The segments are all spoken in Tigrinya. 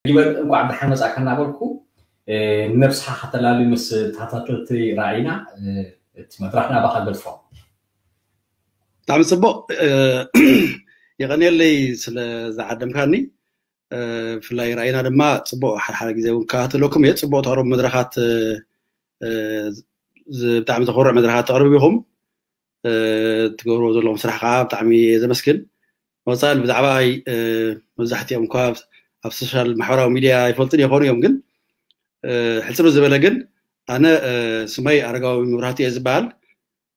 ይበል እንኳዕ ደሓን መጻእካ እናበልኩ፣ እ፣ ነብስኻ ከተላሊ ምስ ተኸታተልቲ ራእይና፣ እ፣ እቲ መድረኽ ናባኻ ገድፎ። ብጣዕሚ ጽቡቕ፣ እ፣ የቐንየለይ ስለ ዝዓደምካኒ። እ፣ ብፍላይ ራእይና ድማ ጽቡቕ፣ ሓደ ሓደ ግዜ እውን ከታተለኩም እየ። ጽቡቕ ተቕርቡ መድረኻት፣ እ፣ እ፣ ዝ-፣ ብጣዕሚ ዘኹርዕ መድረኻት ተቕርቡ ኢኹም። እ፣ ትገብርዎ ዘለኹም ስራሕ ከዓ ብጣዕሚ እየ ዘመስግን። ወፃኢ ብዛዕባ፣ እ፣ መብዛሕትኦም እኳ ኣብ ሶሻል ማሕበራዊ ሚድያ ኣይፈልጡን ይኾኑ እዮም፣ ግን፣ እ፣ ሕፅር ዝበለ ግን ኣነ፣ እ፣ ስመይ ኣረጋዊ መብራህቱ እየ ዝበሃል።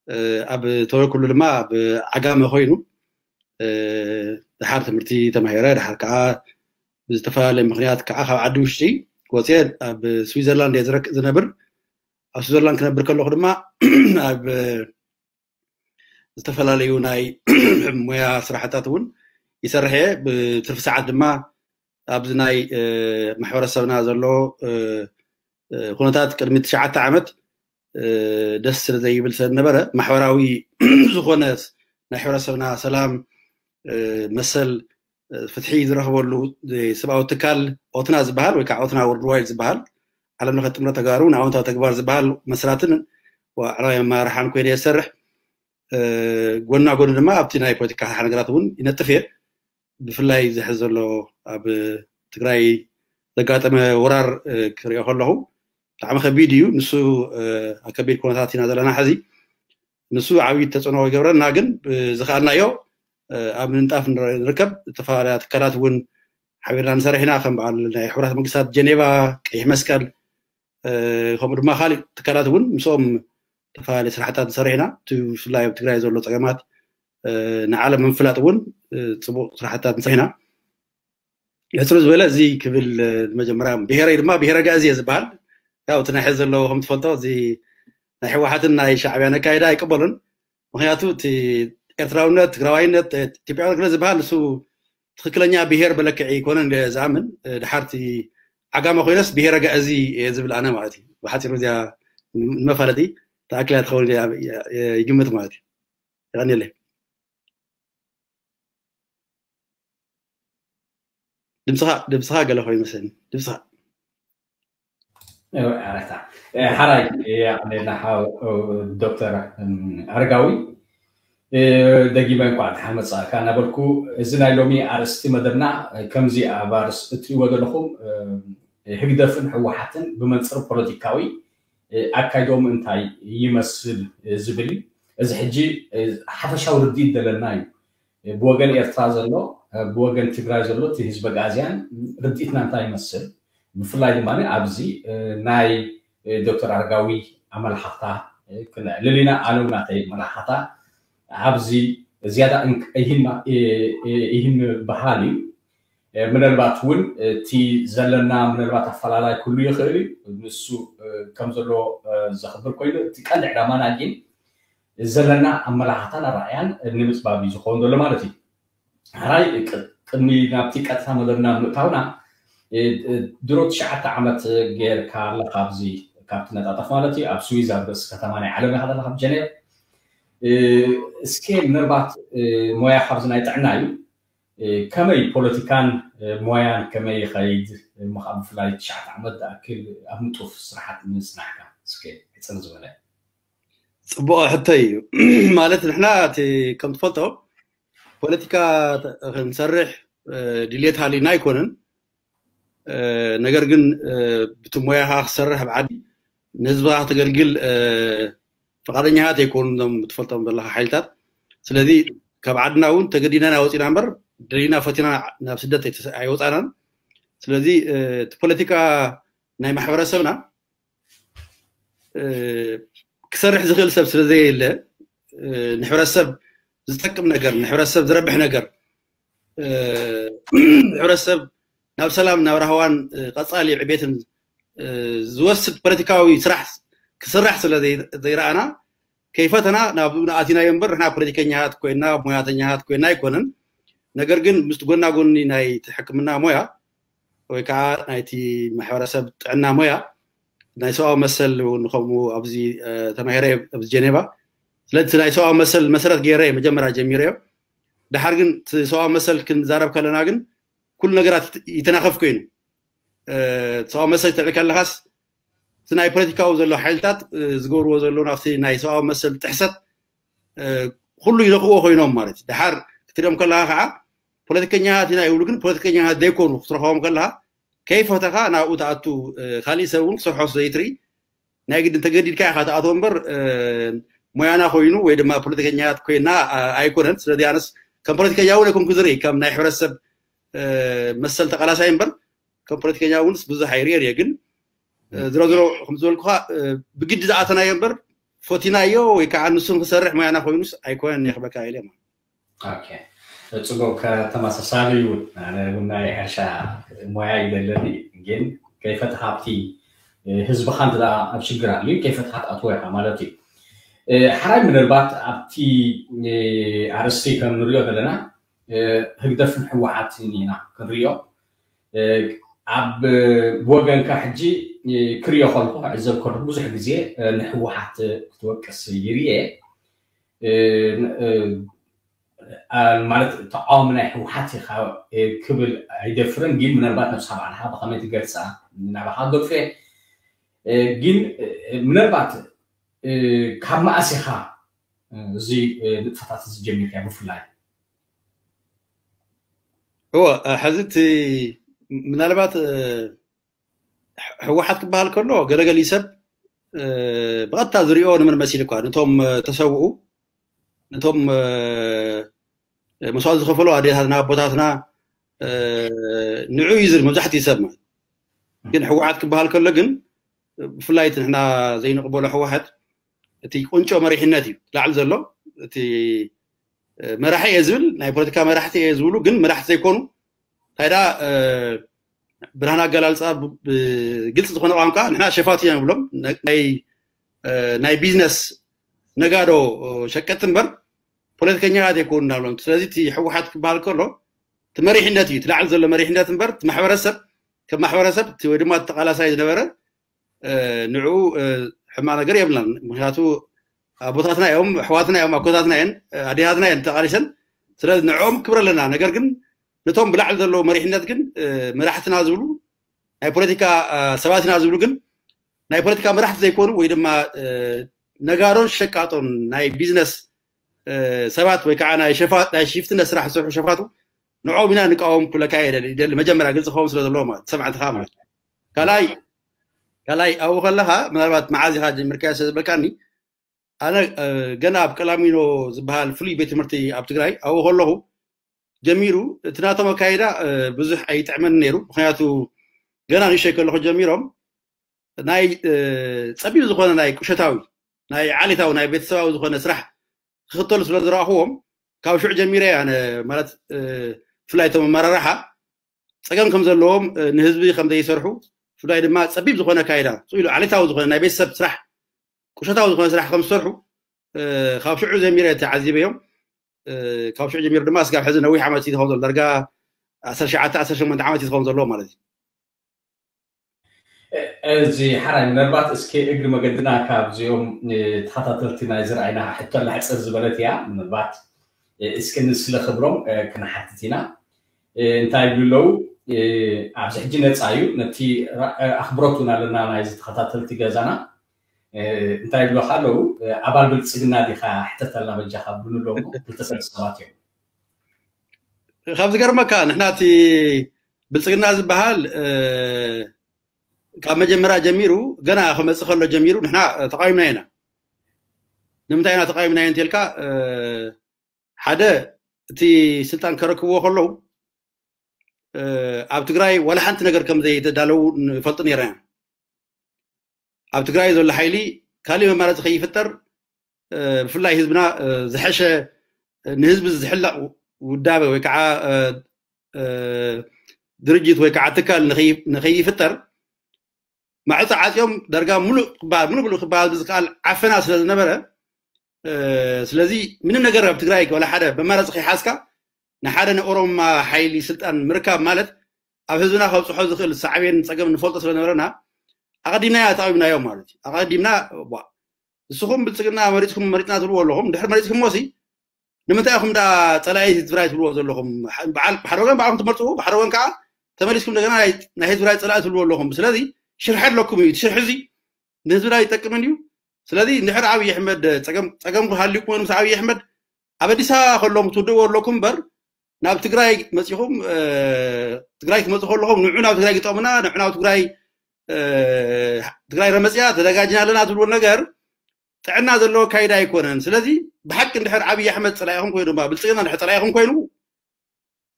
እ፣ ኣብ ተወለድኩሉ ድማ ኣብ ዓጋመ ኮይኑ፣ እ፣ ድሓር ትምህርቲ ተማሂረ፣ ድሓር ከዓ ብዝተፈላለየ ምኽንያት ከዓ ካብ ዓዲ ውሽጢ ወፅየ ኣብ ስዊዘርላንድ እየ ዝረክ-፣ ዝነብር። ኣብ ስዊዘርላንድ ክነብር ከለኹ ድማ ኣብ ዝተፈላለዩ ናይ ሞያ ስራሕታት እውን ይሰርሕ እየ። ብትርፊ ሰዓት ድማ ኣብዚ ናይ፣ እ፣ ማሕበረሰብና ዘሎ፣ እ፣ እ፣ ኩነታት ቅድሚ ትሽዓተ ዓመት፣ እ፣ ደስ ስለ ዘይብል ስለ ዝነበረ፣ ማሕበራዊ ዝኾነ ናይ ሕብረተሰብና ሰላም፣ እ፣ መሰል፣ እ፣ ፍትሒ ዝረኽበሉ፣ እ፣ ሰብኣዊ ትካል ኦትና ዝበሃል ወይ ከዓ ኦትና ወርልድዋይድ ዝበሃል ዓለም ለኸ ጥምረት ተጋሩ ንኣወንታዊ ተግባር ዝበሃል መስራትን ዋዕላዊ ኣመራርሓን ኮይነ እየ ዝሰርሕ። እ፣ ጎና ጎኒ ድማ ኣብቲ ናይ ፖለቲካ ሓሓ ነገራት እውን ይነጥፍ እየ። ብፍላይ ዝሕዝ ዘሎ ኣብ ትግራይ ዘጋጠመ ወራር፣ እ፣ ክሪኦ ከለኹ ብጣዕሚ ከቢድ እዩ። ንሱ፣ እ፣ ኣብ ከቢድ ኩነታት ኢና ዘለና ሕዚ። ንሱ ዓብዪ ተፅዕኖ ይገብረና፣ ግን ብዝኸኣልናዮ፣ እ፣ ኣብ ምንጣፍ ንረ-፣ ንርከብ። ዝተፈላለያ ትካላት እውን ሓቢርና ንሰርሕ ኢና፣ ከም በዓል ናይ ሕቡራት መንግስታት ጀኔቫ፣ ቀይሕ መስቀል፣ እ፣ ከምኡ ድማ ካሊእ ትካላት እውን ምስኦም ዝተፈላለዩ ስራሕታት ንሰርሕ ኢና። እቲ ብፍላይ ኣብ ትግራይ ዘሎ ፀገማት፣ እ፣ ንዓለም ንምፍላጥ እውን፣ እ፣ ፅቡቅ ስራሕታት ንሰርሕ ኢና። ሕፅር ዝበለ እዚ ክብል፣ እ፣ መጀመርያ ብሄረይ ድማ ብሄረ ጋእዚ እየ ዝበሃል። ያው እቲ ናይ ሕዚ ዘለዎ ከም ትፈልጦ እዚ ናይ ህወሓትን ናይ ሻዕብያን ኣካይዳ ኣይቅበሉን። ምክንያቱ እቲ ኤርትራውነት፣ ትግራዋይነት፣ እ፣ ኢትዮጵያውነት ክለ ዝበሃል ንሱ ትኽክለኛ ብሄር መለክዒ ኣይኮነን ኢለ ዝኣምን። እ፣ ድሓርቲ ዓጋመ ኮይነስ ብሄረ ጋእዚ እየ ዝብል ኣነ ማለት እዩ። ብሓፂሩ እዚኣ ንመፋለጢ ተኣኪላ ትኸውን ኢለ እየ፣ እየ ይግምት ማለት እዩ። የቐንየለይ። ድምፅኻ፣ ድምፅኻ ገለ ኮይኑ መስለኒ። ድምፅኻ። እወ፣ ኣረታ። እ፣ ሓራይ፣ እ፣ የቐንየልና ሓው፣ እ፣ ዶክተር፣ እም፣ ኣረጋዊ። እ፣ ደጊመ እንኳዕ ደሓን መጻእካ እናበልኩ፣ እዚ ናይ ሎሚ ኣርእስቲ መደብና፣ እ፣ ከምዚ ኣብ ኣርእስቲ እትሪእዎ ዘለኹም፣ እ፣ ህግደፍን ህወሓትን ብመንጽር ፖለቲካዊ፣ እ፣ ኣካይዶም እንታይ ይመስል፣ እ፣ ዝብል እዩ። እዚ ሕጂ፣ እ፣ ሓፈሻዊ ርድኢት ዘለና እዩ። እ፣ ብወገን ኤርትራ ዘሎ፣ እ፣ ብወገን ትግራይ ዘሎ እቲ ህዝቢ ኣግኣዝያን ርድኢትና እንታይ ይመስል? ብፍላይ ድማ ኣብዚ፣ እ፣ ናይ፣ እ፣ ዶክተር ኣረጋዊ ኣመላኻኽታ፣ እ፣ ክነዕልል ኢና። ኣነ እውን ናተይ ኣመላኻኽታ ኣብዚ ዝያዳ እንክ-፣ ይህን ማ-፣ እ፣ እ፣ ይህን በሃል እዩ። እ፣ ምናልባት እውን እቲ ዘለና ምናልባት ኣፈላላይ ክህሉ ይኽእል እዩ። ንሱ፣ እ፣ ከም ዘለዎ፣ እ፣ ዘኽብር ኮይኑ፣ እቲ ቀንዲ ዕላማና ግን ዘለና ኣመላኻኽታን ኣረኣእያን ንምጽባብ እዩ ዝኸውን ዘሎ ማለት እዩ። ሕራይ ቅ-፣ ቅድሚ ናብቲ ቀጥታ መደብና ምእታውና፣ እ፣ እ፣ ድሮ ትሽዓተ ዓመት ጌርካ ኣለኻ ኣብዚ፣ ካብቲ ነጣጠፍ ማለት እዩ፣ ኣብ ስዊዝ ኣብ ርእሲ ከተማ ናይ ዓለም ኢኻ ዘለኻ፣ ኣብ ጀኔቭ። እ፣ እስከ ምናልባት፣ እ፣ ሞያ ካብዚ ናይ ጥዕና እዩ። እ፣ ከመይ ፖለቲካን፣ እ፣ ሞያን ከመይ ይኸይድ? እሞ ካብ ብፍላይ ትሽዓተ ዓመት ዝኣክል ኣብ ንጡፍ ስራሓት ምጽናሕካ፣ እስከ ሕጽር ዝበለ። ጽቡቕ ሕቶ እዩ። ማለት ንሕና እቲ ከም ትፈልጦ ፖለቲካ ተ-፣ ክንሰርሕ፣ እ፣ ድልየት ሃልዩና ኣይኮነን። እ፣ ነገር ግን፣ እ፣ ብቲ ሞያኻ ክሰርሕ ኣብ ዓዲ ንህዝብኻ ክተገልግል፣ እ፣ ፍቓደኛታት ኣይኮኑን እዞም ትፈልጦም ዘለኻ ሓይልታት። ስለዚ ካብ ዓድና እውን ተገዲድና ኢና ወፂና እምበር ደሊና ፈቲና ናብ ስደት ኣይተሰ-፣ ኣይወፃናን። ስለዚ፣ እ፣ እቲ ፖለቲካ ናይ ማሕበረሰብና፣ እ፣ ክሰርሕ ዝኽእል ሰብ ስለ ዘየለ፣ እ፣ ንሕብረተሰብ ዝጠቅም ነገር፣ ንሕብረተሰብ ዝረብሕ ነገር፣ እ፣ ንሕብረተሰብ ናብ ሰላም፣ ናብ ራህዋን፣ እ፣ ቀጻሊ ዕቤትን፣ እ፣ ዝወስድ ፖለቲካዊ ስራሕ ክስራሕ ስለ ዘይ-፣ ዘይረኣና፣ ከይፈተና ናብ ኣቲናዮ እምበር፣ ንሕና ፖለቲከኛታት ኮይና፣ ሞያተኛታት ኮይና ኣይኮነን። ነገር ግን ምስቲ ጎና ጎኒ ናይቲ ሕክምና ሞያ ወይ ከዓ ናይቲ ማሕበረሰብ ጥዕና ሞያ፣ ናይ ሰብኣዊ መሰል እውን ከምኡ ኣብዚ፣ እ፣ ተማሂረ ኣብዚ ጀኔቫ። ስለዚ እቲ ናይ ሰብኣዊ መሰል መሰረት ገይረ እየ መጀመርያ ጀሚረዮ። ድሓር ግን እቲ ሰብኣዊ መሰል ክንዛረብ ከለና ግን ኩሉ ነገራት ይተ-፣ ይተናኸፍ ኮይኑ። ሰብኣዊ መሰል ትልዕል ከለኻስ እቲ ናይ ፖለቲካዊ ዘሎ ሓይልታት ዝገብርዎ ዘሎ ናብቲ ናይ ሰብኣዊ መሰል ጥሕሰት ኩሉ ይነክዎ ኮይኖም ማለት እዩ። ድሓር ክትሪኦም ከለኻ ከዓ ፖለቲከኛታት ኢና ይብሉ፣ ግን ፖለቲከኛታት ዘይኮኑ ክትረኸቦም ከለኻ ከይፈተኻ ናብኡ ትኣቱ፣ ካሊእ ሰብ እውን ክሰርሖ ዘይትርኢ ናይ ግድን ተገዲድካ ኢኻ ትኣትዎ እምበር ሞያና ኮይኑ ወይ ድማ ፖለቲከኛታት ኮይና ኣይኮነን። ስለዚ ኣነስ ከም ፖለቲከኛ እውን ኣይኮንኩ ዝርኢ፣ ከም ናይ ሕብረተሰብ መሰል ተቃላሳይ እምበር ከም ፖለቲከኛ እውንስ ብዙሕ ኣይርእየን እየ። ግን ዝሮ ዝሮ ከም ዝበልኩኻ ብግዲ ዝኣተናዮ እምበር ፈቲናዮ ወይ ከዓ ንሱ ንክሰርሕ ሞያና ኮይኑስ ኣይኮነን እየ ክብለካ ኢለ። ጽቡቅ፣ ከተመሳሳሊ እውን ኣነ እውን ናይ ሕርሻ ሞያ ይደለኒ፣ ግን ከይፈትሓ ኣብቲ ህዝብኻ እንተ ኣብ ሽግር ኣልዩ ከይፈትሓ ትኣትዎ ኢኻ ማለት እዩ። ሓራይ ምናልባት ኣብቲ ኣርእስቲ ከም ንሪኦ ዘለና ህግደፍን ህወሓትን ኢና ክንሪኦ። ኣብ ብወገንካ ሕጂ ክሪኦ ከልኩ ክዕዘብ ከልኩ ብዙሕ ግዜ ንህወሓት ክትወቅስ ይርኤ። ማለት ተቃዋሚ ናይ ህወሓት ኢኻ ክብል ኣይደፍርን፣ ግን ምናልባት ነብስኻ ባዕልኻ ብኸመይ ትገልፃ ናባኻ ገድፈ። ግን ምናልባት ካብ መኣስ ኢኻ እዚ ንጥፈታት እዚ ጀሚርካ ብፍላይ? እወ፣ ሕዚ እቲ ምናልባት ህወሓት ክበሃል ከሎ ገለገሊ ሰብ ብቐጥታ ዝሪኦ ንመን መሲሉ እኳ ነቶም ተሰውኡ ነቶም መስዋዕቲ ዝኸፈሉ ኣዴታትና ኣቦታትና ንዑ እዩ ዝብል መብዛሕትኡ ሰብ ማለት። ግን ህወሓት ክበሃል ከሎ ግን ብፍላይ እቲ ንሕና ዘይንቕበሎ ህወሓት እቲ ቁንጮ መሪሕነት እዩ ላዕሊ ዘሎ። እቲ መራሒ እየ ዝብል ናይ ፖለቲካ መራሕቲ እየ ዝብሉ ግን መራሕቲ ዘይኮኑ እንታይ ደኣ ብርሃን ኣገላልፃ ብግልፂ ዝኾነ ቋንቋ ንሕና ሸፋቱ ኢና ንብሎም። ናይ ቢዝነስ ነጋዶ ሸቀጥቲ እምበር ፖለቲከኛታት ኣይኮኑ እናብሎም። ስለዚ እቲ ህወሓት ክበሃል ከሎ እቲ መሪሕነት እዩ፣ እቲ ላዕሊ ዘሎ መሪሕነት እምበር እቲ ማሕበረሰብ ከም ማሕበረሰብ ወይ ድማ ተቃላሳይ ዝነበረ ንዕኡ ሕማቕ ነገር የብልናን። ምክንያቱ ኣቦታትና እዮም፣ ኣሕዋትና እዮም፣ ኣኮታትና እየን፣ ኣዴታትና እየን ተቃሊሰን። ስለዚ ንዕኦም ክብሪ ኣለና። ነገር ግን ነቶም ብላዕሊ ዘለዉ መሪሕነት ግን መራሕትና ዝብሉ ናይ ፖለቲካ ሰባት ኢና ዝብሉ ግን ናይ ፖለቲካ መራሕቲ ዘይኮኑ ወይ ድማ ነጋዶን ሸቃጦን ናይ ቢዝነስ ሰባት ወይ ከዓ ናይ ሽፍትነት ስራሕ ዝሰርሑ ሸፋቱ ንዕኦም ኢና ንቃወም ክብለካ ይደሊ። መጀመርያ ግልፂ ክኸውን ስለ ዘለዎ ማለት ሰማዕትኻ ማለት ካልኣይ ካልኣይ ኣብኡ ከለኻ ምናልባት መዓዝ ኢኻ ጀሚርካዮ ስለ ዝበልካኒ ኣነ ገና ኣብ ቀላሚኖ ዝበሃል ፍሉይ ቤት ትምህርቲ ኣብ ትግራይ ኣብኡ ከለኹ ጀሚሩ እቲ ናቶም ኣካይዳ ብዙሕ ኣይጥዕመን ነይሩ። ምክንያቱ ገና ንእሽተይ ከለኹ ጀሚሮም ናይ ፀቢብ ዝኾነ ናይ ቁሸታዊ ናይ ዓሌታዊ ናይ ቤተሰባዊ ዝኾነ ስራሕ ክኽተሉ ስለ ዝረኣኽዎም ካብ ሽዑ ጀሚረ ኣነ ማለት ብፍላይ እቶም ኣመራርሓ ፀገም ከም ዘለዎም ንህዝቢ ከም ዘይሰርሑ ብፍላይ ድማ ፀቢብ ዝኾነ ኣካይዳ ስኢሉ ዓሌታዊ ዝኾነ ናይ ቤተሰብ ስራሕ ቁሸታዊ ዝኾነ ስራሕ ከም ዝሰርሑ ካብ ሽዑ ጀሚረ ተዓዚበዮም። ካብ ሽዑ ጀሚሩ ድማ እስካብ ሕዚ ነዊሕ ዓመት እዩ ዝኸውን ዘሎ ዳርጋ ዓሰርተ ሸዓተ ዓሰርተ ሸሞንተ ዓመት እዩ ዝኸውን ዘለዎ ማለት እዩ። እዚ ሓራይ ምናልባት እስኪ እግሪ መገድና ካብዚኦም ተኸታተልቲ ናይ ዝረኣይና ሕቶ ላሕፅር ዝበለት እያ ምናልባት እስኪ ንስለ ክብሮም ክንሓትት ኢና። እንታይ ይብሉ ኣለዉ? ኣብዚ ሕጂ ነፃ እዩ ነቲ ኣኽብሮት እውን ኣለና ናይዚ ተኸታተልቲ ገዛና እንታይ ይብሉኻ ኣለዉ? ኣባል ብልፅግና ዲኻ ሕተተልና በጃኻ ብሉ ኣለዉ ክልተ ሰለስተ ሰባት እዮም። ካብ ዝገርመካ ንሕና እቲ ብልፅግና ዝበሃል ካብ መጀመርያ ጀሚሩ ገና ክመፅእ ከሎ ጀሚሩ ንሕና ተቃዊምና ኢና። ንምንታይ ኢና ተቃዊምና እንተልካ ሓደ እቲ ስልጣን ከረክብዎ ከለዉ ኣብ ትግራይ ዋላ ሓንቲ ነገር ከም ዘይተዳለዉ ንፈልጡ ነይርና ኢና። ኣብ ትግራይ ዘሎ ሓይሊ ካሊእ መማረፂ ከይፍጠር ብፍላይ ህዝብና ዝሐሸ ንህዝቢ ዝሕለቕ ውዳበ ወይ ከዓ ድርጅት ወይ ከዓ ትካል ንኸይፍጠር ማዕፆ ዓፅዮም ዳርጋ ሙሉእ ክበሃል ሙሉእ ሙሉእ ክበሃል ብዝከኣል ዓፈና ስለ ዝነበረ ስለዚ ምንም ነገር ኣብ ትግራይ ወላ ሓደ መማረፂ ከይሓዝካ ንሓደ ንኦሮማ ሓይሊ ስልጣን ምርካብ ማለት ኣብ ህዝብና ከብፅሖ ዝኽእል ሳዕቤን ፀገም ንፈልጦ ስለነበረና ኣቐዲምና ተቃዊምናዮም ማለት እዩ። ኣቐዲምና ንስኹም ብልፅግና መሪፅኩም መሪፅና ትብልዎ ኣለኹም ድሕሪ መሪፅኩም ሞሲ ንምንታይ ኢኹም ዳ ፀላኢ ትግራይ ትብልዎ ዘለኹም? ብሓደ ወገን ባዕልኩም ትመርፅዎ ብሓደ ወገን ከዓ ተመሊስኩም እንደገና ናይ ህዝቢ ትግራይ ፀላኢ ትብልዎ ኣለኹም። ስለዚ ሽርሒ ኣለኩም እዩ። እቲ ሽርሒ እዚ ንህዝቢ ትግራይ ይጠቅምን እዩ። ስለዚ እንድሕር ኣብይ ኣሕመድ ፀገም ክሃልዩ ኮይኑ ምስ ኣብይ ኣሕመድ ኣብ ኣዲስ ኣበባ ከለኹም ትውድእዎ ኣለኩም እምበር ናብ ትግራይ መፂኹም ትግራይ ክትመፁ ከለኹም ንዑ ናብ ትግራይ ግጠሙና ንዑ ናብ ትግራይ ትግራይ ረመፅያ ተዘጋጅና ኣለና ትብልዎ ነገር ጥዕና ዘለዎ ኣካይዳ ኣይኮነን። ስለዚ ብሓቂ እንድሕር ኣብይ ኣሕመድ ፀላኢኹም ኮይኑ ድማ ብልፅግና እንድሕር ፀላኢኹም ኮይኑ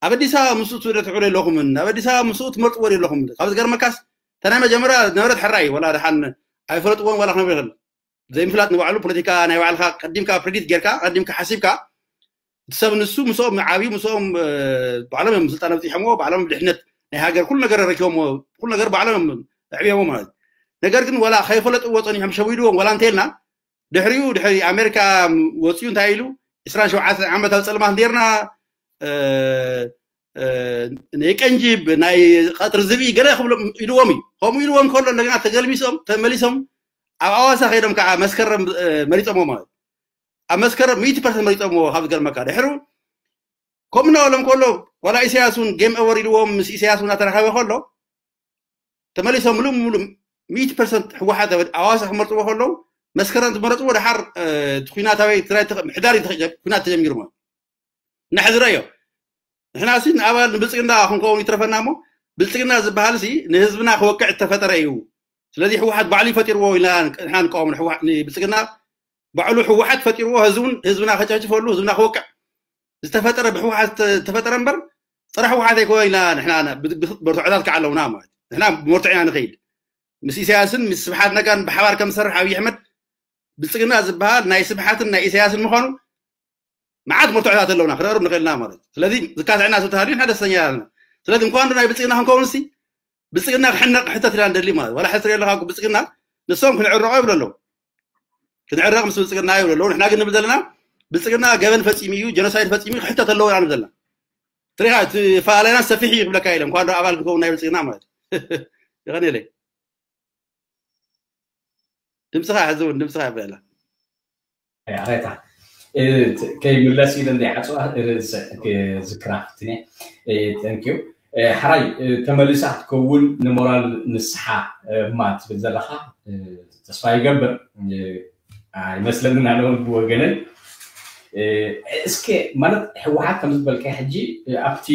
ኣብ ኣዲስ ኣበባ ምስኡ ትውደ ትዕሉ የለኹምን ኣብ ኣዲስ ኣበባ ምስኡ ትመርጥዎ የለኹም። ካብ ዝገርመካስ ተናይ መጀመርያ ነበረት ሕራይ ወላ ድሓን ኣይፈለጥዎን ዋላ ክነብር ይኽእል ዘይምፍላጥ ንባዕሉ ፖለቲካ ናይ ባዕልካ ቀዲምካ ፕሪዲት ጌርካ ቀዲምካ ሓሲብካ እቲ ሰብ ንሱ ምስኦም ዓብዩ ምስኦም ባዕሎም እዮም ስልጣን ኣብፂሖምዎ ባዕሎም ድሕነት ናይ ሃገር ኩሉ ነገር ረኪቦምዎ ኩሉ ነገር ባዕሎም እዮም ኣዕብዮምዎ ማለት እዩ። ነገር ግን ዋላ ከይፈለጥዎ ፀኒሖም ሸዊድዎም ዋላ እንተልና ድሕሪኡ ድሕሪ ኣሜሪካ ወፂኡ እንታይ ኢሉ ዕስራን ሸውዓተን ዓመት ኣብ ፀልማት ነርና ናይ ቀንጂብ ናይ ቀጥሪ ዝብኢ ገለ ክብሎም ኢልዎም እዩ። ከምኡ ኢልዎም ከሎ እንደገና ተገልቢሶም ተመሊሶም ኣብ ኣዋሳ ከይዶም ከዓ መስከረም መሪፀሞ ማለት ኣብ መስከረም ሚእቲ ፐርሰንት መሪፀሞ ካብ ዝገርመካ ድሕሩ ከምኡ እናበሎም ከሎ ዋላ ኢሳያስ እውን ጌም ኦቨር ኢልዎም ምስ ኢሳያስ እውን ኣተራኸበ ከሎ ተመሊሶም ሙሉእ ሙሉእ ሚእቲ ፐርሰንት ህወሓት ኣዋሳ ክመርፅዎ ከለዉ መስከረም ዝመረፅዎ ድሓር እቲ ኩናት ኣበይ ትግራይ ምሕዳር ኩናት ተጀሚሩ ማለት እናሕዝረዮ ንሕና ሲ ንኣባል ንብልፅግና ክንከውን ይትረፈና እሞ ብልፅግና ዝበሃል ሲ ንህዝብና ክወቅዕ ዝተፈጠረ እዩ። ስለዚ ህወሓት ባዕሉ ይፈጢርዎ ኢና ንሕና ንቃወም ንብልፅግና ባዕሉ ህወሓት ፈጢርዎ ህዝቡን ህዝብና ከጨፍጭፈሉ ህዝብና ክወቅዕ ዝተፈጠረ ብህወሓት ዝተፈጠረ እምበር ፀረ ህወሓት ኣይኮነ ኢና ንሕና መርትዖታት ከዓ ኣለውና ማለት ንሕና ብመርትዖ ኢና ንኸይድ ምስ ኢሳያስን ምስ ስብሓት ነጋን ብሓባር ከም ዝሰርሕ ኣብይ ኣሕመድ ብልፅግና ዝበሃል ናይ ስብሓትን ናይ ኢሳያስን ምዃኑ መዓት መርትዖታት ኣለውና ክነቕርብ ንኽእልና ማለት ስለዚ ዝካትዕና ዝተሃልዩ ንሕና ደስተኛ ኣለና። ስለዚ እንኳን ናይ ብልፅግና ክንከውን ሲ ብልፅግና ክሕነቕ ሕተት ኢና ንደሊ ማለት ዋላ ሕስር የለካ ብልፅግና ንሶም ክንዕረቆ ይብሉ ኣለዉ ክንዕረቕ ምስ ብልፅግና ይብሉ ኣለዉ ንሕና ግን ንብል ዘለና ብልፅግና ገበን ፈፂሙ እዩ ጀኖሳይድ ፈፂሙ እዩ ክሕተት ኣለዎ ኢና ንብል ዘለና ትሪኻ እቲ ፈላላይና ሰፊሕ እዩ ክብለካ ኢለ እንኳን ዶ ኣባል ክኸውን ናይ ብልፅግና ማለት ይኸን የለይ ድምፅኻ ሕዚ እውን ድምፅኻ ይበላ ኣሬታ ከይምለስ ኢለ እንዳይዓፅዋ ዝክራ ፍትነ ተንኪዩ ሓራይ ተመሊሳ ክትከውን ንሞራል ንስሓ እማ ትብል ዘለካ ተስፋ ይገብር ኣይመስለንን ኣነ እውን ብወገነይ እስከ ማለት ህወሓት ከም ዝበልካ ሕጂ ኣብቲ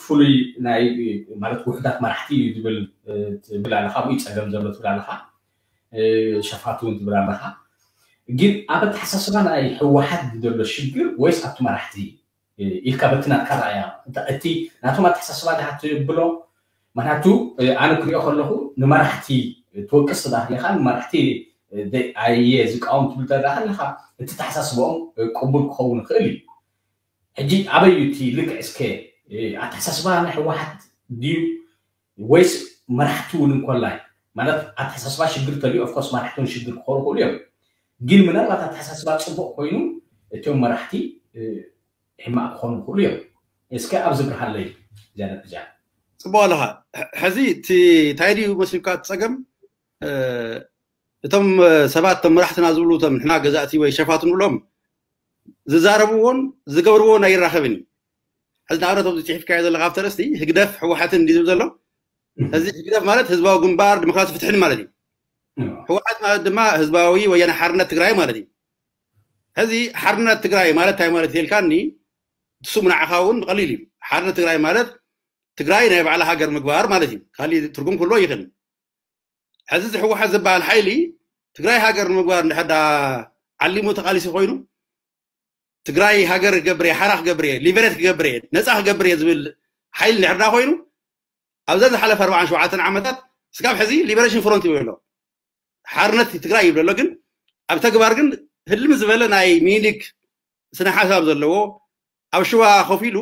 ፍሉይ ናይ ማለት ውሕዳት መራሕቲ እዩ ዝብል ትብል ኣለካ ኣብኡ ፀገም ዘሎ ትብል ኣለካ ሸፋቱ እውን ትብል ኣለካ ግን ኣብ ኣተሓሳስባ ናይ ህወሓት ዘሎ ሽግር ወይስ ኣብቲ መራሕቲ ኢልካ በቲ ናትካ ረኣያ እቲ ናቶም ኣተሓሳስባ ድካ ትብሎ ምክንያቱ ኣነ ክሪኦ ከለኩ ንመራሕቲ ትወቅስ ትዳ ኣለካ ንመራሕቲ ኣየ ዝቃወም ትብል ተዳ ኣለካ እቲ ተሓሳስበኦም ቅቡል ክኸውን ይኽእል እዩ ሕጂ ኣበይ እዩ እቲ ልክዕ እስከ ኣተሓሳስባ ናይ ህወሓት ድዩ ወይስ መራሕቲ እውን እንኮላይ ማለት ኣተሓሳስባ ሽግር ተልዩ ኦፍኮርስ መራሕቲ እውን ሽግር ክኾኑ ይኽእሉ እዮም ግን ምናልባት ኣተሓሳስባ ፅቡቅ ኮይኑ እቶም መራሕቲ ሕማቅ ክኾኑ ይኽእሉ እዮም እስከ ኣብዚ ብርሃለይ ዝያዳ ብዛ ፅቡቅ ኣለኻ ሕዚ እቲ እንታይ ድዩ መሲልካ እቲ ፀገም እቶም ሰባት እቶም መራሕትና ዝብሉ እቶም ንሕና ገዛእቲ ወይ ሸፋቱ ንብሎም ዝዛረብዎን ዝገብርዎን ኣይራኸብን እዩ ሕዚ ንኣብነት ኣብዚ ፅሒፍካዮ ዘለካ ኣብቲ ርእስቲ ህግደፍ ህወሓትን እንዲ ዝብል ዘሎ እዚ ህግደፍ ማለት ህዝባዊ ግንባር ዲሞክራሲ ፍትሕን ማለት እዩ ህወሓት ማለት ድማ ህዝባዊ ወያነ ሓርነት ትግራይ ማለት እዩ ሕዚ ሓርነት ትግራይ ማለት እንታይ ማለት ይልካኒ ስሙ ንዓኻ እውን ቀሊል እዩ ሓርነት ትግራይ ማለት ትግራይ ናይ ባዕላ ሃገር ምግባር ማለት እዩ ካሊእ ትርጉም ክህልዎ ይኽእል ሕዚ እዚ ህወሓት ዝበሃል ሓይሊ ትግራይ ሃገር ንምግባር እንድሕር ዓሊሙ ተቃሊሲ ኮይኑ ትግራይ ሃገር ክገብር እየ ሓራ ክገብር እየ ሊበሬት ክገብር እየ ነፃ ክገብር እየ ዝብል ሓይሊ እንድሕር ኮይኑ ኣብዛ ዝሓለፈ ኣርባዓን ሸውዓተን ዓመታት ስጋብ ሕዚ ሊበሬሽን ፍሮንት ይብሎ ሓርነት ትግራይ ይብሎ ግን ኣብ ተግባር ግን ህልም ዝበለ ናይ ሚኒሊክ ስነ ሓሳብ ዘለዎ ኣብ ሽዋ ኮፍ ኢሉ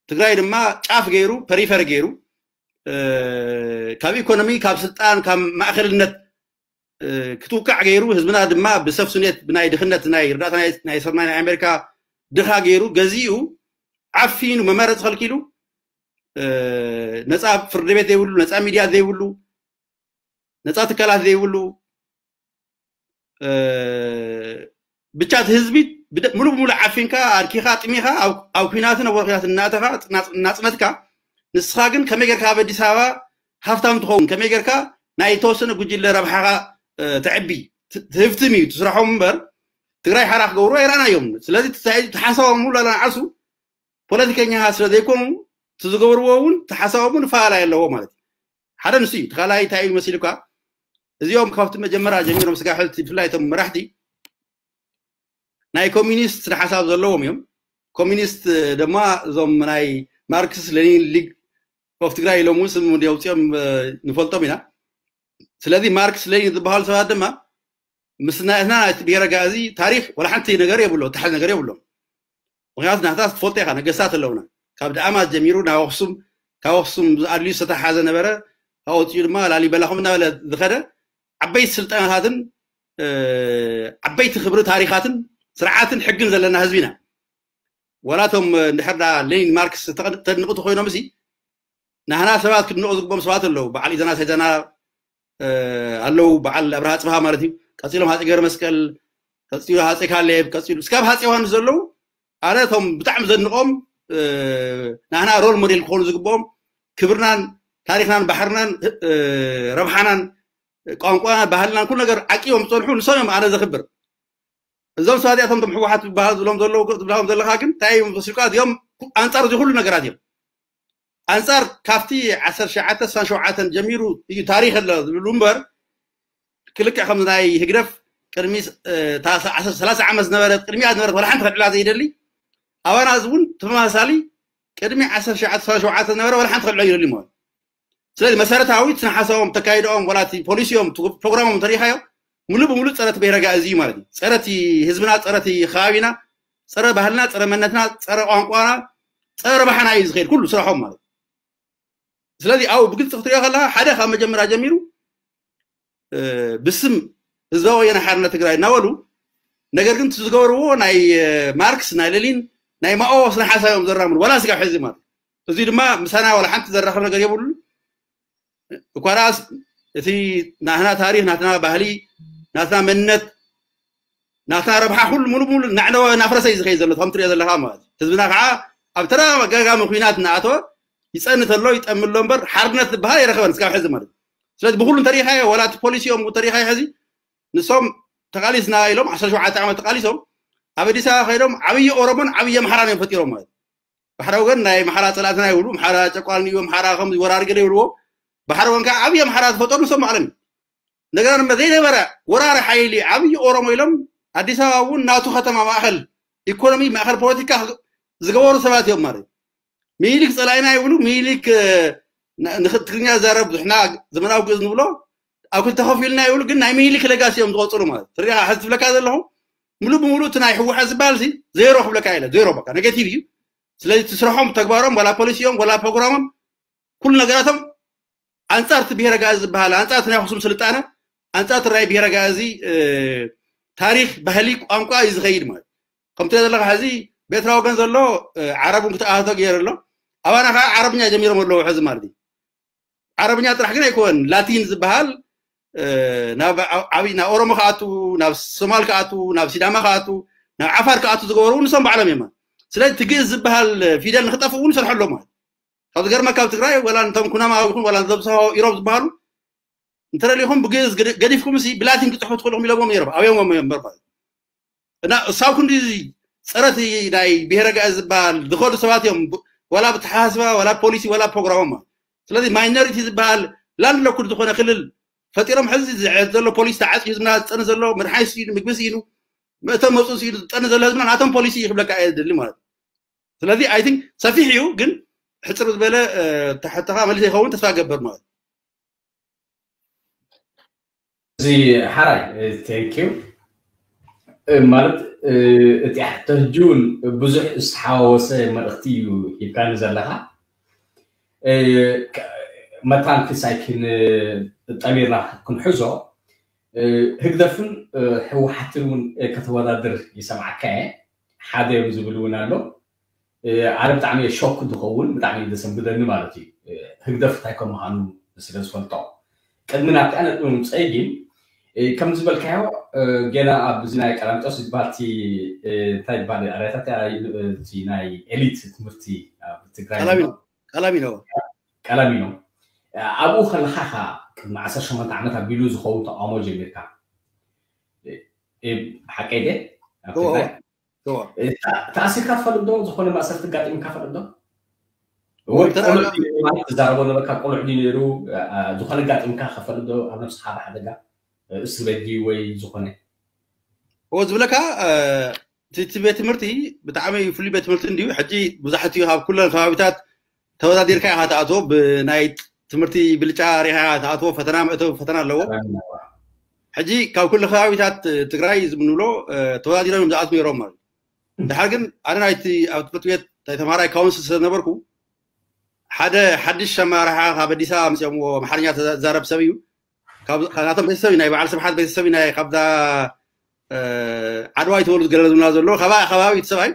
ትግራይ ድማ ጫፍ ገይሩ ፐሪፈሪ ገይሩ ካብ ኢኮኖሚ ካብ ስልጣን ካብ ማእከልነት ክትውቃዕ ገይሩ ህዝብና ድማ ብሰፍሱኔት ብናይ ድኽነት ናይ ርዳእታ ናይ ሰማይ ናይ ኣሜሪካ ድኻ ገይሩ ገዚኡ ዓፊኑ መመረፂ ከልኪሉ ነፃ ፍርዲ ቤት ዘይብሉ ነፃ ሚድያ ዘይብሉ ነፃ ትካላት ዘይብሉ ብቻ እቲ ህዝቢ ሙሉ ብሙሉ ዓፊንካ ኣድኪኻ ጥሚኻ ኣብ ኩናትን ኣብ ወርክናት እናተኻ እናፅነትካ ንስኻ ግን ከመይ ጌርካ ኣብ ኣዲስ ኣበባ ሃፍታም ትኸውን፣ ከመይ ጌርካ ናይ ተወሰነ ጉጅለ ረብሓኻ ተዕቢ ትህፍትም እዩ ትስራሖም እምበር ትግራይ ሓራ ክገብሩ ኣይረኣናዮም። ስለዚ ተሓሳቦም ሙሉ ኣለና ዓርሱ ፖለቲከኛ ስለ ዘይኮኑ እቲ ዝገብርዎ እውን ተሓሳቦም እውን ፈላለይ ኣለዎ ማለት እዩ። ሓደ ንሱ እዩ። ተኻላይ እንታይ እዩ መሲሉካ? እዚኦም ካብቲ መጀመርያ ጀሚሮም ስጋ ሕልቲ ብፍላይ እቶም መራሕቲ ናይ ኮሚኒስት ስነ ሓሳብ ዘለዎም እዮም። ኮሚኒስት ድማ እዞም ናይ ማርክስ ሌኒን ሊግ ኦፍ ትግራይ ኢሎም እውን ስም የውፅኦም ንፈልጦም ኢና። ስለዚ ማርክስ ሌኒን ዝበሃሉ ሰባት ድማ ምስ ናትና ናይቲ ብሄረ ጋእዚ ታሪክ ወላ ሓንቲ ነገር የብሎ ተሓዝ ነገር የብሎም። ምክንያቱ ናታ ትፈልጦ ኢካ ነገስታት ኣለውና ካብ ደኣማት ጀሚሩ ናብ ኣክሱም ካብ ኣክሱም ኣድልዩ ዝተተሓዘ ነበረ። ካብኡ ወፂኡ ድማ ላሊበላ ከም እናበለ ዝኸደ ዓበይቲ ስልጣናታትን ዓበይቲ ክብሪ ታሪካትን ስርዓትን ሕግን ዘለና ህዝቢ ኢና። ወላቶም እንድሕር ዳ ሌኒን ማርክስ ተድንቁ ተኮይኖም ሲ ናህና ሰባት ክድንቁ ዝግቦም ሰባት ኣለዉ። በዓል ኢዘና ሰይዘና ኣለዉ። በዓል ኣብርሃ ፅብሃ ማለት እዩ። ቀፂሎም ሃፀ ገረ መስቀል፣ ቀፂሉ ሃፀ ካሌብ፣ ቀፂሉ እስካብ ሃፀ ዮሃንስ ዘለዉ ኣነ እቶም ብጣዕሚ ዘድንቆም ናህና ሮል ሞዴል ክኾኑ ዝግብኦም ክብርናን ታሪክናን ባሕርናን ረብሓናን ቋንቋና ባህልናን ኩሉ ነገር ዓቂቦም ዝፀንሑ ንሶም እዮም ኣነ ዘክብር። እዞም ሰባት እዚኣቶም ቶም ሕወሓት ዝበሃል ዝብሎም ዘለዉ ዝብልዎም ዘለካ ግን እንታይ እዮም መሲልካ? እዚኦም ኣንፃር እዚ ኩሉ ነገራት እዮም። ኣንፃር ካብቲ ዓሰርተ ትሽዓተ ስሳን ሸውዓተን ጀሚሩ እዩ ታሪክ ኣሎ ዝብሉ እምበር ክልክዕ ከም ናይ ህግደፍ ቅድሚ ሰላሳ ዓመት ዝነበረት ቅድሚያ ዝነበረት ወላ ሓንቲ ከልዕላ ዘይደሊ ኣባና እዚ እውን ተመሳሳሊ ቅድሚ ዓሰርተ ትሽዓተ ስሳን ሸውዓተን ዝነበረ ወላ ሓንቲ ከልዕሎ ይደሊ ማለት ስለዚ መሰረታዊ ስነ ሓሳቦም ተካይዶኦም ወላ ፖሊሲኦም ፕሮግራሞም ተሪካዮ ሙሉ ብሙሉ ፀረ እቲ ብሄረ ጋእዚ እዩ ማለት እዩ። ፀረ እቲ ህዝብና፣ ፀረ እቲ ከባቢና፣ ፀረ ባህልና፣ ፀረ መንነትና፣ ፀረ ቋንቋና፣ ፀረ ረብሓና እዩ ዝኸይድ ኩሉ ስራሖም ማለት እዩ። ስለዚ ኣብኡ ብግልፂ ክትሪኦ ከለካ ሓደ ካብ መጀመርያ ጀሚሩ ብስም ህዝባዊ ወያነ ሓርነት ትግራይ እናበሉ ነገር ግን ዝገበርዎ ናይ ማርክስ ናይ ሌኒን ናይ ማኦ ስነ ሓሳብ እዮም ዘራምዱ ዋላ ስጋብ ሕዚ ማለት እዚ ድማ ምሳና ዋላ ሓንቲ ዘራኽብ ነገር የብሉን። እኳ ደኣስ እቲ ናትና ታሪክ ናትና ባህሊ ናትና መንነት ናትና ረብሓ ኩሉ ሙሉ ሙሉ እናዕነወ እናፍረሰ እዩ ዝኸይድ ዘሎ ከም ትሪኦ ዘለካ ማለት ህዝብና ከዓ ኣብ ተደጋጋሚ ኩናት እናኣተወ ይፀንት ኣሎ ይጠሚ ኣሎ እምበር ሓርነት ዝበሃል ኣይረኸበን እስካብ ሕዚ ማለት ስለዚ ብኩሉ እንተሪኢካዮ ዋላ እቲ ፖሊሲኦም እንተሪኢካዮ ሕዚ ንሶም ተቃሊስና ኢሎም ዓሰርተ ሸውዓተ ዓመት ተቃሊሶም ኣብ ኣዲስ ኣበባ ከይዶም ዓብዪ ኦሮሞን ዓብዪ ኣምሓራን እዮም ፈጢሮም ማለት ባሕሪ ወገን ናይ ኣምሓራ ፀላእትና ይብሉ ኣምሓራ ጨቋኒ እዩ ኣምሓራ ከም ወራሪ ገለ ይብልዎ ባሕሪ ወገን ከዓ ዓብዪ ኣምሓራ ዝፈጠሩ ንሶም ባዕሎም ነገር ድማ ዘይነበረ ወራሪ ሓይሊ ዓብዪ ኦሮሞ ኢሎም ኣዲስ ኣበባ እውን ናቱ ከተማ ማእኸል ኢኮኖሚ ማእኸል ፖለቲካ ዝገበሩ ሰባት እዮም ማለት ሚኒሊክ ፀላኢና ይብሉ ሚኒሊክ ንትግርኛ ዘረብ ዝሕና ዘመናዊ ግእዝ ንብሎ ኣብ ክልተ ከፊልና ይብሉ ግን ናይ ሚኒሊክ ለጋሲ እዮም ዝቆፅሩ ማለት ትሪኻ ሕዚ ትብለካ ዘለኹ ሙሉ ብሙሉ እቲ ናይ ህወሓት ዝበሃል ዜሮ ክብለካ ኢለ ዜሮ በቃ ኔጌቲቭ እዩ ስለዚ ትስርሖም ተግባሮም ዋላ ፖሊሲኦም ዋላ ፕሮግራሞም ኩሉ ነገራቶም ኣንፃር እቲ ብሄረ ጋእዚ ዝበሃል ኣንፃር እቲ ናይ ኣክሱም ስልጣነ ኣንፃር እቲ ናይ ብሄረ ጋእዚ ታሪክ ባህሊ ቋንቋ እዩ ዝኸይድ ማለት ከምቲ ዘለካ ሕዚ ቤትራ ወገን ዘሎ ዓረብ እውን ክትኣህቶ ገይሩ ኣሎ ኣባና ከዓ ዓረብኛ ጀሚሮም ኣለዉ ሕዚ ማለት እዩ ዓረብኛ ጥራሕ ግን ኣይኮን ላቲን ዝበሃል ናብ ዓብይ ናብ ኦሮሞ ከኣቱ ናብ ሶማል ከኣቱ ናብ ሲዳማ ከኣቱ ናብ ዓፋር ከኣቱ ዝገበሩ ንሶም ባዕሎም እዮም ስለዚ ትግእዝ ዝበሃል ፊደል ንክጠፍእ እውን ይሰርሑ ኣለዎ ማለት ካብ ዝገርመካ ኣብ ትግራይ ወላ ነቶም ኩናማ ይኹን ወላ ዘብዝሖ ኢሮብ ዝበሃሉ እንተደሊኹም ብግእዝ ገዲፍኩም ሲ ብላቲን ክፅሕፉ ትኽእሉ ኢሎዎም ነይሮም ኣብዮም እዮም እምበር ማለት እና እሳብ ክንዲ ፀረት ናይ ብሄረ ጋእዝ ዝበሃል ዝኸዱ ሰባት እዮም ዋላ ብተሓሳስባ ዋላ ፖሊሲ ዋላ ፕሮግራሞም ማለት ስለዚ ማይኖሪቲ ዝበሃል ላንድ ሎክድ ዝኾነ ክልል ፈጢሮም ሕዚ ዝሕዝ ዘሎ ፖሊሲ ተዓፂ ህዝብና ዝፀነ ዘሎ መድሓኒት ስኢኑ ምግቢ ስኢኑ መእተው መፁ ስኢኑ ዝፀነ ዘሎ ህዝብና ናቶም ፖሊሲ ይክብለካ እየ ዝደሊ ማለት ስለዚ ኣይ ቲንክ ሰፊሕ እዩ ግን ሕፅር ዝበለ ተሕተኻ መልስ ይኸውን ተስፋ ገብር ማለት እዚ ሓራይ ቴንኪዩ ማለት እቲ ሕቶ ሕጂ እውን ብዙሕ ዝተሓዋወሰ መልእኽቲ እዩ ሂብካኒ ዘለካ መታን ክሳይ ጠሚርና ክንሕዞ ህግደፍን ህወሓትን እውን ከተወዳድር ይሰምዓካ እየ ሓደ እዮም ዝብል እውን ኣሎ ኣነ ብጣዕሚ ሾክ ዝኸውን ብጣዕሚ ዘሰንብደኒ ማለት እዩ ህግደፍ እንታይ ከም ምዃኑ ስለ ዝፈልጦ ቅድሚ ናብቲ ኣነ ምምፀይ ግን ከም ዝበልካዮ ገና ኣብዚ ናይ ቀላሚጦስ ዝበሃል እቲ እንታይ ዝበሃል ኣርያታት ናይ ኤሊት ትምህርቲ ኣብ ትግራይ ቀላሚ ነው ቀለሚኖም። ኣብኡ ከለኻ ኢኻ ቅድሚ ዓሰርተ ሸሞንተ ዓመት ኣቢሉ ዝኸውን ተቃውሞ ጀሚርካ። እ፣ እ፣ ሓቀይ ድየ? ኣብ እዎ፣ ትግራይ? እዎ። እ፣ ተ-፣ ተኣሲርካ ትፈልጥ ዶ? ዝኾነ ማእሰርቲ ኣጋጢምካ ፈልጥ ዶ? ወይ ወይ ተራ-፣ ቆልዑ ድዩ ማለት ትዛረቦ ነበርካ? ቆልዑ ድዩ ነይሩ? እ፣ እ፣ ዝኾነ ኣጋጢምካ ከፈልጥ ዶ? ኣብ ነብስኻ ብሓደጋ፣ እ፣ እስር ቤት ድዩ ወይ ዝኾነ? እዎ ዝብለካ፣ እ፣ እቲ፣ እቲ ቤት ትምህርቲ ብጣዕሚ ፍሉይ ቤት ትምህርቲ እንድዩ። ሕጂ ብዙሓት እዩ ካብ ኩለን ከባቢታት ተወዳዲርካ ኢኻ ትኣትዎ፣ ብናይ ትምህርቲ ብልጫ ሪኢኻ ኢኻ ትኣትዎ፣ ፈተና መእተዊ ፈተና ኣለዎ። ፈተና ኣለዎ። ሕጂ ካብ ኩሉ ከባቢታት ትግራይ ዝምንብሎ፣ እ፣ ተወዳዲሮም እዮም ዝኣትዉ ነይሮም ማለት እዩ። ድሓር ግን ኣነ ናይቲ ኣብ ትምህርቲ ቤት ናይ ተምሃራይ ካውንስል ስለ ነበርኩ፣ ሓደ ሓድሽ ኣመራርሓ ካብ ኣዲስ ኣበባ ኣምፅኦምዎ፣ ኣምሓርኛ ተዛ-፣ ዝዛረብ ሰብ እዩ። ካብ፣ ካብ ናቶም ቤተሰብ እዩ፣ ናይ በዓል ስብሓት ቤተሰብ እዩ፣ ናይ ካብዛ፣ እ፣ ዓድዋ ይተወሉ ዝገለሉና ዘሎ፣ ካባ-፣ ከባቢ እቲ ሰብኣይ።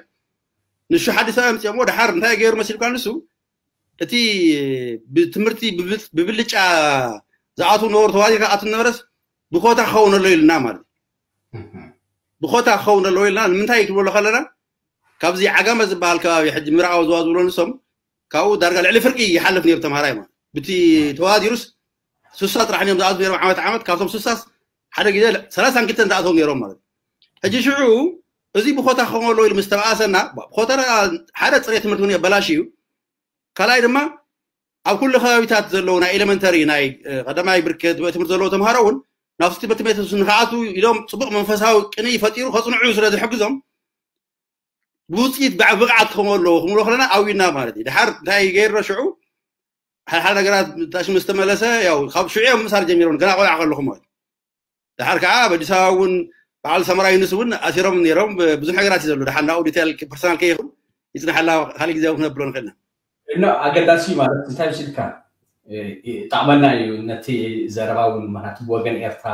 ንሱ ሓድሽ ሰብኣይ ኣምፅኦምዎ፣ ድሓር እንታይ ገይሩ መሲልካ ንሱ? እቲ ብትምህርቲ ብብል-፣ ብብልጫ ዝኣትዉ ነበሩ፣ ተዋዲድካ ኣትዉ ነበረስ ብኮታ ክኸውን ኣሎ ኢልና ማለት እዩ። እህ። ብኮታ ክኸውን ኣለዎ ኢልና ንምንታይ እዩ ትብሎ ከለና፣ ካብዚ ዓጋመ ዝበሃል ከባቢ ሕጂ ምብራቓዊ ዞባ ዝብሎ ንሶም፣ ካብኡ ዳርጋ ልዕሊ ፍርቂ ይሓልፍ ነይሩ ተምሃራይ ማለት። ብቲ ተዋዲሩስ ስሳ ጥራሕ እዮም ዝኣትዉ ነይሮም ዓመት ዓመት፣ ካብቶም ስሳስ ሓደ ግዜ ሰላሳን ክልተን ዝኣተዉ ነይሮም ማለት። ሕጂ ሽዑ እዚ ብኮታ ክኸውን ኣለዎ ኢሉ ምስ ተባኣሰና፣ ብኮታ ሓደ ጽሬት ትምህርቲ እውን የበላሽ እዩ። ካልኣይ ድማ ኣብ ኩሉ ከባቢታት ዘለዉ ናይ ኤሌመንተሪ፣ ናይ፣ እ፣ ቀዳማይ ብርኪ ቤት ትምህርቲ ዘለዉ ተምሃሮ እውን ናብቲ ትምህርቲ ቤት ንክኣትዉ ኢሎም ጽቡቕ መንፈሳዊ ቅንኢ ፈጢሩ ከጽንዑ ስለ ዝሕግዞም ብውፅኢት ብዓ-፣ ብቕዓት ክኸውን ኣለዎ ክንብሎ ከለና ኣዊና ማለት እዩ። ድሓር እንታይ ገይርና ሽዑ ሓደ ሓደ ነገራት ታሽ ምስ ተመለሰ ያው ካብ ሽዑ እዮም ምሳር ጀሚሮም ገና ቆልዓ ከለኹ ማለት እዩ። ድሓር ከዓ ኣብ ኣዲስ ኣበባ እውን በዓል ሰመራ ዩኑስ እውን ኣሲሮም ነይሮም። ብዙሕ ነገራት እዩ ዘሎ። ድሓር ናብኡ ዲቴል ፐርሰናል ከይኹን ይፅናሓላ ካልእ ግዜ ክነብሎ ንኽእል ኢና። እና ኣገዳሲ ማለት እንታይ መሲልካ? እ፣ እ፣ ይጠቕመና እዩ ነቲ ዘረባ እውን፣ ምኽንያቱ ብወገን ኤርትራ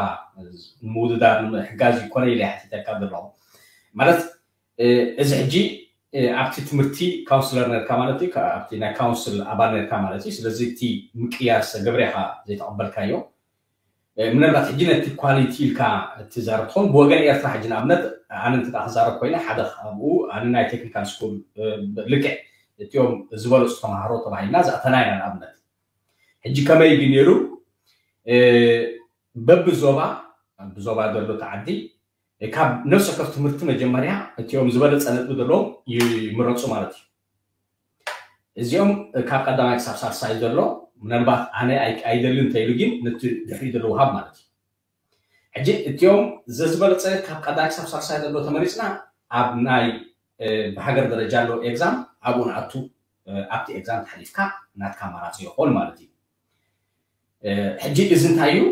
ንምውድዳር ንምሕጋዝ ይኮነ ኢለ ሓቲተካ ዘለኹ። ማለት፣ እ፣ እዚ ሕጂ፣ እ፣ ኣብቲ ትምህርቲ ካውንስለር ነርካ ማለት እዩ፣ ከ-፣ ኣብቲ ናይ ካውንስል ኣባል ነርካ ማለት እዩ። ስለዚ እቲ ምቅያር ዝተገብረ ኢኻ ዘይተቐበልካዮ። እ፣ ምናልባት ሕጂ ነቲ ኳሊቲ ኢልካ እትዛረብ ትኸውን፣ ብወገን ኤርትራ ሕጂ ንኣብነት ኣነ እንተ ደኣ ክዛረብ ኮይነ፣ ሓደ ካብኡ ኣነ ናይ ቴክኒካል ስኩል፣ እ፣ ልክዕ እቲኦም ዝበለጹ ተምሃሮ ተባሂልና ዝኣተና ኢና ንኣብነት። ሕጂ ከመይ ግን ነይሩ፣ እ፣ በብዞባ፣ ብዞባ ዘሎ ተዓዲ፣ እ፣ ካብ ነፍሲ ወከፍ ትምህርቲ መጀመርያ እቲኦም ዝበለጸ ነጥቢ ዘለዎም ይምረጹ ማለት እዩ። እዚኦም ካብ ቀዳማይ ክሳብ ሳልሳይ ዘሎ፣ ምናልባት ኣነ ኣይ-፣ ኣይደልን እንተኢሉ ግን ነቲ ድሕሪኡ ዘሎ ውሃብ ማለት እዩ። ሕጂ እቲኦም ዘዝበለጸ ካብ ቀዳማይ ክሳብ ሳልሳይ ዘሎ ተመሪጽና ኣብ ናይ፣ እ፣ ብሃገር ደረጃ ኣሎ ኤግዛም ኣብኡ ንኣቱ፣ እ፣ ኣብቲ ኤግዛም ተሓሊፍካ ናትካ ኣማራጺ ይኾን ማለት እዩ። እ፣ ሕጂ እዚ እንታይ እዩ?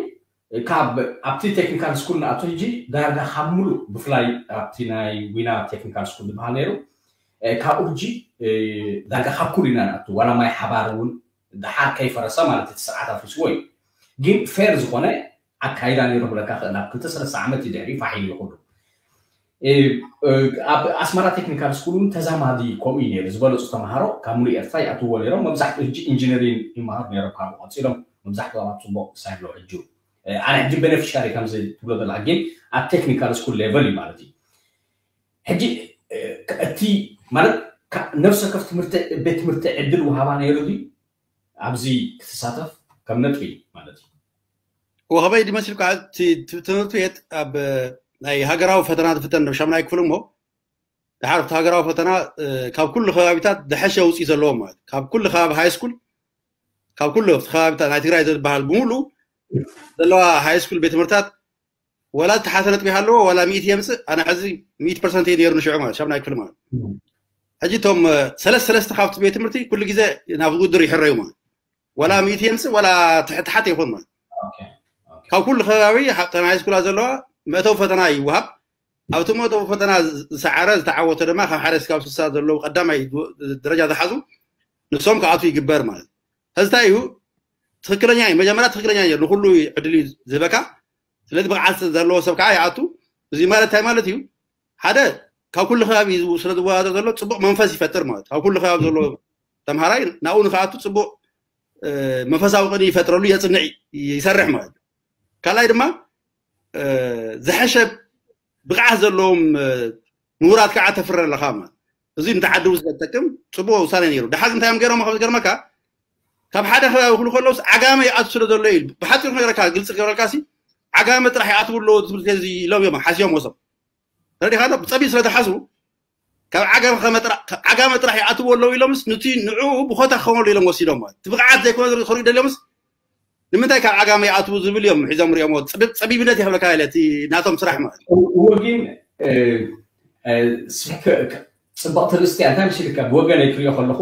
ካብ ኣብቲ ቴክኒካል ስኩል ንኣቶ ሕጂ ዳርጋ ካብ ሙሉእ ብፍላይ ኣብቲ ናይ ዊና ቴክኒካል ስኩል ዝበሃል ነይሩ፣ እ፣ ካብኡ ሕጂ፣ እ፣ ዳርጋ ካብ ኩሉ ኢና ንኣቱ ዋላ ማይ ሓባር እውን ደሓር ከይፈረሰ ማለት እቲ ስርዓት ኣፍሪስዎ እዩ። ግን ፌር ዝኾነ ኣካይዳ ነይሩ ክብለካ ክእል ኣብ ክልተ ሰለስተ ዓመት እዩ ድሕሪኡ ፋሕ ኢሉ ይኹሉ። እ፣ እ፣ ኣብ ኣስመራ ቴክኒካል ስኩል እውን ተዛማዲ ከምኡ እዩ ነይሩ። ዝበለፁ ተምሃሮ ካብ ሙሉእ ኤርትራ ይኣትውዎ ነይሮም። መብዛሕትኡ ሕጂ ኢንጂነሪንግ ይመሃሩ ነይሮም ካብኡ ቀፂሎም። መብዛሕትኦም ኣብ ፅቡቅ ሳይሎ ሕጂ። እ፣ ኣነ ሕጂ ቤኔፊሻሪ ከምዚ ትብሎ ዘለካ ግን ኣብ ቴክኒካል ስኩል ሌቨል እዩ ማለት እዩ። ሕጂ፣ እ፣ እቲ ማለት ካ-፣ ነፍሲ ወከፍ ትምህርቲ፣ ቤት ትምህርቲ ዕድል ውሃባ ነይሩ ድዩ? ኣብዚ ክትሳተፍ ከም ነጥቢ ማለት እዩ። ወኸበይ ድመስልካ እቲ ት-፣ ትምህርቲ ቤት ኣብ ናይ ሃገራዊ ፈተና ዝፍተን ዶ ሻምናይ ክፍል እሞ፣ ድሓር ኣብቲ ሃገራዊ ፈተና፣ እ፣ ካብ ኩሉ ከባቢታት ዝሐሸ ውፅኢት ዘለዎም ማለት፣ ካብ ኩሉ ከባቢ ሃይ ስኩል፣ ካብ ኩሉ ኣብቲ ከባቢታት ናይ ትግራይ ዝበሃል ብምሉ ዘለዋ ሃይ ስኩል ቤት ትምህርታት፣ ዋላ ዝተሓተ ነጥቢ ሃለዎ፣ ዋላ ሚእቲ የምፅእ፣ ኣነ ሕዚ ሚእቲ ፐርሰንት እየ ነይሩ ንሽዑ ማለት፣ ሻምናይ ክፍል ማለት። ሕጂ እቶም፣ እ፣ ሰለስተ ሰለስተ ካብቲ ቤት ትምህርቲ ኩሉ ግዜ ናብ ውድድር ይሕረዩ ማለት። ዋላ ሚእቲ የምፅእ፣ ዋላ ትሕት-፣ ትሓት ይኹን ማለት። ኦኬ፣ ኦኬ። ካብ ኩሉ ከባቢ፣ ሓ-፣ እተን ሃይ ስኩላት ዘለዋ መእተዊ ፈተና ይወሃብ። ኣብቲ መእተዊ ፈተና ዝ-፣ ዝሰዓረ፣ ዝተዓወተ ድማ ካብ ሓደ እስካብ ስሳ ዘለዉ ቀዳማይ ድ-፣ ደረጃ ዝሓዙ ንሶም ክኣትዉ ይግበር ማለት። ሕዚ እንታይ እዩ? ትኽክለኛ እዩ። መጀመርያ ትኽክለኛ እዩ። ንኹሉ ዕድል እዩ ዝህበካ። ስለዚ ብቕዓት ዘለዎ ሰብ ከዓ ይኣቱ። እዚ ማለት እንታይ ማለት እዩ? ሓደ፣ ካብ ኩሉ ከባቢ ስለ ዝወዳደር ዘሎ ፅቡቕ መንፈስ ይፈጥር ማለት እዩ። ካብ ኩሉ ከባቢ ዘሎ ተምሃራይ ናብኡ ንክኣቱ ፅቡቕ፣ እ፣ መንፈሳዊ ቅኒ ይፈጥረሉ፣ የፅንዕ፣ ይሰርሕ ማለት እዩ። ካልኣይ ድማ፣ እ፣ ዝሐሸ ብቕዓት ዘለዎም፣ እ፣ ምሁራት ከዓ ተፍሪ ኣለኻ ማለት እዩ። እዚ ንተዓዲ እውን ስለ ዝጠቅም ፅቡቕ ውሳነ ነይሩ። ደሓር እንታይ እዮም ገይሮም? ካብ ዝገርመካ፣ ካብ ሓደ ከባቢ ክብሉ ከለውስ ዓጋመ ይኣቱ ስለ ዘሎ እዩ። ብሓፂሩ ክነግረካ፣ ግልፂ ክገብረልካ ሲ፣ ዓጋመ ጥራሕ ይኣትዉ ኣለዉ ትምህርቲ እዚ ኢሎም እዮም ሓስዮም ወሶም። ተረዲኻ ዶ? ብፀቢብ ስለ ዝሓስቡ፣ ካብ ዓጋመ ከመ ጥራ-፣ ካብ ዓጋመ ጥራሕ ይኣትዉ ኣለዉ ኢሎምስ፣ ንቲ ንዑ ብኾታ ክኾነሉ ኢሎም ወሲዶም ማለት። እቲ ብቕዓት ዘይኮነ ዝር-፣ ክሪኡ ደልዮምስ፣ ንምንታይ ካብ ዓጋመ ይኣትዉ ዝብል እዮም ሒዞም ሪኦሞ። ፀቢብ-፣ ፀቢብነት ይኽብለካ ኢለ፣ እቲ ናቶም ስራሕ ማለት። እዎ ግን፣ እ፣ እ፣ ስሕክ-፣ ክ-፣ ፅብቕቲ ርእስቲ እያ። እንታይ መሲልካ? ብወገነይ ክሪኦ ከለኹ፣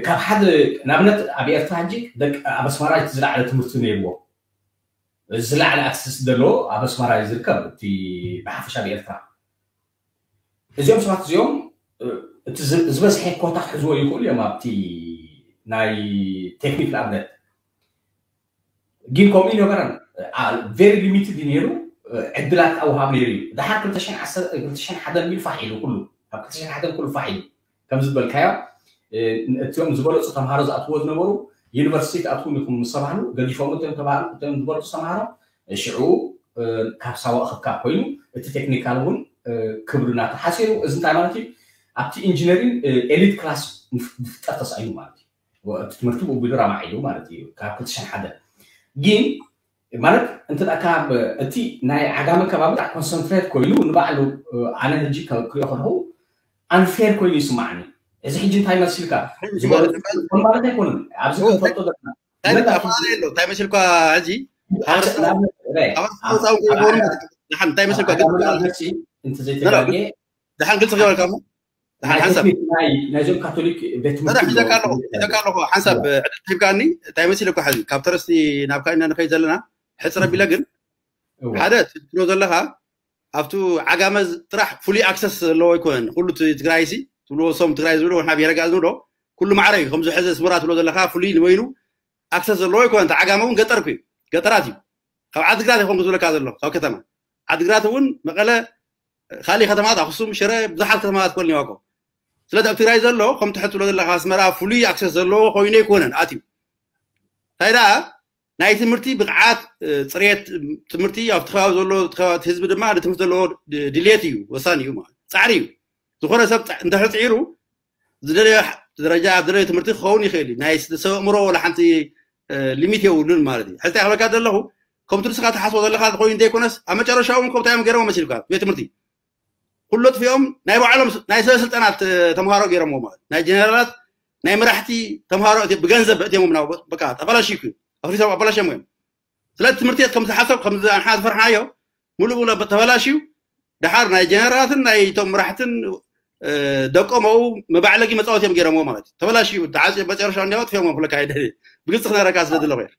ካብ ሓደ፣ ንኣብነት ኣብ ኤርትራ ሕጂ ደቂ፣ ኣብ ኣስመራ እቲ ዝለዓለ ትምህርቲ ነይርዎ። ዝለዓለ ኣክሰስ ዘለዎ ኣብ ኣስመራ እዩ ዝርከብ፣ እቲ ብሓፈሻ ኣብ ኤርትራ። እዚኦም ሰባት እዚኦም፣ እ፣ እቲ ዝ-፣ ዝበዝሐ ኮታ ክሕዝዎ ይኽእሉ እዮም ኣብቲ ናይ ቴክኒክ ንኣብነት። ግን ከምኡ ይነበረን። አ፣ ቨሪ ሊሚትድ እዩ ነይሩ፣ እ፣ ዕድላት ኣውሃብ ነይሩ እዩ። ደሓር ክልተ ሽሕን ዓሰርተ፣ ክልተ ሽሕን ሓደን ሚል ፋሕ ኢሉ ኩሉ፣ ኣብ ክልተ ሽሕን ሓደን ኩሉ ፋሕ ኢሉ። ከም ዝበልካዮ፣ እ፣ እቲኦም ዝበለጹ ተምሃሮ ዝኣትዎ ዝነበሩ፣ ዩኒቨርሲቲ ትኣትዉ ኢኹም ምስ ተባህሉ፣ ገዲፎም እቶም ተባህሉ፣ እቶም ዝበለጹ ተምሃሮ፣ እ፣ ሽዑ፣ እ፣ ካብ ሳዋ ክካብ ኮይኑ፣ እቲ ቴክኒካል እውን፣ እ፣ ክብሪ እናተሓስሩ፣ እዚ እንታይ ማለት እዩ? ኣብቲ ኢንጂነሪንግ፣ እ፣ ኤሊት ክላስ ምፍ-፣ ምፍጣር ተሳኢኑ ማለት እዩ። ወ-፣ እቲ ትምህርቲ ብኡ ቢሉ ራማዕ ኢሉ ማለት እዩ፣ ካብ ክልተ ሽሕን ሓደን። ግን፣ ማለት፣ እንተ ደኣ ካብ እቲ ናይ ዓጋመ ከባቢ ደኣ ኮንሰንትሬት ኮይኑ ንባዕሉ፣ እ፣ ኣነ ሕጂ ከ-፣ ክሪኦ ከለኹ ኣንፌር ኮይኑ ይስማዓኒ። እዚ ሕጂ እንታይ መሲልካ? ሕጂ ዝበሉ ማለት፣ ከም ማለት ኣይኮነን። ኣብዚ እዎ፣ ክንፈልጦ ዘለና። እንታይ ብመጣ ኣፈላለየ ኣሎ? እንታይ መሲልካ ሕጂ? ኣብ ንኣብነት፣ ረ-፣ ኣብ ኣብ፣ መጻወቲ ኣብ ይኾኑ። ዓጋመ፣ ደሓን እንታይ መሲልካ? ኣብ ዓጋመ ግን ንኣብነት ሲ፣ እንተ ዘይተጋግየ፣ ደሓን ግልጺ ክበልካ እሞ። ደሓን ናይ ሓንሳብ። ቴክኒክ ናይ፣ ናይዞም ካቶሊክ ቤት ትምህርቲ ሒዘካ ኣለኹ፣ ኣለዉ። ሒዘካ ኣለኹ። ሓንሳብ እዎ። ዕድል ሂብካኒ፣ እንታይ መሲልካ ሕዚ? ካብ ተረስቲ ናብ ካይና ንኸይድ ዘለና፣ ሕጽር ኣቢለ ግን፣ እዎ። ሓደ ትብሎ ዘለኻ፣ ኣብቱ ዓጋመ ጥራሕ ፍሉይ ኣክሰስ ዘለዎ ኣይኮነን። ኩሉ እቲ ትግራይ ሲ፣ ትብልዎ፣ ሶም ትግራይ ዝብልዎ፣ ንሕና ብሄረ ጋዝ ንብሎ፣ ኩሉ ማዕረ እዩ። ከምዚ ሕዚ ኣስመራ ትብሎ ዘለኻ፣ ፍሉይ ንበይኑ ኣክሰስ ዘለዎ ኣይኮነን። እቲ ዓጋመ እውን ገጠር እኮ እዩ። ገጠራት እዩ። ካብ ዓድግራት ይኾን ዝብለካ ዘሎ፣ ካብ ከተማ። ዓድግራት እውን፣ መቐለ፣ ካልእ ከተማታት፣ ኣኽሱም፣ ሽረ፣ ብዙሓት ከተማታት ክኾን እኒዋ እኮ። ስለዚ ኣብ ትግራይ ዘሎ፣ ከም ትሕት ትብሎ ዘለኻ፣ ኣስመራ ፍሉይ ኣክሰስ ዘለዎ ኮይኑ ኣይኮነን ኣትዩ። እንታይ ደኣ፣ ናይ ትምህርቲ ብቕዓት፣ እ፣ ፅሬት ትምህርቲ ኣብቲ ከባቢ ዘሎ፣ እቲ ከባቢ፣ እቲ ህዝቢ ድማ ንትምህርቲ ዘለዎ ድ-፣ ድልየት እዩ፣ ወሳኒ እዩ ማለት። ፃዕሪ እዩ። ዝኾነ ሰብ ፃ-፣ እንድሕር ፅዒሩ፣ ዝደለዮ ሕ-፣ ደረጃ ኣብ ዝደለዮ ትምህርቲ ክኸውን ይኽእል እዩ። ናይ ስ-፣ ሰብ ኣእምሮ ወላ ሓንቲ፣ እ፣ ሊሚት የብሉን ማለት እዩ። ሕዚ እንታይ ክብለካ ዘለኹ፣ ከምቲ ንስኻ ትሓስቦ ዘለኻ ኮይኑ እንተይኮነስ፣ ኣብ መጨረሻ እውን ከምታ እዮም ገይሮም መሲልካ፣ ቤት ትምህርቲ። ኩሉ ኣጥፊኦም ናይ ባዕሎም ስ-፣ ናይ ሰበ ስልጣናት፣ እ፣ ተምሃሮ ገይሮምዎ ማለት። ናይ ጀነራላት፣ ናይ መራሕቲ ተምሃሮ እቲ ብገንዘብ ኣእትዮሞም ናብ በቃ ተበላሽዩ እዩ። ኣፍሪሶም ኣበላሽዮምዎ እዮም። ስለዚ ትምህርቲ ቤት ከም ዝሓሰብ፣ ከም ዝ-፣ ኣንሓ ዝፈርሓዮ፣ ሙሉእ ብሙሉእ ተበላሽዩ። ደሓር ናይ ጀነራላትን ናይ እቶም መራሕትን፣ እ፣ ደቆም ኣብኡ መባዕለጊ መጻወቲ እዮም ገይሮምዎ ማለት እዩ። ተበላሽዩ፣ ተዓጽዩ፣ መጨረሻ እንዲያው ኣጥፊኦምዎ ብለካ ኣይደ-፣ ብግልጺ ክነግረካ ስለ ዘለኹ እየ።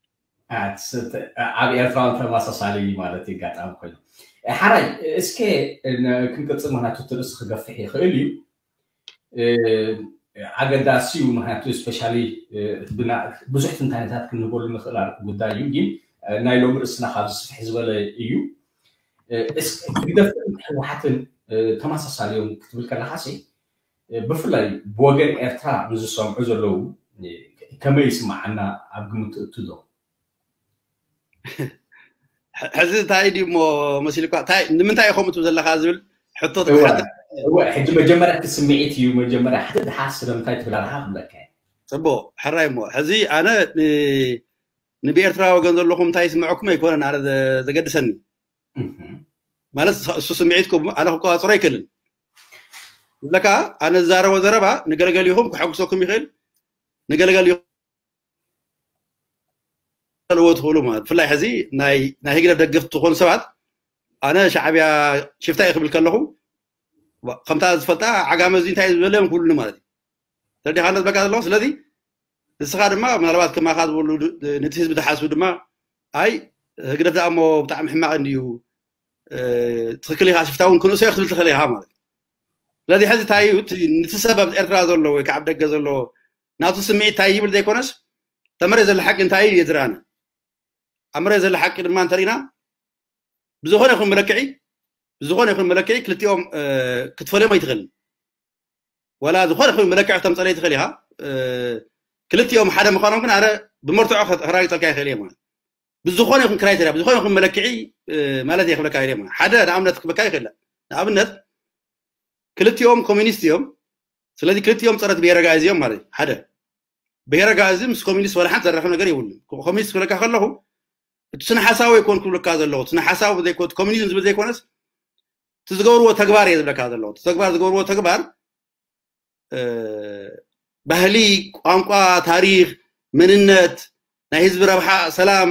ኣት-፣ ተ-፣ ኣብ ኤርትራ እውን ተመሳሳሊ ማለት እዩ ኣጋጣሚ ኮይኑ። እ፣ ሓራይ፣ እስከ ን-፣ ክንቅጽል፣ ምኽንያቱ እቲ ርእሲ ክገፍሕ ይኽእል እዩ። እ፣ ኣገዳሲ እዩ፣ ምኽንያቱ ስፔሻሊ፣ እ፣ ብና-፣ ብዙሕ ትንታኔታት ክንህበሉ ንኽእል ኣ-፣ ጉዳይ እዩ፣ ግን፣ እ፣ ናይ ሎሚ ርእስና ካብ ዝስፍሕ ዝበለ እዩ። እ፣ እስ-፣ ህግደፍን ህወሓትን፣ እ፣ ተመሳሳሊ እዮም ክትብል ከለኻሲ፣ እ፣ ብፍላይ ብወገን ኤርትራ ንዝሰምዑ ዘለዉ፣ እ፣ ከመይ ይስምዓና ኣብ ግምት ትእቱ ዶ? ሕ-፣ ሕዚ እንታይ ድዩ እሞ መሲልኳ? እንታይ፣ ንምንታይ ኢኹም እትብሉ ዘለኻ ዝብል ሕቶ እወ፣ ተተሓተ-፣ እወ፣ ሕጂ መጀመርያ እቲ ስምዒት እዩ፣ መጀመርያ ሓደ ድሓር ስለምንታይ ትብል ኣለኻ ክብለካ እየ። ጽቡቕ፣ ሕራይ እሞ። ሕዚ ኣነ ን-፣ ንብኤርትራ ወገን ዘለኹም እንታይ ይስምዐኩም ኣይኮነን ኣነ ዘ-፣ ዘገድሰኒ። እህ። ማለት እሱ ስምዒትኩም ኣነ ክቆጻጸሮ ኣይክእልን። ዝብለካ ኣነ ዝዛረቦ ዘረባ ንገለገሊኹም ከሐጉሰኩም ይኽእል፣ ንገለገሊኹም ትፈልጥዎ ትኽእሉ ማለት። ብፍላይ ሕዚ ናይ፣ ናይ ህግደፍ ደገፍቲ ትኾኑ ሰባት፣ ኣነ ሻዕብያ ሽፍታ እዩ ክብል ከለኹ፣ ከምታ ዝፈልጣ ዓጋመ እዚ እንታይ ዝበለ እዮም ክብሉኒ ማለት እዩ። ተረዲኻ ነዚ በቃ ዘለኹ። ስለዚ ንስኻ ድማ ምናልባት ከማኻ ዝበሉ ድ-፣ ነቲ ህዝቢ ዝሓስቡ ድማ፣ ኣይ ህግደፍ ደኣ እሞ ብጣዕሚ ሕማቕ እንድዩ፣ እ፣ ትኽክል ኢኻ፣ ሽፍታ እውን ክንእሶ ክትብል ትኽእል ኢኻ ማለት እዩ። ስለዚ ሕዚ እንታይ እዩ፣ እቲ፣ ነቲ ሰብ ኣብ ኤርትራ ዘሎ ወይ ከዓ ኣብ ደገ ዘሎ ናቱ ስምዒት እንታይ ይብል ዘይኮነስ፣ እታ መሬት ዘላ ሓቂ እንታይ እዩ የዝርኣና። ኣብ መሬት ዘላ ሓቂ ድማ እንተሪእና፣ ብዝኾነ ይኹን መለክዒ፣ ብዝኾነ ይኹን መለክዒ ክልቲኦም፣ እ፣ ክትፈልዮም ኣይትኽእልን። ዋላ ዝኾነ ይኹን መለክዒ ክተምፀለይ ትኽእል ኢኻ። እ፣ ክልቲኦም ሓደ ምዃኖም ግን ኣነ ብመርትዖ ከ-፣ ከረጋግፀልካ ይኽእል እየ ማለት። ብዝኾነ ይኹን ክራይቴርያ፣ ብዝኾነ ይኹን መለክዒ፣ እ፣ ማለት እየ ክብለካ ይኽእል እየ ማለት። ሓደ ንኣብነት ክብለካ ይኽእል። ንኣብነት ክልቲኦም ኮሚኒስት እዮም። ስለዚ ክልቲኦም ፀረ ብሄረ ኣጋይሽ እዮም ማለት እዩ። ሓደ። ብሄረ ኣጋእዚ ምስ ኮሚኒስት ዋላ ሓንቲ ዘራኽብ ነገር የብሉን። ኮሚኒስት ክብለካ ከለኹ እቲ ስነ ሓሳዊ ኣይኮን ክብለካ ዘለኹ፣ ስነ ሓሳዊ ዘይኮን ኮሚኒዝም ዝብል ዘይኮነስ እቲ ዝገብርዎ ተግባር እየ ዝብለካ ዘለኹ። እቲ ተግባር ዝገብርዎ ተግባር ባህሊ፣ ቋንቋ፣ ታሪኽ፣ መንነት፣ ናይ ህዝቢ ረብሓ፣ ሰላም፣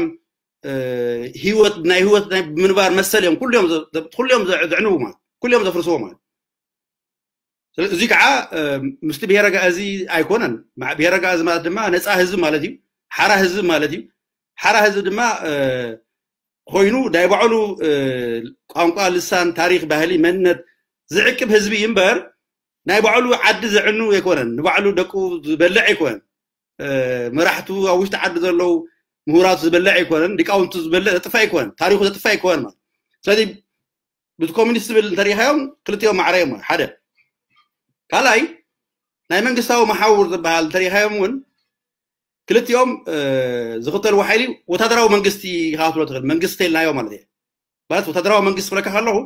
ህይወት ናይ ህይወት ናይ ምንባር መሰል እዮም ኩሎም ኩሎም ዘዕንቡ ማለት ኩሎም ዘፍርስዎ ማለት። እዚ ከዓ ምስቲ ብሄረ ኣጋእዚ ኣይኮነን። ብሄረ ኣጋእዚ ማለት ድማ ነፃ ህዝቢ ማለት እዩ። ሓራ ህዝቢ ማለት እዩ። ሓራ ህዝቢ ድማ ኮይኑ ናይ ባዕሉ ቋንቋ፣ ልሳን፣ ታሪኽ፣ ባህሊ፣ መንነት ዝዕቅብ ህዝቢ እዩ እምበር ናይ ባዕሉ ዓዲ ዘዕኑ ኣይኮነን። ንባዕሉ ደቁ ዝበልዕ ኣይኮነን። መራሕቱ ኣብ ውሽጢ ዓዲ ዘለዉ ምሁራቱ ዝበልዕ ኣይኮነን። ሊቃውንቱ ዝበልዕ ዘጥፍእ ኣይኮነን። ታሪኹ ዘጥፍእ ኣይኮነን ማለት። ስለዚ ብቲ ኮሚኒስት ዝብል እንተሪኢኻዮም ክልቲኦም ማዕረ እዮም። ሓደ ካልኣይ ናይ መንግስታዊ መሓውር ዝበሃል እንተሪኢኻዮም እውን ክልቲኦም ዝኽተልዎ ሓይሊ ወታደራዊ መንግስቲ ኢኻ ክትብሎ ትኽእል። መንግስቲ ተልናዮ ማለት እየ። ማለት ወታደራዊ መንግስቲ ክብለካ ከለኹ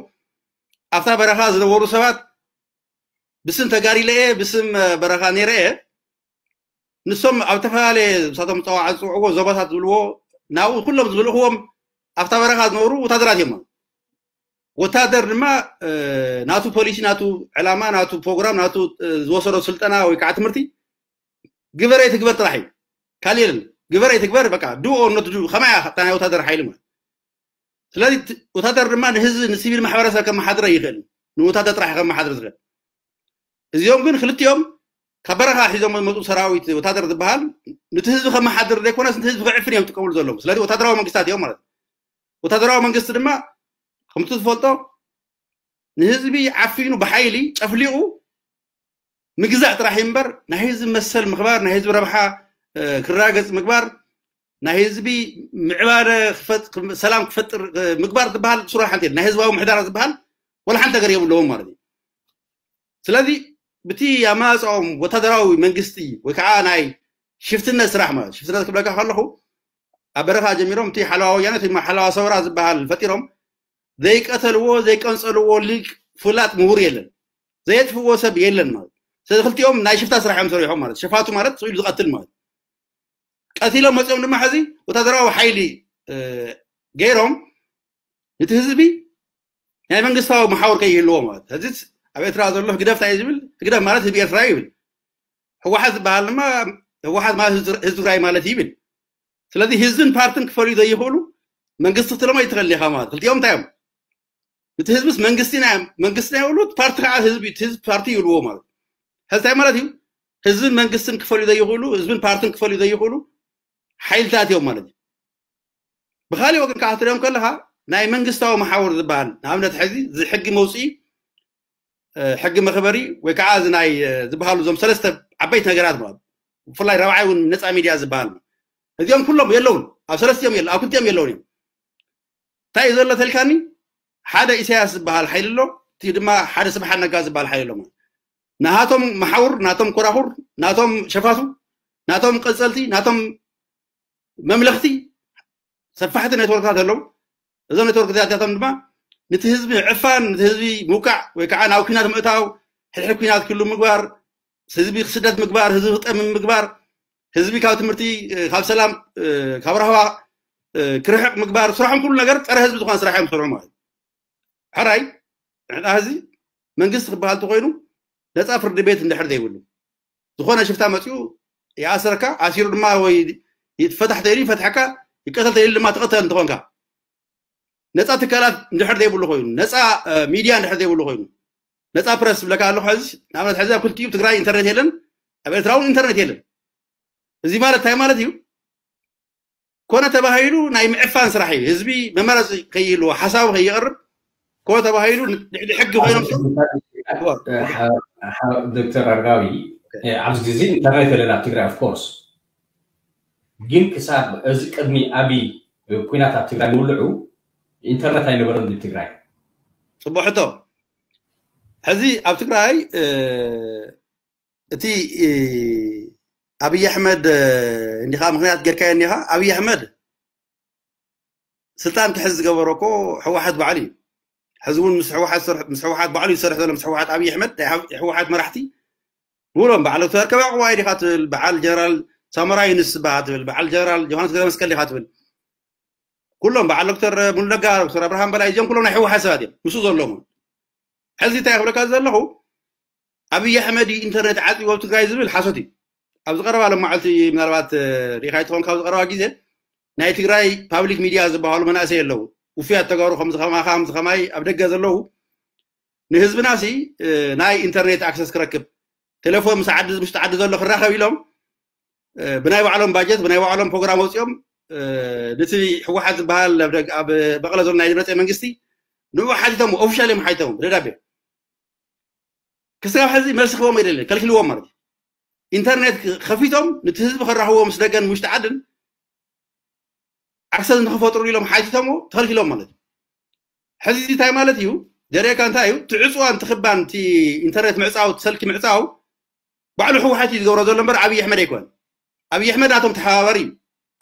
ኣብታ በረኻ ዝነበሩ ሰባት ብስም ተጋሪለ እየ፣ ብስም በረኻ ነይረ እየ። ንሶም ኣብ ዝተፈላለየ ንሳቶም ፀዋዓ ዝፅውዕዎ ዞባታት ዝብልዎ ናብኡ ኩሎም ዝምልእኽዎም ኣብታ በረኻ ዝነበሩ ወታደራት እዮም። ወታደር ድማ ናቱ ፖሊሲ፣ ናቱ ዕላማ፣ ናቱ ፕሮግራም፣ ናቱ ዝወሰዶ ስልጠና ወይ ከዓ ትምህርቲ ግበረ ይትግበር ጥራሕ እዩ። ካልእ የለን። ግበረ ይትግበር በቃ ዱ ኦር ኖት ዱ ከማይ እያ እታ ናይ ወታደር ሓይሊ ማለት። ስለዚ ወታደር ድማ ንህዝቢ ንሲቪል ማሕበረሰብ ከመሓድረ ይኽእል። ንወታደር ጥራሕ ከመሓድር ዝኽእል። እዚኦም ግን ክልቲኦም ካብ በረኻ ሒዞም ዝመፁ ሰራዊት ወታደር ዝበሃል ንቲ ህዝቢ ከመሓድር ዘይኮነስ ንቲ ህዝቢ ክዕፍን እዮም ዝጥቀምሉ ዘለዉ። ስለዚ ወታደራዊ መንግስታት እዮም ማለት እዩ። ወታደራዊ መንግስቲ ድማ ከምቲ ዝፈልጦ ንህዝቢ ዓፊኑ ብሓይሊ ጨፍሊቑ ምግዛእ ጥራሕ እዩ እምበር ናይ ህዝቢ መሰል ምኽባር፣ ናይ ህዝቢ ረብሓ ክረጋገፅ ምግባር፣ ናይ ህዝቢ ምዕባለ ሰላም ክፈጥር ምግባር ዝበሃል ስሩር ሓንቲ ናይ ህዝባዊ ምሕዳራ ዝበሃል ወላ ሓንቲ ነገር የብለዎም ማለት እዩ። ስለዚ ብቲ ኣማፅኦም ወታደራዊ መንግስቲ ወይ ከዓ ናይ ሽፍትነት ስራሕ ማለት ሽፍትነት ክብለካ ከለኹ ኣብ በረኻ ጀሚሮም እቲ ሓለዋ ወያነ እቲ ሓለዋ ሰውራ ዝበሃል ፈጢሮም ዘይቀተልዎ ዘይቀንፀልዎ ሊቅ ፍላጥ ምሁር የለን፣ ዘየጥፍዎ ሰብ የለን ማለት። ስለዚ ክልቲኦም ናይ ሽፍታ ስራሕ እዮም ሰሪሖም ማለት ሸፋቱ ማለት ስኢሉ ዝቐትል ማለት ቀቲሎም መፂኦም ድማ ሕዚ ወታደራዊ ሓይሊ ገይሮም ነቲ ህዝቢ ናይ መንግስታዊ መሓውር ከይህልዎ ማለት ሕዚ ኣብ ኤርትራ ዘሎ ህግደፍ እንታይ ዝብል ህግደፍ ማለት ህዝቢ ኤርትራ ይብል። ህወሓት ዝበሃል ድማ ህወሓት ማለት ህዝቢ ትግራይ ማለት ይብል። ስለዚ ህዝብን ፓርትን ክፈልዩ ዘይኽእሉ መንግስቲ ክትብሎም ኣይትኽእል ኢኻ ማለት ክልቲኦም እንታይ እዮም? እቲ ህዝብስ መንግስቲ ናይ መንግስቲ ናይ ይብሉ ፓርቲ ከዓ ህዝቢ ህዝቢ ፓርቲ ይብልዎ ማለት ሕዚ እንታይ ማለት እዩ? ህዝብን መንግስትን ክፈልዩ ዘይኽእሉ ህዝብን ፓርትን ክፈልዩ ዘይኽእሉ ሓይልታት እዮም ማለት እዩ። ብካሊእ ወገን ከዓ ክትሪኦም ከለካ ናይ መንግስታዊ መሓውር ዝበሃል ንኣብነት ሕዚ እዚ ሕጊ መውፅኢ ሕጊ መኽበሪ ወይ ከዓ እዚ ናይ ዝበሃሉ እዞም ሰለስተ ዓበይቲ ነገራት ማለት ብፍላይ ራብዓይ እውን ነፃ ሚድያ ዝበሃል እዚኦም ኩሎም የለውን ኣብ ሰለስቲኦም የለ ኣብ ክልቲኦም የለውን እዮም። እንታይ እዩ ዘሎ ተልካኒ ሓደ ኢሳያስ ዝበሃል ሓይሊ ኣሎ እቲ ድማ ሓደ ስብሓት ነጋ ዝበሃል ሓይሊ ኣሎ ናሃቶም መሓውር ናቶም ኮራኹር ናቶም ሸፋቱ ናቶም ቀፀልቲ ናቶም መምለኽቲ ሰፋሕቲ ኔትወርክታት ኣለዉ። እዞም ኔትወርክታትያቶም ድማ ነቲ ህዝቢ ዕፋን ነቲ ህዝቢ ምውቃዕ ወይ ከዓ ናብ ኩናት ምእታው ሕድሕድ ኩናት ክሉ ምግባር ህዝቢ ክስደት ምግባር ህዝቢ ክጠምም ምግባር ህዝቢ ካብ ትምህርቲ ካብ ሰላም ካብ ራህዋ ክርሕቕ ምግባር ስራሖም ኩሉ ነገር ፀረ ህዝቢ ዝኾነ ስራሕ እዮም ዝሰርሑ ማለት እዩ። ሕራይ ንሕና ህዚ መንግስቲ ክበሃል ተኮይኑ ነፃ ፍርዲ ቤት እንድሕር ዘይብሉ ዝኾነ ሽፍታ መፅኡ ይኣስረካ ኣሲሩ ድማ ወይ ይትፈታሕ ተይሉ ይፈትሐካ ይቀተል ተይሉ ድማ ትቐተል እንትኾንካ ነፃ ትካላት እንድሕር ዘይብሉ ኮይኑ ነፃ ሚድያ እንድሕር ዘይብሉ ኮይኑ ነፃ ፕረስ ዝብለካ ኣለኹ ሕዚ ንኣብነት ሕዚ ኣብ ክልቲኡ ትግራይ ኢንተርኔት የለን ኣብ ኤርትራ እውን ኢንተርኔት የለን እዚ ማለት እንታይ ማለት እዩ ኮነ ተባሂሉ ናይ ምዕፋን ስራሕ እዩ ህዝቢ መመረፂ ከይህልዎ ሓሳቡ ከይቀርብ ኮነ ተባሂሉ ልዕሊ ሕጊ ኮይኖም ዶክተር ኣርጋዊ ኣብዚ ግዜ ኢንተርኔት የለን ኣብ ትግራይ ኦፍኮርስ ግን ክሳብ እዚ ቅድሚ ኣብይ ኩናት ኣብ ትግራይ ምውልዑ ኢንተርኔት ኣይነበረን ኣብ ትግራይ ፅቡቅ ሕቶ ሕዚ ኣብ ትግራይ እቲ ኣብይ ኣሕመድ እንዲኻ ምክንያት ጌርካዮ እንዲኻ ኣብይ ኣሕመድ ስልጣን ክሕዝ ዝገበሮ እኮ ህወሓት ባዕሉ እዩ ሕዚ እውን ምስ ህወሓት ባዕሉ ይሰርሕ ዘሎ ምስ ህወሓት ኣብይ ኣሕመድ ህወሓት መራሕቲ ንብሎም በዓል ዶክተር ከበዕቅዋ ዲኻ ትብል በዓል ጀነራል ሳሞራ ዩንስ በሃል ትብል፣ በዓል ጀነራል ዮሃንስ ገብረመስቀል ዲኻ ትብል። ኩሎም በዓል ዶክተር ሙሉነጋ፣ ዶክተር ኣብርሃም በላይ፣ እዚኦም ኩሎም ናይ ህወሓት ሰባት እዮም ምስኡ ዘለዉ። ሕዚ እንታይ ክብለካ ዘለኹ፣ ኣብይ ኣሕመድ ኢንተርኔት ዓፂዎ ኣብ ትግራይ ዝብል ሓሶት እዩ። ኣብዚ ቀረባ ሎም መዓልቲ ምናልባት ሪኢኻ ይትኾን፣ ካብዚ ቀረባ ግዜ ናይ ትግራይ ፓብሊክ ሚድያ ዝበሃሉ መናእሰይ ኣለዉ፣ ውፉያት ተጋሩ ከምዚ ከማኻ ከምዚ ከማይ ኣብ ደገ ዘለዉ፣ ንህዝብና ሲ ናይ ኢንተርኔት ኣክሰስ ክረክብ፣ ቴሌፎን ምስ ዓዲ፣ ምስ ዓዲ ዘሎ ክራኸብ ኢሎም ብናይ ባዕሎም ባጀት ብናይ ባዕሎም ፕሮግራም ወፂኦም፣ ነቲ ህወሓት ዝበሃል ኣብ መቐለ ዘሎ ናይ ደብረፅዮን መንግስቲ ንኡ ሓቲቶም፣ ኦፊሻል እዮም ሓቲቶም ብደብዳቤ። ክስጋብ ሕዚ መልሲ ክቦም ኣይደለን፣ ከልኪልዎም ማለት እዩ። ኢንተርኔት ከፊቶም ነቲ ህዝቢ ከራኽብዎ ምስ ደገን ውሽጢ ዓድን ኣክሰስ ንክፈጥሩ ኢሎም ሓቲቶሞ፣ ተኸልኪሎም ማለት እዩ። ሕዚ እንታይ ማለት እዩ? ዘርእየካ እንታይ እዩ? ትዕፅዋን ትኽባን፣ እቲ ኢንተርኔት ምዕፃው፣ ሰልኪ ምዕፃው ባዕሉ ህወሓት እዩ ዝገብሮ ዘሎ እምበር ኣብይ ኣሕመድ ኣይኮን። ኣብይ ኣሕመድ ናቶም ተሓባባሪ እዩ።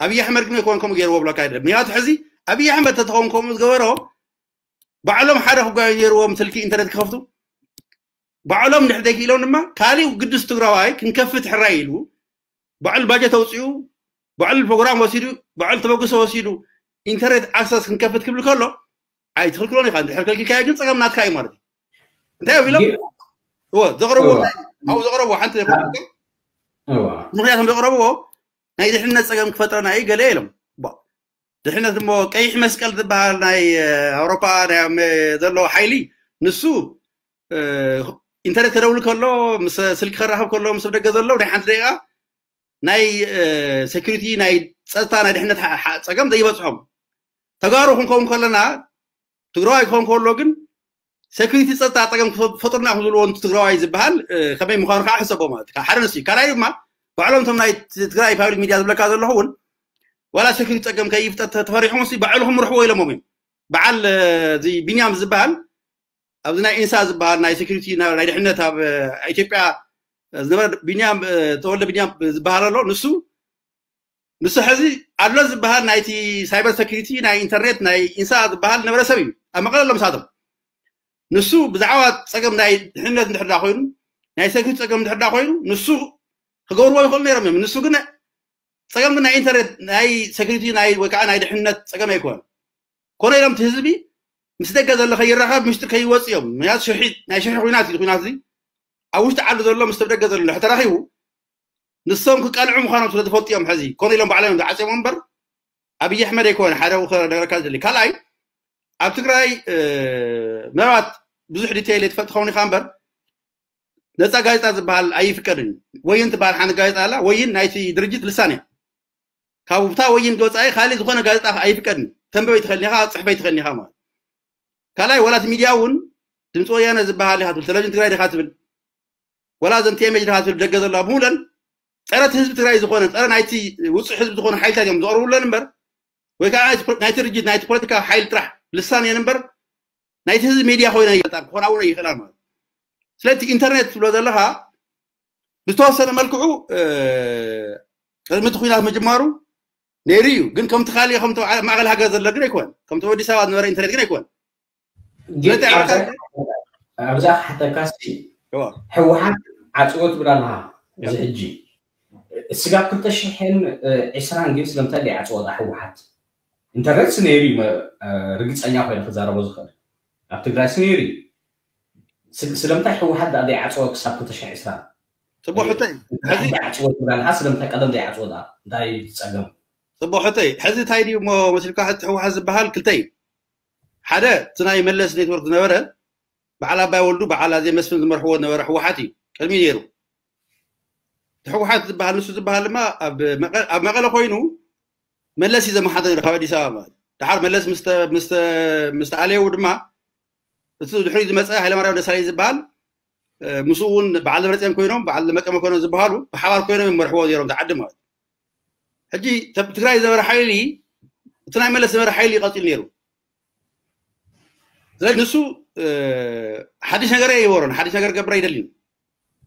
ኣብይ ኣሕመድ ግን ኣይኮን ከምኡ ገይርዎ ብለካ ኣይደለም። ምክንያቱ ሕዚ ኣብይ ኣሕመድ ተተኸውን ከምኡ ዝገበሮ፣ ባዕሎም ሓደ ክጓዩ ነይርዎም፣ ስልኪ ኢንተርኔት ክኸፍቱ ባዕሎም እንድሕር ዘይክኢሎም ድማ ካሊእ ግዱስ ትግራዋይ ክንከፍት ሕራይ ኢሉ ባዕሉ ባጀት ኣውፂኡ፣ ባዕሉ ፕሮግራም ወሲዱ፣ ባዕሉ ተበግሶ ወሲዱ ኢንተርኔት ኣክሰስ ክንከፍት ክብል ከሎ ኣይትኽልክሎን ኢኻ። እንድሕር ከልኪልካዮ ግን ፀገም ናትካ እዩ ማለት እዩ። እንታይ እዮም ኢሎም? እዎ፣ ዘቕረብዎ ኣብኡ ዘቕረብዎ ሓንቲ ምክንያቶም ዘቕረብዎ ናይ ድሕነት ፀገም ክፈጥረና እዩ ገለ ኢሎም። ድሕነት እሞ ቀይሕ መስቀል ዝበሃል ናይ ኣውሮፓ ዘሎ ሓይሊ፣ ንሱ ኢንተርኔት ከደውል ከሎ፣ ምስ ስልኪ ከራኸብ ከሎ፣ ምስ ደገ ዘሎ ናይ ሓንቲ ደቂቃ ናይ ሴኩሪቲ፣ ናይ ፀጥታ፣ ናይ ድሕነት ፀገም ዘይበፅሖም። ተጋሩ ክንከውን ከለና፣ ትግራዋይ ክኸውን ከሎ ግን ሴኩሪቲ፣ ፀጥታ ፀገም ክፈጥሩና ክብልዎ ትግራዋይ ዝበሃል ከመይ ምዃኑ ከዓ ሕሰቦ ማለት እዩ። ሓደ ንሱ እዩ። ካልኣይ ድማ ባዕሎም እቶም ናይ ትግራይ ፓብሊክ ሚድያ ዝብለካ ዘለኹ እውን ዋላ ሴኩሪቲ ፀገም ከይፍጠር ተፈሪሖም ሲ ባዕሉ ክምርሕዎ ኢሎሞም እዮም። በዓል እዚ ቢንያም ዝበሃል ኣብዚ ናይ ኢንሳ ዝበሃል ናይ ሴኩሪቲ ናይ ድሕነት ኣብ ኢትዮጵያ ዝነበረ ቢንያም፣ ተወልደ ቢንያም ዝበሃል ኣሎ። ንሱ ንሱ ሕዚ ኣሎ ዝበሃል ናይቲ ሳይበር ሴኩሪቲ ናይ ኢንተርኔት ናይ ኢንሳ ዝበሃል ነበረ ሰብ እዩ። ኣብ መቐለ ኣሎ ምሳቶም። ንሱ ብዛዕባ ፀገም ናይ ድሕነት እንድሕር ኮይኑ ናይ ሴኩሪቲ ፀገም እንድሕር ኮይኑ ንሱ ክገብርዎ ይኽእሉ ነይሮም እዮም። ንሱ ግን ፀገም ግን ናይ ኢንተርኔት ናይ ሴኩሪቲ ናይ ወይ ከዓ ናይ ድሕነት ፀገም ኣይኮነን። ኮነ ኢሎም እቲ ህዝቢ ምስ ደገ ዘሎ ከይራኸብ፣ ምሽጢ ከይወፅ እዮም። ምክንያቱ ሽርሒ፣ ናይ ሽርሒ ኩናት እዩ። ኩናት እዚ ኣብ ውሽጢ ዓዲ ዘሎ ምስ ደገ ዘሎ ሕተራኺቡ ንሶም ክቃልዑ ምዃኖም ስለ ዝፈልጡ እዮም። ሕዚ ኮነ ኢሎም ባዕሎም እዮም ዝዓፅዮም እምበር ኣብይ ኣሕመድ ኣይኮነ። ሓደ ነገረካ ዝደሊ ካልኣይ ኣብ ትግራይ ምናልባት ብዙሕ ዲቴይል የትፈልጥ ኸውን ኢኻ እምበር ነፃ ጋዜጣ ዝበሃል ኣይፍቀድን እዩ። ወይን ትበሃል ሓንቲ ጋዜጣ ኣላ። ወይን ናይቲ ድርጅት ልሳን እያ። ካብ ብታ ወይን ገፃኢ ካልእ ዝኾነ ጋዜጣ ኣይፍቀድን። ተንበበይ ትኸልኒ ኢኻ፣ ፅሕፈይ ትኸልኒ ኢኻ ማለት። ካልኣይ ዋላት ሚድያ እውን ድምፂ ወያነ ዝበሃል ኢኻ ትብል፣ ቴሌቪዥን ትግራይ ዲኻ ትብል፣ ዋላ ዘን ቲኤምኤች ዲኻ ትብል፣ ደገ ዘለዋ ብምለን ፀረ እቲ ህዝቢ ትግራይ ዝኾነ፣ ፀረ ናይቲ ውፅእ ህዝቢ ዝኾነ ሓይልታት እዮም ዝቐርቡለን እምበር ወይ ከዓ ናይቲ ድርጅት ናይቲ ፖለቲካ ሓይል ጥራሕ ልሳን እየን እምበር ናይቲ ህዝቢ ሚድያ ኮይነ ይፈልጣ ክኾና እውን ይኽእላ ማለት። ስለዚ ኢንተርኔት ትብሎ ዘለኻ ብዝተወሰነ መልክዑ ቅድሚ እቲ ኩናት ምጅማሩ ነይሩ እዩ። ግን ከምቲ ካልእ ከምቲ ማእኸል ሃገር ዘሎ ግን ኣይኮን፣ ከምቲ ኣዲስ ኣበባ ዝነበረ ኢንተርኔት ግን ኣይኮን። ኣብዛ ክሓተካ ህወሓት ዓፅዎ ትብል ኣለኻ። እዚ ሕጂ ስጋብ ክልተ ሽሕን ዕስራን ግን ስለምንታይ ዘይዓፅዎ ህወሓት? ኢንተርኔት ነይሩ እዩ፣ ርግፀኛ ኮይነ ክዛረቦ ዝኽእል ኣብ ትግራይ ነይሩ እዩ። ስለምንታይ ህወሓት ደኣ ዘይዓፅዎ ክሳብ ክልተ ሽሕን ዕስራን? ፅቡቅ ሕቶ እዩ። ሕጂ ዓፅዎ ትብል ኣለኻ፣ ስለምንታይ ቀደም ዘይዓፅዎ ደኣ እንታይ ፀገም? ፅቡቅ ሕቶ እዩ። ሕዚ እንታይ ድዩ እሞ መሲልካ ሕቲ ህወሓት ዝበሃል ክልተ እዩ። ሓደ እቲ ናይ መለስ ኔትወርክ ዝነበረ በዓል ኣባይ ወልዱ በዓል ኣዜ መስፍን ዝመርሕዎ ዝነበረ ህወሓት እዩ ቅድሚ ነይሩ። እቲ ህወሓት ዝበሃል ንሱ ዝበሃል ድማ ኣብ መቐለ ኮይኑ መለስ እዩ ዘመሓደር ካብ ኣዲስ ኣበባ ማለት። ደሓር መለስ ምስ ተኣለየው ድማ እቲ ድሕሪ ዝመፀ ሃይለማርያም ደሳለኝ ዝበሃል ምስኡ እውን በዓል ደብረፅዮን ኮይኖም በዓል መቀመ ኮይኖም ዝበሃሉ ብሓባር ኮይኖም ይመርሕዎ ነይሮም ተዓዲ ማለት። ሕጂ ትግራይ ዝነበረ ሓይሊ እቲ ናይ መለስ ዝነበረ ሓይሊ ይቐፂል ነይሩ። ስለዚ ንሱ ሓድሽ ነገር ኣይበሮን፣ ሓድሽ ነገር ገብር ኣይደልን።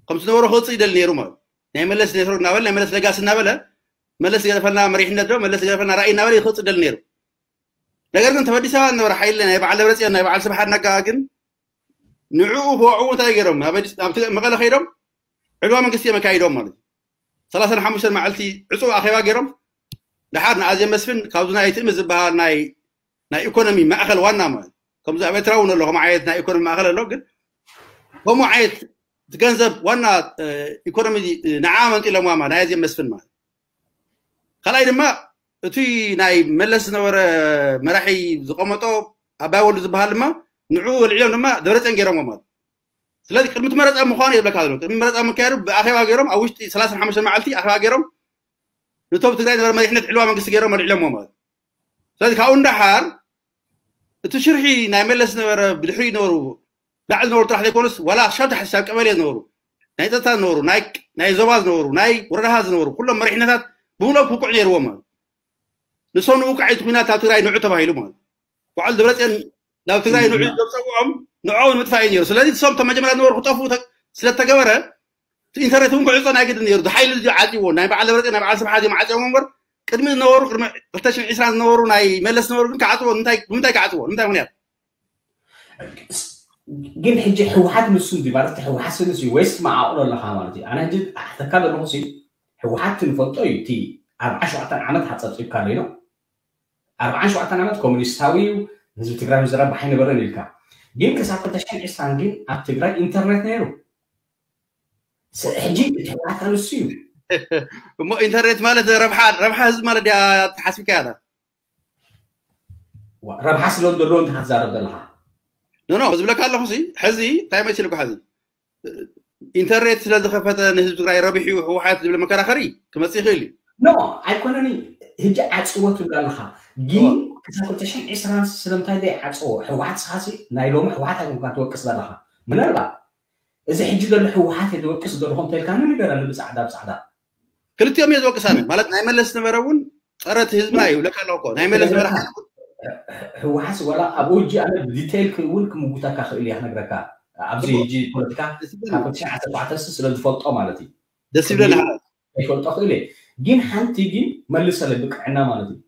ከምቲ ዝነበሮ ክወፅእ ይደሊ ነይሩ ማለት ናይ መለስ ኔትወርክ እናበለ ናይ መለስ ለጋሲ እናበለ መለስ ገደፈልና መሪሕነት ዶ መለስ ገደፈልና ራእይ እናበለ ክወፅእ ይደሊ ነይሩ። ነገር ግን ተበዲሳ ዝነበረ ሓይሊ ናይ በዓል ደብረፅዮን ናይ በዓል ስብሓት ነጋ ግን ንዕኡ ክወዕዉ እንታይ ገይሮም ኣብ መቐለ ከይዶም ዕልዋ መንግስቲ እዮም ኣካይዶም ማለት እዩ። ሰላሳን ሓሙሽተን መዓልቲ ዕፁብ ኣኼባ ገይሮም። ደሓር ንኣዜብ መስፍን ካብዚ ናይ ትእምት ዝበሃል ናይ ናይ ኢኮኖሚ ማእኸል ዋና ማለት ከምዚ ኣብ ኤርትራ እውን ኣሎ ከምኡ ዓይነት ናይ ኢኮኖሚ ማእኸል ኣሎ። ግን ከምኡ ዓይነት እቲ ገንዘብ ዋና ኢኮኖሚ ንዓ መንጢሎምዋ ማለት ናይ ኣዜብ መስፍን ማለት። ካልኣይ ድማ እቲ ናይ መለስ ዝነበረ መራሒ ዝቐመጦ ኣባይ ወልዱ ዝበሃል ድማ ንዕኡ ወልዒሎም ድማ ደብረፅዮን ገይሮምዎ ማለት። ስለዚ ቅድሚ እቲ መረፃ ምዃኑ የብለካ ዘሎ ቅድሚ መረፃ ምክያዱ ብኣኼባ ገይሮም ኣብ ውሽጢ ሰላሳን ሓሙሽተን መዓልቲ ኣኼባ ገይሮም ነቶም ትግራይ ዝነበረ መሪሕነት ዕልዋ መንግስቲ ገይሮም ኣልዒሎምዎ ማለት። ስለዚ ካብኡ እንዳሓር እቲ ሽርሒ ናይ መለስ ዝነበረ ብድሕሪ ዝነበሩ ላዕሊ ዝነበሩ ጥራሕ ዘይኮኑስ ዋላ ሻብ ታሕቲ ሻብ ቀበሌ ዝነበሩ ናይ ፀጥታ ዝነበሩ ናይ ዞባ ዝነበሩ ናይ ወረዳታት ዝነበሩ ኩሎም መሪሕነታት ብምሎም ክውቅዕ ነይርዎም ማለት። ንሶም ንውቃዕ እቲ ኩናት ኣብ ትግራይ ንዑ ተባሂሉ ማለት። በዓል ደብረፅዮን ናብ ትግራይ ንዑ ዘብፀግኦም ንዕኦም ንምጥፋእ እዩ ነይሩ። ስለዚ እሶም እቶም መጀመርያ ዝነበሩ ክጠፍኡ ስለተገበረ ኢንተርኔት እውን ክዕፆ ናይ ግድን ነይሩ። ሓይሊ እዚ ዓፅዎ ናይ በዓል ደብረፅዮን ናይ በዓል ስብሓት እዮም ዓፅዎም እምበር ቅድሚ ዝነበሩ ቅድሚ ክልተ ሽሕን ዕስራን ዝነበሩ ናይ መለስ ዝነበሩ ግን ክዓፅዎ ንምንታይ ክዓፅዎ ንምንታይ ምክንያት? ግን ሕጂ ህወሓት ንሱ እንዲ ማለት ህወሓት ንሱ ወይስ መዓቕሎ ኣለኻ ማለት እዩ። ኣነ ሕጂ ኣሕተካ ዘለኹ ህወሓት ክንፈልጦ እዩ። እቲ ኣርባዓ ሸውዓተ ዓመት ሓፀብፂብካ ኣሎ ኣርባዓ ሸውዓተ ዓመት ኮሙኒስታዊ እዩ። ህዝቢ ትግራይ ምዝራብ ባሕ ኣይነበረን ኢልካ ግን ክሳብ ክልተ ሽሕን ዕስራን ግን ኣብ ትግራይ ኢንተርኔት ነይሩ። ሕጂ እቲ ህወሓት ኣንሱ እዩ። እሞ ኢንተርኔት ማለት ረብሓ ረብሓ ህዝቢ ማለት ድያ ተሓስብካ ያታ ረብሓ ስለ ዘለዎ እንተ ክትዛረብ ዘለካ ኖ ኖ ዝብለካ ኣለኹ ሲ ሕዚ እንታይ መሲልኩ ሕዚ ኢንተርኔት ስለ ዝኸፈተ ንህዝቢ ትግራይ ረቢሑ ህወሓት ዝብል መከራኸሪ ክመፅእ ይኽእል እዩ። ኖ ኣይኮነን። ሕጂ ዓፅዎ ትብል ኣለኻ ግን ክሳብ ክልተ ሽሕን ዕስራን ስለምንታይ ዘይዓፅዎ ህወሓት ስኻሲ ናይ ሎሚ ህወሓት ኣይኮንካ ትወቅስ ዘለኻ ምናልባት እዚ ሕጂ ዘሎ ህወሓት እየ ዝወቅስ ዘለኹ እንተልካኒ ንገረኒ ብፃዕዳ ብፃዕዳ ክልቲኦም እየ ዝወቅስ ኣነ ማለት ናይ መለስ ዝነበረ እውን ፀረ እቲ ህዝብና እዩ ይብለካ ኣለኹ እኮ ናይ መለስ ዝነበረ ሓደ እውን ህወሓት ወላ ኣብኡ ሕጂ ኣነ ብዲቴይል እውን ክምጉተካ ክእል እየ ክነግረካ ኣብዚ ሕጂ ፖለቲካ ካብ ክልተ ሽሕን ዓሰርተ ኣርባዕተ ስለ ዝፈልጦ ማለት እዩ ደስ ይብለኒ ሓደ ይፈልጦ ክእል እየ ግን ሓንቲ ግን መልሰለ ብቅዕና ማለት እዩ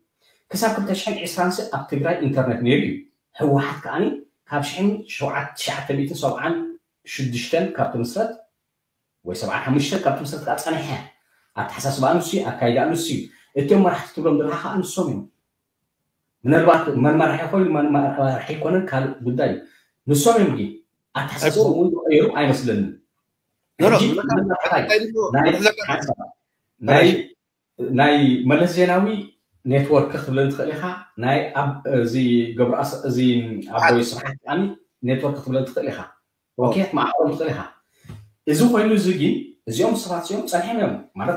ክሳብ ክልተ ሽሕን ዕስራን ሲ ኣብ ትግራይ ኢንተርኔት ነይሩ እዩ ህወሓት ከዓኒ ካብ ሽሕን ሸውዓተ ትሽዓተ ሚእትን ሰብዓን ሽዱሽተን ካብ ትምስረት ወይ ሰብዓን ሓሙሽተን ካብ ትምስረት ከዓ ፀኒሐ ኣተሓሳስባ ኣንሱ ኣካይዳ ኣንሱ እዩ እቶም መራሕቲ ትብሎም ዘለካ ከዓ ንሶም እዮም ምናልባት መን መራሒ ኮይኑ መን መራሒ ኣይኮነን ካልእ ጉዳይ እዩ ንሶም እዮም ግን ኣተሓሳስቦም እውን ዝቀየሩ ኣይመስለንን ሕጂ ናይ ናይ መለስ ዜናዊ ኔትወርክ ክትብለን ትኽእል ኢኻ ናይ ኣብ እዚ ገብሩ እዚ ኣቦይ ስብሓት ከዓኒ ኔትወርክ ክትብለን ትኽእል ኢኻ ኦኬ ክትመዓቆም ትኽእል ኢኻ እዚ ኮይኑ እዚ ግን እዚኦም ሰባት እዚኦም ፀኒሖም እዮም ማለት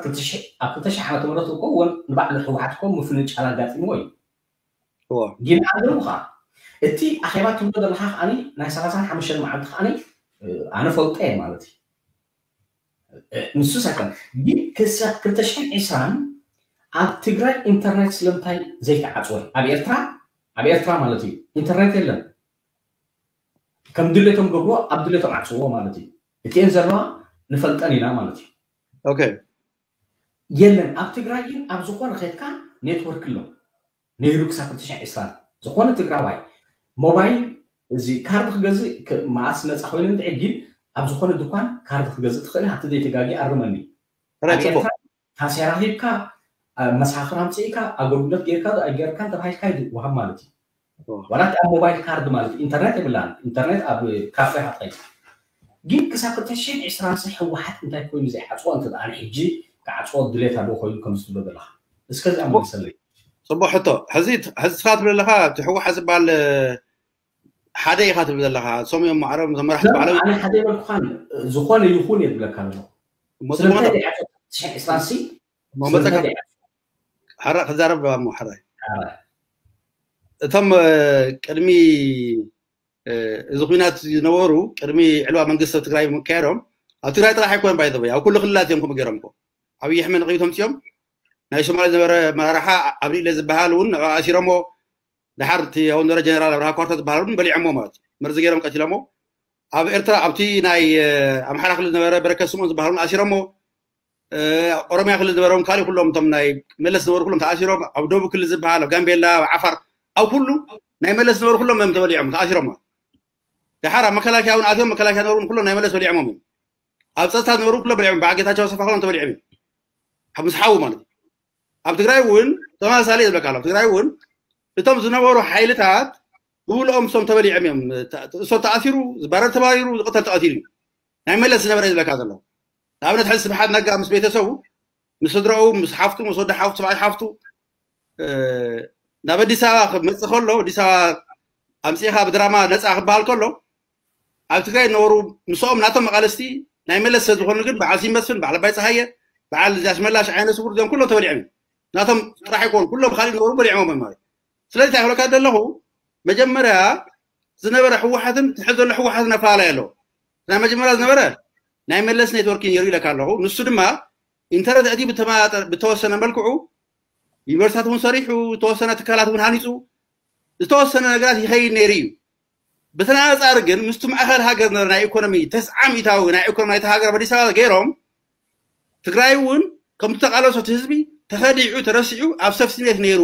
ኣብ ክልተ ሽሕ ዓመተ ምህረት እኮ እውን ንባዕሉ ህወሓት እኮ ምፍንጫል ኣጋጢምዎ እዩ ግን ኣለዉ ከዓ እቲ ኣኼባ ትብሎ ዘለካ ከዓኒ ናይ ሰላሳን ሓሙሽተን መዓልቲ ከዓኒ ኣነ ፈልጦ እየ ማለት እዩ ንሱ ሳይኮን ግን ክሳብ ክልተ ሽሕን ዕስራን ኣብ ትግራይ ኢንተርኔት ስለምንታይ ዘይተዓፅወ ኣብ ኤርትራ ኣብ ኤርትራ ማለት እዩ ኢንተርኔት የለን ከም ድሌቶም ገብርዎ ኣብ ድሌቶም ዓፅዎ ማለት እዩ እቲኤን ዘለዋ ንፈልጠን ኢና ማለት እዩ ኦኬ የለን ኣብ ትግራይ ግን ኣብ ዝኾነ ከድካ ኔትወርክ ኣሎ ነይሩ ክሳብ ክልተ ሽሕን ዕስራን ዝኾነ ትግራዋይ ሞባይል እዚ ካርድ ክገዝእ መዓስ መፃ ኮይኑ እንድዒ ግን ኣብ ዝኾነ ድኳን ካርድ ክገዝእ ትኽእል ሃብቲ ዘይተጋጊ ኣርመኒ ታሴራ ሂብካ መሳኽር ኣምፅእካ ኣገልግሎት ጌርካ ኣይጌርካን ተባሂልካ ይወሃብ ማለት እዩ ዋላ ኣብ ሞባይል ካርድ ማለት ኢንተርኔት የብላን ኢንተርኔት ኣብ ካፌ ሃታይ ግን ክሳብ ክልተ ሽሕን ዕስራን ሲ ህወሓት እንታይ ኮይኑ ዘይዓፅዎ እንተ ኣነ ሕጂ ክዓፅዎ ድሌት ኣለዎ ኮይኑ ከም ዝትብሎ ዘለካ እስከ ዚኣ መልሰለይ ፅቡቅ ሕቶ ሕዚ ሕዚ ስኻ ትብል ኣለካ እቲ ህወሓት ዝበሃል ሓደ ኢኻ ትብል ዘለካ እሶም እዮም ማዕረም ተመራሕቲ ባዕሎም ኣነ ሓደ ይበልኩኻን ዝኾነ ይኹን እየ ዝብለካ ኣለኹ ስለምንታይ ዘይዓፅዎ ትሽሕን ዕስራን ሲ መመፀካ ሓራ ክዛረብ እሞ ሓራይ እቶም ቅድሚ እዚ ኩናት ዝነበሩ ቅድሚ ዕልዋ መንግስቲ ኣብ ትግራይ ምክያዶም ኣብ ትግራይ ጥራሕ ኣይኮነን ባይዘወይ ኣብ ኩሉ ክልላት እዮም ከምኡ ገይሮም እኮ ኣብይ ኣሕመድ ንቕቢት ኣምፅኦም ናይ ሶማሌ ዝነበረ መራርሓ ኣብሪለ ዝበሃል እውን ንዕኡ ኣሲሮሞ ድሓር እቲ ኣቡነ ጀነራል ኣብርሃ ኳርታ ዝበሃል እውን በሊዖሞ ማለት እዩ መርዚ ገይሮም ቀቲሎሞ ኣብ ኤርትራ ኣብቲ ናይ ኣምሓራ ክልል ዝነበረ በረከት ስምኦን ዝበሃል እውን ኣሲሮሞ ኦሮሚያ ክልል ዝነበሮም ካልእ ኩሎም እቶም ናይ መለስ ዝነበሩ ኩሎም ተኣሲሮም ኣብ ደቡብ ክልል ዝበሃል ኣብ ጋምቤላ ኣብ ዓፋር ኣብ ኩሉ ናይ መለስ ዝነበሩ ኩሎም እዮም ተበሊዖም ተኣሲሮም ድሓር ኣብ መከላከያ እውን ኣትዮም መከላከያ ዝነበሩ ኩሎም ናይ መለስ በሊዖሞም እዮም ኣብ ፀጥታ ዝነበሩ ኩሎም በሊዖም በዓል ጌታቸው ኣሰፋ ኩሎም ተበሊዖም እዮም ምስ ሓዉ ማለት እዩ። ኣብ ትግራይ እውን ተመሳሳሊ ዝብለካ ኣሎ። ኣብ ትግራይ እውን እቶም ዝነበሩ ሓይልታት ብብልኦም እሶም ተበሊዖም እዮም። እሶም ተኣሲሩ፣ ዝባረር ተባሪሩ፣ ዝቕተል ተቐቲሉ እዩ። ናይ መለስ ዝነበረ ዝብለካ ዘሎ። ንኣብነት ሕዚ ስብሓት ነጋ ምስ ቤተሰቡ፣ ምስ ስድራኡ፣ ምስ ሓፍቱ፣ ምስ ወዲ ሓፍቱ፣ ሰብኣይ ሓፍቱ ናብ ኣዲስ ኣበባ ክመፅእ ከሎ፣ ኣዲስ ኣበባ ኣምፂኻ ብድራማ ነፃ ክበሃል ከሎ፣ ኣብ ትግራይ ዝነበሩ ምስኦም ናቶም መቃለስቲ ናይ መለስ ሰብ ዝኾኑ ግን በዓል ሲመስፍን፣ በዓል ኣባይ ፀሃየ፣ በዓል ኣስመላሽ ዓይነ ስውር፣ እዚኦም ኩሎም ተበሊዖም እዮም። ናቶም ጥራሕ ኣይኮኑ፣ ኩሎም ካልእ ዝነበሩ በሊዖም እዮም ማለት። ስለዚ እንታይ ክብለካ ዘለኹ፣ መጀመርያ ዝነበረ ህወሓትን ትሕዚ ዘሎ ህወሓትን ኣፈላለየ ኣለዎ። ናይ መጀመርያ ዝነበረ ናይ መለስ ኔትወርክ ነይሩ ኢለካ ኣለኹ። ንሱ ድማ ኢንተርኔት እቲ ብተወሰነ መልክዑ ዩኒቨርሲታት እውን ሰሪሑ፣ ዝተወሰነ ትካላት እውን ሃኒፁ፣ ዝተወሰነ ነገራት ይኸይድ ነይሩ እዩ። ብተነፃፃሪ ግን ምስቲ ማእኸል ሃገር ዝነበረ ናይ ኢኮኖሚ ተስዓም ኢታዊ ናይ ኢኮኖሚ ናይቲ ሃገር ኣብ ኣዲስ ኣበባ ገይሮም ትግራይ እውን ከምቲ ተቃለሶ እቲ ህዝቢ ተኸዲዑ ተረሲዑ ኣብ ሰፍቲኔት ነይሩ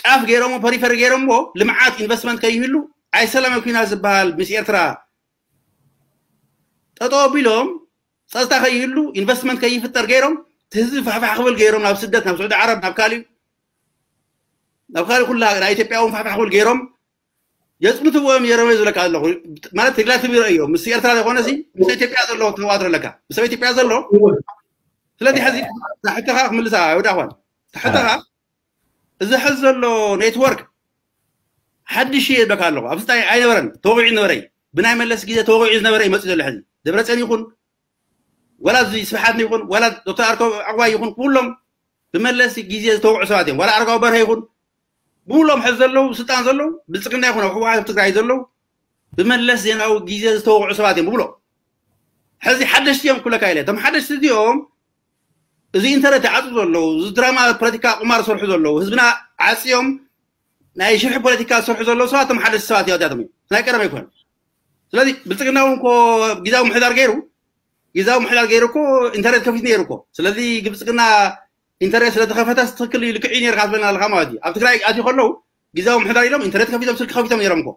ጫፍ ገይሮሞ ፐሪፈሪ ገይሮሞ ልምዓት ኢንቨስትመንት ከይህሉ ኣይሰላማዊ ኩናት ዝበሃል ምስ ኤርትራ ጠጠው ኣቢሎም ጸጥታ ከይህሉ ኢንቨስትመንት ከይፍጠር ገይሮም እቲ ህዝቢ ፋሕፋሕ ክብል ገይሮም ናብ ስደት ናብ ስዑዲ ዓረብ ናብ ካሊእ ናብ ካልእ ኩላ ናይ ኢትዮጵያ እውን ፋሕፋሕ ክብል ገይሮም የፅንትዎም የረመ ዝብለካ ኣለኹ ማለት ሪላቲቭ ይረእዮ ምስ ኤርትራ ዘይኮነ ሲ ምስ ኢትዮጵያ ዘሎ ተዋድር ኣለካ ምስ ኢትዮጵያ ዘሎ ስለዚ ሕዚ ሕተኻ ክምልሳ ወዳ ኳን ሕተኻ እዚ ሕዚ ዘሎ ኔትወርክ ሓድሽ እየ ይብለካ ኣለኹ ኣብዚ ታይ ኣይነበረን ተወቂዑ ዝነበረ እዩ ብናይ መለስ ግዜ ተወቂዑ ዝነበረ እዩ መፅኡ ዘሎ ሕዚ ደብረፅዮን ይኹን ወላ እዚ ስብሓት ይኹን ወላ ዶክተር ኣርከ ዕቕባይ ይኹን ኩሎም ብመለስ ግዜ ዝተወቅዑ ሰባት እዮም ዋላ ኣረጋዊ በርሀ ይኹን ብሙሉኦም ሕዚ ዘለዉ ስልጣን ዘለዉ ብልፅግና ይኹን ኣብ ህወሓት ኣብ ትግራይ ዘለዉ ብመለስ ዜናዊ ግዜ ዝተወቅዑ ሰባት እዮም ብሙሉኦም ሕዚ ሓደሽቲ እዮም ክብለካ ኢለ እቶም ሓደሽቲ እዚኦም እዚ ኢንተርኔት ይዓፁ ዘለዉ እዚ ድራማ ፖለቲካ ቁማር ዝሰርሑ ዘለዉ ህዝብና ዓፅዮም ናይ ሽርሒ ፖለቲካ ዝሰርሑ ዘለዉ ሰባት እቶም ሓደሽቲ ሰባት እዮም እዚኣቶም እዮም ናይ ቀደም ኣይኮነን ስለዚ ብልፅግና እውን ኮ ግዛዊ ምሕዳር ገይሩ ግዛዊ ምሕዳር ገይሩ እኮ ኢንተርኔት ከፊት ነይሩ እኮ ስለዚ ብልፅግና ኢንተርኔት ስለተኸፈተ ትክክል እዩ ልክዕ እዩ ነርካ ትብለና ኣለካ ማለት እዩ ኣብ ትግራይ ኣትዩ ከለዉ ግዛዊ ምሕዳር ኢሎም ኢንተርኔት ከፊቶም ስልኪ ከፊቶም ነይሮም እኮ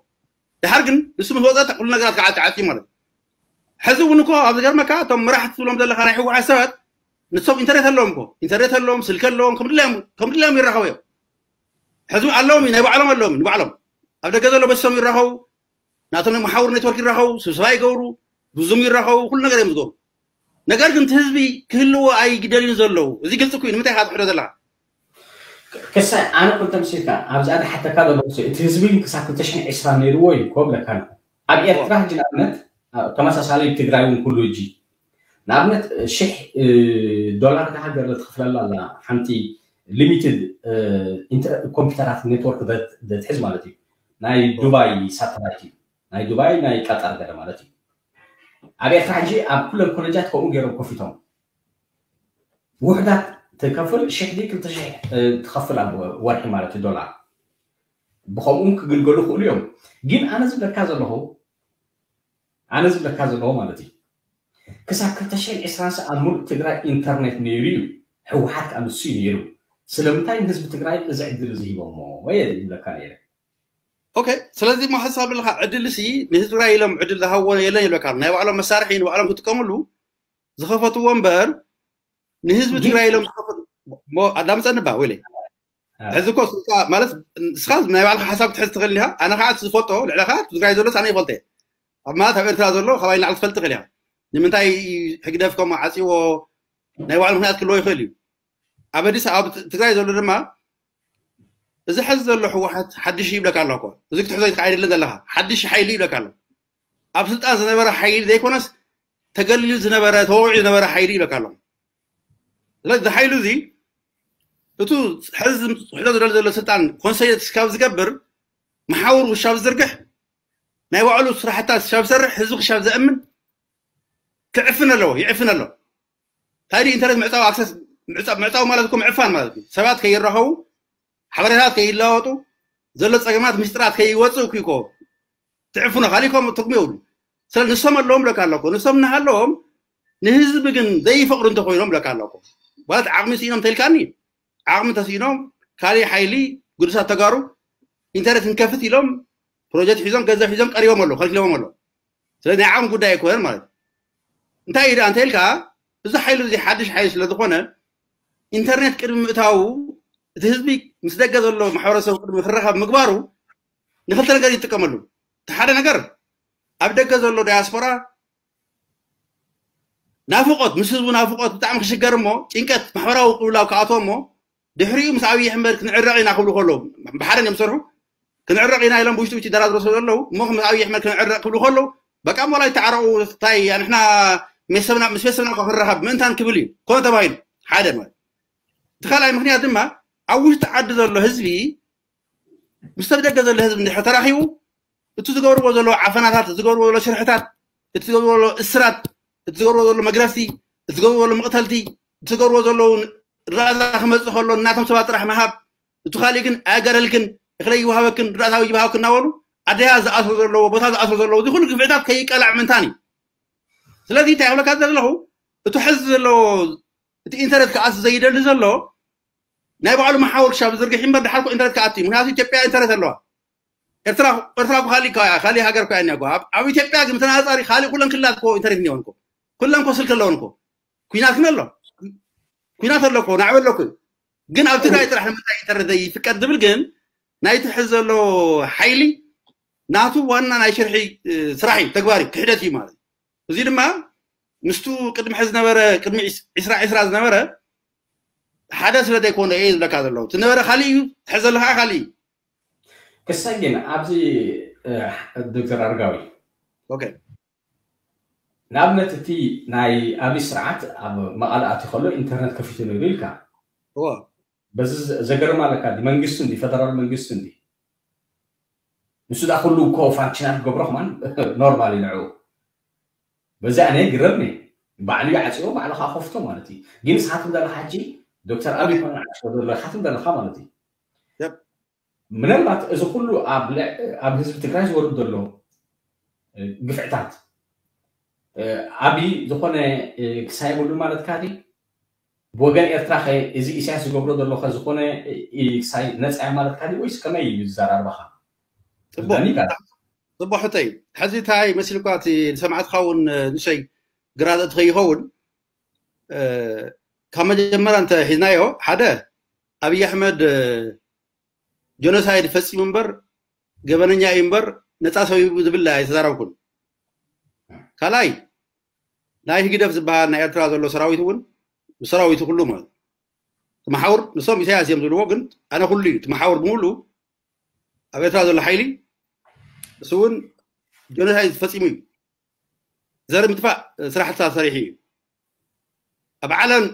ድሓር ግን ንሱ ምስ ወፀ ኩሉ ነገራት ከዓ ተዓፅዩ ማለት እዩ ሕዚ እውን እኮ ኣብ ዝገርመካ እቶም መራሕቲ ትብሎም ዘለካ ናይ ህወሓት ሰባት ንሶም ኢንተርኔት ኣለዎም እኮ ኢንተርኔት ኣለዎም ስልኪ ኣለዎም ከምድላዮም ይራኸቡ እዮም ሕዚ ኣለዎም ናይ ባዕሎም ኣለዎም ንባዕሎም ኣብ ደገ ዘሎ በሶም ይራኸቡ ናቶም ናይ መሓውር ኔትወርክ ይራኸቡ ስብሰባ ይገብሩ ብዙም ይራኸቡ ኩሉ ነገር እዮም ዝገብሩ ነገር ግን እቲ ህዝቢ ክህልዎ ኣይደልዩን ዘለዉ እዚ ግልፂ ኩ ንምንታይ ኢካ ትሕዶ ዘለካ ክሳይ ኣነ ኩንተ ምስልካ ኣብዚኣ ዝሓተካ ዘሎ እቲ ህዝቢ ክሳብ ክልተ ሽሕን ዕስራን ነይርዎ እዩ ኮብለካ ኣብ ኤርትራ ሕጂ ንኣብነት ተመሳሳሊ ትግራይ እውን ኩሉ ሕጂ ንኣብነት ሽሕ ዶላር እታ ሃገር ትኽፍለላ ኣላ ሓንቲ ሊሚትድ ኮምፒውተራት ኔትወርክ ዘትሕዝ ማለት እዩ ናይ ዱባይ ሳተላይት እዩ ናይ ዱባይ ናይ ቀጠር ገለ ማለት እዩ ኣብ ኤርትራ ሕጂ ኣብ ኩለን ኮሌጃት ከምኡ ገይሮም ከፊቶም ውሕዳት ትከፍል ሽሕ ዲ ክልተ ሽሕ ትከፍል ኣብ ወርሒ ማለት እዩ ዶላር ብከምኡ ክግልገሉ ክእሉ እዮም ግን ኣነ ዝብለካ ዘለኹ ኣነ ዝብለካ ዘለኹ ማለት እዩ ክሳብ ክልተ ሽሕን ዕስራን ሰ ኣብ ሙሉእ ትግራይ ኢንተርኔት ነይሩ እዩ ህወሓት ከዓ ንሱ እዩ ነይሩ ስለምንታይ ንህዝቢ ትግራይ እዚ ዕድል እዚ ሂቦሞ ወየ ዝብለካ ነይረ ኦኬ ስለዚ ሞ ሓሳብ ኣለካ ዕድል ሲ ንህዝቢ ትግራይ ኢሎም ዕድል ዝሃብዎ የለን ይብለካ ናይ ባዕሎም መሳርሒ ንባዕሎም ክጥቀምሉ ዝኸፈትዎ እምበር ንህዝቢ ትግራይ ኢሎም ዝኸፈት ኣዳምፀኒ ባ ወይለ ሕዚ እኮ ማለት ንስኻ ናይ ባዕልካ ሓሳብ ክትሕዝ ትኽእል ኢኻ ኣነ ከዓ ዝፈልጦ ልዕለካ ትግራይ ዘሎ ኣነ ይፈልጠ ኣብ ማለት ኣብ ኤርትራ ዘሎ ካባይ ላዕሊ ትፈልጥ ትኽእል ኢኻ ንምንታይ ህግደፍ ከም ዓፅዎ ናይ ባዕሉ ምክንያት ክልዎ ይኽእል እዩ ኣብ ኣዲስ ኣብ ትግራይ ዘሎ ድማ እዚ ሕዚ ዘሎ ህወሓት ሓድሽ ይብለካ ኣሎ እኮ እዚ ክትሕዞ ይትካ ኣይደለን ዘለካ ሓድሽ ሓይሊ ይብለካ ኣሎ ኣብ ስልጣን ዝነበረ ሓይሊ ዘይኮነስ ተገሊሉ ዝነበረ ተወቂዑ ዝነበረ ሓይሊ ይብለካ ኣሎ ስለዚ ሓይሉ እዚ እቱ ሕዚ ዝሕሎ ዝደለ ዘሎ ስልጣን ኮንሰይት ክሻብ ዝገብር መሓውር ክሻብ ዝዝርግሕ ናይ ባዕሉ ስራሕታት ክሻብ ዝሰርሕ ህዝቢ ክሻብ ዘእምን ክዕፍን ኣለዎ ይዕፍን ኣሎ እንታይ ኢንተርኔት ምዕፃው ኣክሰስ ምዕፃው ማለት እኮ ምዕፋን ማለት እዩ ሰባት ከይራኸቡ ሓበሬታት ከይለዋወጡ ዘሎ ፀገማት ምስጢራት ከይወፅእ እኮ ትዕፍኖ ካሊኮም ትርጉም የብሉ ስለ ንሶም ኣለዎም ብለካ ኣለኮ ንሶም እናሃለዎም ንህዝቢ ግን ዘይፈቅዱ እንተኮይኖም ብለካ ኣለኮ ማለት ዓቅሚ ስኢኖም ተልካኒ ዓቅሚ ተስኢኖም ካሊእ ሓይሊ ግዱሳት ተጋሩ ኢንተርኔት ክንከፍት ኢሎም ፕሮጀክት ሒዞም ገንዘብ ሒዞም ቀሪቦም ኣለዉ ከልኪሎዎም ኣለዉ ስለዚ ናይ ዓቅሚ ጉዳይ ኣይኮነን ማለት እዩ እንታይ እዩ ደኣ እንተኢልካ እዚ ሓይሊ እዚ ሓድሽ ሓይሊ ስለ ዝኾነ ኢንተርኔት ቅድሚ ምእታዉ እቲ ህዝቢ ምስ ደገ ዘሎ ማሕበረሰብ ቅድሚ ክረኸብ ምግባሩ ንክልተ ነገር ይጥቀመሉ። እቲ ሓደ ነገር ኣብ ደገ ዘሎ ዳያስፖራ ናፍቆት ምስ ህዝቡ ናፍቆት ብጣዕሚ ክሽገር እሞ ጭንቀት ማሕበራዊ ቅብላው ክኣትዎ እሞ ድሕሪኡ ምስ ኣብይ ኣሕመድ ክንዕረቕ ኢና ክብሉ ከለዉ ብሓደ እዮም ዝሰርሑ ክንዕረቕ ኢና ኢሎም ብውሽጢ ውሽጢ ደራድሮ ስለ ዘለዉ እሞ ምስ ኣብይ ኣሕመድ ክንዕረቕ ክብሉ ከለዉ በቃ ሞላ ይተዓረቑ ታይ ንሕና ምስ ቤተሰብና ምስ ቤተሰብና እኳ ክንራኸብ ምእንታን ክብል እዩ ኮነ ተባሂሉ ሓደ ማለት እቲ ካልኣይ ምክንያት ድማ ኣብ ውሽጢ ዓዲ ዘሎ ህዝቢ ምስ ኣብ ደገ ዘሎ ህዝቢ እንድሕር ተራኺቡ እቲ ዝገብርዎ ዘለዉ ዓፈናታት እቲ ዝገብርዎ ዘሎ ሽርሕታት እቲ ዝገብርዎ ዘሎ እስራት እቲ ዝገብርዎ ዘሎ መግረፍቲ እቲ ዝገብርዎ ዘሎ መቕተልቲ እቲ ዝገብርዎ ዘለዉ ራዛ ክመፅእ ከሎ እናቶም ሰባት ጥራሕ ምሃብ እቲ ካሊእ ግን ኣያጋደልክን እኽለ ይወሃበክን ራእታዊ ይበሃብክን እናበሉ ኣደያ ዝኣስሩ ዘለዎ ቦታ ዝኣስሩ ዘለዉ እዚ ኩሉ ግፍዕታት ከይቀላዕ ምንታን እዩ ስለዚ እንታይ ክብለካ ዘለኹ እቲ ሕዚ ዘለዎ እቲ ኢንተርኔት ክኣስ ዘይደሊ ዘሎ ናይ ባዕሉ መሓውር ክሻብ ዝርግሕ እምበር ድሓር ኢንተርኔት ክኣት እዩ ምክንያቱ ኢትዮጵያ ኢንተርኔት ኣለዋ ኤርትራ እኮ ካልእ ካልእ ሃገር እኮ እያ እኒኣ ኣብ ኢትዮጵያ ግን ተነፃፃሪ ካልእ ኩለን ክልላት እኮ ኢንተርኔት እኒኦን እኮ ኩለን እኮ ስልኪ ኣለወን እኮ ኩናት ግን ኣሎ ኩናት ኣሎ እኮ ናዕቢ ኣሎ እኮ ግን ኣብ ትግራይ ጥራሕ ንምንታይ ኢንተርኔት ዘይፍቀድ ዝብል ግን ናይቲ ሕዚ ዘሎ ሓይሊ ናቱ ዋና ናይ ሽርሒ ስራሕ እዩ ተግባር እዩ ክሕደት እዩ ማለት እዩ እዚ ድማ ምስቱ ቅድሚ ሕዚ ዝነበረ ቅድሚ ዒስራ ዒስራ ዝነበረ ሓደ ስለ ዘይኮነ እየ ዝብለካ ዘለዉ እቲ ነበረ ካሊእ እዩ ሕዚ ዘለካ ካሊእ እዩ ክሳይ ግን ኣብዚ ዶክተር ኣርጋዊ ንኣብነት እቲ ናይ ኣብይ ስርዓት ኣብ መቐለ ኣትዩ ከሎ ኢንተርነት ከፊቱ ነይሩ ኢልካ በዚ ዘገርም ኣለካ መንግስቲ እንዲ ፈደራል መንግስቲ እንዲ ንሱ ዳ ኩሉ እኮ ፋንክሽናል ክገብሮ ከማን ኖርማል እዩ ንዕኡ በዚ ኣነ ግረምኒ ባዕሉ ይዓፅዮ ባዕሉ ከዓ ከፍቶ ማለት እዩ ግን ንስኻትኩም ዘለካ ሕጂ ዶክተር ኣብይ ኮነ ዓፅዮ ዘለካትም ዘለካ ማለት እዩ ምናልባት እዚ ኩሉ ኣብ ህዝቢ ትግራይ ዝወርድ ዘሎ ግፍዕታት ኣብይ ዝኾነ ክሳይ የብሉ ማለትካ ድዩ ብወገን ኤርትራ ከ እዚ ኢሳያስ ዝገብሮ ዘሎ ከ ዝኾነ ክሳይ ነፃ እያ ማለትካ ድዩ ወይስ ከመይ እዩ ዝዘራርባኻ ፅቡቅ ሕቶ እዩ ሕዚ እንታይ መሲልኳ እቲ ዝሰማዕትካ እውን ንሸይ ግራ ዘእቲ ከይኸውን ካብ መጀመርያ እንተ ሒዝናዮ ሓደ ኣብይ ኣሕመድ ጆኖሳይድ ፈፂሙ እምበር ገበነኛ እዩ እምበር ነፃ ሰብ እዩ ዝብል ኣይተዛረብኩን ካልኣይ ናይ ህግደፍ ዝበሃል ናይ ኤርትራ ዘሎ ሰራዊት እውን ሰራዊቱ ኩሉ ማለት ትመሓውር ንሶም ኢሳያስ እዮም ዝብልዎ ግን ኣነ ኩሉ እዩ ትመሓውር ብምሉ ኣብ ኤርትራ ዘሎ ሓይሊ እሱ እውን ጆኖሳይድ ፈፂሙ እዩ ዘር ምጥፋእ ስራሕትታት ሰሪሑ እዩ ኣብ ዓለም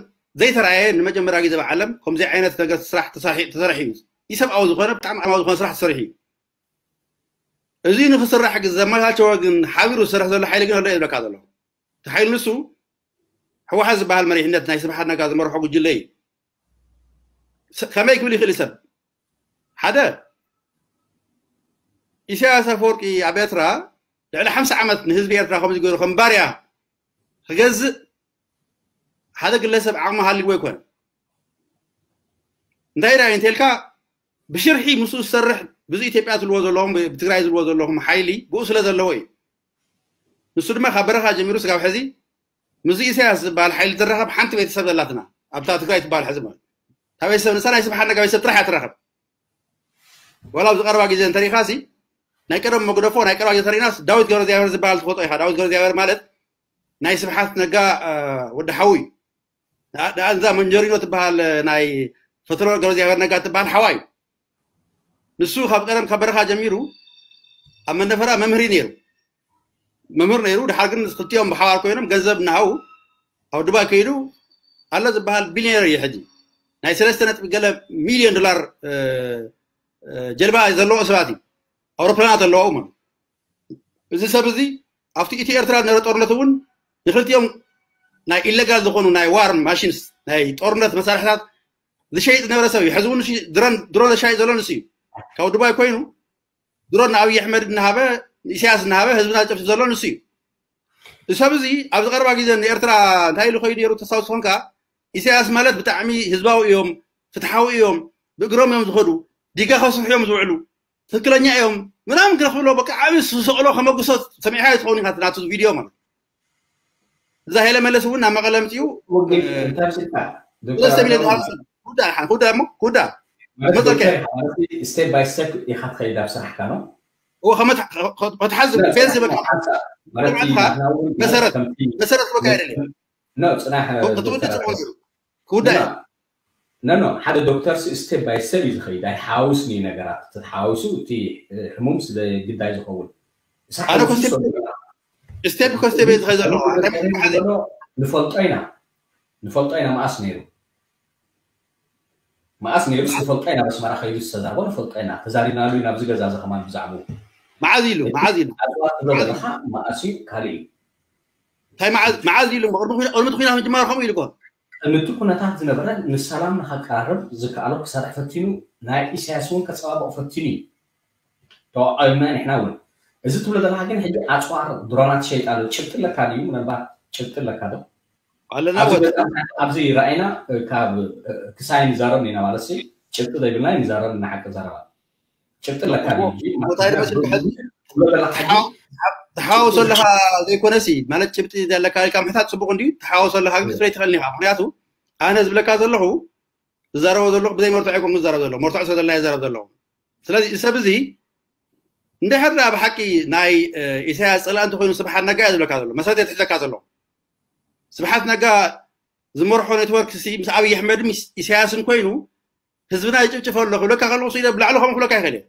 ዘይተረኣየ ንመጀመርያ ግዜ ኣብ ዓለም ከምዚ ዓይነት ነገር ስራሕ ተሰርሒ- ተሰርሒ እዩ ኢሰብኣዊ ዝኾነ ብጣዕሚ ዓማዊ ዝኾነ ስራሕ ተሰሪሑ እዩ እዚ ንክስራሕ ግን ዘመቻቸወ ግን ሓቢሩ ዝሰርሕ ዘሎ ሓይሊ ግን ኣሎ እየ ዝብለካ ዘሎ እቲ ሓይሊ ንሱ ህወሓት ዝበሃል መሪሕነት ናይ ስብሓት ነጋ ዝመርሖ ጉጅለ እዩ ከመይ ክብል ይኽእል ሰብ ሓደ ኢሳያስ ኣፈወርቂ ኣብ ኤርትራ ልዕሊ ሓምሳ ዓመት ንህዝቢ ኤርትራ ከምዚ ገይሩ ከም ባርያ ክገዝእ ሓደ ግለሰብ ዓቕሚ ሃልይዎ ኣይኮነ እንታይ ዳ እንተልካ ብሽርሒ ምስኡ ዝሰርሕ ብዙ ኢትዮጵያ ትልዎ ዘለኹም ብትግራይ ዝልዎ ዘለኹም ሓይሊ ብኡ ስለ ዘለዎ እዩ ንሱ ድማ ካብ በረኻ ጀሚሩ ስጋብ ሕዚ ምስ ኢሳያስ ዝበሃል ሓይሊ ትራኸብ ሓንቲ ቤተሰብ ዘላትና ኣብታ ትግራይ ትበሃል ሕዚ ማለት ካብ ቤተሰብ ንሳ ናይ ስብሓት ነጋ ቤተሰብ ጥራሕ እያ ትራኸብ ዋላ ኣብዚ ቀረባ ግዜ እንተሪኢኻ ሲ ናይ ቀደም መግደፎ ናይ ቀረባ ግዜ ተሪኢናስ ዳዊት ገብረእግዚኣብሔር ዝበሃል ትፈልጦ ኢኻ ዳዊት ገብረእግዚኣብሔር ማለት ናይ ስብሓት ነጋ ወዲ ሓዉ እዩ እዛ መንጀሪኖ ትበሃል ናይ ፈትሎ ገብረእግዚኣብሔር ነጋ ትበሃል ሓዋ እዩ ንሱ ካብ ቀደም ካብ በረኻ ጀሚሩ ኣብ መነፈራ መምህር ነይሩ መምህር ነይሩ ድሓር ግን ክልቲኦም ብሓባር ኮይኖም ገንዘብ እናሃቡ ኣብ ዱባይ ከይዱ ኣሎ ዝበሃል ቢልዮነር እዩ ሕጂ ናይ ሰለስተ ነጥቢ ገለ ሚልዮን ዶላር ጀልባ ዘለዎኦ ሰባት እዩ ኣውሮፕላናት ኣለዋኡ ማለት እዚ ሰብ እዚ ኣብቲ ኢትዮ ኤርትራ ዝነበረ ጦርነት እውን ንክልቲኦም ናይ ኢለጋል ዝኾኑ ናይ ዋር ማሽንስ ናይ ጦርነት መሳርሕታት ዝሸይጥ ዝነበረ ሰብ እዩ ሕዚ እውን ድሮን ዘሻይጥ ዘሎ ንሱ እዩ ካብ ዱባይ ኮይኑ ድሮን ንኣብይ ኣሕመድ እናሃበ ንኢሳያስ እናሃበ ህዝብና ዝጨፍጭፍ ዘሎ ንሱ እዩ እዚ ሰብ እዚ ኣብዚ ቀረባ ግዜ ንኤርትራ እንታይ ኢሉ ከይዱ ነሩ ተስታውስ ዝኾንካ ኢሳያስ ማለት ብጣዕሚ ህዝባዊ እዮም ፍትሓዊ እዮም ብእግሮም እዮም ዝኸዱ ዲጋ ከስርሑ እዮም ዝውዕሉ ትክክለኛ እዮም ምናምን ግረ ክብሎ በቃ ዓብዪ ዝሰቕሎ ከመጉሶ ሰሚዕካ ትኸውን ኢካ ናቱ ቪድዮ ማለት እዛ ሄለ መለስ እውን ናብ መቐለ ምፅኡ ወግድ እንታይ ስልካ ሰለስተ ሚሊዮን ዝሃብ ሰብ ኩዳ ሓን ኩዳ እሞ ኩዳ ማለት መፀከ ዶክተር ማለት step by step ኢኻ ትኸይድ ኣብ ስራሕካ ነው እዎ ከመት- ከ- ከ- ከትሓዝ ፌዝ ዝበካ ማለት መሰረት መሰረት ዝበካ ኣይደለም ነው ጽናሕ ክትውዲ ጽቡቅ ገይሩ ክውዳ ኖ ኖ ሓደ ዶክተር step by step እዩ ዝኸይድ ኣይሓውስን እዩ ነገራት ተተሓዋውሱ እቲ ሕሙም ስለ ግዳይ ዝኸውን ኣነ ኮ step step ኮ step እየ ዝኸይድ ዘለኹ እንታይ ማለት እዩ? ንፈልጦ ኢና ንፈልጦ ኢና መኣስ ነይሩ መኣስ ነይሩ ንፈልጦ ኢና በስመራ ከይዱ ዝተዛርቦ ንፈልጦ ኢና ተዛሪብናሉ ኢና ኣብዚ ገዛ እዚ ከማን ብዛዕባኡ መዓዝ ኢሉ መዓዝ ኢሉ ኣፅዋር ትብሎ ዘለካ መኣስ እዩ ካልእ እዩ እንታይ መዓዝ መዓዝ ኢሉ ቅድሚ ኩና- ቅድሚ እቲ ኩናት ምጅማር ከምኡ ኢሉ እኮ ቅድሚ እቲ ኩነታት ዝነበረ ንሰላም ንኸቀራርብ ዝከኣሎ ክሰርሕ ፈቲኑ ናይ ኢሳያስ እውን ከፀባብቕ ፈቲኑ እዩ ተዋቒብና ንሕና እውን እዚ ትብሎ ዘለካ ግን ሕጂ ኣፅዋር ድሮናት ሸይጣ ኣሎ ጭብጢ ኣለካ ድዩ ምናልባት ጭብጢ ኣለካ ዶ ኣለና ኣብዚ ወደ ገዛ ኣብዚ ራእይና ካብ ክሳይ ንዛረብ ኢና ማለት ሲ ጭብጢ ዘይብልና ንዛረብ ንሓቂ ዘረባ ጭብጢ ኣለካ ድዩ ሕጂ እንታይ ዝመስል ክሕዚ ትብሎ ዘለካ ሕጂ ትሓወሶ ኣለካ ዘይኮነሲ ማለት ጭብጢ ዘለካ ኢልካ ምሕታት ፅቡቅ እንድዩ ትሓወሶ ኣለካ ግን ክትርኢ ትኽእል ኢኻ ምክንያቱ ኣነ ዝብለካ ዘለኹ ዝዛረቦ ዘለኹ ብዘይ መርትዖ ይኮን ዝዛረብ ዘለኹ መርትዖ ስለ ዘለና ይዛረብ ዘለኹ ስለዚ እዚ ሰብ እዚ እንድሕር ደኣ ብሓቂ ናይ እ፣ ኢሳያስ ፀላእ እንተኮይኑ ስብሓት ነጋ እየ ዝብለካ ዘሎ መሰረት እየ ትሕዘካ ዘለኹ ስብሓት ነጋ ዝመርሖ ኔትወርክ ሲ ምስ ኣብይ ኣሕመድን ምስ ኢሳያስን ኮይኑ ህዝብና ይጭፍጭፍ ኣሎ ክብለካ ከለኩ ሲ ብላዕሊ ከምኡ ክብለካ ይኽእል እየ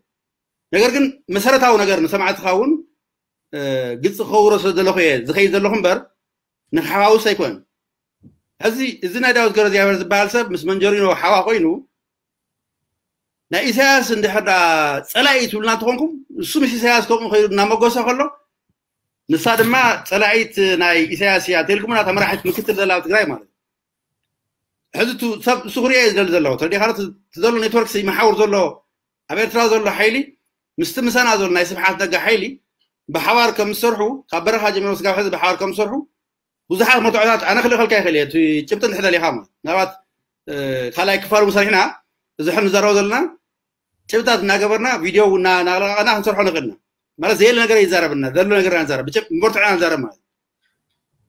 ነገር ግን መሰረታዊ ነገር ንሰማዕትኻ እውን እ፣ ግልፂ ክኸውሮ ስለ ዘለኹ እየ ዝኸይድ ዘለኹ እምበር ንክሓዋውስ ኣይኮን ሕዚ እዚ ናይ ዳዊት ገብረእግዚኣብሔር ዝበሃል ሰብ ምስ መንጀሪኖ ሓዋ ኮይኑ ናይ ኢሳያስ እንድሕር ዳ ፀላኢ ትብልና እንተኾንኩም እሱ ምስ ኢሳያስ ከምኡ ከይዱ እናመጎሰ ከሎ ንሳ ድማ ፀላኢት ናይ ኢሳያስ እያ እንተልኩምና ተመራሒት ምክትል ዘላ ኣብ ትግራይ ማለት እዩ ሕዚ እቱ ሰብ እሱ ክሪኦ እዩ ዝደሊ ዘለኹ ተረዲኻ እቲ ዘሎ ኔትወርክ ይመሓውር ዘሎ ኣብ ኤርትራ ዘሎ ሓይሊ ምስቲ ምሳና ዘሎ ናይ ስብሓት ነጋ ሓይሊ ብሓባር ከም ዝሰርሑ ካብ በረኻ ጀሚሮም ስጋብ ሕዚ ብሓባር ከም ዝሰርሑ ብዙሓት መርትዖታት ኣነ ክልእኸልካ ይኽእል እየ እቲ ጭብጢ እንድሕር ደሊኻ ማለት ምናልባት ካልኣይ ክፋል እውን ሰሪሕና እዚ ሕን ንዛረቦ ዘለና ጭብጥታት እናገበርና ቪድዮ እውን እናለቃቀና ክንሰርሖ ንኽእልና ማለት ዘየለ ነገር ይዛረብና ዘሎ ነገር ንዛረብ ብጭብ መርትዖ ንዛረብ ማለት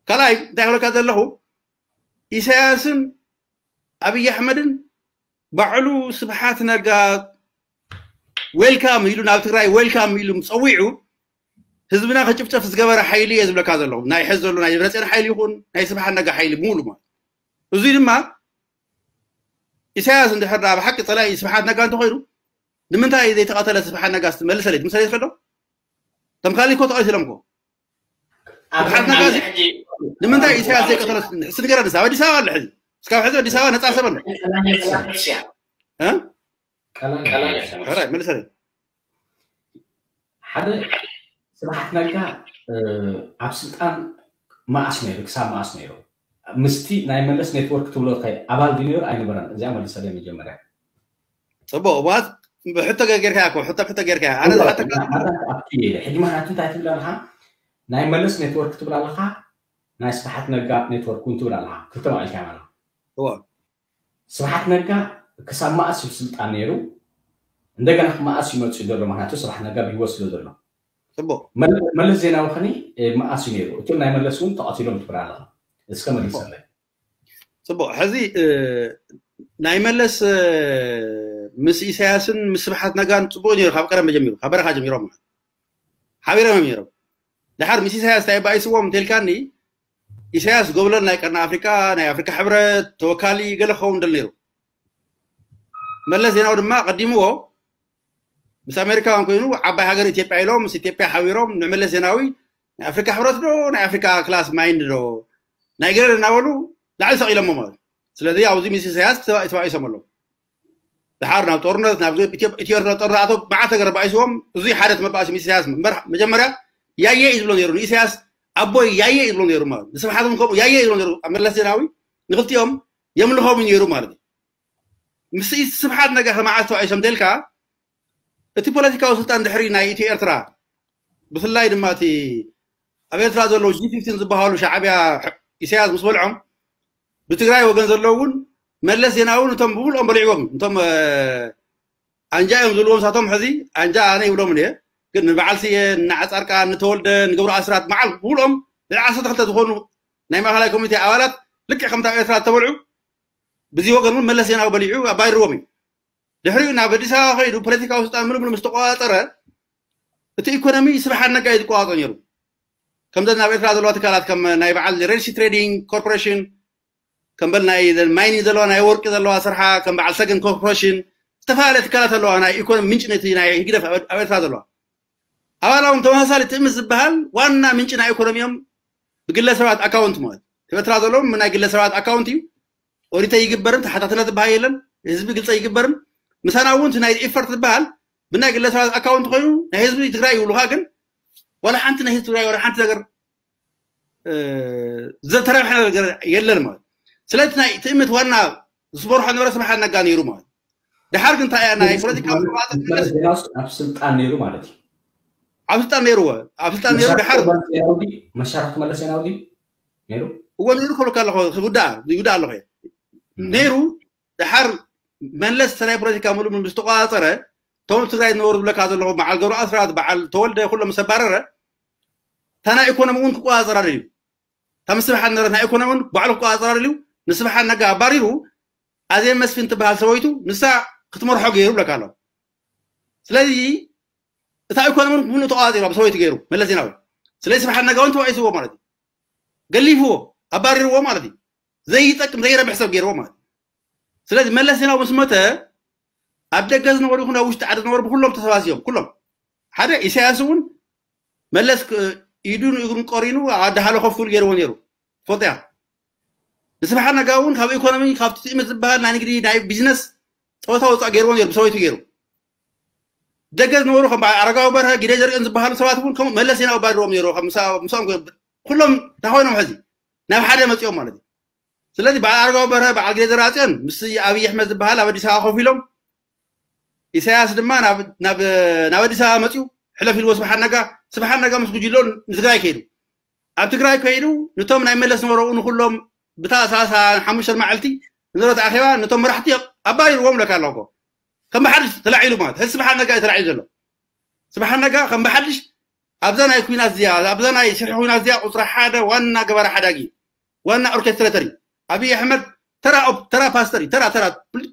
ካልኣይ እንታይ ክብለካ ዘለኹ ኢሳያስን ኣብይ ኣሕመድን ባዕሉ ስብሓት ነጋ ዌልካም ኢሉ ናብ ትግራይ ዌልካም ኢሉ ፀዊዑ ህዝብና ከጭፍጨፍ ዝገበረ ሓይሊ እየ ዝብለካ ዘለኹ ናይ ሕዚ ዘሎ ናይ ደብረፅዮን ሓይሊ ይኹን ናይ ስብሓት ነጋ ሓይሊ ሙሉ ማለት እዙይ ድማ ኢሳያስ እንድሕር ዳ ብሓቂ ፀላኢ ስብሓት ነጋ እንተኮይኑ ንምንታይ ዘይተቐተለ ስብሓት ነጋ ስትመልሰለይ ትምሰለይ ትፈልዶ ተምካሊ እኮ ተቐቲሎም እኮ ስብሓት ነጋ እዚ ንምንታይ ኢሳያስ ዘይቀተለ ንስንገረ ኣዲስ ኣበባ ኣዲስ ኣበባ ኣለ ሕዚ እስካብ ሕዚ ኣዲስ ኣበባ ነፃ ሰብ ኣሎ እ? ሕራይ መልሰለይ ሓደ ስብሓት ነጋ ኣብ ስልጣን መኣስ ነይሩ ክሳብ መኣስ ነይሩ ምስቲ ናይ መለስ ኔትወርክ ትብሎ ከ ኣባል ድዩ ነይሩ ኣይነበረን እዚኣ መልሰለይ መጀመርያ ፅቡቅ እዋት ብሕቶ ገርካ እኮ ሕቶ ሕቶ ገርካ ኣነ ዝሓተካ ሕጂ ምክንያቱ እንታይ ትብል ኣለካ ናይ መለስ ኔትወርክ ትብል ኣለካ ናይ ስብሓት ነጋ ኔትወርክ እውን ትብል ኣለካ ክልተ ማዕልካ ማለት እዋ ስብሓት ነጋ ክሳብ መኣስ እዩ ስልጣን ነይሩ እንደገና መኣስ ይመፅእ ዘሎ ምክንያቱ ስብሓት ነጋ ብሂወት ስለ ዘሎ ፅቡቅ መለስ ዜናዊ ከኒ መኣስ እዩ ነይሩ እቶም ናይ መለስ እውን ተቐቲሎም ትብል ኣለካ እስከ መሊሰለይ ፅቡቅ ሕዚ ናይ መለስ ምስ ኢሳያስን ምስ ስብሓት ነጋን ፅቡቅ ነይሩ ካብ ቀደም ጀሚሩ ካብ በረኻ ጀሚሮም ማለት ሓቢሮም እዮም ነይሮም ድሓር ምስ ኢሳያስ እንታይ ባኢስዎም እንተልካኒ ኢሳያስ ጎብለል ናይ ቀርኒ ኣፍሪካ ናይ ኣፍሪካ ሕብረት ተወካሊ ገለ ክኸውን ደል ነይሩ መለስ ዜናዊ ድማ ቀዲምዎ ምስ ኣሜሪካውያን ኮይኑ ዓባይ ሃገር ኢትዮጵያ ኢሎም ምስ ኢትዮጵያ ሓቢሮም ንመለስ ዜናዊ ናይ ኣፍሪካ ሕብረት ዶ ናይ ኣፍሪካ ክላስ ማይንድ ዶ ናይ ገለ እናበሉ ላዕሊ ሰቂሎሞ ማለት ስለዚ ኣብዚ ምስ ኢሳያስ ተባኢሶም ኣለዉ ድሓር ናብ ጦርነት ናብ ኢትዮ ኤርትራ ጦርነት ኣቶ መዓት ነገር ባኢስዎም እዙይ ሓደ መባእሲ ምስ ኢሳያስ እምበር መጀመርያ ያየ እዩ ዝብሎ ነይሩ ንኢሳያስ ኣቦይ ያየ እዩ ዝብሎ ነይሩ ማለት ንስብሓት እውን ከምኡ ያየ እዩ ዝብሎ ነይሩ ኣብ መለስ ዜናዊ ንክልቲኦም የምልኾም እዩ ነይሩ ማለት እዩ ምስ ስብሓት ነጋ ከመዓዝ ተባኢሶም ደልካ እቲ ፖለቲካዊ ስልጣን ድሕሪ ናይ ኢትዮ ኤርትራ ብፍላይ ድማ እቲ ኣብ ኤርትራ ዘለዉ ጂ ፊፍቲን ዝበሃሉ ሻዕብያ ኢሳያስ ምስ በልዖም ብትግራይ ወገን ዘለዉ እውን መለስ ዜናዊ እውን እቶም ብብልኦም በሊዕዎም እቶም ኣንጃ እዮም ዝብልዎም ሳቶም ሕዚ ኣንጃ ኣነ ይብሎም እየ ግን ንበዓል ስየ ንዓፃርቃ ንተወልደ ንገብሩ ኣስራት በዓል ብብልኦም ልዕሊ ዓሰርተ ክልተ ዝኾኑ ናይ ማእኸላይ ኮሚቴ ኣባላት ልክዕ ከምታ ኣብ ኤርትራ ዝተበልዑ ብዚ ወገን እውን መለስ ዜናዊ በሊዑ ኣባሪርዎም እዩ። ድሕሪኡ ናብ ኣዲስ ኣበባ ከይዱ ፖለቲካዊ ስልጣን ምሉእ ምሉእ ምስ ተቆጻጸረ እቲ ኢኮኖሚ ስብሓት ነጋ እዩ ዝቆጻጸሮ ነይሩ። ከምዘን ኣብ ኤርትራ ዘለዋ ትካላት ከም ናይ በዓል ሬድ ሲ ትሬዲንግ ኮርፖሬሽን ከም በል ናይ ማይኒንግ ዘለዋ ናይ ወርቂ ዘለዋ ስርሓ ከም በዓል ሰገን ኮርፖሬሽን ዝተፈላለያ ትካላት ኣለዋ ናይ ኢኮኖሚ ምንጭ ነቲ ናይ ህግደፍ ኣብ ኤርትራ ዘለዋ ኣባላዎም ተመሳሳሊ ትእምት ዝበሃል ዋና ምንጭ ናይ ኢኮኖሚዮም ብግለ ሰባት ኣካውንት ማለት ኣብ ኤርትራ ዘለዎም ናይ ግለ ሰባት ኣካውንት እዩ። ኦዲተ ይግበርን ተሓታትነት ዝበሃል የለን። ህዝቢ ግልፀ ይግበርን ምሳና እውን ናይ ኢፈርት ዝበሃል ብናይ ግለ ሰባት ኣካውንት ኮይኑ ናይ ህዝቢ ትግራይ ይብሉካ ግን ዋላ ሓንቲ ናይ ህዝቢ ትግራይ ዋላ ሓንቲ ነገር ዝተረብሐ ነገር የለን ማለት ስለዚ ናይ ትእምት ዋና ዝመርሖ ነበረ ስብሓት ነጋ ነይሩ ማለት ድሓር ግን እንታይ እያ ናይ ፖለቲካ ኣብ ስልጣን ነይሩ ማለት እዩ። ኣብ ስልጣን ነይሩ ኣብ ስልጣን ነይሩ ድሓር መሻርክቲ መለስ ዜናዊ ነይሩ እዎ ነይሩ ከብለካ ኣለኹ ክውዳእ ይውዳእ ኣለኹ ነይሩ ድሓር መለስ ናይ ፖለቲካ ሙሉእ ምስ ተቆፃፀረ እቶም ትግራይ ዝነበሩ ዝብለካ ዘለኹ በዓል ገብሩ ኣስራት በዓል ተወልደ ኩሎም ምስ ኣባረረ እታ ናይ ኢኮኖሚ እውን ክቆፃፀራ ደልዩ እታ ምስ ስብሓት ነበረት ናይ ኢኮኖሚ እውን ባዕሉ ክቆፃፀራ ደልዩ ንስብሓት ነጋ ኣባሪሩ ኣዜብ መስፍን ትበሃል ሰበይቱ ንሳ ክትመርሖ ገይሩ ብለካ ኣሎ ስለዚ እታ ኢኮኖሚ እውን ሙሉእ ተቆፃፂሩ ኣብ ሰበይቱ ገይሩ መለስ ዜናዊ ስለዚ ስብሓት ነጋ እውን ተባኢስዎ ማለት እዩ ገሊፍዎ ኣባሪርዎ ማለት እዩ ዘይጠቅም ዘይረብሕ ሰብ ገይርዎ ማለት እዩ ስለዚ መለስ ዜናዊ ምስ መተ ኣብ ደገ ዝነበሩ ይኹን ኣብ ውሽጢ ዓዲ ዝነበሩ ብኩሎም ተሰባሲቦም ኩሎም ሓደ ኢሳያስ እውን መለስ ኢዱን እግሩን ቆሪኑ ኣዳሃለ ኮፍ ክብል ገይርዎ ነይሩ ፎጥያ ንስብሓት ነጋ እውን ካብ ኢኮኖሚ ካብቲ ትእምት ዝበሃል ናይ ንግዲ ናይ ቢዝነስ ፀወታ ውፃእ ገይርዎ ነይሩ ብሰበይቱ ገይሩ ደገ ዝነበሩ ከም በዓል ኣረጋዊ በርሀ ግደ ዘርእን ዝበሃሉ ሰባት እውን ከም መለስ ዜናዊ ባድሮም ነይሩ ምስኦም ኩሎም እንታይ ኮይኖም ሕዚ ናብ ሓደ መፂኦም ማለት እዩ ስለዚ በዓል ኣረጋዊ በርሀ በዓል ግደ ዘርኣፅዮን ምስ ኣብይ ኣሕመድ ዝበሃል ኣብ ኣዲስ ኣበባ ኮፍ ኢሎም ኢሳያስ ድማ ናብ ኣዲስ ኣበባ መፅኡ ሕለፍ ኢልዎ ስብሓት ነጋ ስብሓት ነጋ ምስ ጉጅሎ ንትግራይ ከይዱ ኣብ ትግራይ ከይዱ ነቶም ናይ መለስ ነበረኡ ንኩሎም ብታ ሰላሳ ሓሙሽተ መዓልቲ ንዘረተ ኣኼባ ነቶም መራሕቲ ኣባሪርዎም ለካ ኣለኮ ከም ብሓድሽ ተላዒሉ ማለት ሕዚ ስብሓት ነጋ እዩ ተላዒሉ ዘሎ ስብሓት ነጋ ከም ብሓድሽ ኣብዛ ናይ ኩናት እዚኣ ኣብዛ ናይ ሽርሒ ኩናት እዚኣ ቁፅሪ ሓደ ዋና ገባሪ ሓዳጊ ዋና ኦርኬስትሬተር እዩ ኣብይ ኣሕመድ ተራ ተራ ፓስተር እዩ ተራ ተራ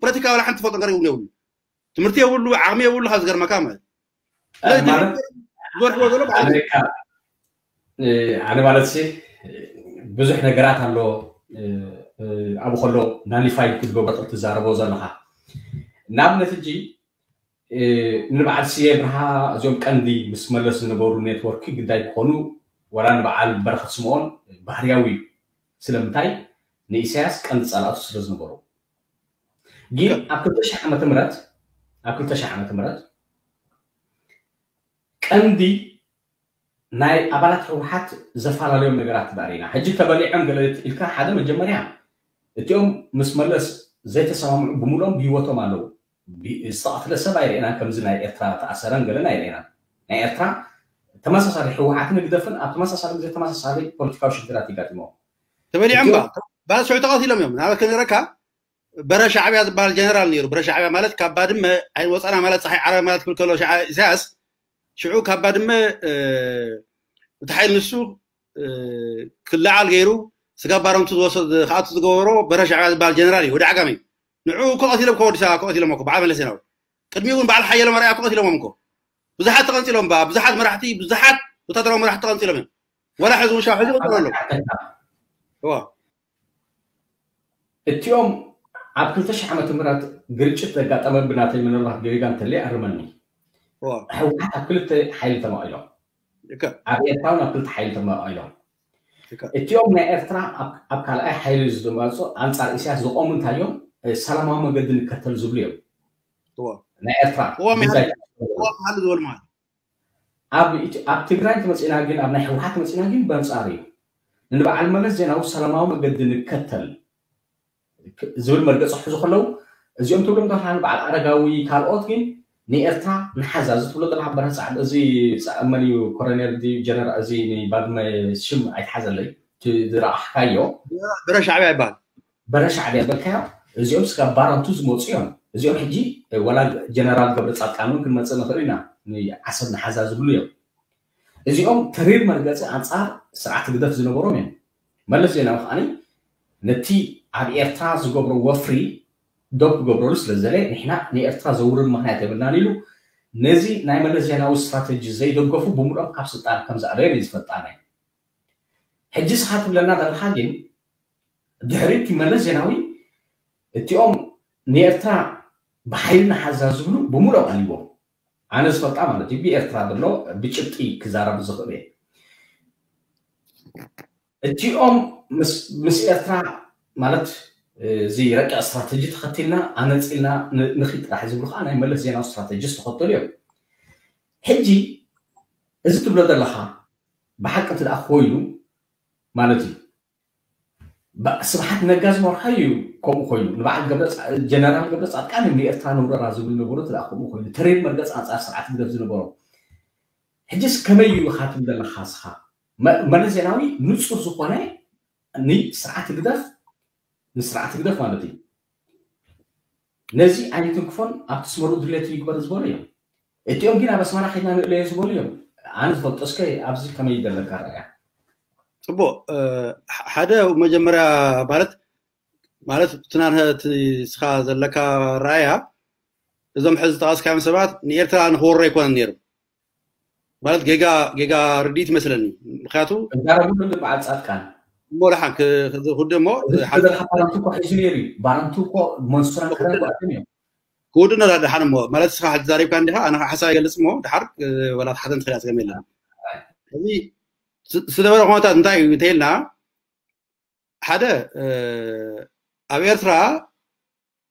ፖለቲካ ዋላ ሓንቲ ፈልጦ ነገር እውን የብሉ ትምህርቲ የብሉ ዓቕሚ የብሉ ካብ ዝገርመካ ማለት ዝወርሕዎ ዘሎ ኣነ ማለት ሲ ብዙሕ ነገራት ኣሎ ኣብኡ ከሎ ናሊፋይ ክትገብሮ ትዛረቦ ዘለኻ ንኣብነት እጂ ንበዓል ስየ ብርሃ እዚኦም ቀንዲ ምስ መለስ ዝነበሩ ኔትወርክ ግዳይ ክኾኑ ዋላ ንበዓል በረኸት ስምኦን ባህርያዊ እዩ ስለምንታይ ንኢሳያስ ቀንዲ ጸላእቱ ስለ ዝነበሩ ግን ኣብ ክልተ ሺሕ ዓመተ ምህረት ኣብ ክልተ ሺሕ ዓመተ ምህረት ቀንዲ ናይ ኣባላት ህወሓት ዘፈላለዮም ነገራት ዳሪና ሕጂ ተበሊዖም ገለ ኢልካ ሓደ መጀመርያ እቲኦም ምስ መለስ ዘይተሰማምዑ ብምሉኦም ብሂወቶም ኣለዉ ዝተቐትለ ሰብ ኣይርኤናን ከምዚ ናይ ኤርትራ ተኣሰረን ገለን ኣይርኤናን ናይ ኤርትራ ተመሳሳሊ ህወሓትን ህግደፍን ኣብ ተመሳሳሊ ግዜ ተመሳሳሊ ፖለቲካዊ ሽግራት ይጋጥሞ ተበሊዖም ባ ባስሑ ተቐቲሎም እዮም ናበት ከነረካ በረ ሻዕብያ ዝበሃል ጀነራል ነይሩ በረ ሻዕብያ ማለት ካብ ባድመ ኣይወፀና ማለት ፀሓይ ዓረብ ማለት ክብል ከሎ ኢሳያስ ሽዑ ካብ ባድመ እቲ ሓይል ንሱ ክለዓል ገይሩ ስጋብ ባረንቱ ዝወሰድ ክኣቱ ዝገበሮ በረ ሻዕብያ ዝበሃል ጀነራል እዩ ወዲ ዓጋመ እዩ ንዑ እኮ ቀቲሎም እኮ ወዲ ሰባ እኮ ቀቲሎም እኮ በዓል መለስ ዜናዊ ቅድሚኡ እውን በዓል ሓየሎም ኣርኣያ እኮ ቀቲሎሞም እኮ ብዙሓት ተቐንፂሎም ባ ብዙሓት መራሕቲ ብዙሓት ወታደራዊ መራሕቲ ተቐንፂሎም እዮም ወላ ሕዚ እውን ሻው ሕዚ ይቕፅሉ ኣለዉ እዋ እቲኦም ኣብ ክልተ ሺሕ ዓመተ ምህረት ግርጭት ዘጋጠመ ብናተይ ምናልባት ገሪጋ እንተለይ ኣርመኒ ህወሓት ኣብ ክልተ ሓይሊ ተማቒሎም ኣብ ኤርትራውን ኣብ ክልተ ሓይሊ ተማቒሎም እቲኦም ናይ ኤርትራ ኣብ ካልኣይ ሓይሊ ዝመፁ ኣንፃር ኢሳያስ ዝቆሙ እንታይ እዮም ሰላማዊ መገዲ ንከተል ዝብሉ እዮም ናይ ኤርትራ ዝበሉ ማለት ኣብ ትግራይ ተመፂና ግን ኣብ ናይ ህወሓት መፂና ግን በንፃር እዩ ንበዓል መለስ ዜናዊ ሰላማዊ መገዲ ንከተል ዝብል መርገፂ ክሕዙ ከለዉ እዚኦም ትብሎም ተባሃሉ በዓል ኣረጋዊ ካልኦት ግን ንኤርትራ ንሓዛ እዚ ትብሎ ዘለካ በረህ ፃዕዳ እዚ መን እዩ ኮረኔል ጀነራል እዚ ባድመ ሽም ኣይትሓዘለይ ዝረኣሕካዮ በረ ሻዕብያ ይበሃል በረ ሻዕብያ በልካዮ እዚኦም ስጋብ ባረንቱ ዝመፁ እዮም እዚኦም ሕጂ ወላ ጀነራል ገብረ ፃድቃን እውን ክንመፅእ ንኽእል ኢና ዓሰብ ንሓዛ ዝብሉ እዮም እዚኦም ተሪር መርገፂ ኣንፃር ስርዓት ህግደፍ ዝነበሮም እዮም መለስ ዜናዊ ከዓኒ ነቲ ኣብ ኤርትራ ዝገብሮ ወፍሪ ደው ክገብረሉ ስለ ዝደለየ፣ ንሕና ንኤርትራ ዘውርድ ምኽንያት የብልናን ኢሉ ነዚ ናይ መለስ ዜናዊ ስትራተጂ ዘይደገፉ ብምሉኦም ካብ ስልጣን ከም ዘዕረዮም እዩ ዝፈልጣና። ሕጂ ስኻ ትብለና ዘለኻ ግን ድሕሪ እቲ መለስ ዜናዊ እቲኦም ንኤርትራ ብሓይሊ ንሓዛ ዝብሉ ብምሉኦም ኣልዎም። ኣነ ዝፈልጣ ማለት እዩ ብኤርትራ ዘሎ ብጭብጢ ክዛረብ ዝኽእል እየ። እቲኦም ምስ ኤርትራ ማለት እዚ ረቂቕ ስትራተጂ ተኸቲልና ኣነፂልና ንኺድ ጥራሕ ዝብሉ ከዓ ናይ መለስ ዜናዊ ስትራተጂ ዝተኸተሉ እዮም። ሕጂ እዚ ትብሎ ዘለኻ ብሓቂ እቲ ደኣ ኮይኑ ማለት እዩ። ስብሓት ነጋ ዝመርሖ እዩ ከምኡ ኮይኑ ንበዓል ጀነራል ገብረ ፃድቃን ንኤርትራ ንውረራ ዝብል ነበሩ እቲ ከምኡ ኮይኑ ተሬድ መርገፅ ኣንፃር ስርዓት ግደፍ ዝነበሮ። ሕጅስ ከመይ እዩ ኢኻ ትብል ዘለኻ እስኻ? መለስ ዜናዊ ንፁር ዝኾነ ንስርዓት ግደፍ ንስርዓት ግደፍ ማለት እዩ። ነዚ ኣይንትንክፎን ኣብቲ ስመሩ ድሌቱ ይግበር ዝበሉ እዮም። እቲኦም ግን ኣብ ኣስመራ ከይድና ንእለዮ ዝበሉ እዮም። ኣነ ዝፈልጦ እስከ ኣብዚ ከመይ ዘለካ ረኣያ? ፅቡቅ ሓደ መጀመርያ ማለት ማለት ትናንት ስኻ ዘለካ ረኣያ እዞም ሕዚ ዝጠቐስካዮም ሰባት ንኤርትራ ንክወሮ ኣይኮነን ነይሩ ማለት ጌጋ ጌጋ ርድኢት ይመስለኒ። ምክንያቱ እዛረቡ በዓል ፃድቃን እሞ ደሓን ክውድእ እሞ ባረንቱ እኮ ሒዙ ነይሩ እዩ። ባረንቱ እኮ መንሱራ ክረጓትን እዮም። ክውድእ ነራ ደሓን እሞ ማለት ስኻ ሕዚ ዛሪብካ እንዲኻ ኣነ ሓሳብ ይገልፅ እሞ ድሓር ወላ ሓተን ትኽእል ኣስገም የለን። እዚ ዝነበረ ኩነታት እንታይ እዩ እንተይልና ሓደ ኣብ ኤርትራ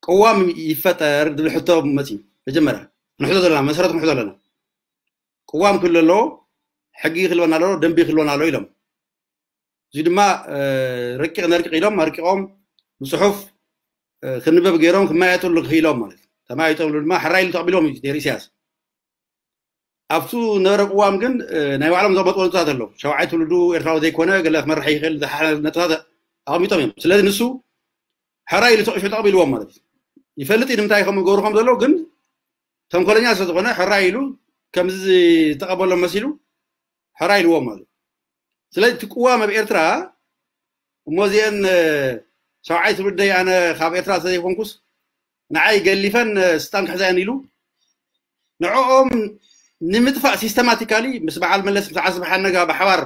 ቅዋም ይፈጠር ዝብል ሕቶ መፅዩ። መጀመርያ ክንሕቶ ዘለና መሰረት ክንሕቶ ኣለና። ቅዋም ክህሉ ኣለዎ፣ ሕጊ ክህልወና ኣለዎ፣ ደንቢ ክህልወና ኣለዎ ኢሎም። እዚ ድማ ረቂቕ ነርቂቕ ኢሎም ኣርቂቖም ብፅሑፍ ክንበብ ገይሮም ክመያየጥሉ ክኢሎም ማለት እዩ። ተመያይጦምሉ ድማ ሕራይ ኢሉ ተቐቢሎም እዩ ነይሩ ኢሳያስ። ኣብቱ ነበረ ቅዋም ግን ናይ ባዕሎም ዘቐመጥዎ ነጥብታት ኣለዉ። ሸውዓይ ትውልዱ ኤርትራዊ ዘይኮነ ገለ ክመርሕ ይኽእል ዝሓለ ነጥብታት ኣቐሚጦም እዮም። ስለዚ ንሱ ሕራይ ኢሉ ተቑሹ ተቐቢልዎም ማለት እዩ። ይፈልጥ እዩ ንምንታይ ከምኡ ገብሩ ከም ዘለዉ ግን ተንኮለኛ ስለ ዝኾነ ሕራይ ኢሉ ከምዚ ዝተቐበሎም መሲሉ ሕራይ ኢልዎም ማለት እዩ። ስለዚ እቲ ቅዋም ኣብ ኤርትራ እሞ እዚአን ሸውዓይ ትውልደይ ኣነ ካብ ኤርትራ ስለዘይኮንኩስ ንዓይ ገሊፈን ስልጣን ክሕዛየን ኢሉ ንዕኦም ንምጥፋእ ሲስተማቲካሊ ምስ በዓል መለስ ምስ ዓስቢ ሓነጋ ብሓባር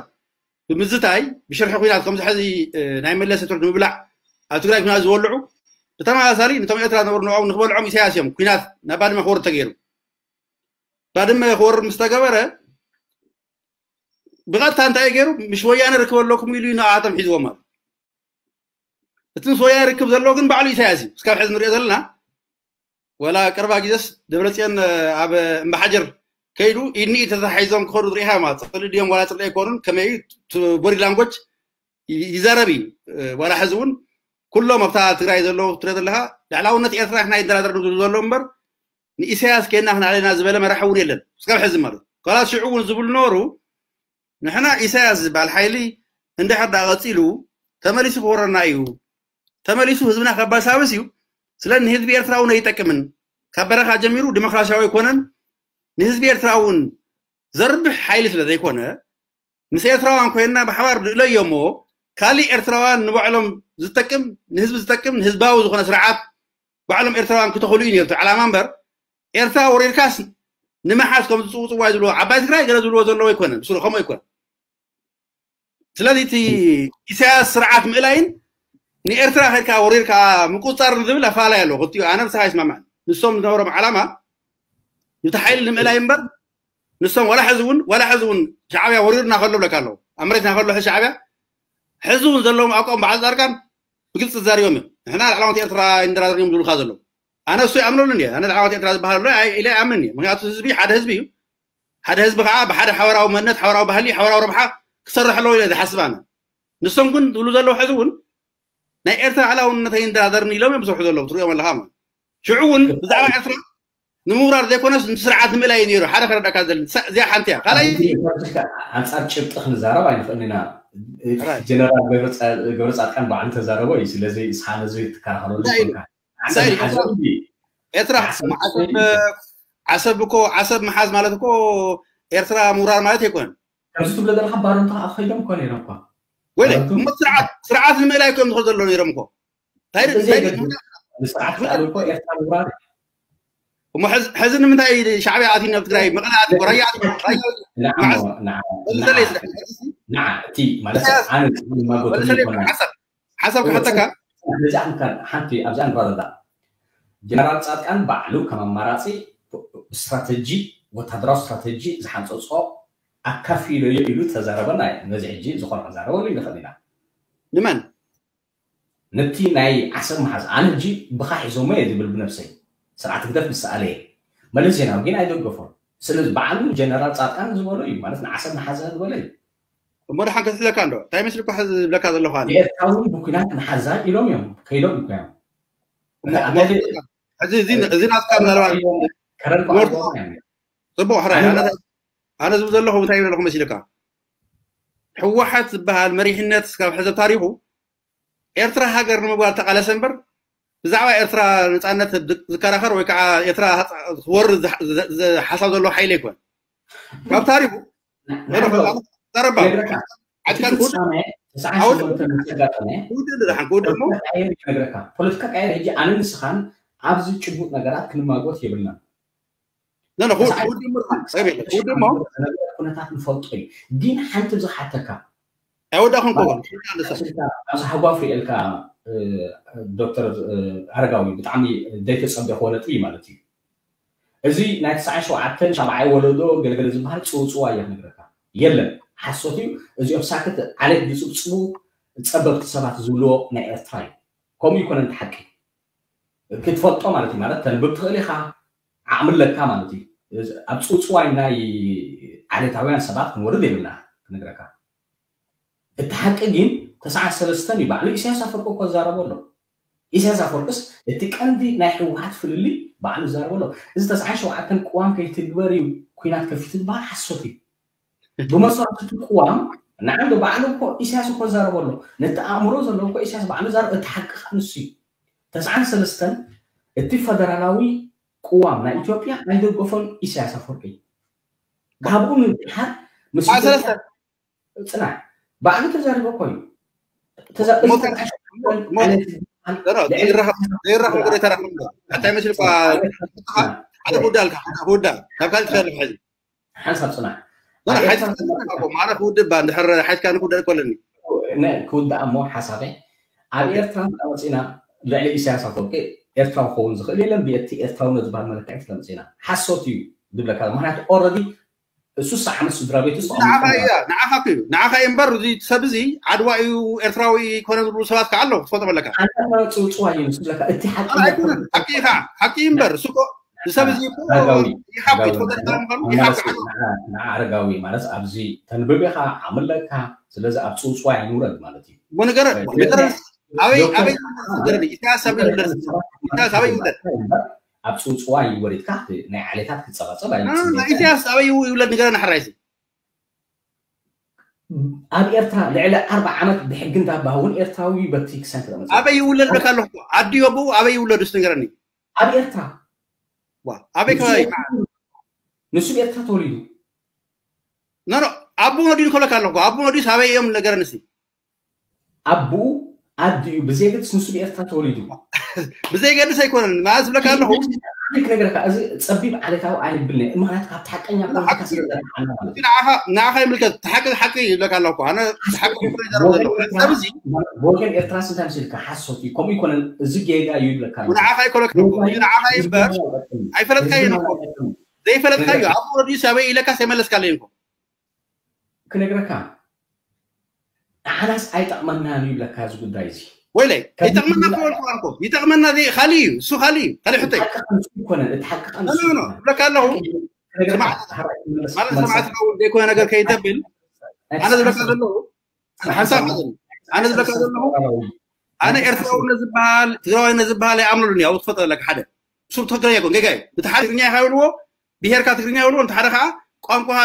ብምዝታይ ብሽርሒ ኩናት ከምዚ ሕዚ ናይ መለስ ትርድ ምብላዕ ኣብ ትግራይ ኩናት ዝወልዑ ብተመሳሳሊ ነቶም ኤርትራ ዝነበሩ ንዕኦም ንክበልዖም ኢሳያስ እዮም ኩናት ናብ ባድመ ክወርድ ተገይሩ። ባድመ ክወርድ ምስ ተገበረ ብቐጥታ እንታይ ገይሩ ምስ ወያነ ርክብ ኣለኩም ኢሉ ንኣቶም ሒዝዎም ማለት እቲ ምስ ወያነ ርክብ ዘለዎ ግን ባዕሉ ኢሳያስ እዩ። እስካብ ሕዚ ንሪኦ ዘለና ወላ ቅርባ ግዜስ ደብረፅዮን ኣብ እምባሓጀር ከይዱ ኢድኒ ተታሒዞም ክኸዱ ዝሪኢኻ ማለት ፅልኢ ድዮም ዋላ ፅልኢ ኣይኮኑን ከመይ ቦዲ ላንጎጅ ይዛረብ እዩ። ዋላ ሕዚ እውን ኩሎም ኣብታ ትግራይ ዘለዉ ትሪኦ ዘለኻ ልዕላውነት ኤርትራ ንሕና ይደራደር ዝብሉ ዘለዉ እምበር ንኢሳያስ ኬና ክናዕለና ዝበለ መራሒ እውን የለን እስካብ ሕዚ ማለት ኮላ ሽዑ እውን ዝብሉ ነበሩ። ንሕና ኢሳያስ ዝበሃል ሓይሊ እንድሕር ዳ ቀፂሉ ተመሊሱ ክወረና እዩ። ተመሊሱ ህዝብና ከባሳብስ እዩ። ስለ ንህዝቢ ኤርትራ እውን ኣይጠቅምን። ካብ በረኻ ጀሚሩ ዲሞክራሲያዊ ኣይኮነን። ንህዝቢ ኤርትራ እውን ዘርብሕ ሓይሊ ስለ ዘይኮነ ምስ ኤርትራውያን ኮይንና ብሓባር ንእለዮ እሞ ካሊእ ኤርትራውያን ንባዕሎም ዝጠቅም ንህዝቢ ዝጠቅም ንህዝባዊ ዝኾነ ስርዓት ባዕሎም ኤርትራውያን ክተኽሉ እዩ ነርቱ ዓላማ እምበር ኤርትራ ወሪርካስ ንምሓዝ ከም ዝፅውፅዋ ዝብልዎ ዓባይ ትግራይ ገለ ዝብልዎ ዘለዎ ኣይኮነን። ስለ ከምኡ ኣይኮነን። ስለዚ እቲ ኢሳያስ ስርዓት ምእላይን ንኤርትራ ከድካ ወሪርካ ምቁፅፃር ዝብል ኣፋላይ ኣለዎ። ክልቲኡ ኣነ ብስኻ ይስማማዕ። ንሶም ዝነበሮም ዓላማ ነቲ ሓይሊ ንምእላይ እምበር ንሶም ዋላ ሕዚ እውን ዋላ ሕዚ እውን ሻዕብያ ወሪሩና ከሎ ብለካ ኣለዉ ኣብ መሬትና ከሎ ሕዚ ሻዕብያ ሕዚ እውን ዘለዎም ኣቋም በዓል ፃድቃን ብግልፂ ተዛሪቦም እዮም። ንሕና ላዕላወት ኤርትራ ይንደራደር እዮም ዝብሉካ ዘለዉ ኣነ እሱ ይኣምነሉ እየ። ኣነ ላዕላወት ኤርትራ ዝበሃል ኣሎ ኢለ ይኣምን እየ። ምክንያቱ ህዝቢ ሓደ ህዝቢ እዩ። ሓደ ህዝቢ ከዓ ብሓደ ሓበራዊ መንነት ሓበራዊ ባህሊ ሓበራዊ ረብሓ ክሰርሕ ኣለዎ ኢለ ዝሓስብ ኣነ። ንሶም ግን ዝብሉ ዘለዉ ሕዚ እውን ናይ ኤርትራ ላዕላውነት ኣይንደራደርን ኢሎም እዮም ዝሰርሑ ዘለዉ ትሪኦም ኣለካ ማለት ሽዑ እውን ብዛዕባ ኤርትራ ንምውራር ዘይኮነስ ነቲ ስርዓት ንምእላይ እዩ ነይሩ ሓደ ከረዳእካ ዘለ እዚኣ ሓንቲ እያ ካልኣይ ኣንፃር ጭብጢ ክንዛረብ ኣይንኽእልን ኢና። ጀነራል ገብረ ፃድቃን ባዕሉ ተዛረቦ እዩ። ስለዚ እስኻ ነዚ ትከራኸረሉ ኤርትራ ዓሰብ እኮ ዓሰብ ምሓዝ ማለት እኮ ኤርትራ ምውራር ማለት ኣይኮነን። ከምዚ ትብሎ ዘለካ ባረንቱ ከዓ ከይዶም እኮ ነይሮም እኳ ወለ እሞ ስርዓት ስርዓት ንምእላይ እዮም ዝኸዱ ዘለዉ ነይሮም እኮ እንታይ እንታይ ንስርዓት ክኣሉ እኮ ኤርትራ ምውራር እሞ ሕዚ ንምንታይ ሻዕብያ ኣትዩ ናብ ትግራይ መቐለ ኣትዩ ራያ ኣትዩ ንዓ እቲ ማለት ኣነ ማጎት ሓሳብ ክሓተካ ነዚኣ እንካ ሓንቲ ኣብዚኣ ንረዳ ጀነራል ፃድቃን ባዕሉ ከም ኣማራፂ ስትራተጂ ወታደራዊ ስትራተጂ ዝሓንፀፆ ኣካፊለዮ ኢሉ ተዛረበና ነዚ ሕጂ ዝኾነ ክዛረበሉ ንኽእል ኢና ንመን ነቲ ናይ ዓሰብ መሓዝ ኣነ ሕጂ ብኻ ሒዞሞ እየ ዝብል ብነብሰይ ስርዓት ህግደፍ ምስ ሰኣለ እየ መለስ ዜናዊ ግን ኣይደገፎን ስለዚ ባዕሉ ጀነራል ፃድቃን ዝበሎ እዩ ማለት ንዓሰብ መሓዛ ዝበሎ እዩ እሞ ደሓን ከስለካ እንዶ እንታይ መስልኩ ሕዚ ዝብለካ ዘለኹ ኣነ ኤርትራዊ ብኩናት መሓዛ ኢሎም እዮም ከይዶም እኮ እዮም ሕዚ እዚ ናትካ ምናልባት ጽቡቅ ሕራይ ኣነ ዝብ ዘለኹ እንታይ ይብለኹ መሲልካ ህወሓት ዝበሃል መሪሕነት ስካብ ሕዚ ታሪኹ ኤርትራ ሃገር ንምግባር ተቃለሰ እምበር ብዛዕባ ኤርትራ ነፃነት ዝከራኸር ወይ ከዓ ኤርትራ ክወርድ ሓሳብ ዘለዎ ሓይሊ ኣይኮን ካብ ታሪኹ ፖለቲካ ቀየር ሕጂ ኣነ ንስኻን ኣብዚ ጭቡጥ ነገራት ክንማጎት የብልናን ኩነታት ንፈልጦ እዩ ግን ሓንቲ ዝሓተካ ኣይወዳኹም ኣብዚ ሓጓፍ ሪኤልካ ዶክተር ኣረጋዊ ብጣዕሚ ዘይተፀበኽዎ ነጥቢ እዩ ማለት እዩ እዚ ናይ ተስዓን ሸውዓተን ሻብዓይ ወለዶ ገለገለ ዝበሃል ፅውፅዋ እየ ክነግረካ የለን ሓሶት እዩ እዚኦም ሳክት ዓሌት ዝፅብፅቡ ፀበብቲ ሰባት ዝብልዎ ናይ ኤርትራ እዩ ከምኡ ይኮነ ሓቂ ክትፈልጦ ማለት እዩ ማለት ተንብብ ትኽእል ኢኻ ዓቕሚ ኣለካ ማለት እዩ ኣብ ፅውፅዋይ ናይ ዓሌታውያን ሰባት ክንወርድ የብልና ክነግረካ እቲ ሓቂ ግን ተስዓን ሰለስተን እዩ ባዕሉ ኢሳያስ ኣፈወርቂ እኮ ዛረቦ ኣሎ ኢሳያስ ኣፈወርቅስ እቲ ቀንዲ ናይ ህወሓት ፍልልይ ባዕሉ ዛረቦ ኣሎ እዚ ተስዓን ሸውዓተን ቅዋም ከይትግበር እዩ ኩናት ከፊቱ ዝበሃል ሓሶት እዩ ብመሰረቱ እቲ ቅዋም ንዓንዶ ባዕሉ እኮ ኢሳያስ እኮ ዛረቦ ኣሎ ነቲ ኣእምሮ ዘለዎ እኮ ኢሳያስ ባዕሉ ዛረብ እቲ ሓቂ ከዓ ንሱ እዩ ተስዓን ሰለስተን እቲ ፈደራላዊ ቅዋም ናይ ኢትዮጵያ ኣይደገፎን ኢሳያስ ኣፈወርቂ ካብኡ ምድሓር ምስ ጽናሕ ባዕሉ ተዛሪቦ እኮ እዩ ዘይራኸብ ጉዳይ ተራኸብ እንታይ መስል ሓደ ክውዳ ኣልካ ሓደ ክውዳ ናብ ካልእ ትፈልፍ ሕዚ ሓንሳብ ፅናሕ ማራ ክውድእ ባ እንድሕር ሓይትካ ንክውዳእ ይኮለኒ ክውዳእ እሞ ሓሳበይ ኣብ ኤርትራ መፂና ልዕሊ ኢሳያስ ኣፈወርቂ ኤርትራዊ ክኸውን ዝኽእል የለን ብቲ ኤርትራውነት ዝበሃል መለክዒ ስለምፅና ሓሶት እዩ ዝብለካ ምክንያቱ ኦረዲ እሱ ሰዓመት ስድራ ቤት ውስጥ ንዓኻ እያ ንዓኻ እዩ ንዓኻ እዩ እምበር እዚ ሰብ እዚ ዓድዋ እዩ ኤርትራዊ ኮነ ዝብሉ ሰባት ከዓ ኣለዉ ክትፈልጦ ኣለካ ፅውፅዋ እዩ ንስለካ እቲ ሓቂ ኣይኮነን ሓቂ ኢኻ ሓቂ እዩ እምበር እሱ ሰብ እዚ ይሓቁ ትፈልጦ ምዃኑ ይሓቁ ኣረጋዊ ማለት ኣብዚ ተንብብ ኢኻ ዓምለካ ስለዚ ኣብ ፅውፅዋ ይንውረድ ማለት እዩ ንገረ ንገረ ኣበይ ኣበይ ይውለድ ንገረኒ ኢሳያስ ኣበይ ይውለድ ኢሳያስ ኣበይ ይውለድ ኣብ ፅውፅዋይ ወሪድካ ናይ ዓሌታት ክፀባፀብ ኣይፅን ኢሳያስ ኣበይ ይውለድ ንገረኒ ሕራይሲ ኣብ ኤርትራ ልዕሊ ኣርባ ዓመት ብሕጊ እንዳባ እውን ኤርትራዊ በቲ ክሳን ክረመፅ ኣበይ ይውለድ በካ ኣለኹ ኣዲ ኣቦኡ ኣበይ ይውለዱ ስ ንገረኒ ኣብ ኤርትራ ኣበይ ከባቢ ንሱ ብኤርትራ ተወሊዱ ኖ ኣቦ ወዲዱ ከለካ ኣለኹ ኣቦ ወዲስ ኣበይ እዮም ነገረኒ ሲ ኣቦኡ ኣዲኡ ብዘየገድስ ንሱ ብኤርትራ ተወሊዱ ብዘየገድስ ኣይኮነን ማለት ዝብለካ ኣለኹ ክነግረካ እዚ ፀቢብ ዓሌታዊ ኣይብልኒ ምክንያት ካብ ሓቀኛ ንዓኻ ይምልከት ሓቂ ሓቂ ይብለካ ኣለኩ ኣነ ሓቂ ወገን ኤርትራ ስንታይ ምስልካ ሓሶት እዩ ከምኡ ይኮነን እዚ ጌጋ እዩ ይብለካ ንዓኻ ይኮነካ ንዓኻ ይምበር ኣይፈለጥካዮ ዘይፈለጥካዮ ኣብ ወረዲ ሰበይ ኢለካ ሰይመለስካለይ እንኮ ክነግረካ ንዓናስ ኣይጠቕመናን እዩ ይብለካ እዚ ጉዳይ እዚ ወይለይ ይጠቕመና ክበልኩ ይጠቕመና ካልእ እዩ እሱ ካልእ እዩ ካልእ ሕቶ ይኮነን እቲ ሓቂ ዝብለካ ኣለኹ ማለት ሰማዕት ዘይኮነ ነገር ከይተብል ኣነ ዝብለካ ዘለኹ ሓንሳብ ኣነ ዝብለካ ዘለኹ ኣነ ኤርትራውነት ዝበሃል ትግራዋይነት ዝበሃል ኣይኣምነሉን እዩ ኣብ ትፈጠ ዘለካ ሓደ እሱ ትኽክለኛ ይኮን ጌጋ እዩ እቲ ሓደ ትግርኛ ኢኻ ይብልዎ ብሄርካ ትግርኛ ይብልዎ እንተ ሓደ ከዓ ቋንቋኻ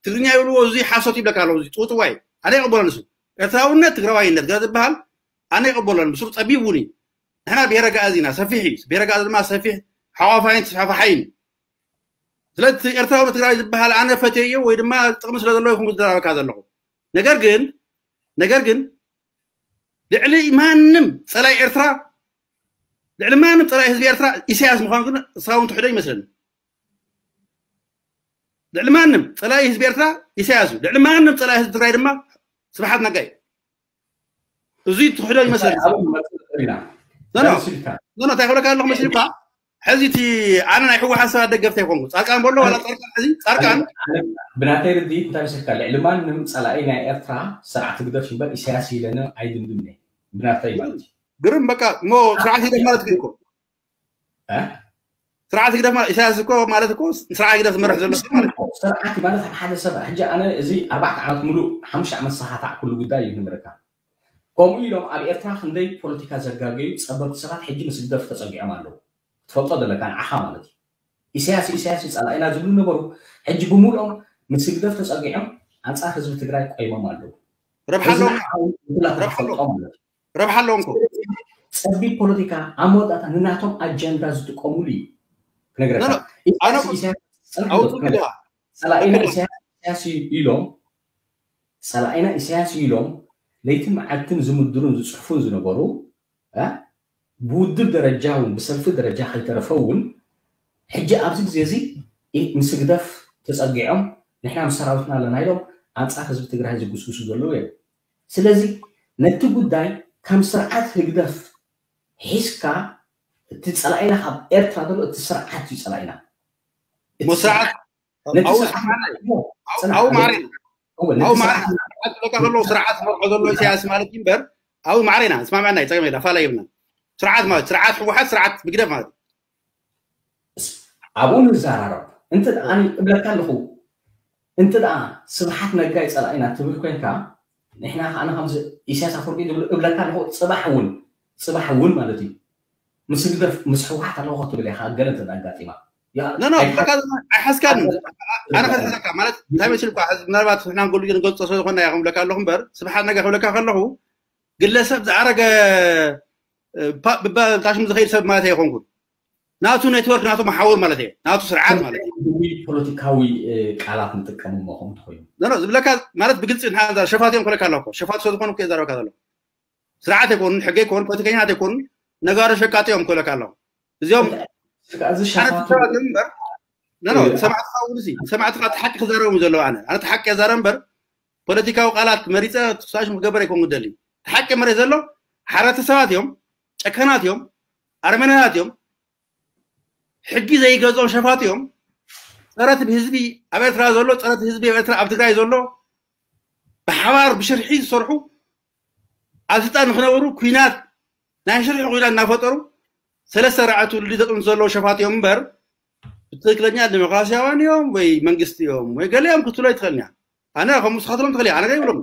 ትግርኛ ይብልዎ እዚ ሓሶት ይብለካ ኣለዉ እዚ ፅውፅዋይ ኣነ ይቕበሎ ንሱ ኤርትራውነት ትግራዋይነት ገለ ዝበሃል ኣነ ይቕበሎ ንሱ ፀቢብ እውን እዩ ንሕና ብሄረ ጋእዝ ኢና ሰፊሕ እዩ ብሄረ ጋእዝ ድማ ሰፊሕ ሓዋፋይን ተስፋፋሓይን እዩ ስለዚ ኤርትራዊ ትግራዊ ዝበሃል ኣነ ፈትየዮ ወይ ድማ ጥቕሚ ስለ ዘለዎ ይኹን ዝደራበካ ዘለኹ ነገር ግን ነገር ግን ልዕሊ ማንም ጸላይ ኤርትራ ልዕሊ ማንም ጸላይ ህዝቢ ኤርትራ ኢሳያስ ምዃኑ ግን እስኻ እውን ትሕዶ ይመስለኒ። ልዕሊ ማንም ጸላይ ህዝቢ ኤርትራ ኢሳያስ እዩ። ልዕሊ ማንም ጸላይ ህዝቢ ትግራይ ድማ ስብሓት ነጋ እዩ። እዙይ ትሕዶ ይመስለኒ። ኖ እንታይ ክብለካ ኣለኹ መሲልካ? ሕዚ እቲ ኣነ ናይ ህወሓት ሰባት ደገፍቲ ኣይኮንኩ። ፃርቃን በሎ ዋላ ፃርቃን ሕዚ ፃርቃን ብናተይ ርድኢት እንታይ መሲልካ? ልዕሊ ማንም ጸላኢ ናይ ኤርትራ ስርዓት ህግደፍ እምበር ኢሳያስ ኢለነ ኣይድምድምነ። ብናተይ ማለት እዩ። ግርም በቃ እሞ ስርዓት ህግደፍ ማለት ግን እኮ ስርዓት ህግደፍ ማለት ኢሳያስ እኮ ማለት እኮ ስርዓት ህግደፍ ዝመርሕ ዘሎ ሰብ ማለት እዩ። ስርዓት ማለት ኣብ ሓደ ሰብ ሕጂ ኣነ እዚ ኣርባዕተ ዓመት ሙሉእ ሓሙሽተ ዓመት ሰኻታዕ ኩሉ ጉዳይ እዩ ንምርካ። ከምኡ ኢሎም ኣብ ኤርትራ ክንደይ ፖለቲካ ዘጋገዩ ጸበብቲ ሰባት ሕጂ ምስ ህግደፍ ተጸጊዖም ኣለዉ። ትፈልጦ ዘለካ ንዓኻ ማለት እዩ። ኢሳያስ ኢሳያስ እዩ ጸላኢና ዝብሉ ነበሩ። ሕጂ ብምሉኦም ምስ ህግደፍ ተጸጊዖም ኣንጻር ህዝቢ ትግራይ ቆይሞም ኣለዉ። ረብሓ እዚ ኣለዎም ንዓኻ እውን ኩላትካ ረብሓ ኣለዎም። ትፈልጦ ማለት እዩ። ረብሓ ኣለዎም እኮ ጸቢብ ፖለቲካ ኣብ መወዳእታ ንናቶም ኣጀንዳ ዝጥቀሙሉ እዩ ክነግረካ። ኖ፣ ኖ፣ ኣነ ኢሳያስ እኮ ኢሳያስ ጸንሑ ኣውጡ ክነግረካ። ግዳ ጸላኢና ኣክል ኢሳያስ ኢሳያስ እዩ ኢሎም ጸላኢና ኢሳያስ እዩ ኢሎም ለይትን መዓልትን ዝምድሩን ዝጽሕፉን ዝነበሩ እ? ብውድብ ደረጃ እውን ብሰልፊ ደረጃ ከይተረፈ እውን ሕጂ ኣብዚ ግዜ እዚ ኢ- ምስ ህግደፍ ተጸጊዖም ንሕና ምስ ሰራዊትና ኣለና ኢሎም ኣንጻር ህዝቢ ትግራይ ዝጉስጉሱ ዘለዉ እዮም። ስለዚ ነቲ ጉዳይ ከም ስርዓት ህግደፍ ሒዝካ እቲ ጸላኢና ካብ ኤርትራ ዘሎ እቲ ስርዓት እዩ ጸላኢና። እቲ እሞ ስርዓት ነቲ ኣብኡ ስርዓት ስርዓት ጽናዕ፣ ኣብኡ ማዕሬና እወ፣ ነቲ ኣብኡ ስርዓት ማዕሬና ስርዓት ዝብለካ ከለዉ ስርዓት ዝመርሖ ዘሎ ኢሳያስ ማለት እዩ እምበር ኣብኡ ማዕሬና ስማዕና ኣይፀገም የላ ፋላ ይብልና። ስርዓት ማለት ስርዓት ህወሓት ስርዓት ህግደፍ ማለት እዩ። ኣብኡ ንዘራረብ። እንተ ደኣ ኣነ እብለካ ኣለኹ፣ እንተ ደኣ ስብሓት ነጋ እዩ ጸላኢና ትብል ኮይንካ፣ ንሕና ከኣ ከምዚ ኢሳያስ ኣፈወርቂ ዝብሉ እብለካ ኣለኹ፣ ጽባሕ እውን፣ ጽባሕ እውን ማለት እዩ። ምስ ህግደፍ፣ ምስ ህወሓት ኣለኹ ክትብል ኢኻ፣ ገለ እንተ ደኣ ኣጋጢማ። ያ፣ ኖ፣ ኖ፣ ኣይትሓ- ብሓካ ኣይሓዝካን። ኣነ ከዝሕዘካ ማለት እንታይ መሲልኳ፣ ሕዚ ምናልባት ንሕና ንገሉ ንገልጾ ስለ ዝኾንና ኢና ክብለካ ኣለኹ እምበር፣ ስብሓት ነጋ ክብለካ ከለኹ፣ ግለሰብ ዝኣረገ፣ እ፣ ፓ-፣ ብባ-፣ ታሽም ዝኸይድ ሰብ ማለት ኣይኮንኩን። ናቱ ኔትወርክ፣ ናቱ መሓውር ማለት እየ። ናቱ ስርዓት ማለት እዩ። ፖለቲካዊ፣ እ፣ ቃላት ንጥቀም እሞ ከምኡ ተኾይኑ። ኖ፣ ኖ፣ ዝብለካ ማለት ብግልጺ ንሓዛ ሸፋት እዮም ክብለካ ኣለኹ። ሸፋት ስለ ዝኾኑ እኮ እየ ዘረበካ ዘለኹ። ስርዓት ኣይኮኑን፣ ሕጊ ኣይኮኑን፣ ፖለቲከኛታት ኣይኮኑን፣ ነጋዶ ሸቃጢ እዮም ክብለካ ኣለኹ። እዚኦም እዚ ኣነ ሸፋቱ ትሰማት እምበር፣ ኖ፣ ኖ፣ እ፣ ንሰማዕትኻ እውን እዚ፣ ንሰማዕትኻ እቲ ሓቂ ክዛረቦም ዘለዉ ኣነ። ኣነ እቲ ሓቂ እየ ዛረብ እምበር፣ ፖለቲካዊ ቃላት መሪጸ ትሳሽም ክገብር ኣይኮን ክደሊ። እቲ ሓቂ መሬት ዘሎ ሓረርቲ ሰባት እዮም፣ ጨካናት እዮም፣ ኣረመኔታት እዮም፣ ሕጊ ዘይገዝኦም ሸፋት እዮም። ጸረ እቲ ህዝቢ ኣብ ኤርትራ ዘሎ፣ ጸረ እቲ ህዝቢ ኣብ ኤርትራ ኣብ ትግራይ ዘሎ፣ ብሓባር ብሽርሒ ዝሰርሑ ኣብ ስልጣን ንክነብሩ ኩናት፣ ናይ ሽርሒ ኩናት እናፈጠሩ ሰለስተ ራዕቲ ትውልዲ ዘጥምቱ ዘለዉ ሸፋት እዮም እምበር፣ ብትክክለኛ ዲሞክራሲያውያን እዮም ወይ መንግስቲ እዮም ወይ ገለ እዮም ክትብሎ ኣይትኽእልን እያ። ኣነ ከም ንስኻትሎም ትኽእል እያ፣ ኣነ ገይብሎም።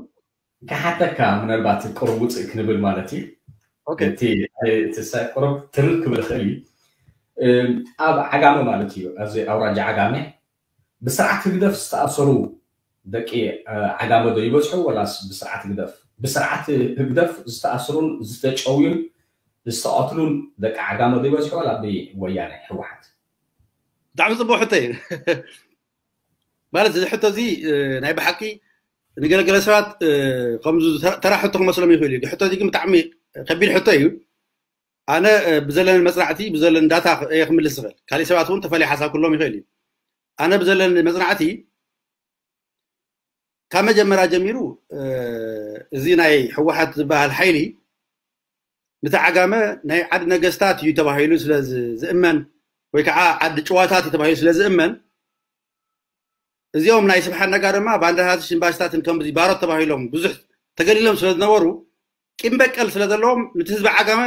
ክሓተካ ምናልባት ቅሩብ ውፅእ ክንብል ማለት እዩ። ኦኬ። እቲ እቲ ሳ-፣ ቅሩብ ትርር ክብል ይኽእል እዩ። እም፣ ኣብ ዓጋመ ማለት እዩ፣ ኣብዚ ኣውራጃ ዓጋመ ብስርዓት ህግደፍ ዝተኣሰሩ ደቂ፣ እ፣ ዓጋመ ዶ ይበዝሑ ወላስ ብስርዓት ህግደፍ? ብስርዓት ህግደፍ ዝተኣስሩን ዝተጨውዩን ዝተቐትሉን ደቂ ዓጋመ ዶ ይበዝሑ ወላ ብወያነ ህወሓት? ብጣዕሚ ጽቡቕ ሕቶ እዩ። ማለት እዚ ሕቶ እዚ፣ እ፣ ናይ ብሓቂ ንገለገለ ሰባት፣ እ፣ ከምዚ ተራ፣ ተራ ሕቶ ክመስሎም ይኽእል እዩ። ሕቶ እዚ ግን ብጣዕሚ ከቢድ ሕቶ እዩ። ኣነ፣ እ፣ ብዘለኒ መጽናዕቲ፣ ብዘለኒ ዳታ እየ ክምልስ ዝኽእል። ካሊእ ሰባት እውን ተፈልየ ሓሳብ ክህልዎም ይኽእል እዩ። ኣነ ብዘለኒ መጽናዕቲ ካብ መጀመርያ ጀሚሩ፣ እ፣ እዚ ናይ ህወሓት ዝበሃል ሓይሊ ነቲ ዓጋመ ናይ ዓዲ ነገስታት እዩ ተባሂሉ ስለ ዝ-፣ ዝእመን ወይ ከዓ ዓዲ ጭዋታት እዩ ተባሂሉ ስለ ዝእመን እዚኦም ናይ ስብሓት ነጋ ድማ ባንዳታትን ሽምባሽታትን ከምዚ ባሮት ተባሂሎም ብዙሕ ተገሊሎም ስለ ዝነበሩ ቂም በቀል ስለ ዘለዎም ነቲ ህዝቢ ዓጋመ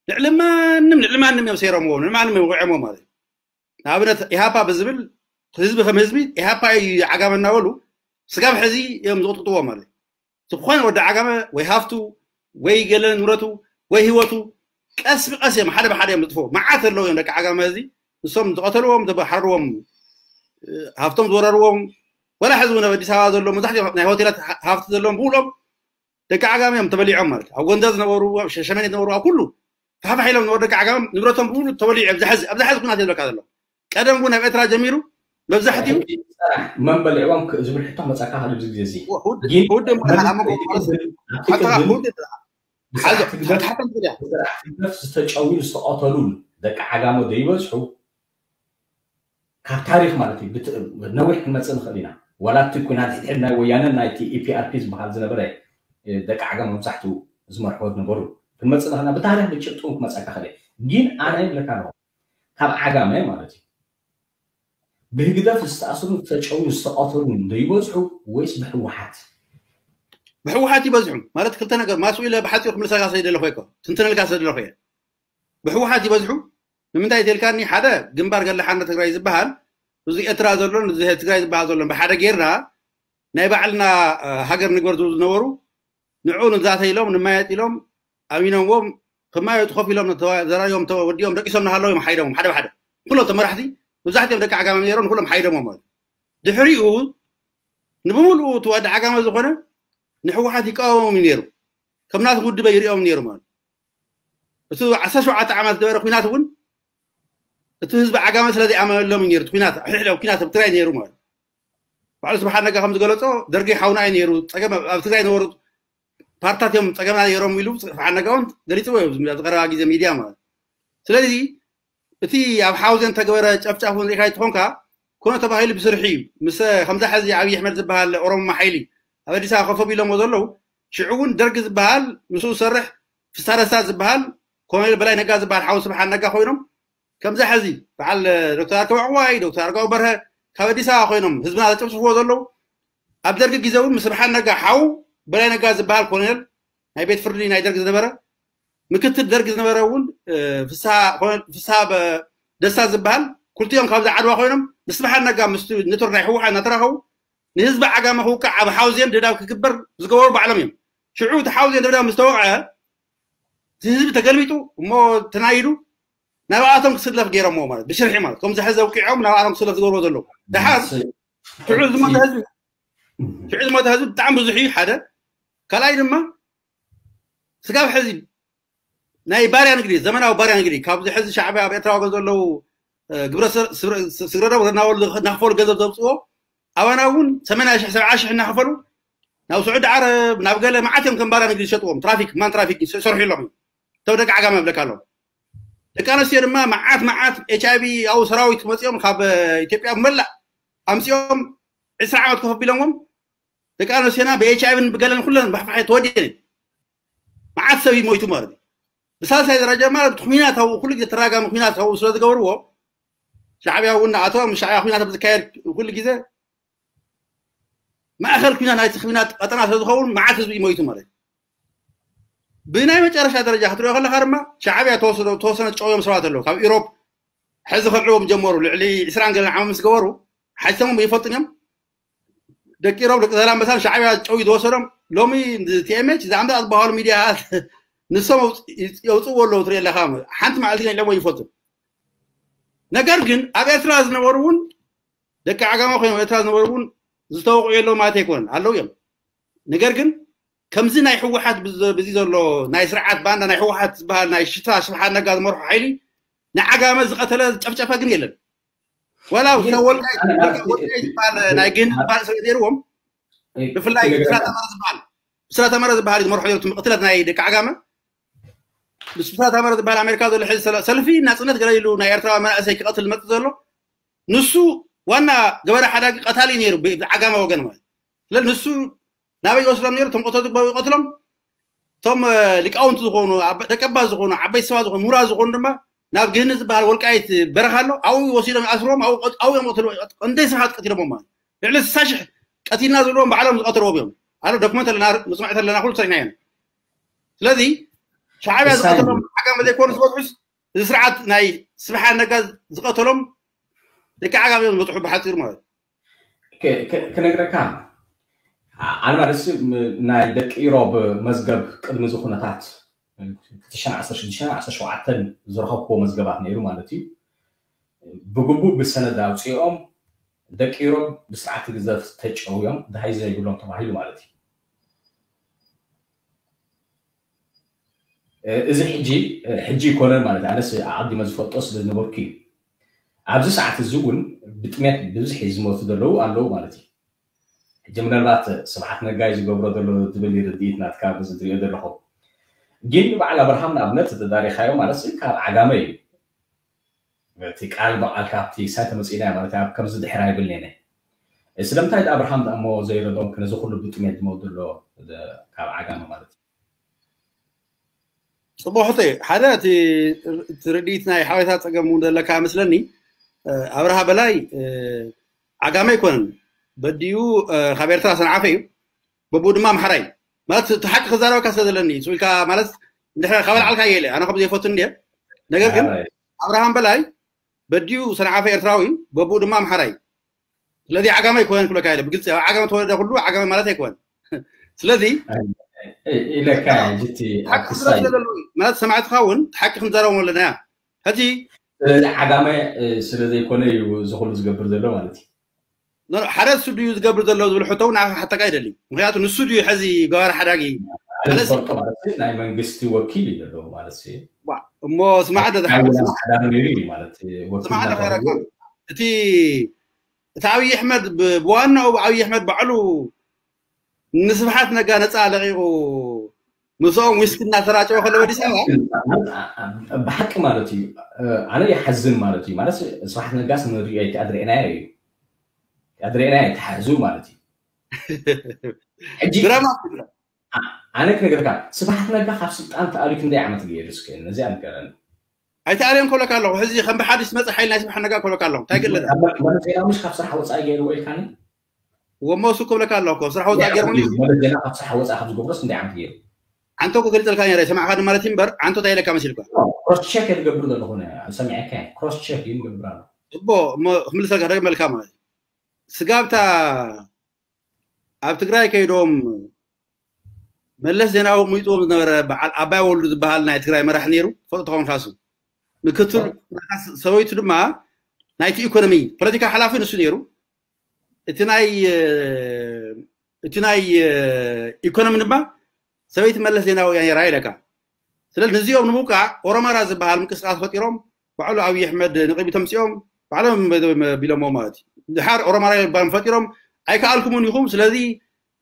ልዕሊ ማንም፣ ልዕሊ ማንም እዮም ሰይሮምዎ፣ ልዕሊ ማንም እዮም ወቂዖምዎ ማለት እዩ። ንኣብነት ኢሃፓ ብዝብል ህዝቢ ከም ህዝቢ ኢሃፓ እዩ ዓጋመ እናበሉ ስጋብ ሕዚ እዮም ዝቕጥቅጥዎ ማለት እዩ። ዝኾነ ወዲ ዓጋመ ወይ ሃፍቱ ወይ ገለ ንብረቱ ወይ ህይወቱ ቀስ ብቀስ እዮም ሓደ ብሓደ እዮም ዝጥፍኡ። መዓት ኣለዉ እዮም ደቂ ዓጋመ እዚ ንሶም ዝቐተልዎም፣ ዝሓረድዎም፣ እ፣ ሃፍቶም ዝወረርዎም፣ ወላ ሕዚ እውን ኣብ ኣዲስ ኣበባ ዘሎ መብዛሕትኦም ናይ ሆቴላት ሃ-፣ ሃፍቲ ዘለዎም ብሙሉኦም ደቂ ዓጋመ እዮም ተበሊዖም ማለት እዩ። ኣብ ጎንደር ዝነበሩ፣ ኣብ ሸ-፣ ሸመኔ ዝነበሩ፣ ኣብ ኩሉ ፋሕፋሕ ኢሎም ዝነበሩ ደቂ ዓጋመ ንብረቶም ብሙሉ ተበሊዑ ኣብዚ ሕዚ፣ ኣብዚ ሕዚ ኩናት እዩ ዝብለካ ዘሎ። ቀደም እውን ኣብ ኤርትራ ጀሚሩ መብዛሕትኡ ሕጂ ስራሕ መን በሊዕዎም ክ- ዝብል ሕቶ መጻካ። ካብ ኣብዚ ግዜ እዚ ውድ ግን ውድ መን ሓላሞ እቲ ቅድም ኣብቲ ሓተኻ ቅድም ውድ ሓዞ ብስራሕ ትግደፍ ሓተኻ ትግዳ ብስራሕ ትግደፍ ዝተጨውዩ ዝተቐተሉን ደቂ ዓጋመ ዘይበዝሑ ካብ ታሪኽ ማለት እዩ ብት- ነዊሕ ክንመፅእ ንኽእል ኢና። ዋላ እቲ ኩናት ሕድሕድ ናይ ወያነን ናይቲ ኢፒኣርፒ ዝበሃል ዝነበረ እ፣ ደቂ ዓጋመ መብዛሕትኡ ዝመርሕዎ ዝነበሩ ክንመፅእ ንኽእልና ብታሪኽ ብጭብጡ ክመፀካ ክእል። ግን ኣነ ይብለካ ኣለኹ ካብ ዓጋመ ማለት እዩ ብህግደፍ ዝተኣስሩ ዝተጨውዩ ዝተቐተሉ ዶ ይበዝሑ ወይስ ብህወሓት? ብህወሓት ይበዝሑ ማለት ክልተ ነገር ማስኡ ኢለ ብሓፂሩ ክምልሰልካ ስለ ዘለኹ እኮ ትንትነልካ ስለ ዘለኹ እየ። ብህወሓት ይበዝሑ። ንምንታይ ተልካኒ ሓደ ግንባር ገለ ሓርነት ትግራይ ዝበሃል እዚ ኤርትራ ዘሎን እዚ ትግራይ ዝበሃል ዘሎን ብሓደ ጌርና ናይ ባዕልና እ፣ ሃገር ንግበር ዝብሉ ዝነበሩ ንዑ ንዛተ ኢሎም ንማየጥ ኢሎም ኣሚኖምዎም ክማየጡ ኮፍ ኢሎም ተዋ- ዘራዮም ተወዲኦም ደቂሶም ናሃለዉ እዮም ሓይዶም ሓደ ብሓደ ኩሎም ተመራሕቲ መብዛሕትኦም ደቂ ዓጋመ ነይሮም ንኩሎም ሓይዶምዎም ማለት እዩ። ድሕሪኡ ንብምሉኡ እቲ ወዲ ዓጋመ ዝኾነ ንህወሓት ይቃወሞም እዩ ነይሩ። ከም ናቱ ውድበ ይሪኦም ነይሩ ማለት እዩ። እቲ ዓሰርተ ሸውዓተ ዓመት ዝነበረ ኩናት እውን እቲ ህዝቢ ዓጋመ ስለ ዘይኣመነሎም እዩ ነይሩ እቲ ኩናት ሕድሕዳዊ ኩናት ኣብ ትግራይ ነይሩ ማለት እዩ። ባዕሉ ስብሓት ነጋ ከም ዝገለጾ ደርጊ ሓውና እዩ ነይሩ ፀገም ኣብ ኣብ ትግራይ ነበሩ ፓርታት እዮም ፀገምና ነይሮም ኢሉ ስብሓት ነጋ እውን ገሊፅዎ እዩ ኣብዚ ቀረባ ግዜ ሚድያ ማለት እዩ። ስለዚ እቲ ኣብ ሓውዜን ተገበረ ጨፍጫፍ እውን ሪኢኻ ይትኾንካ ኮነ ተባሂሉ ብስርሒ እዩ ምስ ከምዛ ሕዚ ኣብይ ኣሕመድ ዝበሃል ኦሮሞማ ሓይሊ ኣብ ኣዲስ ኣበባ ከፈብ ኢሎሞ ዘለዉ ሽዑ እውን ደርጊ ዝበሃል ምስኡ ዝሰርሕ ፍስሃ ደስታ ዝበሃል ኮሎኔል በላይ ነጋ ዝበሃል ሓው ስብሓት ነጋ ኮይኖም ከምዛ ሕዚ በዓል ዶክተር ኣርከበ ዕዋይ ዶክተር ኣርጋው በርሀ ካብ ኣዲስ ኣበባ ኮይኖም ህዝብና ዘጨፍጭፍዎ ዘለዉ ኣብ ደርጊ ግዜ እውን ምስ ስብሓት ነጋ ሓው በላይ ነጋ ዝበሃል ኮሎኔል ናይ ቤት ፍርዲ ናይ ደርጊ ዝነበረ ምክትል ደርጊ ዝነበረ እውን እ፣ ፍስሃ ኮሎኔል ፍስሃ በ- ደስታ ዝበሃል ክልቲኦም ካብዛ ዓድዋ ኮይኖም ምስ ስብሓት ነጋ ምስ ኔትወርክ ናይ ህወሓት እናተራኸቡ ንህዝቢ ዓጋመ ክውቃዕ ኣብ ሓውዜን ደብዳብ ክግበር ዝገበሩ ባዕሎም እዮም። ሽዑ እቲ ሓውዜን ደብዳብ ምስ ተወቕዐ እቲ ህዝቢ ተገልቢጡ እሞ ተናይዱ ናብኣቶም ክስለፍ ገይሮምዎ ማለት ብሽርሒ ማለት ከምዚ ሕዚ ኣውቂዖም ናብኣቶም ክስለፍ ዝገብርዎ ዘለዉ ደሓር ሽዑ ዝሞተ ህዝቢ ሽዑ ዝሞተ ህዝቢ ብጣዕሚ ብዙሕ እዩ ሓደ ካልኣይ ድማ ስጋብ ሕዚ ናይ ባርያ ንግዲ ዘመናዊ ባርያ ንግዲ ካብዚ ሕዚ ሻዕብያ ኣብ ኤርትራ ወገን ዘለዉ እ፣ ግብረ ሰ- ስግረ- ስግረ ዶብ እናወሉ እናኸፈሉ ገንዘብ ዘውፅዎ ኣባና እውን ሰማንያ ሽሕ ሰብዓ ሽሕ እናኸፈሉ ናብ ስዑዲ ዓረብ ናብ ገለ መዓት እዮም ከም ባርያ ንግዲ ዝሸጥዎም ትራፊክ ማን ትራፊክ ይሰርሑ ኣለኹም እቶም ደቂ ዓጋመ ይብለካ ኣለዉ ደቂ ኣነስትዮ ድማ መዓት መዓት ኤች ኣይቪ ኣብኡ ሰራዊት መፂኦም ካብ እ፣ ኢትዮጵያ መላእ ኣምፂኦም ዕስራ ዓመት ኮፍ ኣቢሎምዎም ደቂ ኣነስትዮና ብኤች ኣይቪን ብገለን ኩለን ባሕባሐ ተወዲአን መዓት ሰብ ይሞይቱ ማለት እዩ ብሳልሳይ ደረጃ ማለት ኩናት ኣብኡ ኩሉ ግዜ ተራጋሚ ኩናት ኣብኡ ስለ ዝገብርዎ ሻዕብያ እውን ንኣቶም ሻዕብያ ኩናት ኣብ ዝካየድ ኩሉ ግዜ ማእኸል ኩናት ናይቲ ኩናት ቀጠና ስለ ዝኸውን መዓት ህዝቢ ይሞይቱ ማለት እዩ ብናይ መጨረሻ ደረጃ ክትሪኦ ከለካ ድማ ሻዕብያ ተወሰነ ተወሰነ ጨውዮም ሰባት ኣለዉ ካብ ኢሮብ ሕዚ ከልዕዎም ጀመሩ ልዕሊ ዕስራን ገለን ዓመት ምስ ገበሩ ሓይሶም ይፈልጡን እዮም ደቂ ኢሮብ ደቂ ዛላምበሳን ሻዕብያ ጨው ዝወሰዶም ሎሚ ቲኤምኤች ዝኣምዳ ዝበሃሉ ሚድያት ንሶም የውፅእዎ ኣለዉ ትርኢ ኣለካ ሓንቲ መዓልቲ ከይለዎ ይፈቱ ነገር ግን ኣብ ኤርትራ ዝነበሩ እውን ደቂ ዓጋማ ኮይኖም ኤርትራ ዝነበሩ እውን ዝተወቕዑ የለው ማለት ኣይኮነን ኣለዉ እዮም ነገር ግን ከምዚ ናይ ህወሓት ብዚ ዘሎ ናይ ስርዓት ባንዳ ናይ ህወሓት ዝበሃል ናይ ሽታ ስብሓት ነጋ ዝመርሑ ሓይሊ ንዓጋመ ዝቐተለ ዝጨፍጨፈ ግን የለን ዋላ ወልቃይ ዝበሃል ናይ ግን ዝበሃል ስለ ነይርዎም ብፍላይ ብስራ ተመረ ዝበሃል ብስራ ተመረ ዝበሃል ዝመርሖ ነሩ ትምቅትለት ናይ ደቂ ዓጋመ ብስራ ተመረ ዝበሃል ኣሜሪካ ዘሎ ሕዚ ሰልፊ ናፅነት ገለ ኢሉ ናይ ኤርትራ መናእሰይ ክቐትል ዝመፅእ ዘሎ ንሱ ዋና ገበረ ሓዳጊ ቀታሊ ነይሩ ዓጋመ ወገን ማለት ስለ ንሱ ናበይ ይወስዶም ነይሩ እቶም ቀተቱ ይቀትሎም እቶም ሊቃውንቲ ዝኾኑ ደቀባ ዝኾኑ ዓበይቲ ሰባ ዝኾኑ ምሁራ ዝኾኑ ድማ ናብ ግህኒ ዝበሃል ወልቃይት በረኻ ኣሎ ኣብኡ ወሲዶም ይኣስርዎም ኣብኡ እዮም ቀትልዎ እንደ ሰባት ቀቲሎሞም ማለት ልዕሊ ስሳ ሽሕ ቀቲልና ዝብልዎም ባዕሎም ዝቀተልዎም እዮም ኣነ ዶክመንት ኣለና መፅናዕቲ ኣለና ኩሉ ሰሪሕና እዮም ስለዚ ሻዕብያ ዝቀተሎም ዓጋመ ዘይኮኑ ዝበፅሑስ እዚ ስርዓት ናይ ስብሓት ነጋ ዝቀተሎም ደቂ ዓጋመ እዮም ዝበፅሑ ብሓፂሩ ማለት ክነግረካ ኣነ ማለት ናይ ደቂ ኢሮብ መዝገብ ቅድሚ እዚ ኩነታት ክልተ ሽሕን ዓሰርተ ሽዱሽተን ዓሰርተ ሸውዓተን ዝረኸብክዎ መዝገባት ነይሩ ማለት እዩ ብግቡእ ብሰነድ ኣውፅኦም ደቂ ኢሮብ ብስርዓት ግዘፍ ተጨውዮም ድሃይ ዘይብሎም ተባሂሉ ማለት እዩ እዚ ሕጂ ሕጂ ይኮነን ማለት ኣነስ ኣቐዲመ ዝፈልጦ ስለ ዝነበርኩ እዩ ኣብዚ ሰዓት እዚ እውን ብጥሜት ብብዝሒ ዝሞቱ ዘለዉ ኣለዉ ማለት እዩ። ሕጂ ምናልባት ስብሓት ነጋይ ዝገብሮ ዘሎ ዝብል ርድኢት ናትካ በዚ ትሪኦ ዘለኹ። ግን በዓል ኣብርሃም ንኣብነት ተዳሪኻዮ ማለት ካብ ዓጋመ እዩ። እቲ ቃል ብቓል ካብቲ ሳይ ተመፂእና ማለት ኣብ ከምዚ ድሕር ኣይብልኔነ። ስለምንታይ ኣብርሃም እሞ ዘይረድኦም ክነዚ ኩሉ ብጥሜት ዝመውት ዘሎ ካብ ዓጋመ ማለት እዩ። ፅቡቅ ሕቶ እዩ። ሓደ እቲ ርድኢት ናይ ሓበሬታ ፀገም እውን ዘለካ መስለኒ። ኣብርሃ በላይ ዓጋመ ኣይኮነን፣ በዲኡ ካብ ኤርትራ ሰንዓፈ እዩ፣ በብኡ ድማ ኣምሓራይ ማለት እቲ ሓቂ ክዛረበካ ስለ ዘለኒ ስኢልካ ማለት እንድሕር ካብ ኣልዓልካ የለ ኣነ ከም ዘይፈቱ እንደ ነገር ግን ኣብርሃም በላይ በዲኡ ሰንዓፈ ኤርትራዊ በብኡ ድማ ኣምሓራይ ስለዚ ዓጋመ ኣይኮነን ክብለካ የለ ብግልፂ ኣብ ዓጋመ ተወለደ ኩሉ ዓጋመ ማለት ኣይኮነን ስለዚ ኢለካ ጅቲ ማለት ሰማዕትኻ እውን ሓቂ ክንዛረቦም ኣለና ያ ሕጂ ስለዚ ዓጋመ ስለ ዘይኮነ እዩ እዚ ኩሉ ዝገብር ዘሎ ማለት እዩ ሓደ እሱ ድዩ ዝገብር ዘሎ ዝብል ሕቶ እውን ሓተካ ይደሊ ምክንያቱ ንሱ ድዩ ሕዚ ገባር ሓዳጊ ዝፈልጦ ማለት ናይ መንግስቲ ወኪል እዩ ዘለዎ ማለት እሞ ስማዕ ሓዳሪ ነይሩ እዩ ማለት እቲ እቲ ኣብይ ኣሕመድ ብዋናኡ ኣብይ ኣሕመድ ባዕሉ ንስብሓት ነጋ ነፃ ለቂቁ ምስኦም ዊስኪ እናተራጨወ ከሎ ኣዲስ ኣበባ ብሓቂ ማለት እዩ ኣነ ይሓዝን ማለት እዩ ማለት ስብሓት ነጋስ ንሪኦ ኣይተኣድረእናዮ እዩ ኣድረእናዮ ተሓዙ ማለት እዩ ሕጂ ድራማ ኣነ ክነገርካ ስብሓት ነጋ ካብ ስልጣን ተኣልዩ ክንደይ ዓመት ገይሩ እስከ ነዚኣ ንገረኒ ኣይተኣልዮም ክብለካ ኣለኹ ሕዚ ከም ብሓዲስ መፅእ ሓይል ናይ ስብሓት ነጋ ክብለካ ኣለኹ እንታይ ገለዳ ዜናዊ ካብ ስራሕ ወፃኢ ገይርዎ ኢልካኒ ወሞ እሱ ክብለካ ኣለኹ ስራሕ ወፃኢ ገይርኒ ማለት ዜና ካብ ስራሕ ወፃኢ ካብ ዝገብሮስ ክንደይ ዓመት ገይሩ ዓንቶ ክገልፀልካ ነረ ሰማዕካ ማለት እምበር ዓንቶ እንታይ ኢለካ መሲልካ ክሮስ ቸክ ዝገብር ዘለኹ ሰሚዐካ ክሮስ ቸክ እዩ ንገብር ኣሎ እቦ ክምልሰልካ ደግመልካ ማለት ስጋብታ ኣብ ትግራይ ከይዶም መለስ ዜናዊ ሙይጥዎም ዝነበረ በዓል ኣባይ ወልዱ ዝበሃል ናይ ትግራይ መራሕ ነይሩ ፈልጦ ተኾንካሱ ምክትል ሰበይቱ ድማ ናይቲ ኢኮኖሚ ፖለቲካ ሓላፊ ንሱ ነይሩ እቲ ናይ እቲ ናይ ኢኮኖሚ ድማ ሰበይቲ መለስ ዜናዊ እያ ነይራ ኢለካ ስለዚ ንዚኦም ንምውቃዕ ኦሮማራ ዝበሃል ምንቅስቃስ ፈጢሮም ባዕሉ ኣብይ ኣሕመድ ንቅድሚ ተምፅኦም ባዕሎም ቢሎሞ ማለት እዩ ድሓር ኦሮማራ ይባል ፈጢሮም ኣይከኣልኩምን ኢኹም ስለዚ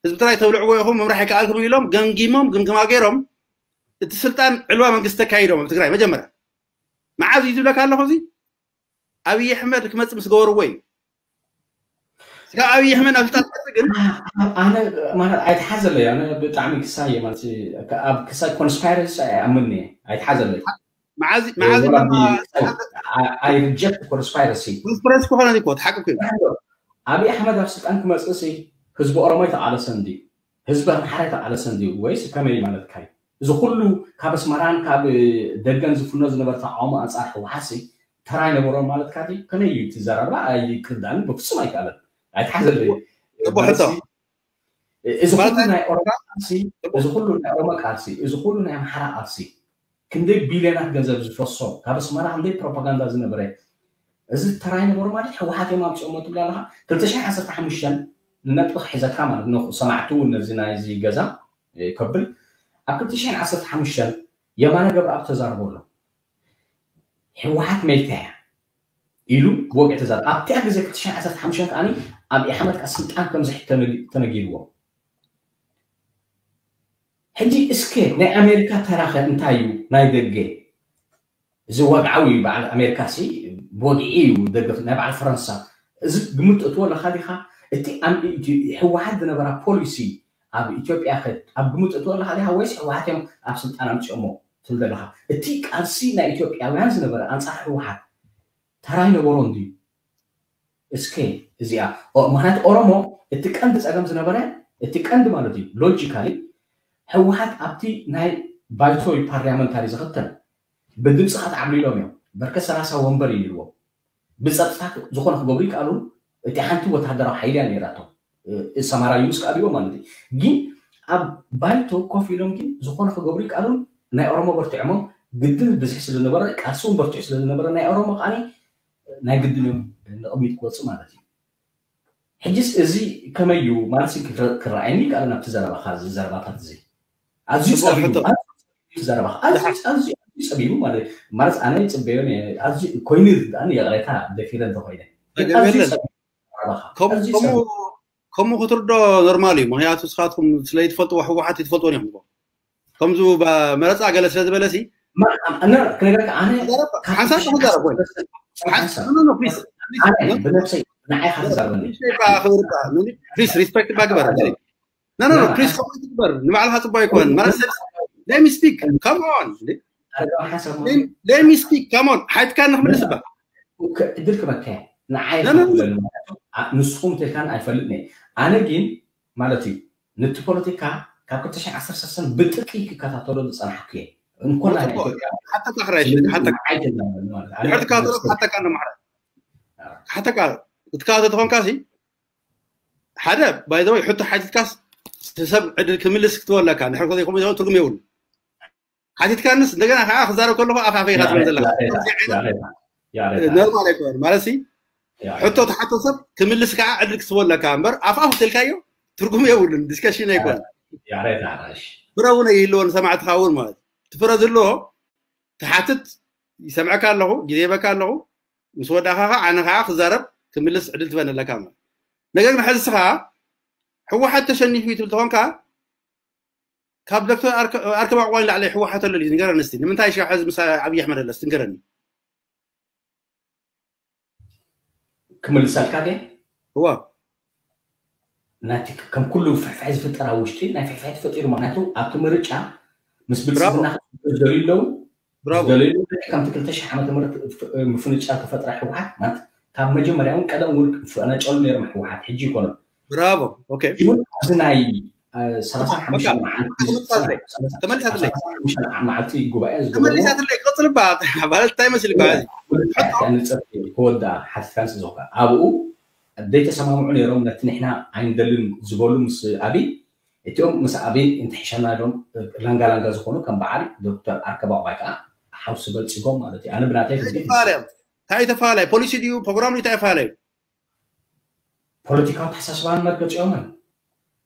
ህዝቢ ትግራይ ተብልዕዎ ኢኹም ምምራሕ ኣይከኣልኩምን ኢሎም ገምጊሞም ግምግማ ገይሮም እቲ ስልጣን ዕልዋ መንግስቲ ተካይዶም ኣብ ትግራይ መጀመርያ መዓዝ እዩ ዝብለካ ኣለኹ እዚ ኣብይ ኣሕመድ ክመፅእ ምስ ገበርዎ እዩ ስጋ ኣብይ ኣሕመድ ናብ ስልጣን ክመፅእ ግን ኣነ ማለት ኣይተሓዘለይ ኣነ ብጣዕሚ ክሳየ ማለት ኣብ ክሳይ ኮንስፓይረሲ ኣይኣምን እየ ኣይተሓዘለይ መዓዝ መዓዝ I reject conspiracy ኮንስፓይረሲ ክኾነ እኮ ሓቂ እኮ ኣብይ ኣሕመድ ኣብ ስልጣን ክመፅእ ሲ ህዝቢ ኦሮሞ ኣይተቃለሰን ድዩ ህዝቢ ኣምሓራ ኣይተቃለሰን ድዩ ወይስ ከመይ ማለትካ እዩ እዚ ኩሉ ካብ ኣስመራን ካብ ደገን ዝፍኖ ዝነበረ ተቃውሞ ኣንፃር ህወሓት ሲ ተራ ኣይነበሮን ማለትካ ድዩ ከመይ እዩ እቲ ዘረባ ኣይክርዳእን በፍፁም ኣይከኣለን ኣይተሓዘለይ እዚ ኩሉ ናይ ኦሮሞ ቃልሲ እዚ ኩሉ ናይ ኦሮሞ ቃልሲ እዚ ኩሉ ናይ ኣምሓራ ቃልሲ ክንደይ ቢልዮናት ገንዘብ ዝፈሶ ካብ ኣስመራ ክንደይ ፕሮፓጋንዳ ዝነበረ እዚ ተራይ ነበሩ ማለት ህወሓት እዮም ኣምፅኦሞ ትብል ኣለካ ክልተ ሽሕን ዓሰርተ ሓሙሽተን ንነጥቢ ክሕዘካ ማለት ነው ሰማዕቱ ነዚ ናይዚ ገዛ ከብል ኣብ ክልተ ሽሕን ዓሰርተ ሓሙሽተን የማነ ገብረኣብ ተዛርቦ ኣሎ ህወሓት መይታ እያ ኢሉ ብወግዒ ተዛረበ ኣብቲኣ ግዜ ክልተ ሽሕን ዓሰርተ ሓሙሽተን ከዓኒ ኣብ ኢሓመድ ከዓ ስልጣን ከምዝሕት ተነጊርዎ ሕጂ እስከ ናይ ኣሜሪካ ተራኸ እንታይ እዩ ናይ ደገ እዚ ወግዓዊ በዓል ኣሜሪካ ሲ ብወግዒ እዩ ደገፍ ናይ በዓል ፈረንሳ እዚ ግምት እትዎ ኣለካ ዲካ እቲ ህወሓት ዝነበራ ፖሊሲ ኣብ ኢትዮጵያ ከ ኣብ ግምት እትዎ ኣለካ ዲካ ወይስ ህወሓት እዮም ኣብ ስልጣን ኣምፅኦሞ ትብል ዘለካ እቲ ቃልሲ ናይ ኢትዮጵያውያን ዝነበረ ኣንፃር ህወሓት ተራ ይነበሮ እንድዩ እስከ እዚኣ ምክንያቱ ኦሮሞ እቲ ቀንዲ ፀገም ዝነበረ እቲ ቀንዲ ማለት እዩ ሎጂካሊ ህወሓት ኣብቲ ናይ ባይቶ ፓርላመንታሪ ዝኽተል ብድምፂ ከዓ ተዓብሊሎም እዮም በርከ ሰላሳ ወንበር እዩ ነይርዎም ብፀጥታ ዝኾነ ክገብሩ ይከኣሉ እቲ ሓንቲ ወታደራዊ ሓይሊ እያ ነይራቶም ሰማራ ዩኑስ ከኣልዎ ማለት እዩ ግን ኣብ ባይቶ ኮፍ ኢሎም ግን ዝኾነ ክገብሩ ይከኣሉ ናይ ኦሮሞ በርቲዖሞም ግድን ብዝሒ ስለዝነበረ ቃልሲ እውን በርቲዑ ስለዝነበረ ናይ ኦሮሞ ከዓኒ ናይ ግድን እዮም ንቕሚጥ ክወፅእ ማለት እዩ ሕጅስ እዚ ከመይ እዩ ማለት ክረኣየኒ ይከኣል ናብቲ ዘረባኻ እዚ ዘረባታት እዚ ኣዝዩ ጸቢቡ ዘረባኻ ኣዝዩ ጸቢቡ ማለት ማለት ኣነ ይጽበዮ ነየ። ኣዝዩ ኮይኑ ይርዳእኒ፣ ይቕሬታ ደፊረ እንተኾይነ። ግን ኣዝዩ ጸቢቡ ናባኻ። ኣዝዩ ጸቢቡ። ከምኡ ክትርዶ ኖርማል እዩ። ምክንያቱ ንስኻትኩም ስለ ይትፈልጥዎ፣ ህወሓት ይትፈልጥዎ እዮም። ከምዚ መረፃ ገለ ስለ ዝበለ ሲ ክነግረካ ኣነ ሓንሳብ ክዛረብ ወይ ብነብሰይ ንዓይ ካትዛረበኒ ሪስፔክት ባግበር ኖ ኖ ፕሊዝ ከምኡ ትግበር። ንባዕልካ ፅቡቅ ኣይኮነን ማለት ሰብ let me speak come on let me speak come on ሓይትካ ንክምልስ ባ ዕድል ክበካ ንዓይ ንስኹም ተልካን ኣይፈልጥኒ። ኣነ ግን ማለት እዩ ነቲ ፖለቲካ ካብ ክልተ ሽሕ ዓሰርተ ሰለስተ ብጥቂ ክከታተሎ ዝፀናሕኩ እየ። እንኮላ ናይ ኢትዮጵያ ሓተካ ክራይ ሓተካ ኣይደለም ማለት ኣነ ድሕሪ ትከታተሎ ሓተካ ነማሕራ ሓተካ ክትከታተል ተኾንካ ሲ ሓደ ባይዘወይ ሕቶ ሓቲትካስ ሰብ ዕድል ክምልስ ክትበለካ ንሕር ከዘይኮም ትርጉም የብሉ። ሓቲትካንስ እንደገና ከዓ ክዛረብ ከለኹ ኣፍ ኣፈይ ኢኻ ትብል ዘለካ። ኖርማል ኣይኮነን ማለት ሲ ሕቶ ተሓቶ ሰብ ክምልስ ከዓ ዕድል ክትበለካ እምበር ኣፍ ኣፍ ተልካዮ ትርጉም የብሉን፣ ዲስከሽን ኣይኮነን። ፍረ እውን ኣይህልዎን ሰማዕትኻ እውን ማለት እቲ ፍረ ዝህልዎ ትሓትት ይሰምዐካ ኣለኹ፣ ግዜ ይበካ ኣለኹ። ምስ ወዳእካ ከዓ ኣነ ከዓ ክዛረብ ክምልስ ዕድል ትበነለካ ማለት። ነገር ግን ሕዚ ስኻ ህወሓት ተሸኒፉ እዩ ትብል ተኾንካ ካብ ዶክተር ኣርከባ ዕቁባይ ንላዕሊ ህወሓት ኣሎ ድዩ? ንገረኒ እስቲ። ንምንታይ ሽዓ ሕዚ ምስ ኣብይ ኣሕመድ ኣለስ? ንገረኒ። ክምልሰልካ ድየ? እዋ ናቲ ከም ኩሉ ፍሕፍሕ ዝፍጠር ኣብ ውሽጢ ናይ ፍሕፍሕ ተፈጢሩ። ምክንያቱ ኣብቲ ምርጫ ምስ ብልፅግና ክዝደሉ ኣለዉ ብራቮ ዝደለዩ ከምቲ ክልተ ሽሕ ዓመተ ምህረት ምፍንጫ ተፈጥረ ህወሓት ማለት ካብ መጀመርያ እውን ቀደም እውን ፈነጨሉ ነይሮም ህወሓት ሕጂ ይኮኑ ብራቮ ኦኬ እውን ኣብዚ ናይ ሰላሳ ሓሙሽተ ተመልሳትለይ መዓልቲ ጉባኤ ዝገበሩ ተመልሳትለይ ቀፅልባ ማለት እንታይ መስልካ ንፀርፊ ክወዳ ሓቲትካን ስለ ዝኾነ ኣብኡ ዘይተሰማምዑ ነይሮም ነቲ ንሕና ኣይንደልን ዝበሉ ምስ ኣብይ እቲኦም ምስ ኣብይ እንትሕሸና ዶም ላንጋ ላንጋ ዝኾኑ ከም በዓል ዶክተር ኣርከባ ዕቁባይ ከዓ ሓውሲ በልፂጎም ማለት እዩ ኣነ ብናተይ እንታይ ተፈላለዩ ፖሊሲ ድዩ ፕሮግራም ድዩ እንታይ ተፈላለዩ ፖለቲካዊ ተሓሳስባን መርገፂኦምን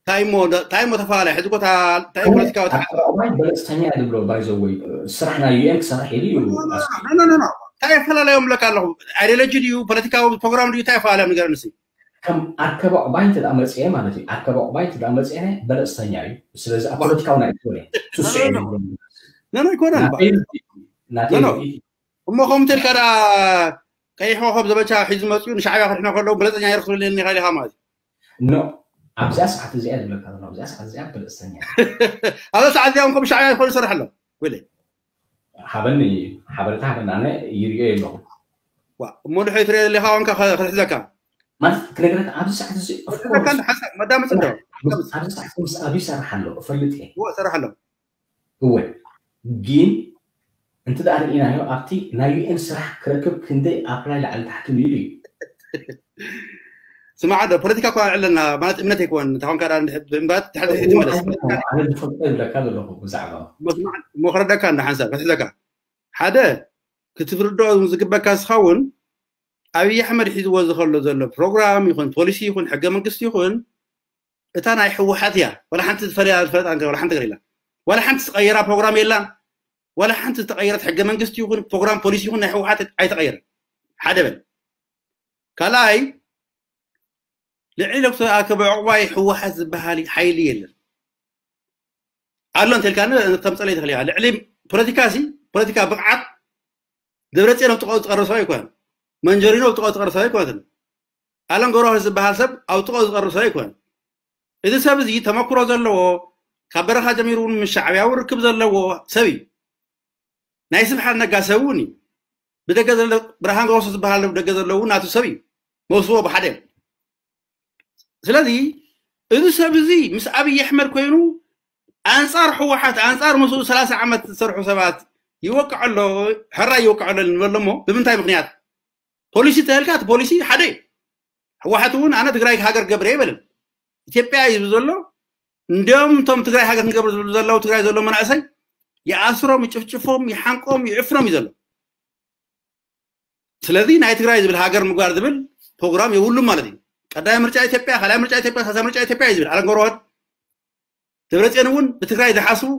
ታይሞ ታይሞ ተፈላለዩ ሕዚ ኮታ ታይ ፖለቲካዊ ኣቀባባይ በለፅተኛ እየ ዝብሎ ባይዘወይ ስራሕ ናይ ዩኤን ክሰርሕ ኢሉ እዩ እንታይ ይፈላለዮም ብለካ ኣለኹ ኣይዲዮሎጂ ድዩ ፖለቲካዊ ፕሮግራም ድዩ እንታይ ይፈላለዮም ንገረኒ እስኪ ከም ኣርከባ ዕቁባይ እንተ መፅአ ማለት እዩ ኣርከባ ዕቁባይ እንተ መፅአ በለፅተኛ እዩ ስለዚ ኣብ ፖለቲካዊ ናይ ትኮነ ሱሱ ነኖ ኣይኮነን ናተይ እሞ ከምኡ ተልካ ደኣ ቀይሕ ኮኸብ ዘመቻ ሒዙ መፅኡ ንሻዕብያ ክድሕኖ ከለዉ በለፀኛ ይረክብልኒ ኢኻ ኢኻ ማለት ኖ ኣብዚኣ ሰዓት እዚኣ ዝብለካ ዘሎ ኣብዚኣ ሰዓት እዚኣ በለፀኛ ኣብዛ ሰዓት እዚኣ ከም ሻዕብያ ይኮኑ ይሰርሕ ኣሎ ወለ ሃበኒ ሓበሬታ ሃበኒ ኣነ ይሪኦ የለኹ እሞ ድሕሪ ትሪኦ ዘለካ ዋንካ ክትሕዘካ ማለት ክነግረካ ኣብዚ ሰዓት እዚ መዳመፅ እንዶ ኣብዚ ሰዓት ምስ ኣብ ይሰርሕ ኣሎ እፈልጥ እየ ይሰርሕ ኣሎ እወ ግን እንተ ደኣ ርኢናዮ ኣብቲ ናይ ዩኤን ስራሕ ክረክብ ክንደይ ኣፕላይ ላዕሊ ታሕቲ ሚሉ እዩ ስማዕ ዶ ፖለቲካ እኳ ኣለና ማለት እምነት ኣይኮን እንተኾንካ እምባት ትሕቲ ትመለስ ኣነ ዝፈልጦ ይብለካ ዘለኹ ብዛዕባ እሞ ክረደካ እንዳ ሓንሳብ ክትሕዘካ ሓደ ክትፍርዶ ዝግበካ ዝኸውን ኣብይ ኣሕመድ ሒዝዎ ዝኸሎ ዘሎ ፕሮግራም ይኹን ፖሊሲ ይኹን ሕገ መንግስቲ ይኹን እታ ናይ ህወሓት እያ ዋላ ሓንቲ ዝፈለያ ዝፈለጣ ዋላ ሓንቲ ገር የላ ዋላ ሓንቲ ዝቀየራ ፕሮግራም የላን ዋላ ሓንቲ ዝተቀየረት ሕገ መንግስቲ ይኹን ፕሮግራም ፖሊሲ ይኹን ናይ ህወሓት ኣይተቀየረን ሓደ በል ካልኣይ ልዕሊ ዶክተር ኣርከበ ዕቁባይ ህወሓት ዝበሃል ሓይሊ የለን ኣሎ እንተልካ ከምፀለይ ትኽእል ልዕሊ ፖለቲካ ሲ ፖለቲካ ብቕዓት ደብረፅዮን ኣብ ጥቃኡ ዝቀርብ ሰብ ኣይኮነን መንጀሪኖ ኣብ ጥቃኡ ዝቀርብ ሰብ ኣይኮነትን ኣለም ገብረዋህድ ዝበሃል ሰብ ኣብ ጥቃኡ ዝቀርብ ሰብ ኣይኮነን እዚ ሰብ እዚ ተመክሮ ዘለዎ ካብ በረኻ ጀሚሩ እውን ምስ ሻዕብያ እውን ርክብ ዘለዎ ሰብ እዩ ናይ ስብሓት ነጋ ሰብ እውን እዩ ብደገ ዘሎ ብርሃን ገረሱ ዝበሃል ደገ ዘለዎ ናቱ ሰብ እዩ መውስዎ ብሓደ እዮም ስለዚ እዚ ሰብ እዚ ምስ ኣብይ ኣሕመድ ኮይኑ ኣንፃር ህወሓት ኣንፃር ምስኡ ሰላሳ ዓመት ዝሰርሑ ሰባት ይወቅዐ ኣሎ ሕራይ ይወቅዐ ኣሎ ንበሎ እሞ ብምንታይ ምክንያት ፖሊሲ ተልካ እቲ ፖሊሲ ሓደ እዩ ህወሓት እውን ኣነ ትግራይ ሃገር ገብረ ይበልን ኢትዮጵያ እዩ ዘሎ እንዲም እቶም ትግራይ ሃገር ክንገብር ዝብሉ ዘለዉ ትግራይ ዘሎ መናእሰይ ይኣስሮም ይጭፍጭፎም ይሓንቆም ይዕፍኖም እዩ ዘሎ ስለዚ ናይ ትግራይ ዝብል ሃገር ምግባር ዝብል ፕሮግራም የብሉም ማለት እዩ ቀዳይ ምርጫ ኢትዮጵያ ካልኣይ ምርጫ ኢትዮጵያ ሳሳ ምርጫ ኢትዮጵያ እዩ ዝብል ኣለም ገብረዋህድ ደብረፅዮን እውን ብትግራይ ዝሓስቡ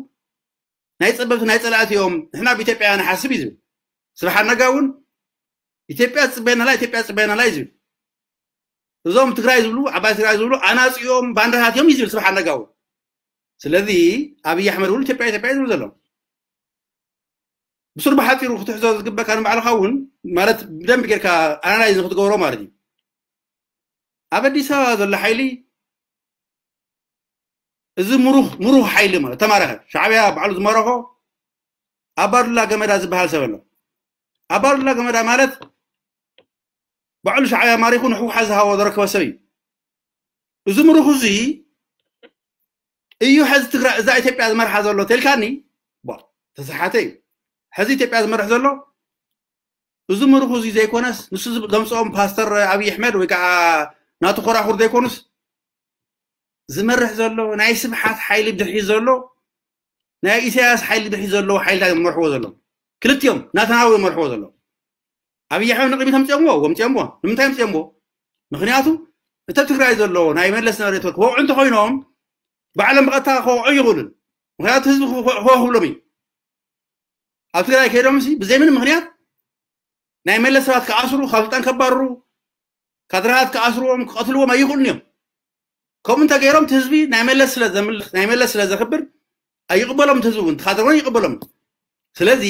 ናይ ጸበብቲ ናይ ጸላእቲ እዮም፣ ንሕና ብኢትዮጵያ ንሓስብ እዩ ዝብል። ስብሓት ነጋ እውን ኢትዮጵያ ትጽበየና ኣላ፣ ኢትዮጵያ ትጽበየና ኣላ እዩ ዝብል። እዞም ትግራይ ዝብሉ፣ ዓባይ ትግራይ ዝብሉ ኣናጺኦም ባንዳታት እዮም እዩ ዝብል ስብሓት ነጋ እውን። ስለዚ ኣብይ ኣሕመድ እውን ኢትዮጵያ ኢትዮጵያ እዩ ዝብል ዘሎ። ብሱር ብሓፂሩ ክትሕዞ ዝግበካ ንባዕልኻ እውን ማለት ብደንብ ጌርካ ኣናላይዝ ንክትገብሮ ማለት እዩ። ኣብ ኣዲስ ኣበባ ዘሎ ሓይሊ እዚ ምሩኽ ምሩኽ ሓይሊ ማለት ተማረኸ ሻዕብያ ባዕሉ ዝመረኾ ኣባዱላ ገመዳ ዝበሃል ሰብ ኣሎ። ኣባዱላ ገመዳ ማለት ባዕሉ ሻዕብያ ማሪኹ ንሕወሓት ዝሃቦ ዘረከበ ሰብ እዩ። እዚ ምሩኽ እዚ እዩ ሕዚ ትግራይ እዛ ኢትዮጵያ ዝመርሓ ዘሎ ተልካኒ ተሰሓተ እዩ። ሕዚ ኢትዮጵያ ዝመርሕ ዘሎ እዚ ምሩኽ እዚ ዘይኮነስ ንሱ ዘምፅኦም ፓስተር ኣብይ ኣሕመድ ወይ ከዓ ናቱ ኮራኹር ዘይኮኑስ ዝመርሕ ዘሎ ናይ ስብሓት ሓይሊ ድሕሪ ዘሎ ናይ ኢሳያስ ሓይሊ ድሕሪ ዘለዎ ሓይልታት እዮም መርሕዎ ዘሎ። ክልቲኦም ናተናዊ እዮም መርሕዎ ዘሎ። ኣብይ ኣሕመድ ንቅድሚት ኣምፅኦምዎ ወምፅኦምዎ ንምንታይ ኣምፅኦምዎ? ምክንያቱ እቲ ትግራይ ዘሎ ናይ መለስ ነበረ ክወቅዑ እንተኮይኖም ባዕሎም ብቐጥታ ክወቅዑ ይኽእሉን። ምክንያቱ ህዝቢ ክወ- ክወክብሎም እዩ። ኣብ ትግራይ ከይዶም ሲ ብዘይ ምንም ምክንያት ናይ መለስ ሰባት ክኣስሩ ካብ ስልጣን ከባርሩ ካድራታት ክኣስርዎም ክቐትልዎም ኣይኽእሉን እዮም። ከምኡ እንተገይሮም እቲ ህዝቢ ናይ መለስ ስለ ዘምልኽ ናይ መለስ ስለ ዘኽብር ኣይቕበሎም። እቲ ህዝቢ እውን እቲ ካድረ እውን ይቕበሎም። ስለዚ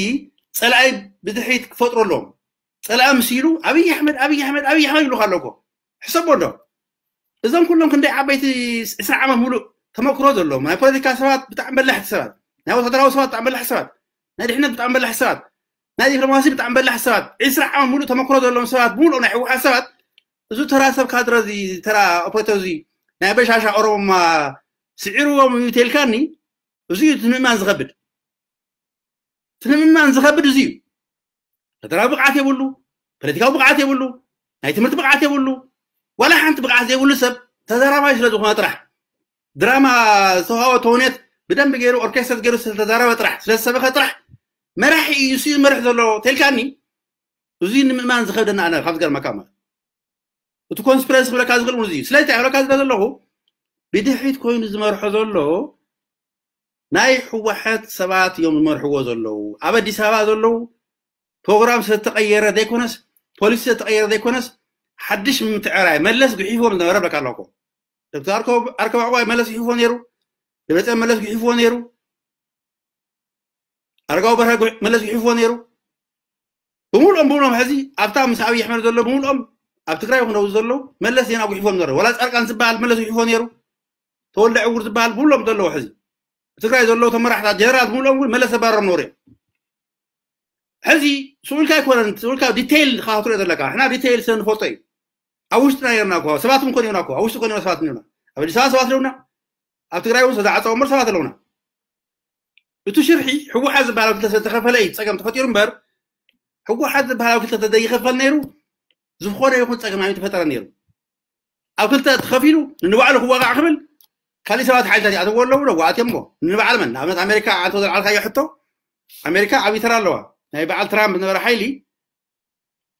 ፀላኢ ብድሕሪት ክፈጥሩ ኣለዎም። ፀላኢ ምስ ኢሉ ኣብይ ኣሕመድ ኣብይ ኣሕመድ ኣብይ ኣሕመድ ይብሉካ ኣሎ እኮ። ሕሰቦ እንዶ እዞም ኩሎም ክንደይ ዓበይቲ ዕስራ ዓመት ሙሉእ ተመክሮ ዘለዎም ናይ ፖለቲካ ሰባት ብጣዕሚ በላሕቲ ሰባት ናይ ወታደራዊ ሰባት ብጣዕሚ በላሕቲ ሰባት ናይ ድሕነት ብጣዕሚ በላሕቲ ሰባት ናይ ዲፕሎማሲ ብጣዕሚ በላሕቲ ሰባት ዕስራ ዓመት ሙሉእ ተመክሮ ዘለዎም ሰባት ብምሉእ ናይ ህወሓት ሰባት እዚ ተራ ሰብ ካድረ እዚ ተራ ኦፕሬተር እዚ ናይ በሻሻ ኦሮሞማ ስዒርዎም እዩ ተልካኒ። እዚ እዩ እቲ ምእማን ዝኸብድ እቲ ንምእማን ዝኸብድ እዚ እዩ። ፈደራዊ ብቕዓት የብሉ፣ ፖለቲካዊ ብቕዓት የብሉ፣ ናይ ትምህርቲ ብቕዓት የብሉ። ዋላ ሓንቲ ብቕዓት ዘይብሉ ሰብ ተዛራባይ ስለ ዝኾነ ጥራሕ ድራማ ዝተዋሃቦ ተውኔት ብደንብ ገይሩ ኦርኬስተር ገይሩ ስለተዛረበ ጥራሕ ስለዝሰበኸ ጥራሕ መራሒ እዩ እሱ ይመርሕ ዘሎ ተልካኒ። እዚ ንምእማን ዝኸብደና ኣነ ካብ ዝገርመካ ማለት እቲ ኮንስፒረንሲ ክብለካ ዝኽእል እውን እዚ እዩ። ስለዚ እንታይ ክብለካ ዝለ ዘለኹ ብድሕሪት ኮይኑ ዝመርሖ ዘሎ ናይ ህወሓት ሰባት እዮም ዝመርሕዎ ዘለዉ። ኣብ ኣዲስ ኣበባ ዘለዉ ፕሮግራም ስለተቐየረ ዘይኮነስ ፖሊሲ ስለተቐየረ ዘይኮነስ ሓድሽ ምትዕራይ መለስ ጉሒፍዎም ዝነበረ ብለካ ኣለኩ። ዶክተር ኣርከባዕዋይ መለስ ጉሒፍዎ ነይሩ። ደብረፅዮን መለስ ጉሒፍዎ ነይሩ። ኣረጋዊ በርሀ መለስ ይሕፍዎ ነይሩ። ብምሉኦም ብምሉኦም ሕዚ ኣብታ ምስ ኣብይ ኣሕመድ ዘሎ ብምሉኦም ኣብ ትግራይ ክነው ዘለዉ መለስ ዜናዊ ይሕፍዎም ነሩ። ወላ ፃድቃን ዝበሃል መለስ ይሕፍዎ ነይሩ። ተወልደ ዕውር ዝበሃል ብምሉኦም ዘለዉ ሕዚ ትግራይ ዘለዉ ተመራሕታት ጀነራል ብምሉኦም እውን መለስ ተባረሮም ነሩ እዮም። ሕዚ ስኡልካ ኣይኮነን ስኡልካ ዲቴይል ካ ክትሪኦ ዘለካ ንሕና ዲቴይል ስለ ንፈልጦ እዩ። ኣብ ውሽጥና ነርና እኮ ሰባት እውን ኮን ይሆና እኮ ኣብ ውሽጢ ኮን ሰባት ነርና ኣብ ኣዲስ ኣበባ ሰባት ኣለውና ኣብ ትግራይ እውን ዝተዓፀወ እምበር ሰባት ኣለውና። እቲ ሽርሒ ህወሓት ዝበሃል ክልተ ዝተኸፈለ እዩ ፀገም ተፈጢሩ እምበር ህወሓት ዝበሃል ክልተ ተዘይኸፈል ነይሩ ዝኾነ ይኹን ፀገም ኣይተፈጠረ ነይሩ። ኣብ ክልተ ተኸፊሉ ንንባዕሉ ክዋጋዕ ክብል ካሊእ ሰባት ሓይልታት ይኣተዎ ኣለዉ ዶ ኣትዮም ሞ ንንባዕል መን ንኣብነት ኣሜሪካ ኣንተ ዘልዓልካዮ ሕቶ ኣሜሪካ ዓብዪ ተራ ኣለዋ። ናይ በዓል ትራምፕ ዝነበረ ሓይሊ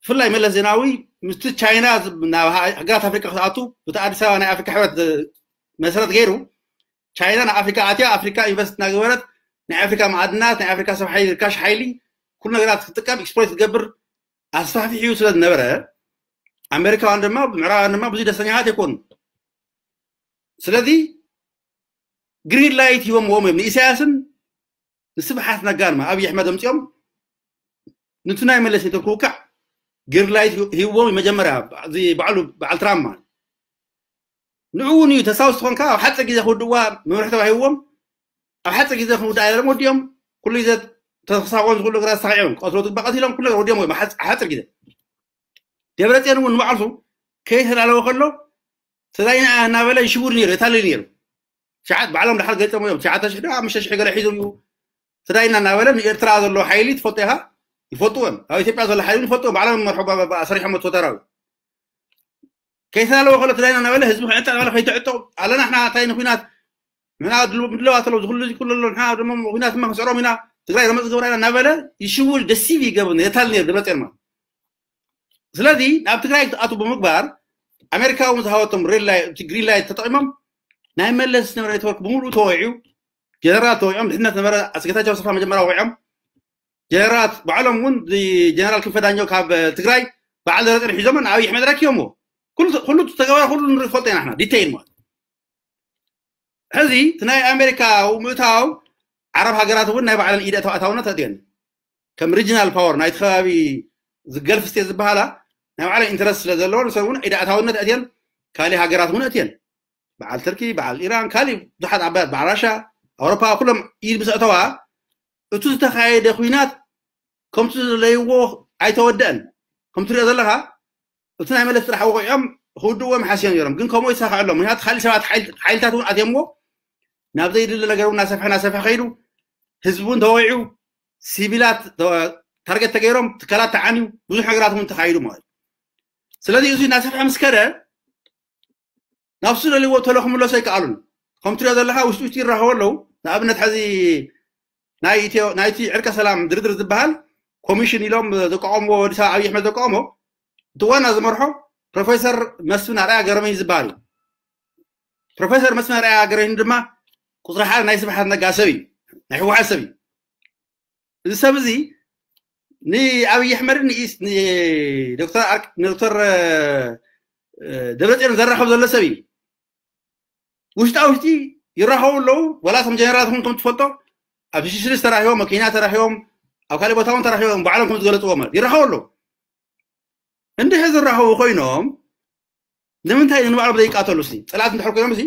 ብፍላይ መለስ ዜናዊ ምስቲ ቻይና ናብ ሃገራት ኣፍሪካ ክትኣቱ ብቲ ኣዲስ ኣበባ ናይ ኣፍሪካ ሕብረት መሰረት ገይሩ ቻይና ናብ ኣፍሪካ ኣትያ ኣፍሪካ ኢንቨስት እናገበረት ናይ ኣፍሪካ ማዕድናት ናይ ኣፍሪካ ሰብ ሓይሊ ርካሽ ሓይሊ ኩሉ ነገራት ክትጥቀም ኤክስፕሎይት ክትገብር ኣስፋሕፊሕ እዩ ስለ ዝነበረ ኣሜሪካውያን ድማ ምዕራባውያን ድማ ብዙ ደስተኛታት ኣይኮኑ። ስለዚ ግሪን ላይት ሂቦምዎም እዮም ንኢሳያስን ንስብሓት ነጋን ኣብ ኣሕመድ ኣምፅኦም ንቱ ናይ መለስ ኔትወርክ ክውካዕ ግሪን ላይት ሂብዎም መጀመርያ ባዕሉ በዓል ትራምፕ ማለት ንኡ እውን እዩ ተሳውስ ትኾንካ ኣብ ሓፂር ግዜ ክውድዋ መምርሒ ተባሂብዎም ኣብ ሓፂር ግዜ ክንውዳ እዮም ወዲኦም ኩሉ ግዜ ተሳቆን ዝኩሉ ግራ ተሳቂዖም ቀትሎ ትግባ ቀቲሎም ኩሉ ወዲኦም እዮም ሓፂር ግዜ ደብረፅዮን እውን ንባዕልሱ ከይተላለወ ከሎ ተዛይና እናበለ ይሽውር ነይሩ የታልል ነይሩ። ሸዓት ባዕሎም ድሓር ገሊፆም እዮም ትሽዓተ ሽሕ ዶ ሓሙሽተ ሽሕ ገለ ሒዙ እዩ ተዳይና እናበለ ንኤርትራ ዘሎ ሓይሊ ትፈልጦ ኢኻ ይፈልጥዎ እዮም ኣብ ኢትዮጵያ ዘሎ ሓይሊ ይፈልጥዎ ባዕሎም መርሖ ሰሪሖም ወታደራዊ ከይተላለወ ከሎ ተዳይና እናበለ ህዝቢ ክዕጠ እናበለ ከይትዕጠው ኣለና ሕና እንታይ ንኩናት ንሕና ምድለዋት ኣለዉ ዝኩሉ እዚ ኩሉ ኣሎ ንሕና ድማ ኩናት ድማ ክንስዕሮም ኢና ትግራይ ረመፅ ዝገብራ ኢና እናበለ ይሽውል ደሲቭ ይገብር የታል ነይሩ ደብረፅዮን ማለት ስለዚ ናብ ትግራይ ክትኣቱ ብምግባር ኣሜሪካ እውን ዝሃበቶም ግሪን ላይት ተጠቂሞም ናይ መለስ ዝነበረ ኔትወርክ ብምሉእ ተወዒዑ ጀነራላት ተወቂዖም፣ ድሕነት ነበረ፣ ኣስገታቸው ኣሰፋ መጀመርያ ወቂዖም፣ ጀነራላት ባዕሎም እውን ጀነራል ክንፈ ዳኘው ካብ ትግራይ በዓል ደብረፅዮን ሒዞም ንኣብይ ኣሕመድ ረኪቦምዎ። ኩሉ ተገባር ኩሉ ንፈልጦ ኢና፣ ዲቴይል ማለት። ሕዚ እቲ ናይ ኣሜሪካ ምእታው ዓረብ ሃገራት እውን ናይ ባዕለን ኢደ ኣታውነት ኣትየን፣ ከም ሪጅናል ፓወር ናይቲ ከባቢ፣ ገልፍ ስቴት ዝበሃላ ናይ ባዕለን ኢንተረስት ስለ ዘለወን፣ ንሰን እውን ኢደ ኣታውነት ኣትየን፣ ካሊእ ሃገራት እውን ኣትየን፣ በዓል ትርኪ፣ በዓል ኢራን፣ ካሊእ ብዙሓት ዓባያት፣ በዓል ራሻ፣ ኣውሮፓ፣ ኩሎም ኢድ ምስ ኣተዋ፣ እቲ ዝተኻየደ ኩናት ከምቲ ዝደለይዎ ኣይተወደአን። ከምቲ ትሪኦ ዘለኻ፣ እቲ ናይ መለስ ጥራሕ ወቂዖም ክውድእዎም ሓስዮም ነይሮም፣ ግን ከምኡ ይሳካዕሎም። ምክንያቱ ካሊእ ሰባት ሓይልታት እውን ኣትየምዎ፣ ናብ ዘይድለ ነገር እውን እናሰፍሐ እናሰፍሐ ከይዱ፣ ህዝቢ እውን ተወቂዑ፣ ሲቪላት ታርጌት ተገይሮም፣ ትካላት ተዓንዩ፣ ብዙሕ ነገራት እውን ተኻይዱ ማለት እዩ። ስለዚ እዚ እናሰፍሐ ምስ ከደ፣ ናብ ዝደልይዎ ተሎ ክምለሱ ኣይከኣሉን። ከም ትሪኦ ዘለካ ውሽጢ ውሽጢ ይራኸቡ ኣለዉ። ንኣብነት ሕዚ ናይ ኢትዮ ናይቲ ዕርቀ ሰላም ድርድር ዝበሃል ኮሚሽን ኢሎም ዘቋቋምዎ፣ ወዲ ሰብ ኣብይ ኣሕመድ ዘቋቋሞ፣ እቲ ዋና ዝመርሖ ፕሮፌሰር መስፍን ኣርኣያ ገረመኝ ዝበሃል እዩ። ፕሮፌሰር መስፍን ኣርኣያ ገረመኝ ድማ ቁፅሪ ሓደ ናይ ስብሓት ነጋ ሰብ እዩ፣ ናይ ህወሓት ሰብ እዩ። እዚ ሰብ እዚ ንኣብይ ኣሕመድን ንኢስ ንዶክተር ኣርክ ንዶክተር ደብረፅዮን ዘራኸብ ዘሎ ሰብ እዩ። ውሽጣ ውሽጢ ይራኸቡ ኣለዉ። ዋላ እቶም ጀነራላት እውን ከም ትፈልጦ ኣብ ሽሽልስ ተራኺቦም፣ ኣብ ኬንያ ተራኺቦም፣ ኣብ ካልእ ቦታ እውን ተራኺቦም፣ ባዕሎም ከም ዝገለፅዎ ማለት ይራኸቡ ኣለዉ። እንድሕር ዝራኸቡ ኮይኖም ንምንታይ ንባዕሎም ዘይቃተሉ? ሲ ፀላእቲ እንድሕር ኮይኖም ሲ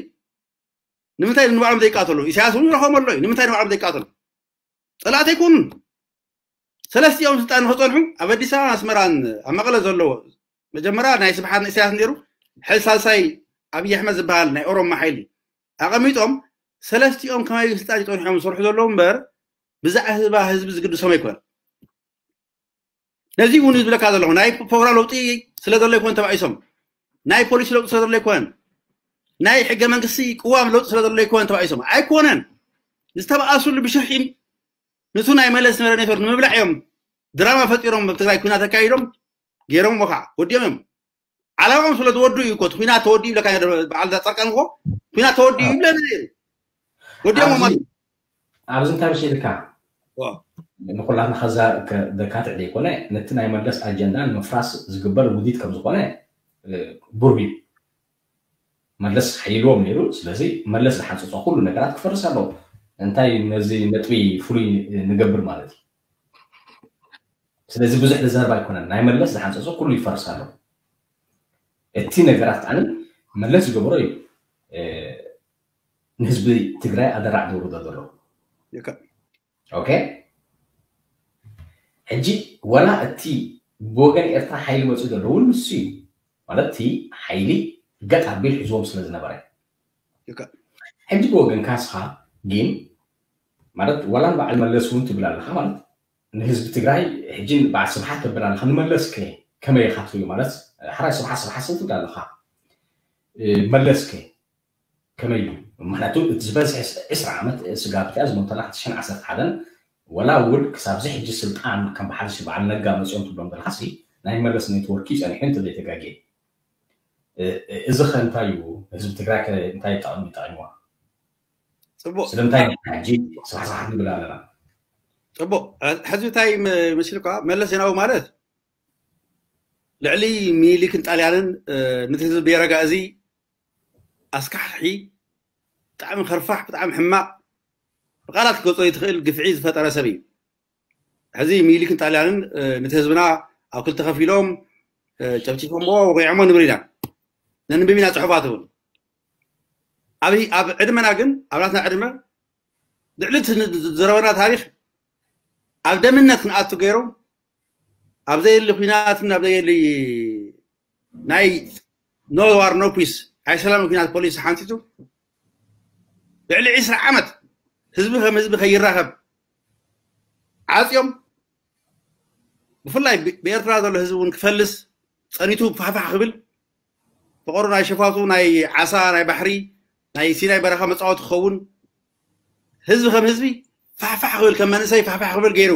ንምንታይ ንባዕሎም ዘይቃተሉ? ኢሳያስ እውን ይረኸቦም ኣሎ እዩ። ንምንታይ ንባዕሎም ዘይቃተሉ? ፀላእቲ ኣይኮኑን። ሰለስቲኦም ስልጣን ንክፀንሑ ኣብ ኣዲስ ኣበባ ኣስመራን ኣብ መቐለ ዘለዎ መጀመርያ ናይ ስብሓት ንእሳያስ ነይሩ፣ ሕዚ ሳልሳይ ኣብይ ኣሕመድ ዝበሃል ናይ ኦሮማ ሓይሊ ኣቐሚጦም ሰለስቲኦም ከመይ ስልጣን ይፀንሖም ዝሰርሑ ዘለዉ እምበር ብዛዕባ ህዝቢ ዝግድሶም ኣይኮነ። ነዚ እውን ዝብለካ ዘለኹ ናይ ፕሮግራም ለውጢ ስለ ዘሎ ይኮን ተባኢሶም፣ ናይ ፖሊሲ ለውጢ ስለ ዘሎ ይኮነን፣ ናይ ሕገ መንግስቲ ቅዋም ለውጢ ስለ ዘሎ ይኮነን ተባኢሶም ኣይኮነን። ዝተባኣሱሉ ብሽርሒም ንሱ ናይ መለስ ዝነበረ ኔትወርክ ንምብላዕ እዮም ድራማ ፈጢሮም ኣብ ትግራይ ኩናት ኣካይዶም ገይሮም ከዓ ወዲኦም እዮም። ዓላማኦም ስለ ዝወዱ እዩ እኮ እቲ ኩናት ተወዲኡ ይብለካ ነይሩ። በዓል ፃድቃን እኮ ኩናት ተወዲኡ ይብለና ነይሩ። ወዲኦም ማለት ኣብዚ እንታይ መሲልካ ንኩላትና ከዛ ደካትዕ ዘይኮነ ነቲ ናይ መለስ ኣጀንዳ ንምፍራስ ዝግበር ውዲት ከም ዝኾነ ብሩህ እዩ። መለስ ሓይልዎም ነይሩ። ስለዚ መለስ ዝሓንፀፆ ኩሉ ነገራት ክፈርስ ኣለዎ። እንታይ ነዚ ነጥቢ ፍሉይ ንገብር ማለት እዩ። ስለዚ ብዙሕ ዝዛረብ ኣይኮነን። ናይ መለስ ዝሓንፀፆ ኩሉ ይፈርስ ኣሎ። እቲ ነገራት ከዓ መለስ ዝገበሮ እዩ ንህዝቢ ትግራይ ኣደራዕ ዘውርዶ ዘሎ። ኦኬ፣ ሕጂ ወላ እቲ ብወገን ኤርትራ ሓይሊ መፅኡ ዘሎ እውን ንሱ እዩ። ማለት እቲ ሓይሊ ገጥ ኣቢል ሒዝዎም ስለ ዝነበረ። ሕጂ ብወገን ካስኻ ግን ማለት ዋላ ንበዓል መለስ እውን ትብል ኣለኻ ማለት ንህዝቢ ትግራይ ሕጂ በዓል ስብሓት ተብል ኣለኻ። ንመለስከ ከመይ ኢኻ ትሪኦ? ማለት ሓራይ ስብሓት ስብሓት ሰብ ትብል ኣለኻ። መለስከ ከመይ እዩ? ምክንያቱ እቲ ዝበዝሐ ዕስራ ዓመት ስጋብ እቲኣ ዝሞተላ ክልተ ሽሕን ዓሰርተ ሓደን ወላ እውን ክሳብ እዚ ሕጂ ስልጣን ከም በሓልሲ በዓል ነጋ መፅኦም ትብሎም ዘለካ ሲ ናይ መለስ ኔትወርክ እዩ ፀኒሑ እንተዘይተጋግየ። እዚ ከ እንታይ እዩ? ህዝቢ ትግራይ ከ እንታይ ጠቕሚ ጠቒምዋ? ፅቡቅ ስለምንታይ ሕጂ ስራሕስራሓት ንብል ኣለና? ፅቡቅ ሕዚ እንታይ መሲልካ መለስ ዜናዊ ማለት ልዕሊ ሚኒሊክን ጣልያንን ነቲ ህዝቢ ቤረጋ እዚ ኣስካሕኪሒ ብጣዕሚ ከርፋሕ ብጣዕሚ ሕማቅ ብቃላት ክትገልፆ ዘይትኽእል ግፍዒ ዝፈጠረ ሰብ እዩ። ሕዚ ሚኒሊክን ጣልያንን ነቲ ህዝብና ኣብ ክልተ ከፊሎም ጨፍጪፎምዎ ወቂዖሞ ንብል ኢና ነንብብ ኢና ፅሑፋት እውን ኣብ ዕድመና ግን ኣብ ናትና ዕድመ ልዕሊ ዘረበና ታሪክ ኣብ ደምነት ክንኣቱ ገይሮም ኣብ ዘየሊ ኩናትን ኣብ ዘየሊ ናይ no war no peace ናይ ሰላም ኩናት ፖሊሲ ሓንቲቱ ልዕሊ ዕስራ ዓመት ህዝቢ ከም ህዝቢ ከይራኸብ ዓፅዮም ብፍላይ ብኤርትራ ዘሎ ህዝቢ እውን ክፈልስ ፀኒቱ ፋሕፋሕ ክብል ፈቐሩ ናይ ሸፋቱ ናይ ዓሳ ናይ ባሕሪ ናይ ሲናይ በረኻ መፃወቲ ክኸውን ህዝቢ ከም ህዝቢ ፋሕፋሕ ክብል ከም መንእሰይ ፋሕፋሕ ክብል ገይሩ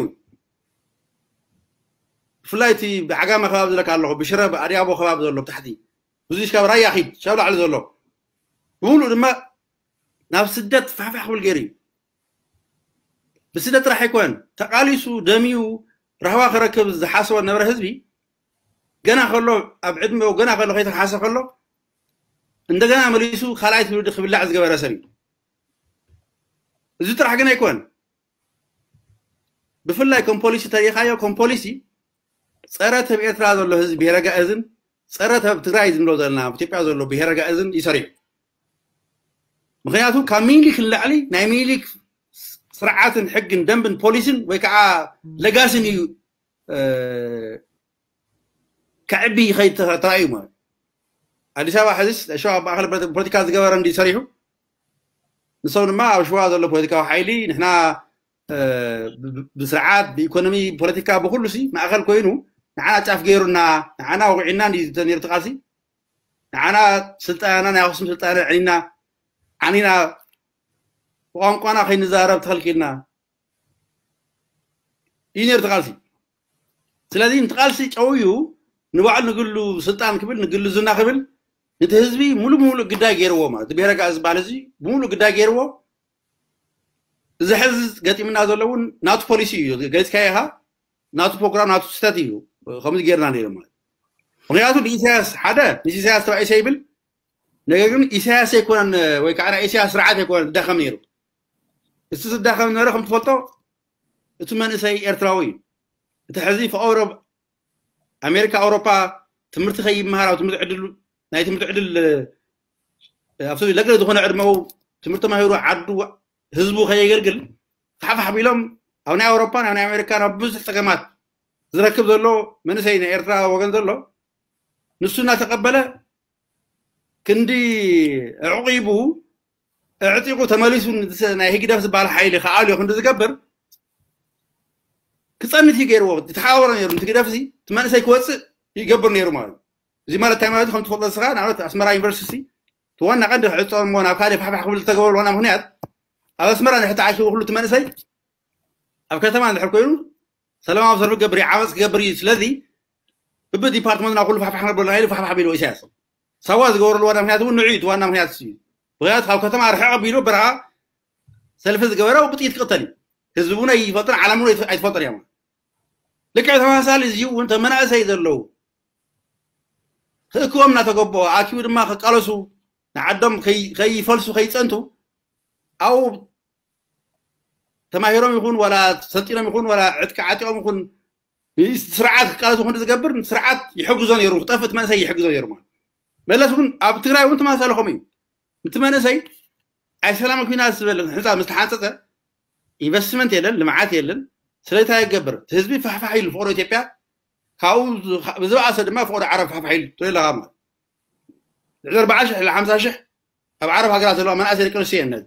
ብፍላይ እቲ ብዓጋመ ከባቢ ዝለካ ኣለኹ ብሽረ ብኣድያቦ ከባቢ ዘሎ ብታሕቲ ብዙ ካብ ራያ ኪድ ሻብ ላዕሊ ዘሎ ብሙሉእ ድማ ናብ ስደት ፋሕፋሕ ክብል ገይሩ እዩ። ብስደት ጥራሕ ኣይኮነን ተቃሊሱ ደሚዩ ራህዋ ክረክብ ዝሓሰቦ ነበረ ህዝቢ ገና ከሎ ኣብ ዕድሜኡ ገና ከሎ ከይተሓሰ ከሎ እንደገና መሊሱ ካልኣይ ትውልዲ ክብላዕ ዝገበረ ሰብ እዩ። እዚ ጥራሕ ግን ኣይኮን። ብፍላይ ከም ፖሊሲ ተሪኻዮ ከም ፖሊሲ ጸረ ተብ ኤርትራ ዘሎ ህዝቢ ብሄረ ጋእዝን ጸረ ተብ ትግራይ ዝንብሎ ዘለና ኣብ ኢትዮጵያ ዘሎ ብሄረ ጋእዝን ይሰሪሑ። ምክንያቱ ካብ ሚኒሊክ ንላዕሊ ናይ ሚኒሊክ ስርዓትን ሕግን ደንብን ፖሊስን ወይ ከዓ ለጋስን እዩ ከዕቢ ይኸይድ ተራእዩ ማለት። ኣዲስ ኣበባ ሕዚስ ሸዋ ኣብ ማእኸል ፖለቲካ ዝገበረ እንዲ ሰሪሑ ንሶም ድማ ኣብ ሸዋ ዘሎ ፖለቲካዊ ሓይሊ ንሕና ብስርዓት ብኢኮኖሚ ፖለቲካ ብኩሉ ሲ ማእኸል ኮይኑ ንዓና ጫፍ ገይሩና ንዓና ወቂዕና እንዲ ነይሩ ትቃልሲ ንዓና ስልጣና ናይ ኣክሱም ስልጣና ዕኒና ዓኒና ብቋንቋና ከይንዛረብ ተኸልኪልና እዩ ነይሩ ትቃልሲ። ስለዚ ንትቃልሲ ጨውዩ ንባዕሉ ንግሉ ስልጣን ክብል ንግሉ ዝና ክብል ነቲ ህዝቢ ሙሉ ብሙሉ ግዳይ ገይርዎ ማለት ብሄረ ጋእዝ ዝበሃል እዚ ብሙሉ ግዳይ ገይርዎ። እዚ ሕዚ ገጢምና ዘሎ እውን ናቱ ፖሊሲ እዩ ገሊፅካዮ ኢኻ። ናቱ ፕሮግራም ናቱ ስህተት እዩ። ከምዚ ገይርና ነይሩ ማለት ምክንያቱ ንኢሳያስ ሓደ ንኢሳያስ ተባኢሰ ይብል። ነገር ግን ኢሳያስ ኣይኮነን ወይ ከዓ ናይ ኢሳያስ ስርዓት ኣይኮነን ዝዳኸም ነይሩ። እቲ ዝዳኸም ነበረ ከም ትፈልጦ እቲ መንእሰይ ኤርትራዊ እዩ። እቲ ሕዚ ፈቀዶ ኣሜሪካ ኣውሮፓ ትምህርቲ ከይመሃር ኣብ ትምህርቲ ዕድል ናይ ትምህርቲ ዕድል ኣብቲ ለገለ ዝኾነ ዕድመው ትምህርቲ ተማሂሩ ዓዱ ህዝቡ ከየገልግል ፋሕፋሕ ቢሎም ኣብ ናይ ኣውሮፓ ናብ ናይ ኣሜሪካ ናብ ብዙሕ ፀገማት ዝረክብ ዘሎ መንእሰይ ናይ ኤርትራ ወገን ዘሎ ንሱ እናተቀበለ ክንዲ ዕቂቡ ዕጢቁ ተመሊሱ ናይ ህግደፍ ዝበሃል ሓይሊ ከኣልዮ ክንዲ ዝገብር ክፀንት እዩ ገይርዎ። ዝተሓባበረ ነይሩ ንትግደፍ እዚ እቲ መንእሰይ ክወፅእ ይገብር ነይሩ ማለት እዩ። እዚ ማለት እንታይ ማለት ከም ትፈልጦ ንስኻ ንኣብነት ኣስመራ ዩኒቨርሲቲ እቲ ዋና ቀንዲ ክዕፀም እሞ ናብ ካልእ ፋሕፋሕ ክብል ዝተገበሩ ዋና ምክንያት ኣብ ኣስመራ ንድሕር ተኣኪቡ ኩሉ እቲ መንእሰይ ኣብ ከተማ እንድሕር ኮይኑ ሰላማዊ ሰልፊ ክገብር እዩ ዓመፅ ክገብር እዩ። ስለዚ ብብዲፓርትመንት ናብ ኩሉ ፋሕፋሕ ክነብረሉ ኢሉ ፋሕፋሕ ቢሉ ኢሳያስ ሳዋ ዝገበረሉ ዋና ምክንያት እውን ንዑ እዩ ዋና ምክንያት እዩ። ምክንያቱ ካብ ከተማ ርሕቕ ኣቢሉ በረኻ ሰልፊ ዝገበረ ብጥይት ክቕተል እዩ። ህዝቢ እውን ኣይፈልጥን ዓለም እውን ኣይትፈልጥን እያ። ልክዕ ተመሳሳሊ እዚ እውን ተመናእሰይ ዘለዉ ክእክቦም እናተገበኦ ኣኪቡ ድማ ክቃለሱ ንዓዶም ከይፈልሱ ከይፀንቱ ኣብኡ ተማሂሮም ይኹን ዋላ ሰልጢኖም ይኹን ዋላ ዕጥቂ ዓጢቆም ይኹን ስርዓት ክቃለሱ ክንዲ ዝገብር ስርዓት ይሕግዞ ነይሩ። ክጠፍእ እቲ መንእሰይ ይሕግዞ ነይሩ ማለት መለስ እውን ኣብ ትግራይ እውን ተመሳሳሊ ከምኡ እዩ። እቲ መንእሰይ ኣይ ሰላም ኩናት ዝበለ ህንፃ ምስ ተሓንፀፀ ኢንቨስትመንት የለን፣ ልምዓት የለን። ስለዚ እንታይ ይገብር? እቲ ህዝቢ ፋሕፋሕ ኢሉ ፍቅሮ ኢትዮጵያ ካብኡ ብዝበኣሰ ድማ ፍቅሮ ዓረብ ፋሕፋሕ ኢሉ ትሪኦ ኣለኻ ማለት ልዕሊ ኣርባዓ ሽሕ ልዕሊ ሓምሳ ሽሕ ኣብ ዓረብ ሃገራት ዘለዋ መናእሰይ ደቂ ኣንስትዮ እየን ነዚ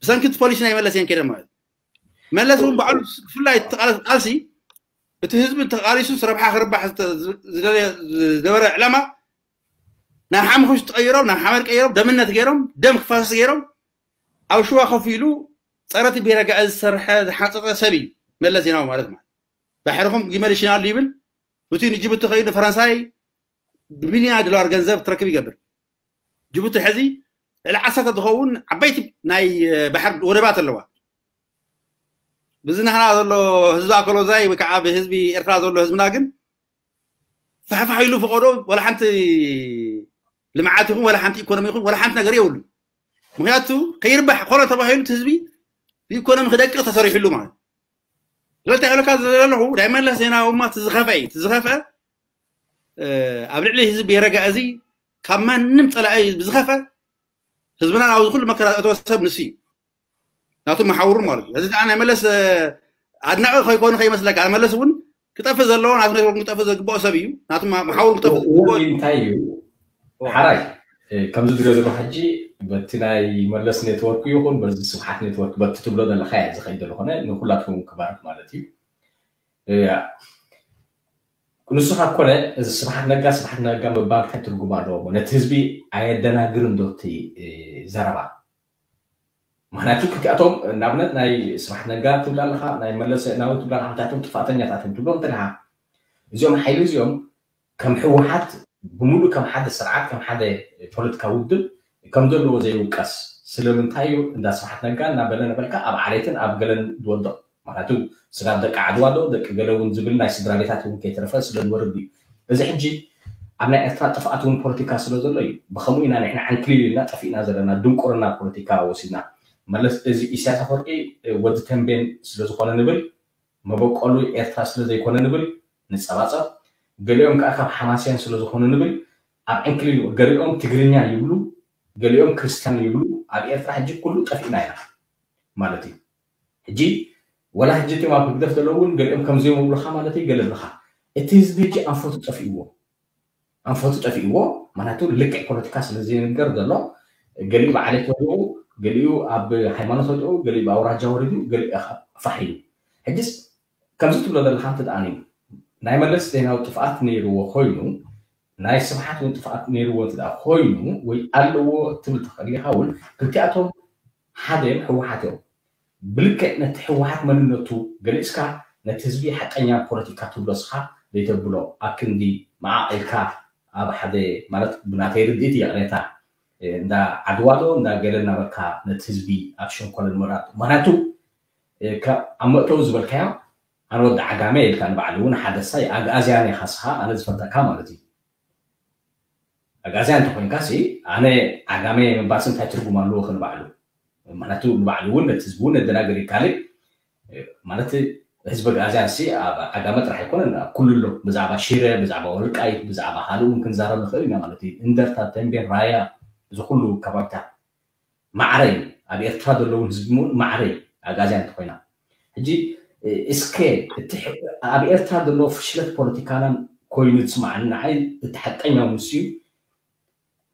ብሰንኪ እቲ ፖሊሲ ናይ መለስ እየን ከይደን ማለት መለስ እውን ባዕሉ ብፍላይ ቃልሲ እቲ ህዝቢ ተቃሊሱ ረብሓ ክርባሕ ዝነበረ ዕላማ ናብ ሓሙኽሽ ትቀይሮም ናብ ሓመድ ቀይሮም ደምነት ገይሮም ደም ክፋሰስ ገይሮም ኣብ ሽዋ ኮፍ ኢሉ ፀረቲ ብሄረ ጋእዝ ዝሰርሐ ዝሓፀፀ ሰብ እዩ መለስ ዜናዊ ማለት ማለት ባሕርኹም ጊመል ይሽናሉ ይብል ብቲ ንጅቡቲ ከይዱ ፈረንሳይ ብቢልዮና ዶላር ገንዘብ ትረክብ ይገብር ጅቡቲ ሕዚ ልዕሊ ዓሰርተ ዝኸውን ዓበይቲ ናይ ባሕር ወደባት ኣለዋ ብዚ ናህና ዘሎ ህዝቢ ኣኮሎዛይ ወይ ከዓ ብህዝቢ ኤርትራ ዘሎ ህዝብና ግን ፋሕፋሕ ኢሉ ፈቀዶ ወላ ሓንቲ ልምዓት ይኹን ወላ ሓንቲ ኢኮኖሚ ይኹን ወላ ሓንቲ ነገር የብሉ ምክንያቱ ከይርባሕ ኮነ ተባሂሉ ህዝቢ ብኢኮኖሚ ክደቅቕ ተሰሪሕሉ ማለት ስለዚ ይብለካ ዘለኹ ናይ መለስ ዜናዊ እማ ትዝኸፈ እዩ ትዝኸፈ ኣብ ልዕሊ ህዝቢ ብሄረ ጋእዚ ካብ ማንም ፀላኢ ብዝኸፈ ህዝብና ኣብዚ ኩሉ መከራ ዘእተወ ሰብ ንሱ እዩ ናቱ መሓውሩ ማለት እዩ እዚ ናይ መለስ ኣድናቂ ከይኮኑ ከይመስለካ መለስ እውን ክጠፍእ ዘለዎ ናቱ ኔትወርክ ክጠፍእ ዘግብኦ ሰብ እዩ ናቱ መሓውሩ ክጠፍእ እንታይ እዩ ሓራይ ከምዚ ዝሪኦ ዘሎ ሕጂ በቲ ናይ መለስ ኔትወርክ ይኹን በዚ ስብሓት ኔትወርክ በቲ ትብሎ ዘለካ እየ ዝኸይድ ዘለኾነ ንኩላትኩም ክባርክ ማለት እዩ ንስኻ ኮነ እዚ ስብሓት ነጋ ስብሓት ነጋ ምባል እንታይ ትርጉም ኣለዎ ነቲ ህዝቢ ኣየደናግርን ዶ እቲ ዘረባ ምክንያቱ ክልቲኣቶም ንኣብነት ናይ ስብሓት ነጋ ትብል ኣለካ ናይ መለስ ዜናዊ ትብል ኣለካ ክልቲኣቶም ጥፋተኛታት እዮም ትብሎም እንተለካ እዚኦም ሓይሊ እዚኦም ከም ህወሓት ብሙሉእ ከም ሓደ ስርዓት ከም ሓደ ፖለቲካ ውድብ ከም ዘለዎ ዘይውቀስ ስለምንታይ እዩ እንዳ ስብሓት ነጋ እናበለ ነበልካ ኣብ ዓሌትን ኣብ ገለን ዝወድቕ? ማለት ስጋብ ደቂ ዓድዋ ዶ ደቂ ገለ እውን ዝብል ናይ ስድራ ቤታት እውን ከይተረፈ ስለንወርድ እዩ። እዚ ሕጂ ኣብ ናይ ኤርትራ ጥፍኣት እውን ፖለቲካ ስለ ዘሎ እዩ። ብከምኡ ኢና ንሕና ዓንክሊል ኢልና ጠፊእና ዘለና፣ ድንቁርና ፖለቲካ ወሲድና። መለስ እዚ ኢሳያስ ኣፈወርቂ ወዲ ተንቤን ስለዝኾነ ንብል፣ መበቆሉ ኤርትራ ስለ ዘይኮነ ንብል ንጸባጸብ። ገሊኦም ከዓ ካብ ሓማስያን ስለ ዝኾኑ ንብል ኣብ ዕንክሊል፣ ገሊኦም ትግርኛ ይብሉ፣ ገሊኦም ክርስቲያን ይብሉ። ኣብ ኤርትራ ሕጂ ኩሉ ጠፊእና ኢና ማለት እዩ። ሕጂ ወላ ሕጂ እቲኦም ኣብ ህግደፍ ዘለዉ እውን ገሊኦም ከምዚኦም ይብሉኻ ማለት እዩ። ገለ ብልኻ እቲ ህዝቢ ሕጂ ኣንፈቱ ጠፊእዎ፣ ኣንፈቱ ጠፊእዎ። ምክንያቱ ልክዕ ፖለቲካ ስለ ዘይንገር ዘሎ፣ ገሊኡ ብዓሌት ወዲቑ፣ ገሊኡ ኣብ ሃይማኖት ወዲቑ፣ ገሊኡ ብኣውራጃ ወሪዱ፣ ገሊኡ ፋሕ ኢሉ። ሕጅስ ከምዚ ትብሎ ዘለኻ እንተ ደኣ ናይ መለስ ዜናዊ ጥፍኣት ነይርዎ ኮይኑ፣ ናይ ስብሓት እውን ጥፍኣት ነይርዎ እንተ ደኣ ኮይኑ ወይ ኣለዎ ትብል ትኽእል ኢኻ እውን፣ ክልቲኣቶም ሓደ እዮም፣ ህወሓት እዮም። ብልክዕ ነቲ ህወሓት መንነቱ ገሊጽካ ነቲ ህዝቢ ሓቀኛ ፖለቲካ ትብሎ እስኻ ዘይተብሎ ኣብ ክንዲ መዓቕ ኢልካ ኣብ ሓደ ማለት ብናተይ ርድኢት ይቕሬታ እንዳ ዓድዋ ዶ እንዳ ገለ እናበልካ ነቲ ህዝቢ ኣብ ሸንኮለል ምራጥ። ምክንያቱ ካብ ኣብ መእተዊ ዝበልካዮ ኣነ ወዲ ዓጋመ ኢልካ ንባዕሉ እውን ሓደ ሳይ ኣግኣዝያን ኢኻ እስኻ ኣነ ዝፈልጠካ ማለት እዩ። ኣግኣዝያን እንተኮይንካ ሲ ኣነ ዓጋመ ምባልሲ እንታይ ትርጉም ኣለዎ ከ ንባዕሉ? ምክንያቱ ንባዕሉ እውን ነቲ ህዝቢ እውን ነደናገር እዩ። ካልእ ማለት ህዝቢ ኣግኣዝያን ሲ ኣብ ዓጋመ ጥራሕ ኣይኮነን፣ ኣብ ኩሉ ኣሎ። ብዛዕባ ሽረ፣ ብዛዕባ ወልቃይት፣ ብዛዕባ ካልእ እውን ክንዛረብ ንኽእል ኢና ማለት እዩ። እንደርታ፣ ተንቤን፣ ራያ፣ እዚ ኩሉ ከባቢታት ማዕረ እዩ። ኣብ ኤርትራ ዘለውን ህዝቢ እውን ማዕረ እዩ። ኣግኣዝያን እንተኮይና ሕጂ እስከ እቲ ኣብ ኤርትራ ዘሎ ፍሽለት ፖለቲካናን ኮይኑ ዝስማዓኒ ንዓይ እቲ ሓቀኛው ምስ እዩ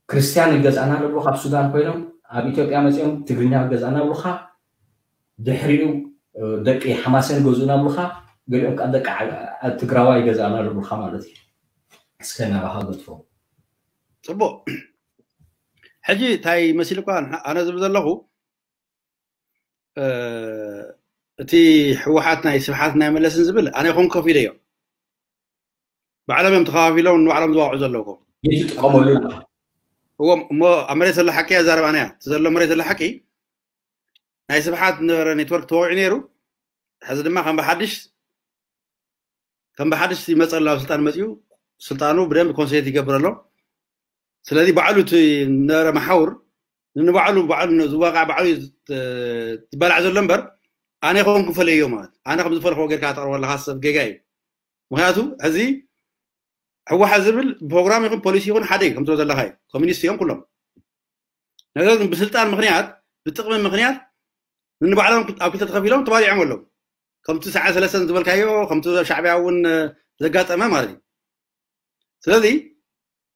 ክርስትያን ይገዝኣና ለብሉኻ ኣብ ሱዳን ኮይኖም ኣብ ኢትዮጵያ መፂኦም ትግርኛ ይገዝኣና ብሉኻ ድሕሪኡ ደቂ ሓማሴን ገዝኡና ብሉኻ ገሊኦም ከዓ ደቂ ትግራዋ ይገዝኣና ለብሉኻ ማለት እዩ። እስከ ናባኻ ገድፎ። ፅቡቅ ሕጂ እንታይ መሲልኳ ኣነ ዝብል ዘለኹ እቲ ህወሓት ናይ ስብሓት ናይ መለስን ዝብል ኣነ ይኹን ከፊለ እዮም ባዕሎም እዮም ተኸፋፊሎም ንባዕሎም ዝዋቅዑ ዘለውኩም ይጥቀመሉ እዎም እሞ ኣብ መሬት ዘሎ ሓቂ ያዛረብ ኣነ እቲ ዘሎ መሬት ዘሎ ሓቂ ናይ ስብሓት ነበረ ኔትወርክ ተወቂዑ ነይሩ ሕዚ ድማ ከም ብሓድሽ ከም ብሓድሽ ይመፀ ኣሎ ኣብ ስልጣን መፅኡ ስልጣኑ ብደንብ ኮንሴት ይገብር ኣሎ ስለዚ ባዕሉ እቲ ነበረ መሓውር ንባዕሉ ባዕሉ ዝዋቃዕ ባዕሉ ዝበላዕ ዘሎ እምበር ኣነ ይኸውን ክፈለዮ ማለት ኣነ ከም ዝፈልክዎ ጌርካ ተቅርቦ ኣለካ ሰብ ጌጋ እዩ ምክንያቱ ሕዚ ህወሓት ዝብል ፕሮግራም ይኹን ፖሊሲ ይኹን ሓደ እዩ ከምትሎ ዘለካ እዩ ኮሚኒስት እዮም ኩሎም ነገር ግን ብስልጣን ምክንያት ብጥቅሚ ምክንያት ንባዕሎም ኣብ ክልተ ተኸፊሎም ተባሊዖም ኣለዉ ከምቲ ሰዓ ሰለስተን ዝበልካዮ ከምቲ ሻዕቢያ እውን ዘጋጠመ ማለት እዩ ስለዚ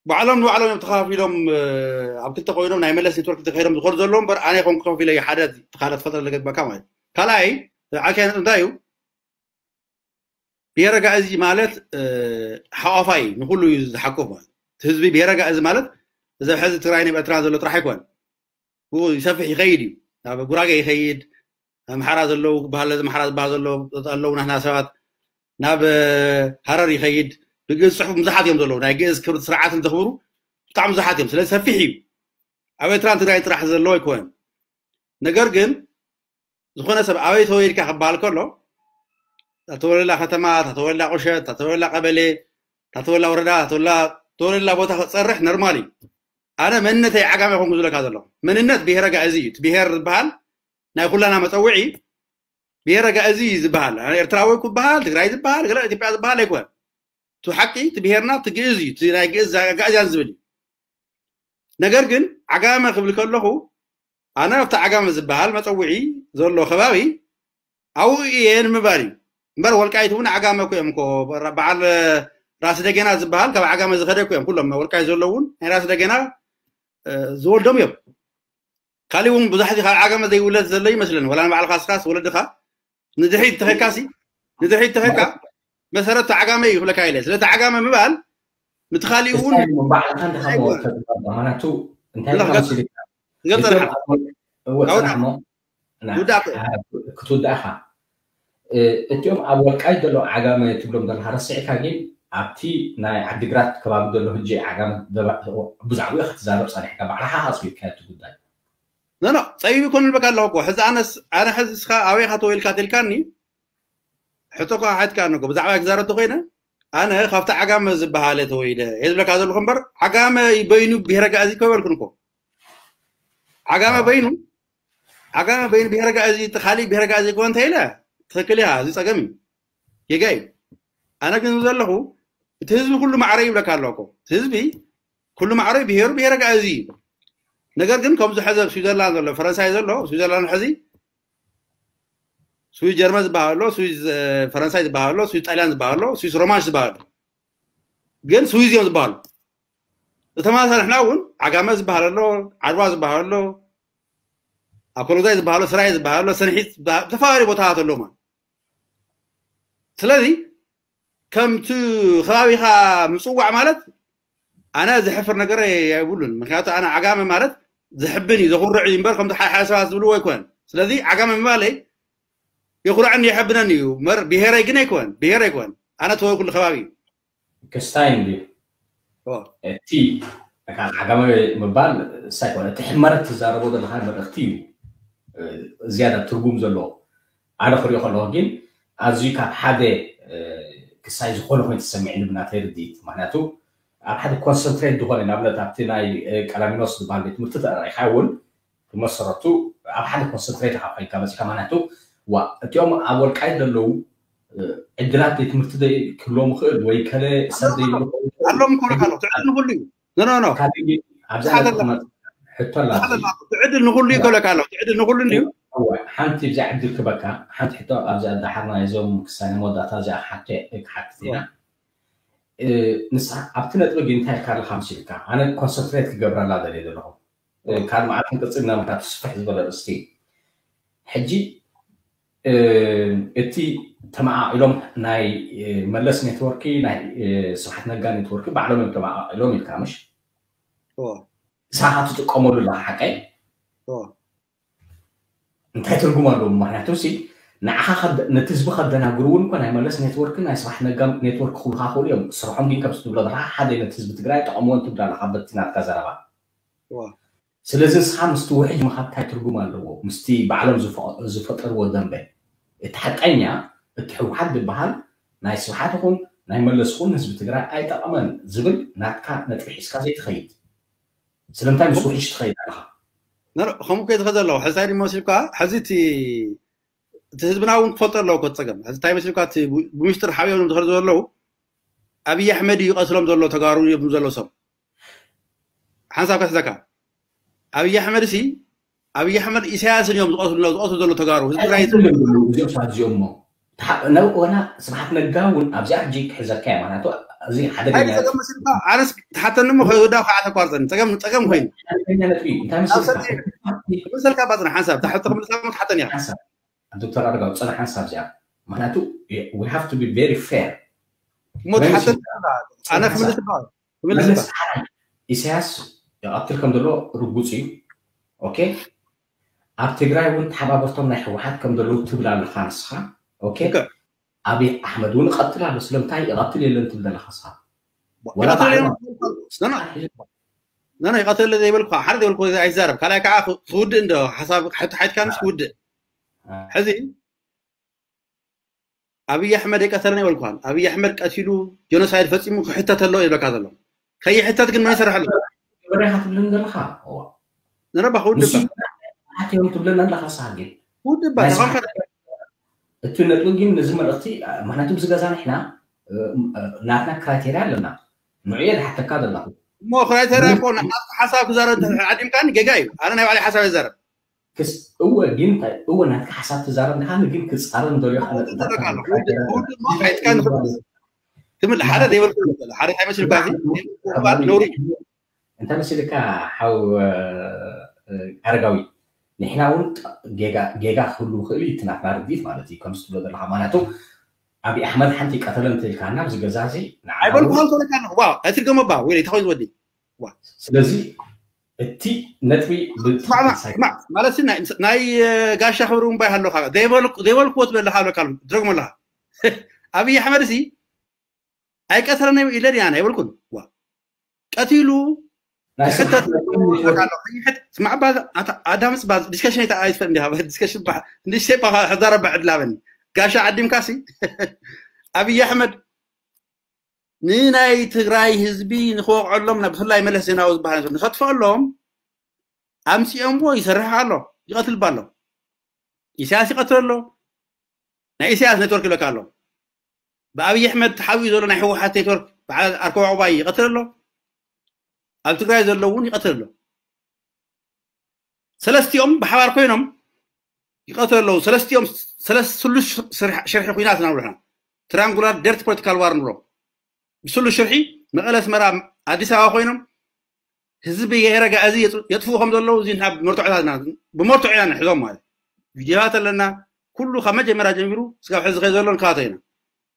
ባዕሎም ንባዕሎም እዮም ተኸፋፊሎም ኣብ ክልተ ኮይኖም ናይ መለስ ኔትወርክ ተኸይዶም ዝኮዱ ዘለዉ እምበር ኣነ ይኮን ክከፊለ ሓደ ሓደ ትፈልጠ ለገባካ ማለት ካልኣይ ዓከ እንታይ እዩ ብሄረ ጋእዚ ማለት ሓቋፋይ ንኩሉ እዩ ዝሓቁፍ ማለት ህዝቢ ብሄረ ጋእዚ ማለት እዚ ሕዚ ትግራይ ናብ ኤርትራ ዘሎ ጥራሕ ኣይኮን ይሰፍሕ ይኸይድ እዩ ናብ ጉራጌ ይኸይድ ኣምሓራ ዘለዉ ባህል ኣምሓራ ዝበሃል ዘሎ ኣለዉ ናህና ሰባት ናብ ሃረር ይኸይድ ብግእዝ ፅሑፍ ብዙሓት እዮም ዘለዉ ናይ ግእዝ ክብሪ ስርዓትን ዘኽብሩ ብጣዕሚ ብዙሓት እዮም ስለዚ ሰፊሕ እዩ ኣብ ኤርትራን ትግራይን ጥራሕ ዘለዎ ኣይኮነን ነገር ግን ዝኾነ ሰብ ኣበይ ተወሊድካ ክበሃል ከሎ ታተወለላ ከተማ ታተወለላ ቁሸት ታተወለላ ቀበሌ ታተወላ ወረዳ ታተወላ ተወለላ ቦታ ክፀርሕ ነርማል እዩ ኣነ መንነተይ ዓጋመ ኮንኩ ዝለካ ዘለኹ መንነት ብሄረ ጋእዚ እዩ እቲ ብሄር ዝበሃል ናይ ኩላና መፀውዒ ብሄረ ጋእዚ እዩ ዝበሃል ኣነ ኤርትራዊ ክበሃል ትግራይ ዝበሃል ገለ ኢትዮጵያ ዝበሃል ኣይኮን እቲ ሓቂ እቲ ብሄርና እቲ ግእዝ እዩ እቲ ናይ ግእዝ ጋእዝያን ዝብል እዩ ነገር ግን ዓጋመ ክብል ከለኹ ኣነ ኣብቲ ዓጋመ ዝበሃል መፀውዒ ዘሎ ከባቢ ኣብኡ እየ ንምባል እዩ እምበር ወልቃይት እውን ዓጋመ እኮ እዮም እኮ በዓል ራስ ደገና ዝበሃል ካብ ዓጋመ ዝኸደ እኮ እዮም ኩሎም ወልቃይት ዘለዉ እውን ናይ ራስ ደገና ዝወልዶም እዮም ካሊእ እውን ብዙሕ ካብ ዓጋመ ዘይውለድ ዘሎ ይመስለኒ ወላ ንባዕልካ ስኻስ ወለድኻ ንድሕሪት ተኸካሲ ንድሕሪት ተኸካ መሰረት ዓጋመ እዩ ክብለካ ኢለ ስለቲ ዓጋመ ምባል ምትኻሊኡ እውን ባዕልካ እንተኸሞ ተግባር ማናቱ እንታይ ላ- ኢልካ መሲልካ ገጸና እወ ኣውራ- ጽናሕሞ ውዳእ ክትውዳእኻ እቲኦም ኣብ ወልቃይት ዘለዉ ዓጋመ ትብሎም ዘለካ ረሲዕካ ግን ኣብቲ ናይ ዓዲግራት ከባቢ ዘሎ ህጂ ዓጋመ ብዛዕባኡ ክትዛረብ ጸኒሕካ ባዕልኻ ኣጽቢብካ እቲ ጉዳይ ኖ ኖ ጸቢብ ይኮን ልበካ ኣለኹ እኮ። ሕዚ ኣነስ ኣነ ሕዚ እስኻ ኣበይ ኢኻ ተወይልካ ተልካኒ፣ ሕቶ እኮ ሓትካ ኣለኩ። ብዛዕባ ክዛረብ ተኮይነ ኣነ ካብቲ ዓጋመ ዝበሃለ ተወይለ እየ ዝብለካ ዘለኹ እምበር፣ ዓጋመ በይኑ ብሄረ ጋእዚ እኮ ይበልኩን እኮ። ዓጋመ በይኑ ዓጋመ በይኑ ብሄረ ጋእዚ፣ እቲ ካሊእ ብሄረ ጋእዚ እኮ እንተ ኢለ ትኽክል ኢኻ። እዚ ጸገም እዩ፣ ጌጋ እዩ። ኣነ ግን ዘለኹ እቲ ህዝቢ ኩሉ ማዕረ ይብለካ ኣለኩ። እቲ ህዝቢ ኩሉ ማዕረ ብሄሩ ብሄረ ጋእዚ እዩ። ነገር ግን ከምዚ ሕዚ ኣብ ስዊዘርላንድ ዘሎ፣ ፈረንሳይ ዘሎ፣ ስዊዘርላንድ ሕዚ ስዊስ ጀርመን ዝበሃል ኣሎ፣ ስዊስ ፈረንሳይ ዝበሃል ኣሎ፣ ስዊስ ጣልያን ዝበሃል ኣሎ፣ ስዊስ ሮማንሽ ዝበሃል ኣሎ። ግን ስዊዝ እዮም ዝበሃሉ። እተማሳ ንሕና እውን ዓጋመ ዝበሃል ኣሎ፣ ዓድዋ ዝበሃል ኣሎ፣ ኣኮሎዛይ ዝበሃል ኣሎ፣ ስራይ ዝበሃል ኣሎ፣ ሰንሒት ዝበሃል፣ ዝተፈላለዩ ቦታታት ኣለዎ ማለት። ስለዚ ከምቲ ከባቢኻ ምጽዋዕ ማለት ኣነ ዝሕፍር ነገር የብሉን። ምክንያቱ ኣነ ዓጋመ ማለት ዝሕብን እዩ፣ ዘኹርዕ እዩ እምበር ከምቲ ሓደ ሓደ ሰባት ዝብልዎ ኣይኮነን። ስለዚ ዓጋመ ምባለይ የኹርዐኒ የሐብነኒ እዩ እምበር ብሄረይ ግን ኣይኮነን፣ ብሄር ኣይኮነን። ኣነ ተወልኩሉ ከባቢ እዩ። ክስታይ እንድዩ እቲ ዓጋመ ምባል ሳይኮነ እቲ ሕመረት ትዛረቦ ዘለካ መልእክቲ እዩ ዝያዳ ትርጉም ዘለዎ። ኣነ ክሪኦ ከለኩ ግን ኣዝዩ ካብ ሓደ ክሳይ ዝኮነ ኮይኑ ተሰሚዕኒ ብናተይ ርድኢት። ምክንያቱ ኣብ ሓደ ኮንሰንትሬት ዝኮነ ንኣብነት ኣብቲ ናይ ቀላሚኖስ ዝበሃል ቤት ትምህርቲ ተራኢካ እውን ብመሰረቱ ኣብ ሓደ ኮንሰንትሬት ኢካ ኮይንካ መፂካ። ምክንያቱ ዋ እቲኦም ኣብ ወልቃይት ዘለዉ ዕድላት ቤት ትምህርቲ ክህልዎም ይኽእል ወይ ከለ ሰብ ዘይብሉ ኣለዎም ክብለካ ኣለኹ። ትዕድል ንኩሉ እዩ። ኖ ኖ ኖ ኣብዚ ሕቶ ኣላ። ትዕድል ንኩሉ እዩ ክብለካ ኣለኹ። ትዕድል ንኩሉ እንድዩ። ሓንቲ ብዛ ዕድል ክበካ ሓንቲ ሕቶ ኣብዚ ኣዳሓርና እዞም ክሳነ መወዳእታ እዚኣ ክሓቶ ክሓትት ኢና። ንስኻ ኣብቲ ነጥቢ ግን እንታይ ኢልካ ኣለካ መሲልካ? ኣነ ኮንሰንትሬት ክገብረላ ደልየ ዘለኹ። ካልእ መዓልቲ ክንቅጽልና ምክንያቱ ስፍሕ ዝበለ ርእስቲ። ሕጂ እቲ ተመዓቒሎም ናይ መለስ ኔትወርክ ናይ ስብሓት ነጋ ኔትወርክ ባዕሎም እዮም ተመዓቒሎም ኢልካ ምሽ? ንስኻ ትጥቀመሉ ኣለኻ ሓቀይ? እንታይ ትርጉም ኣለዎ? ምክንያቱ ሲ ንዓኻ ነቲ ህዝቢ ከደናግሩ እውን እኮ ናይ መለስ ኔትወርክ ናይ ስብሓት ነጋ ኔትወርክ ክብሉካ ክእሉ እዮም። ስርሖም ግን ከምዚ ትብሎ ዘለካ ሓደ ነቲ ህዝቢ ትግራይ ጠቐምዎ እንትብላ ኣለካ በቲ ናትካ ዘረባ። ስለዚ ንስኻ ምስቲ ውሕጅ ምኻድ እንታይ ትርጉም ኣለዎ? ምስቲ ባዕሎም ዝፈጠርዎ ደንበ። እቲ ሓቀኛ እቲ ህወሓት ዝበሃል ናይ ስብሓት ይኹን ናይ መለስ ይኹን ንህዝቢ ትግራይ ኣይጠቐመን ዝብል ናትካ ነጥቢ ሒዝካ ዘይትኸይድ ስለምንታይ ምስ ውሕጅ ትኸይድ ኣለኻ? ከምኡ ከይትኸ ዘለዎ ሕዚ እንታይ ድሞ ሲልካ ሕዚ እቲ ህዝብና እውን ክፈልጦ ኣለዎ ኮ ፀገም ሕዚ እንታይ መሲልካ እቲ ብምስጢር ሓቢኦም ዝኸዱ ዘለዉ ኣብይ ኣሕመድ እዩ ቀትሎም ዘሎ ተጋሩ እዮም ዘሎ ሰብ ሓንሳብ ከስለካ ኣብይ ኣሕመድ ሲ ኣብይ ኣሕመድ ኢሳያስን እዮም ዝቀትሉ ዝቀትሉ ዘሎ ተጋሩ ህዝቢ ትግራይ እዚኦም ሰባት እዚኦም እሞ ወላ ስብሓት ነጋ እውን ኣብዚኣ ሕጂ ክሕዘካ እያ ማለቱ እዚ ሓደገኛ ኣነስ ትሓተኒ እሞ ከዳ ከዓ ተቋርፀኒ ፀገም ፀገም ኮይኑ ሓደገኛ ነጥቢ እንታይ መሰልካ መሰልካ ባፅና ሓንሳብ ታሕቶ ክምልሳ ትሓተኒ እያ ዶክተር ኣረጋዊ ፀና ሓንሳብ እዚኣ ምክንያቱ we have to be very fair እሞ ትሓተኒ ኣነ ክምልስ ክምልስ ኢሳያስ ይቐትል ከም ዘሎ ርጉፅ እዩ ኦኬ ኣብ ትግራይ እውን ተሓባበርቶም ናይ ህወሓት ከም ዘለዉ ትብል ኣለካ ንስኻ ኦኬ ኣብይ ኣሕመድ እውን ይቐትል ኣሎ ስለምንታይ ይቐትል የለን ትብል ዘለካ ንስኻ ነና ይቐትል ዘይበልኩ ሓደ ዘይበልኩ ኣይዛረብ ካልኣይ ከዓ ክውድእ እንዶ ሓሳብ ሓይትካ ምስ ክውድእ ሕዚ ኣብይ ኣሕመድ የቀተለን ይበልኳን ኣብይ ኣሕመድ ቀቲሉ ጀኖሳይድ ፈፂሙ ክሕተት ኣለዎ ይብለካ ዘሎ ከይሕተት ግን መን ይሰርሐሉ በረካ ትብልን ዘለካ ንረባ ክውድእ እዮም ትብለና ኣለካ ሳጌ ክውድእ እቲ ነጥቢ ግን ነዚ መልእክቲ ምክንያቱ ብዚ ገዛ ንሕና ናትና ክራይቴርያ ኣለና ንዑ እየ ዝሓተካ ዘለኹ እሞ ክራይቴርያ እኮ ሓሳብ ክዛረብ ዓዲምካኒ ጌጋ እዩ ኣነ ናይ ባዕለይ ሓሳብ ይዛረብ ክስ እወ ግን እንታይ እወ ናትካ ሓሳብ ትዛረብ ንካ ግን ክጻረር እንደልዮ ትምል ሓደ ዘይበልኩ ሓደ እንታይ መስልካ ነውሪ እንታይ መሲልካ ሓው ኣረጋዊ ንሕና እውን ጌጋ ክህሉ ይኽእል እዩ እቲ ናትና ርድኢት ማለት እዩ ከምዚ ትብሎ ዘለካ ማለቱ ኣብይ ኣሕመድ ሓንቲ ቀተለ እንተኢልካና ኣብዚ ገዛ እዚ ኣይበልኩ ከልከለካ ኣለኹ ዋ ኣይትድገሞ ባ ወይ ተኸይ ዝወዲ ስለዚ እቲ ነጥቢ ማለት ናይ ጋሻ ክብሪ እምባይ ኣለካ ዘይበልክዎ ትብል ኣለካ ኣለካ ትደግሞ ኣለካ ኣብይ ኣሕመድ ሲ ኣይቀተለን ኢለ ድያ ኣይበልኩን ቀቲሉ ስማዕ ባ ኣዳምፅ ባ ዲስከሽን ኣይትፈል እንዲያ ዲስከሽን ባ እንዲ ሴፓ ሕዛረባ ዕድላበኒ ጋሻ ዓዲምካሲ ኣብይ ኣሕመድ ንናይ ትግራይ ህዝቢ ንክወቕዐሎም ናብ ብፍላይ መለስ ዜናዊ ዝበሃል ንኸጥፈሎም ኣምፂኦምዎ ይሰርሕ ኣሎ ይቐትልባ ኣሎ ኢሳያስ ይቐትል ኣሎ ናይ ኢሳያስ ኔትወርክ ይለካ ኣሎ ብኣብይ ኣሕመድ ተሓቢኡ ዘሎ ናይ ህወሓት ኔትወርክ በዓል ኣርከባ ዑባይ ይቐትል ኣሎ ኣብ ትግራይ ዘሎ እውን ይቐትል ኣሎ ሰለስቲኦም ብሓባር ኮይኖም ይቐትሉ ኣለዉ ሰለስቲኦም ሰለስሉስ ሽርሒ ኩናት ናብርና ትራንጉላር ደርት ፖለቲካል ዋር ንብሎ ብስሉስ ሽርሒ መቐለ ኣስመራ ኣዲስ ኣበባ ኮይኖም ህዝቢ የረጋ እዚ የጥፍኡ ከም ዘለዉ እዚ ብመርትዖታት ኢና ብመርትዖ ኢና ንሕዞም ማለት ቪዲዮታት ኣለና ኩሉ ካብ መጀመርያ ጀሚሩ ስጋብ ሕዚ ከይ ዘሎ ንካቶ ኢና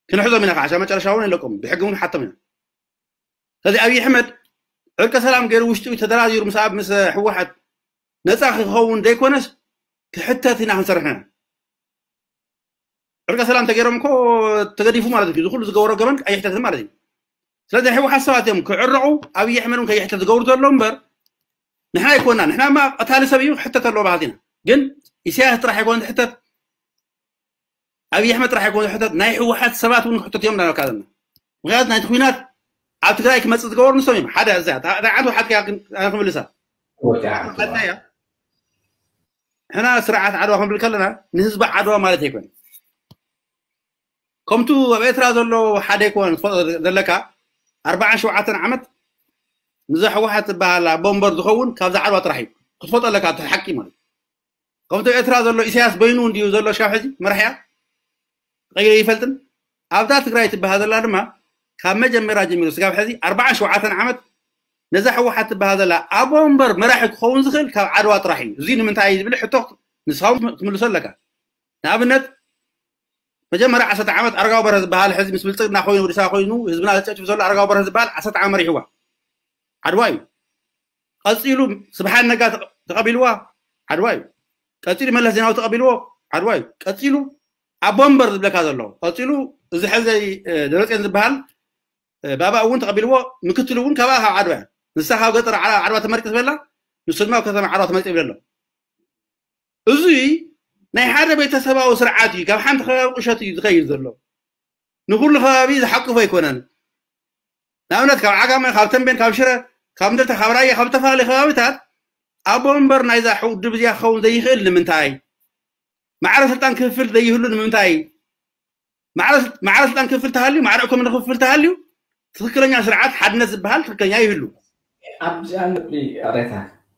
ክንሕዞም ኢና ከዓ መጨረሻ እውን ይለቀሙ ብሕጊ እውን ሓቶም ኢና ስለዚ ኣብይ ኣሕመድ ዕርቀ ሰላም ገይሩ ውሽጢ ተደራዲሩ ምስ ኣብ ምስ ህወሓት ነፃ ክኸውን ዘይኮነስ ክሕተት ኢና ክንሰርሕ ኢና ዕርቀ ሰላም ተገይሮም እኮ ተገዲፉ ማለት እዩ ዝኩሉ ዝገበሮ ገበን ኣይሕተትን ማለት እዩ ስለዚ ናይ ህወሓት ሰባት እዮም ክዕረቑ ኣብይ ኣሕመድ እውን ከይሕተት ዝገብሩ ዘሎ እምበር ንሕና ኣይኮና ንሕና ማ ቀታሊ ሰብ እዩ ክሕተት ኣለዎ ባህልቲ ኢና ግን ኢሳያስ ጥራሕ ኣይኮነ ዝሕተት ኣብይ ኣሕመድ ጥራሕ ኣይኮነ ዝሕተት ናይ ህወሓት ሰባት እውን ክሕተት እዮም እናበልካ ዘለና ምክንያቱ ናይቲ ኩናት ኣብ ትግራይ ክመፅእ ዝገበሩ ንሶም እዮም ሓደ እዚኣ እንታይ ዓንቱ ሓትካ ክምልሳ ሕና ስርዓት ዓድዋ ክንብል ከለና ንህዝቢ ዓድዋ ማለት ኣይኮነ ከምቱ ኣብ ኤርትራ ዘሎ ሓደ ኣይኮነ ዘለካ ኣርባዓን ሸውዓተን ዓመት ንዛ ህወሓት ዝበሃል ኣቦ እምበር ዝኸውን ካብዛ ዓድዋ ጥራሕ እዩ ክትፈልጦ ኣለካ እቲ ሓቂ ማለት ከምቲ ኤርትራ ዘሎ ኢሳያስ በይኑ እንድዩ ዘሎ ስጋብ ሕዚ መራሕያ ቀይረ ይፈልጥን ኣብዛ ትግራይ ትበሃል ዘላ ድማ ካብ መጀመርያ ጀሚሩ ስጋብ ሕዚ ኣርባዓን ሸውዓተን ዓመት ነዛ ህወሓት ትበሃል ዘላ ኣቦ እምበር መራሒ ክኸውን ዝኽእል ካብ ዓድዋ ጥራሕ እዩ እዚ ንምንታይ እዩ ዝብል ሕቶ ንስኻውን ትምልሶ ኣለካ ንኣብነት መጀመርያ ዓሰርተ ዓመት ኣረጋዊ በርሀ ዝበሃል ሕዚ ምስ ብልፅግና ኮይኑ ወዲሳ ኮይኑ ህዝብና ዘጨጭፍ ዘሎ ኣረጋዊ በርሀ ዝበሃል ዓሰርተ ዓመት መሪሕዋ ዓድዋ እዩ ቀፂሉ ስብሓት ነጋ ተቐቢልዋ ዓድዋ እዩ ቀፂሉ መለስ ዜናዊ ተቐቢልዎ ዓድዋ እዩ ቀፂሉ ኣቦ እምበር ዝብለካ ዘሎ ቀፂሉ እዚ ሕዚ ደብረፅዮን ዝበሃል ባባ እውን ተቐቢልዎ ምክትሉ እውን ካብኣ ካብ ዓድዋ እያ ንሳ ካብ ገጠር ዓድዋ ተመሪቂ ዝበላ ንሱ ድማ ከተማ ዓድዋ ተመሪቂ ይብለሎ እዙይ ናይ ሓደ ቤተሰባዊ ስርዓት እዩ ካብ ሓንቲ ከባቢ ቁሸት እዩ ዝኸይድ ዘሎ ንኩሉ ከባቢ ዝሓቅፎ ኣይኮነን ንኣብነት ካብ ዓጋመ ካብ ተንቤን ካብ ሽረ ካብ እንደርታ ካብ ራያ ካብ ዝተፈላለዩ ከባቢታት ኣቦ እምበር ናይዛ ውድብ እዚኣ ክኸውን ዘይኽእል ንምንታይ ማዕረ ስልጣን ክፍፍል ዘይህሉ ንምንታይ ማዕረ ስልጣን ክፍፍል ተሃልዩ ማዕረ ኢኮኖሚ ክፍፍል ተሃልዩ ትክክለኛ ስርዓት ሓድነት ዝበሃል ትክክለኛ ይህሉ ኣብዚኣ ነጥቢ ኣሬታ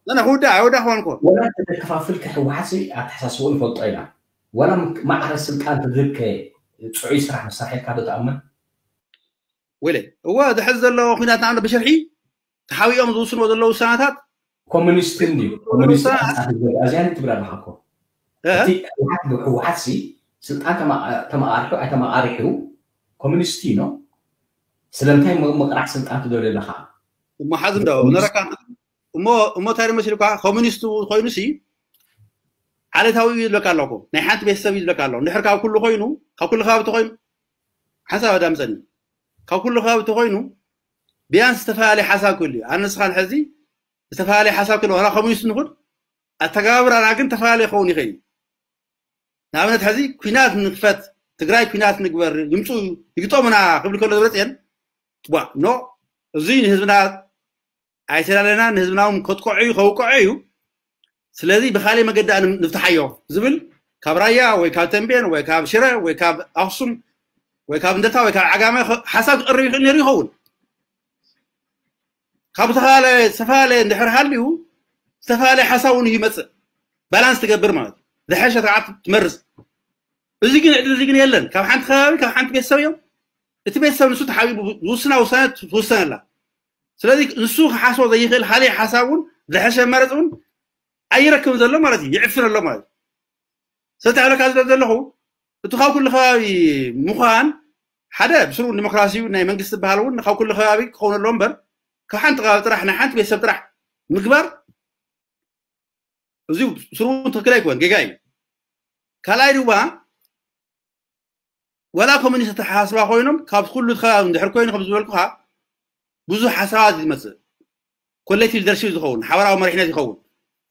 ነነ ክውዳ ኣይወዳ ክኾን ኮ ወላ ተከፋፍልካ ህወሓት ኣተሓሳስቦ ንፈልጦ ኢና ወላ ማዕረ ስልጣን ትዝከ ፅዑይ ስራሕ መሳርሒ ኢልካ ዶ ትኣምን ወለ እወ ዝሕዝ ዘሎ ኩናት ንኣብነት ብሽርሒ ተሓቢኦም ዝውስንዎ ዘለዉ ውሳነታት ኮሚኒስትን ድዩ ኮሚኒስት ኣዚያን ትብል ኣለካ እኮ እቲ ህወሓት ብህወሓት ሲ ስልጣን ተመቃርሑ ኣይተመቃሪሑ ኮሚኒስት እዩ ስለምንታይ ምቅራሕ ስልጣን ትደልዩ ኣለካ እሞ ሓዚ እንዶ ነረካ እሞ እሞ እንታይ መሲልኳ ኮሚኒስት ኮይኑ ሲ ዓሌታዊ እዩ ዝብለካ ኣለኩ ናይ ሓንቲ ቤተሰብ እዩ ዝብለካ ኣሎ እንድሕር ካብ ኩሉ ኮይኑ ካብ ኩሉ ከባቢ ተኮይኑ ሓንሳብ ኣዳምፀኒ ካብ ኩሉ ከባቢ ተኮይኑ ቢያንስ ዝተፈላለየ ሓሳብ ክህሉ እዩ ኣነ ንስኻን ሕዚ ዝተፈላለየ ሓሳብ ክህልወና ኮሚኒስት ንኹን ኣተጋባብራና ግን ተፈላለየ ክኸውን ይኽእል እዩ ንኣብነት ሕዚ ኩናት ንክፈት ትግራይ ኩናት ንግበር ይምፁ ይግጠሙና ክብል ከሎ ዝበፅየን ኖ እዙይ ንህዝብና ኣይተላለና ንህዝብና እውን ከጥቅዖ እዩ ከውቅዖ እዩ ስለዚ ብካሊእ መገዲ ንፍትሓዮ ዝብል ካብ ራያ ወይ ካብ ተንቤን ወይ ካብ ሽረ ወይ ካብ ኣክሱም ወይ ካብ እንደታ ወይ ካብ ዓጋመ ሓሳብ ክቀርብ ይኽእል ነይሩ ይኸውን ካብ ዝተፈላለየ ዝተፈላለየ እንድሕር ሃልዩ ዝተፈላለየ ሓሳብ እውን ይመፅእ ባላንስ ትገብር ማለት ዝሐሸ ስርዓት ትመርፅ እዚ ግን ዕድል እዚ ግን የለን ካብ ሓንቲ ከባቢ ካብ ሓንቲ ቤተሰብ እዮም እቲ ቤተሰብ ንሱ ተሓቢቡ ዝውስና ውሳነ ትውሰነላ ስለዚ ንሱ ክሓስቦ ዘይኽእል ካልእ ሓሳብ እውን ዝሐሸ መረፅ እውን ኣይረክብን ዘሎ ማለት እዩ ይዕፍን ኣሎ ማለት እዩ ስለዚ ኣለካ ዝለ ዘለኹ እቲ ካብ ኩሉ ከባቢ ምዃን ሓደ ብስሩ ዲሞክራሲ ናይ መንግስቲ ዝበሃል እውን ካብ ኩሉ ከባቢ ክኸውን ኣለዎ እምበር ካብ ሓንቲ ከባቢ ጥራሕ ናይ ሓንቲ ቤተሰብ ጥራሕ ምግባር እዚ ስሩ እውን ትክክል ኣይኮን ጌጋ እዩ ካልኣይ ድማ ወላ ኮሚኒስት ተሓስባ ኮይኖም ካብ ኩሉ ከባቢ እንድሕር ኮይኑ ከም ዝበልኩካ ብዙሕ ሓሳባት ዝመፅእ ኮሌክቲቭ ሊደርሺፕ ዝኸውን፣ ሓበራዊ መሪሕነት ይኸውን፣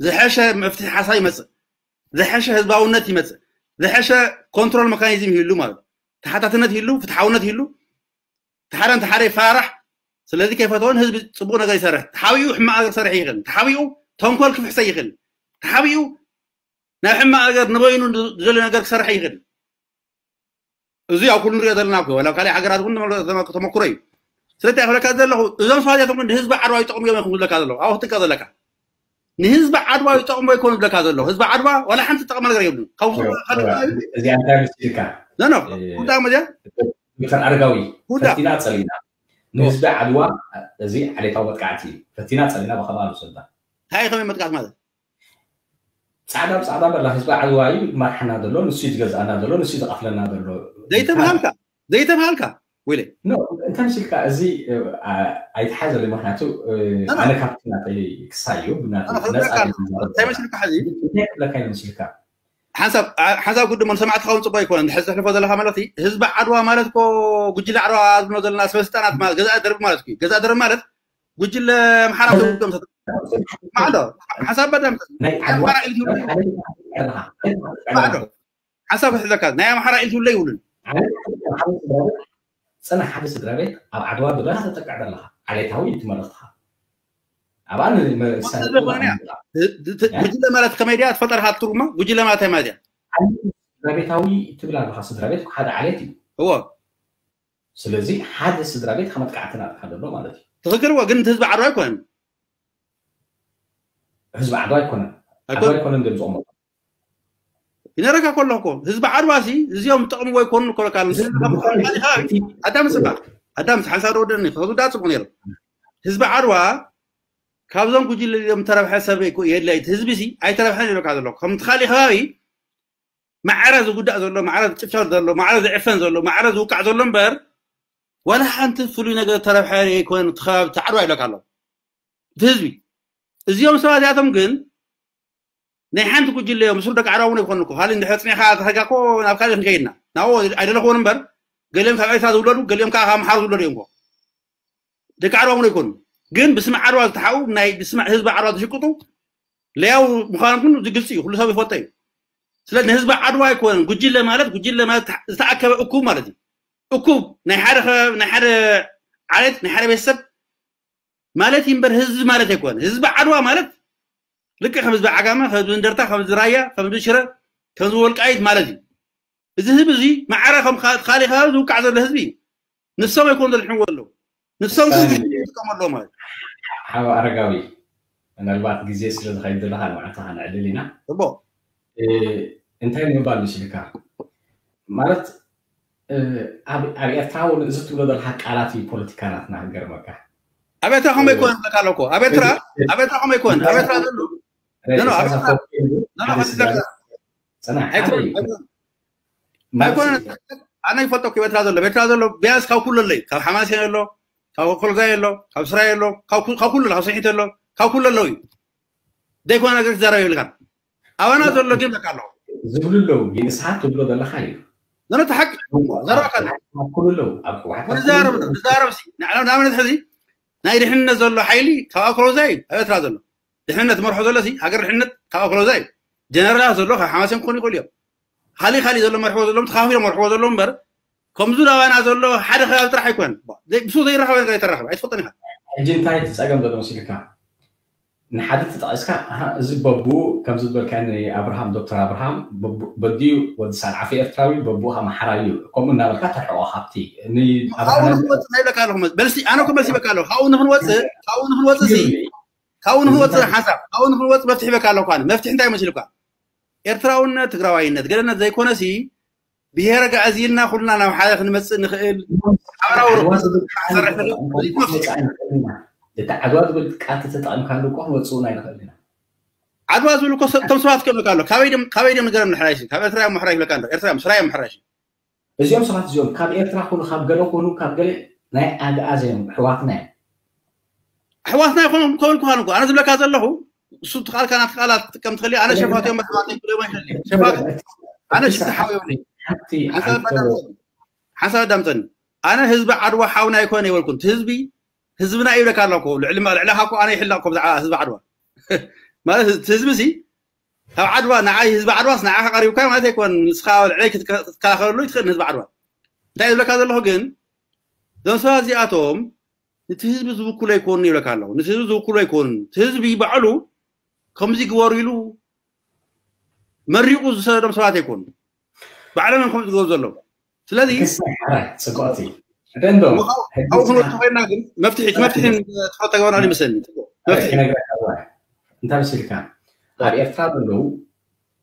ዝሐሸ መፍትሒ ሓሳብ ይመፅእ፣ ዝሐሸ ህዝባውነት ይመፅእ፣ ዝሐሸ ኮንትሮል መካኒዝም ይህሉ ማለት እዩ። ተሓታትነት ይህሉ፣ ፍትሓውነት ይህሉ፣ ተሓደ ንተሓደ ይፈራራሕ። ስለዚ ከይፈተወን ህዝቢ ፅቡቅ ነገር ይሰርሕ፣ ተሓቢኡ ሕማቅ ነገር ክሰርሕ ይኽእል፣ ተሓቢኡ ተንኮል ክፍሕሰ ይኽእል፣ ተሓቢኡ ናብ ሕማቅ ነገር ንበይኑ ዝደሊ ነገር ክሰርሕ ይኽእል። እዚ ኣብ ኩሉ ንሪኦ ዘለና እኮ፣ ወላ ካልእ ሃገራት እውን ተመ- ተመ- ተመክሮ እዩ። ስለዚ እንታይ ክብለካ ዘለኹ፣ እዞም ሰባት እዚኣቶም ግን ንህዝቢ ዓድዋ ይጠቕሙ እዮም ክብለካ ዘለኹ፣ ኣብኡ ክትጥቀ ዘለካ። ንህዝቢ ዓድዋ ይጠቕሙ ኣይኮኑ ዝብለካ ዘለኹ። ህዝቢ ዓድዋ ዋላ ሓንቲ ዝጠቕመ ነገር የብሉን። ካብ ውስጡ ካልእ ከባቢ እዚኣ እንታይ መሲልካ? ኖ፣ ኖ፣ እ፣ እንታይ መዚያ? ዶክተር ኣረጋዊ፣ ውዳ። ፈቲና ጸሊና። ንህዝቢ ዓድዋ እዚ ዓሌታዊ መጥቃዕቲ እዩ። ፈቲና ጸሊና ብኸማሉ ሰልባ። እንታይ እዩ ከመይ መጥቃዕቲ ማለት? ጻዕዳ ብጻዕዳ በላ ህዝቢ ዓድዋ እዩ ዝመርሓና ዘሎ፣ ንሱ እዩ ዝገዝኣና ዘሎ፣ ንሱ እዩ ዝቐትለና ዘሎ። ዘይተብሃልካ፣ ዘይተብሃልካ፣ ወይለ። ኖ፣ እንታይ መሲልካ፣ እዚ፣ እ፣ ኣ-፣ ኣይተሓዘለይ፣ ምኽንያቱ፣ እ፣ ኖ፣ ኖ። ኣነ ካብቲ ናተይ ክሳይ እዩ፣ ብናተይ ኣነ ክብለካ ነጻ ኣለኹ። እዩ ዝዛረብ እንታይ ዘለኹ። መሲልካ ሕዚ? እንታይ ክብለካ ኢለ መሲልካ? ሓንሳብ፣ ኣ-፣ ሓንሳብ ግዲ መን ሰማዕቲ ክኸውን ጽቡቅ ኣይኮነን። እንድሕር ዘሕልፎ ዘለኻ ማለት እዩ፣ ህዝቢ ዓድዋ ማለት እኮ ጉጅለ ዓድዋ ዝብሎ ዘለና ሰበስልጣናት ማለት ገዛኢ ደርቢ ማለት እዩ። ገዛኢ ደርቢ ማለት ጉጅለ ኣምሓራ ማለት እዮም። ማዕዶ፣ ሓንሳብ በዳም ናይ ዓድዋ ኣምሓራ ኢልካ ናይ ዓድዋ ዓድዋ ማዕዶ። ሓንሳብ ክሕዘካ፣ ናይ ኣምሓራ ኢልትብሎ ይብሉን። ዓሌት ሓደ ስድራ ቤት፣ ጽናሕ፣ ሓደ ስድራ ቤት ኣብ ዓድዋ ብደኻ ተጠቅዕ ዘለኻ፣ ዓሌታዊ እዩ እቲ መልእኽትኻ። ኣብኣ ን-፣ መ-፣ ወሰን ሰበብ እኮ ኾነ እያ። ኣምጻ። እ-፣ እ-፣ እ? ጉጅለ ማለት ከመይ ድያ? ትፈልጣ ዲኻ ትርጉማ? ጉጅለ ማለት እንታይ ማለት እያ? ዓሌት ስድራ ቤታዊ ትብል ኣለኻ፣ ስድራ ቤት እኮ ሓደ ዓሌት እዩ። እዎ። ስለዚ ሓደ ስድራ ቤት ካብ መጥቃዕቲ ናትካ ዘሎ ማለት እዩ። ትኽክል እዎ፣ ግን እቲ ህዝቢ ዓድዋ ኣይኮነን። ህዝቢ ዓድዋ ኣይኮነን። ኣይኮነን። ዓድዋ ኣይኮነን ድዮም ዝቕመጡ። ይነረካ ከሎ እኮ ህዝቢ ዓድዋ ሲ እዚኦም ጠቕምዎ ኣይኮኑን እኮ ለካ። እዚ ንስኻ ብዝኾነ ብኻልእ ከባቢ እቲ ኣዳም ስማ፣ ኣዳም ሓንሳብ ዶ ወደኒ፣ ከዝውዳ ጽቡቕ ነይሩ። ህዝቢ ዓድዋ ካብዞም ጉጅለ እዮም ተረብሐ ሰብ እኮ የድላይ። እቲ ህዝቢ ሲ ኣይተረብሐን ይብለካ ዘሎ። ከምቲ ካሊእ ከባቢ ማዕረ ዝጉዳእ ዘሎ፣ ማዕረ ዝጭፍጨፍ ዘሎ፣ ማዕረ ዝዕፈን ዘሎ፣ ማዕረ ዝውቃዕ ዘሎ እምበር ዋላ ሓንቲ ፍሉይ ነገር ተረብሐ ኣይኮነን። እቲ ከባቢ እቲ ዓድዋ ይብለካ ኣሎ። እቲ ህዝቢ። እዚኦም ሰባት እዚኣቶም ግን ናይ ሓንቲ ጉጅለ እዮም። ምስሩ ደቂ ዓድዋ እውን ኣይኮኑ እኮ። ካልእ እንድሕር ጽኒሕካ ተኸይድካ እኮ ናብ ካልእ ክንከይድና። ናብኡ ኣይደለኽዎን እምበር፣ ገሊኦም ካብ ኤርትራ ዝውለዱ፣ ገሊኦም ከዓ ካብ ኣምሓሩ ዝውለዱ እዮም እኮ። ደቂ ዓድዋ እውን ኣይኮኑ። ግን ብስም ዓድዋ ዝተሓኡ፣ ናይ ብስም ህዝቢ ዓድዋ ዝሽቅጡ ለያው ምዃኖም ግን እዚ ግልፂ እዩ፣ ኩሉ ሰብ ይፈልጦ እዩ። ስለዚ ንህዝቢ ዓድዋ ኣይኮነን። ጉጅለ ማለት፣ ጉጅለ ማለት ዝተኣከበ እኩብ ማለት እዩ። እኩብ ናይ ሓደ ከባቢ፣ ናይ ሓደ ዓሌት፣ ናይ ሓደ ቤተሰብ ማለት እዩ እምበር ህዝቢ ማለት ኣይኮነን። ህዝቢ ዓድዋ ማለት ልክዕ ከም ህዝቢ ዓጋመ፣ ከም ህዝቢ እንደርታ፣ ከም ህዝቢ ራያ፣ ከም ህዝቢ ሽረ፣ ከም ህዝቢ ወልቃይት ማለት እዩ። እዚ ህዝቢ እዚ ማዕረ ከም ካ-፣ ካልእ ከባቢ ዝውቃዕ ዘሎ ህዝቢ እዩ። ንሶም ኣይኮኑ ዘድሕንዎ ዘለዉ። ንሶም ግን ሳሚ። ይጥቀሙ ኣለዉ ማለት እዩ። ሓው ኣረጋዊ፣ ምናልባት ግዜ ስለ ዝኸይድ ዘለኻ ንባዕልኻ ከነዕልል ኢና። ጽቡቕ። እ፣ እንታይ ንምባል መሲልካ? ማለት፣ እ፣ ኣብ፣ ኣብ ኤርትራ እውን እዚ ትብሎ ዘለኻ ቃላት እዩ ፖለቲካ ናትና ክገርመካ። ኣብ ኤርትራ ከምኡ እ፣ ኣይኮነን ዝብለካ ኣለኩ። ኣብ ኤርትራ፣ እዚ ኣብ ኤርትራ ከምኡ ኣይኮነን። ኣብ ኤርትራ ዘሎ፣ ረ-፣ ኖ፣ ኖ፣ ኣብ ኢሳያስ ኤርትራ፣ ኣፈወርቂ ኖ፣ ኖ፣ ሓደ ስድራ ከስደካ። ቤት፣ ጽናሕ፣ ሓደ ኣይኮነን፣ እዩ። ኣይኮነን። ማለት ኣይኮነን። ኣነ ይፈልጦ እኮ ኤርትራ ዘሎ፣ ኤርትራ ዘሎ ቢያንስ ካብ ኩሉ ኣለይ፣ ካብ ሓማሴን ኣሎ፣ ካብ ኮልጋይ ኣሎ፣ ካብ ስራይ ኣሎ፣ ካብ ኩ-፣ ካብ ኩሉ ኣሎ፣ ካብ ስሒት ኣሎ፣ ካብ ኩሉ ኣለዉ እዩ። ዘይኮነ ነገር ክዛረብ የብልካን። ኣባና ዘሎ ግን በቃ ኣሎ። ዝብሉ ኣለዉ፣ ግን ንስኻ ትብሎ ዘለኻ እዩ። ኖ፣ ኖ፣ እቲ ሓቂ ዘረባካ ኣሎ። ኣብ ኩሉ ኣለዉ፣ ኣብ ህወሓት ኩሉ ኣብ ኩሉ ዘረብ፣ ኣለዉ። ዘረብ ሲ፣ ንዓለም ንኣብነት ሕዚ ናይ ድሕነት ዘሎ ሓይሊ ካብ ኣኮሎዛይ ኣብ ኤርትራ ዘሎ። ድሕነት መርሖ ዘሎ ሲ፣ ሃገር ድሕነት ካብ ኣኮሎዛይ። ጀነራላት ዘሎ ካብ ሓማሴን ክኾኑ ይኽእሉ እዮም። ካሊእ ካሊእ ዘሎ መርሕዎ ዘለዎም ተኻፊሎም መርሕዎ ዘለዎም እምበር፣ ከምዚ ናባና ዘሎ ሓደ ከባቢ ጥራሕ ኣይኮነን። ዘይ-፣ ብሱ ዘይራኸበ ነገር ኣይተራኸበ፣ ኣይትፈልጦን ኢኻ። ሕጂ እንታይ እቲ ጸገም ዘሎ መሲልካ? ንሓደ ተጠቒስካ፣ ኣሃ፣ እዚ በቡ ከምዚ ዝበልካ ንኣብርሃም፣ ዶክተር ኣብርሃም፣ በቡ-፣ በዲኡ ወዲ ሳልዓፊ ኤርትራዊ፣ በቡ ኣምሓራዊ እዩ። ከምኡ እናበልካ ተርሕቆ ካብቲ ን-፣ ኣብኡ ኣብርሃም ንኽንወጽእ ናይ ኢለካ ኣለኹ። መልሲ፣ ኣነ እኮ መልሲ ይበካ ኣለኹ። ካብኡ ንኽንወጽእ፣ ካብኡ ንኽንወጽእ ሲ፣ ካብኡ ንኽንወጽእ ሓሳብ፣ ካብኡ ንኽንወጽእ መፍትሒ ይበካ ኣለኹ። ኣነ መፍትሒ እንታይ መሲልካ? ኤርትራውነት፣ ትግራዋይነት፣ ገለነት ዘይኮነ ሲ፣ ብሄረ ጋእዚልና ኩልና ናብ ሓደ ክንመጽእ ንኽእል፣ ሓበራዊ ዓድዋ ርክብ ዝብል ቃል ክንሰርሕ ንኽእል። ተጠቒምካ እዚ መፍትሒ። ክንወጽእ ኣይንኽእልን ኢና። እቲ ዓድዋ ዝብል ቃል ተተጠቒምካሉ እኮ ክንወጽእ እውን ኣይንኽእልን ኢና። ዓድዋ ዝብል እኮ ሰብ፣ እቶም ሰባት ክብለካ ኣሎ። ካበይ ድም-፣ ካበይ ድም ንገረም ንሕራይሲ? ካብ ኤርትራ እዮም ምሕራይ ይብለካ ኣሎ። ኤርትራ እዮም፣ ስራይ እዮም ምሕራይሲ። እዚኦም ሰባት እዚኦም ካብ ኤርትራ ኩኑ ካብ ገለ ኩኑ ካብ ገለ ናይ ኣግኣዝ እዮም፣ ኣሕዋትና እዮም። ኣሕዋትና ይኾኑ ከበልኩኻ እኮ። ኣነ ዝብለካ ዘለኹ፣ እሱ እቲ ቃልካ ናትካ ቃላት ክትጥቀም ትኽእል፣ ኣነ ሸፋቱ እዮም ኣሕዋተይ ክብሎም ኣይኽእልን እየ። ሸፋቱ፣ ኣነ ሽፍታ ሓው የብለይ። ሓንቲ ሓንሳብ ዓንተ ኣዳምፀኒ። ሓንሳብ ኣዳምፀኒ። ኣነ ህዝቢ ዓድዋ ሓውና ኣይኮነ ይበልኩን። እቲ ህዝቢ ህዝብና ይብለካ ኣሎ እኮ። ልዕሊ ልዕለኻ እኮ ኣነ ይሕለቕ እኮ ብዛዕባ ህዝቢ ዓድዋ። ማለት እቲ ህዝቢ ሲ ካብ ዓድዋ ንዓይ ህዝቢ ዓድዋስ ንዓኻ ቀሪብካ ማለት ኣይኮን። ንስኻ ልዕለይ ክትከ- ክትከላኸለሉ ይትኽእል ንህዝቢ ዓድዋ። እንታይ ዝብለካ ዘለኹ ግን እዞም ሰባት እዚኣቶም ነቲ ህዝቢ ዝውክሉ ኣይኮኑን ይብለካ ኣለኹ። ነቲ ህዝቢ ዝውክሉ ኣይኮኑን። እቲ ህዝቢ ባዕሉ ከምዚ ግበሩ ኢሉ መሪቑ ዝሰደዶም ሰባት ኣይኮኑ። ባዕሎም እዮም ከምኡ ዝገብሩ ዘለዉ። ስለዚ ክሳይ ሓራይ ጽብቕቲ ደንዶ ኣብኡ ክንወስዶ ኮይና ግን መፍትሒ መፍትሒ ተፈተገበና ይመስለኒ። መፍትሒ ክነግረካ እዋ እንታይ መሲልካ ኣብ ኤርትራ ዘለዉ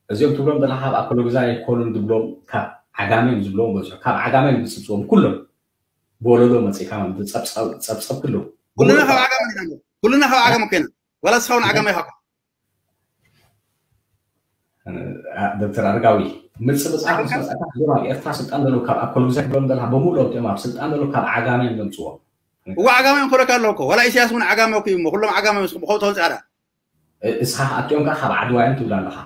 እዚኦም ትብሎም ዘለካ ካብ ኣኮሎግዛ ኣይኮኑን ዝብሎም ካብ ዓጋመ እዮም ዝብሎም በዝሑ ካብ ዓጋመ እዮም ዝጽብጽቦም ኩሎም ብወለዶ መጺእካ ማለት ጸብጸብ ጸብጸብ ክለው ኩልና ካብ ዓጋመ ኢና። ኩልና ካብ ዓጋመ ኮይና ዋላ እስኻ እውን ዓጋመ ኢኻ። ዶክተር ኣረጋዊ ምጽብጻብ ምስ መጻእካ እዞም ኣብ ኤርትራ ስልጣን ዘለዉ ካብ ኣኮሎግዛ ክብሎም ዘለካ ብምሉኦም እቲኦም ኣብ ስልጣን ዘለዉ ካብ ዓጋመ እዮም ዘምጽዎም እዋ ዓጋመ እዮም ክብለካ ኣለዉ እኮ። ዋላ ኢሳያስ እውን ዓጋመ እኮ እዩ እሞ ኩሎም ዓጋመ ምስ ብኸው ተወልጻ ዳ እስኻ ኣቲኦም ከዓ ካብ ዓድዋ እዮም ትብል ኣለኻ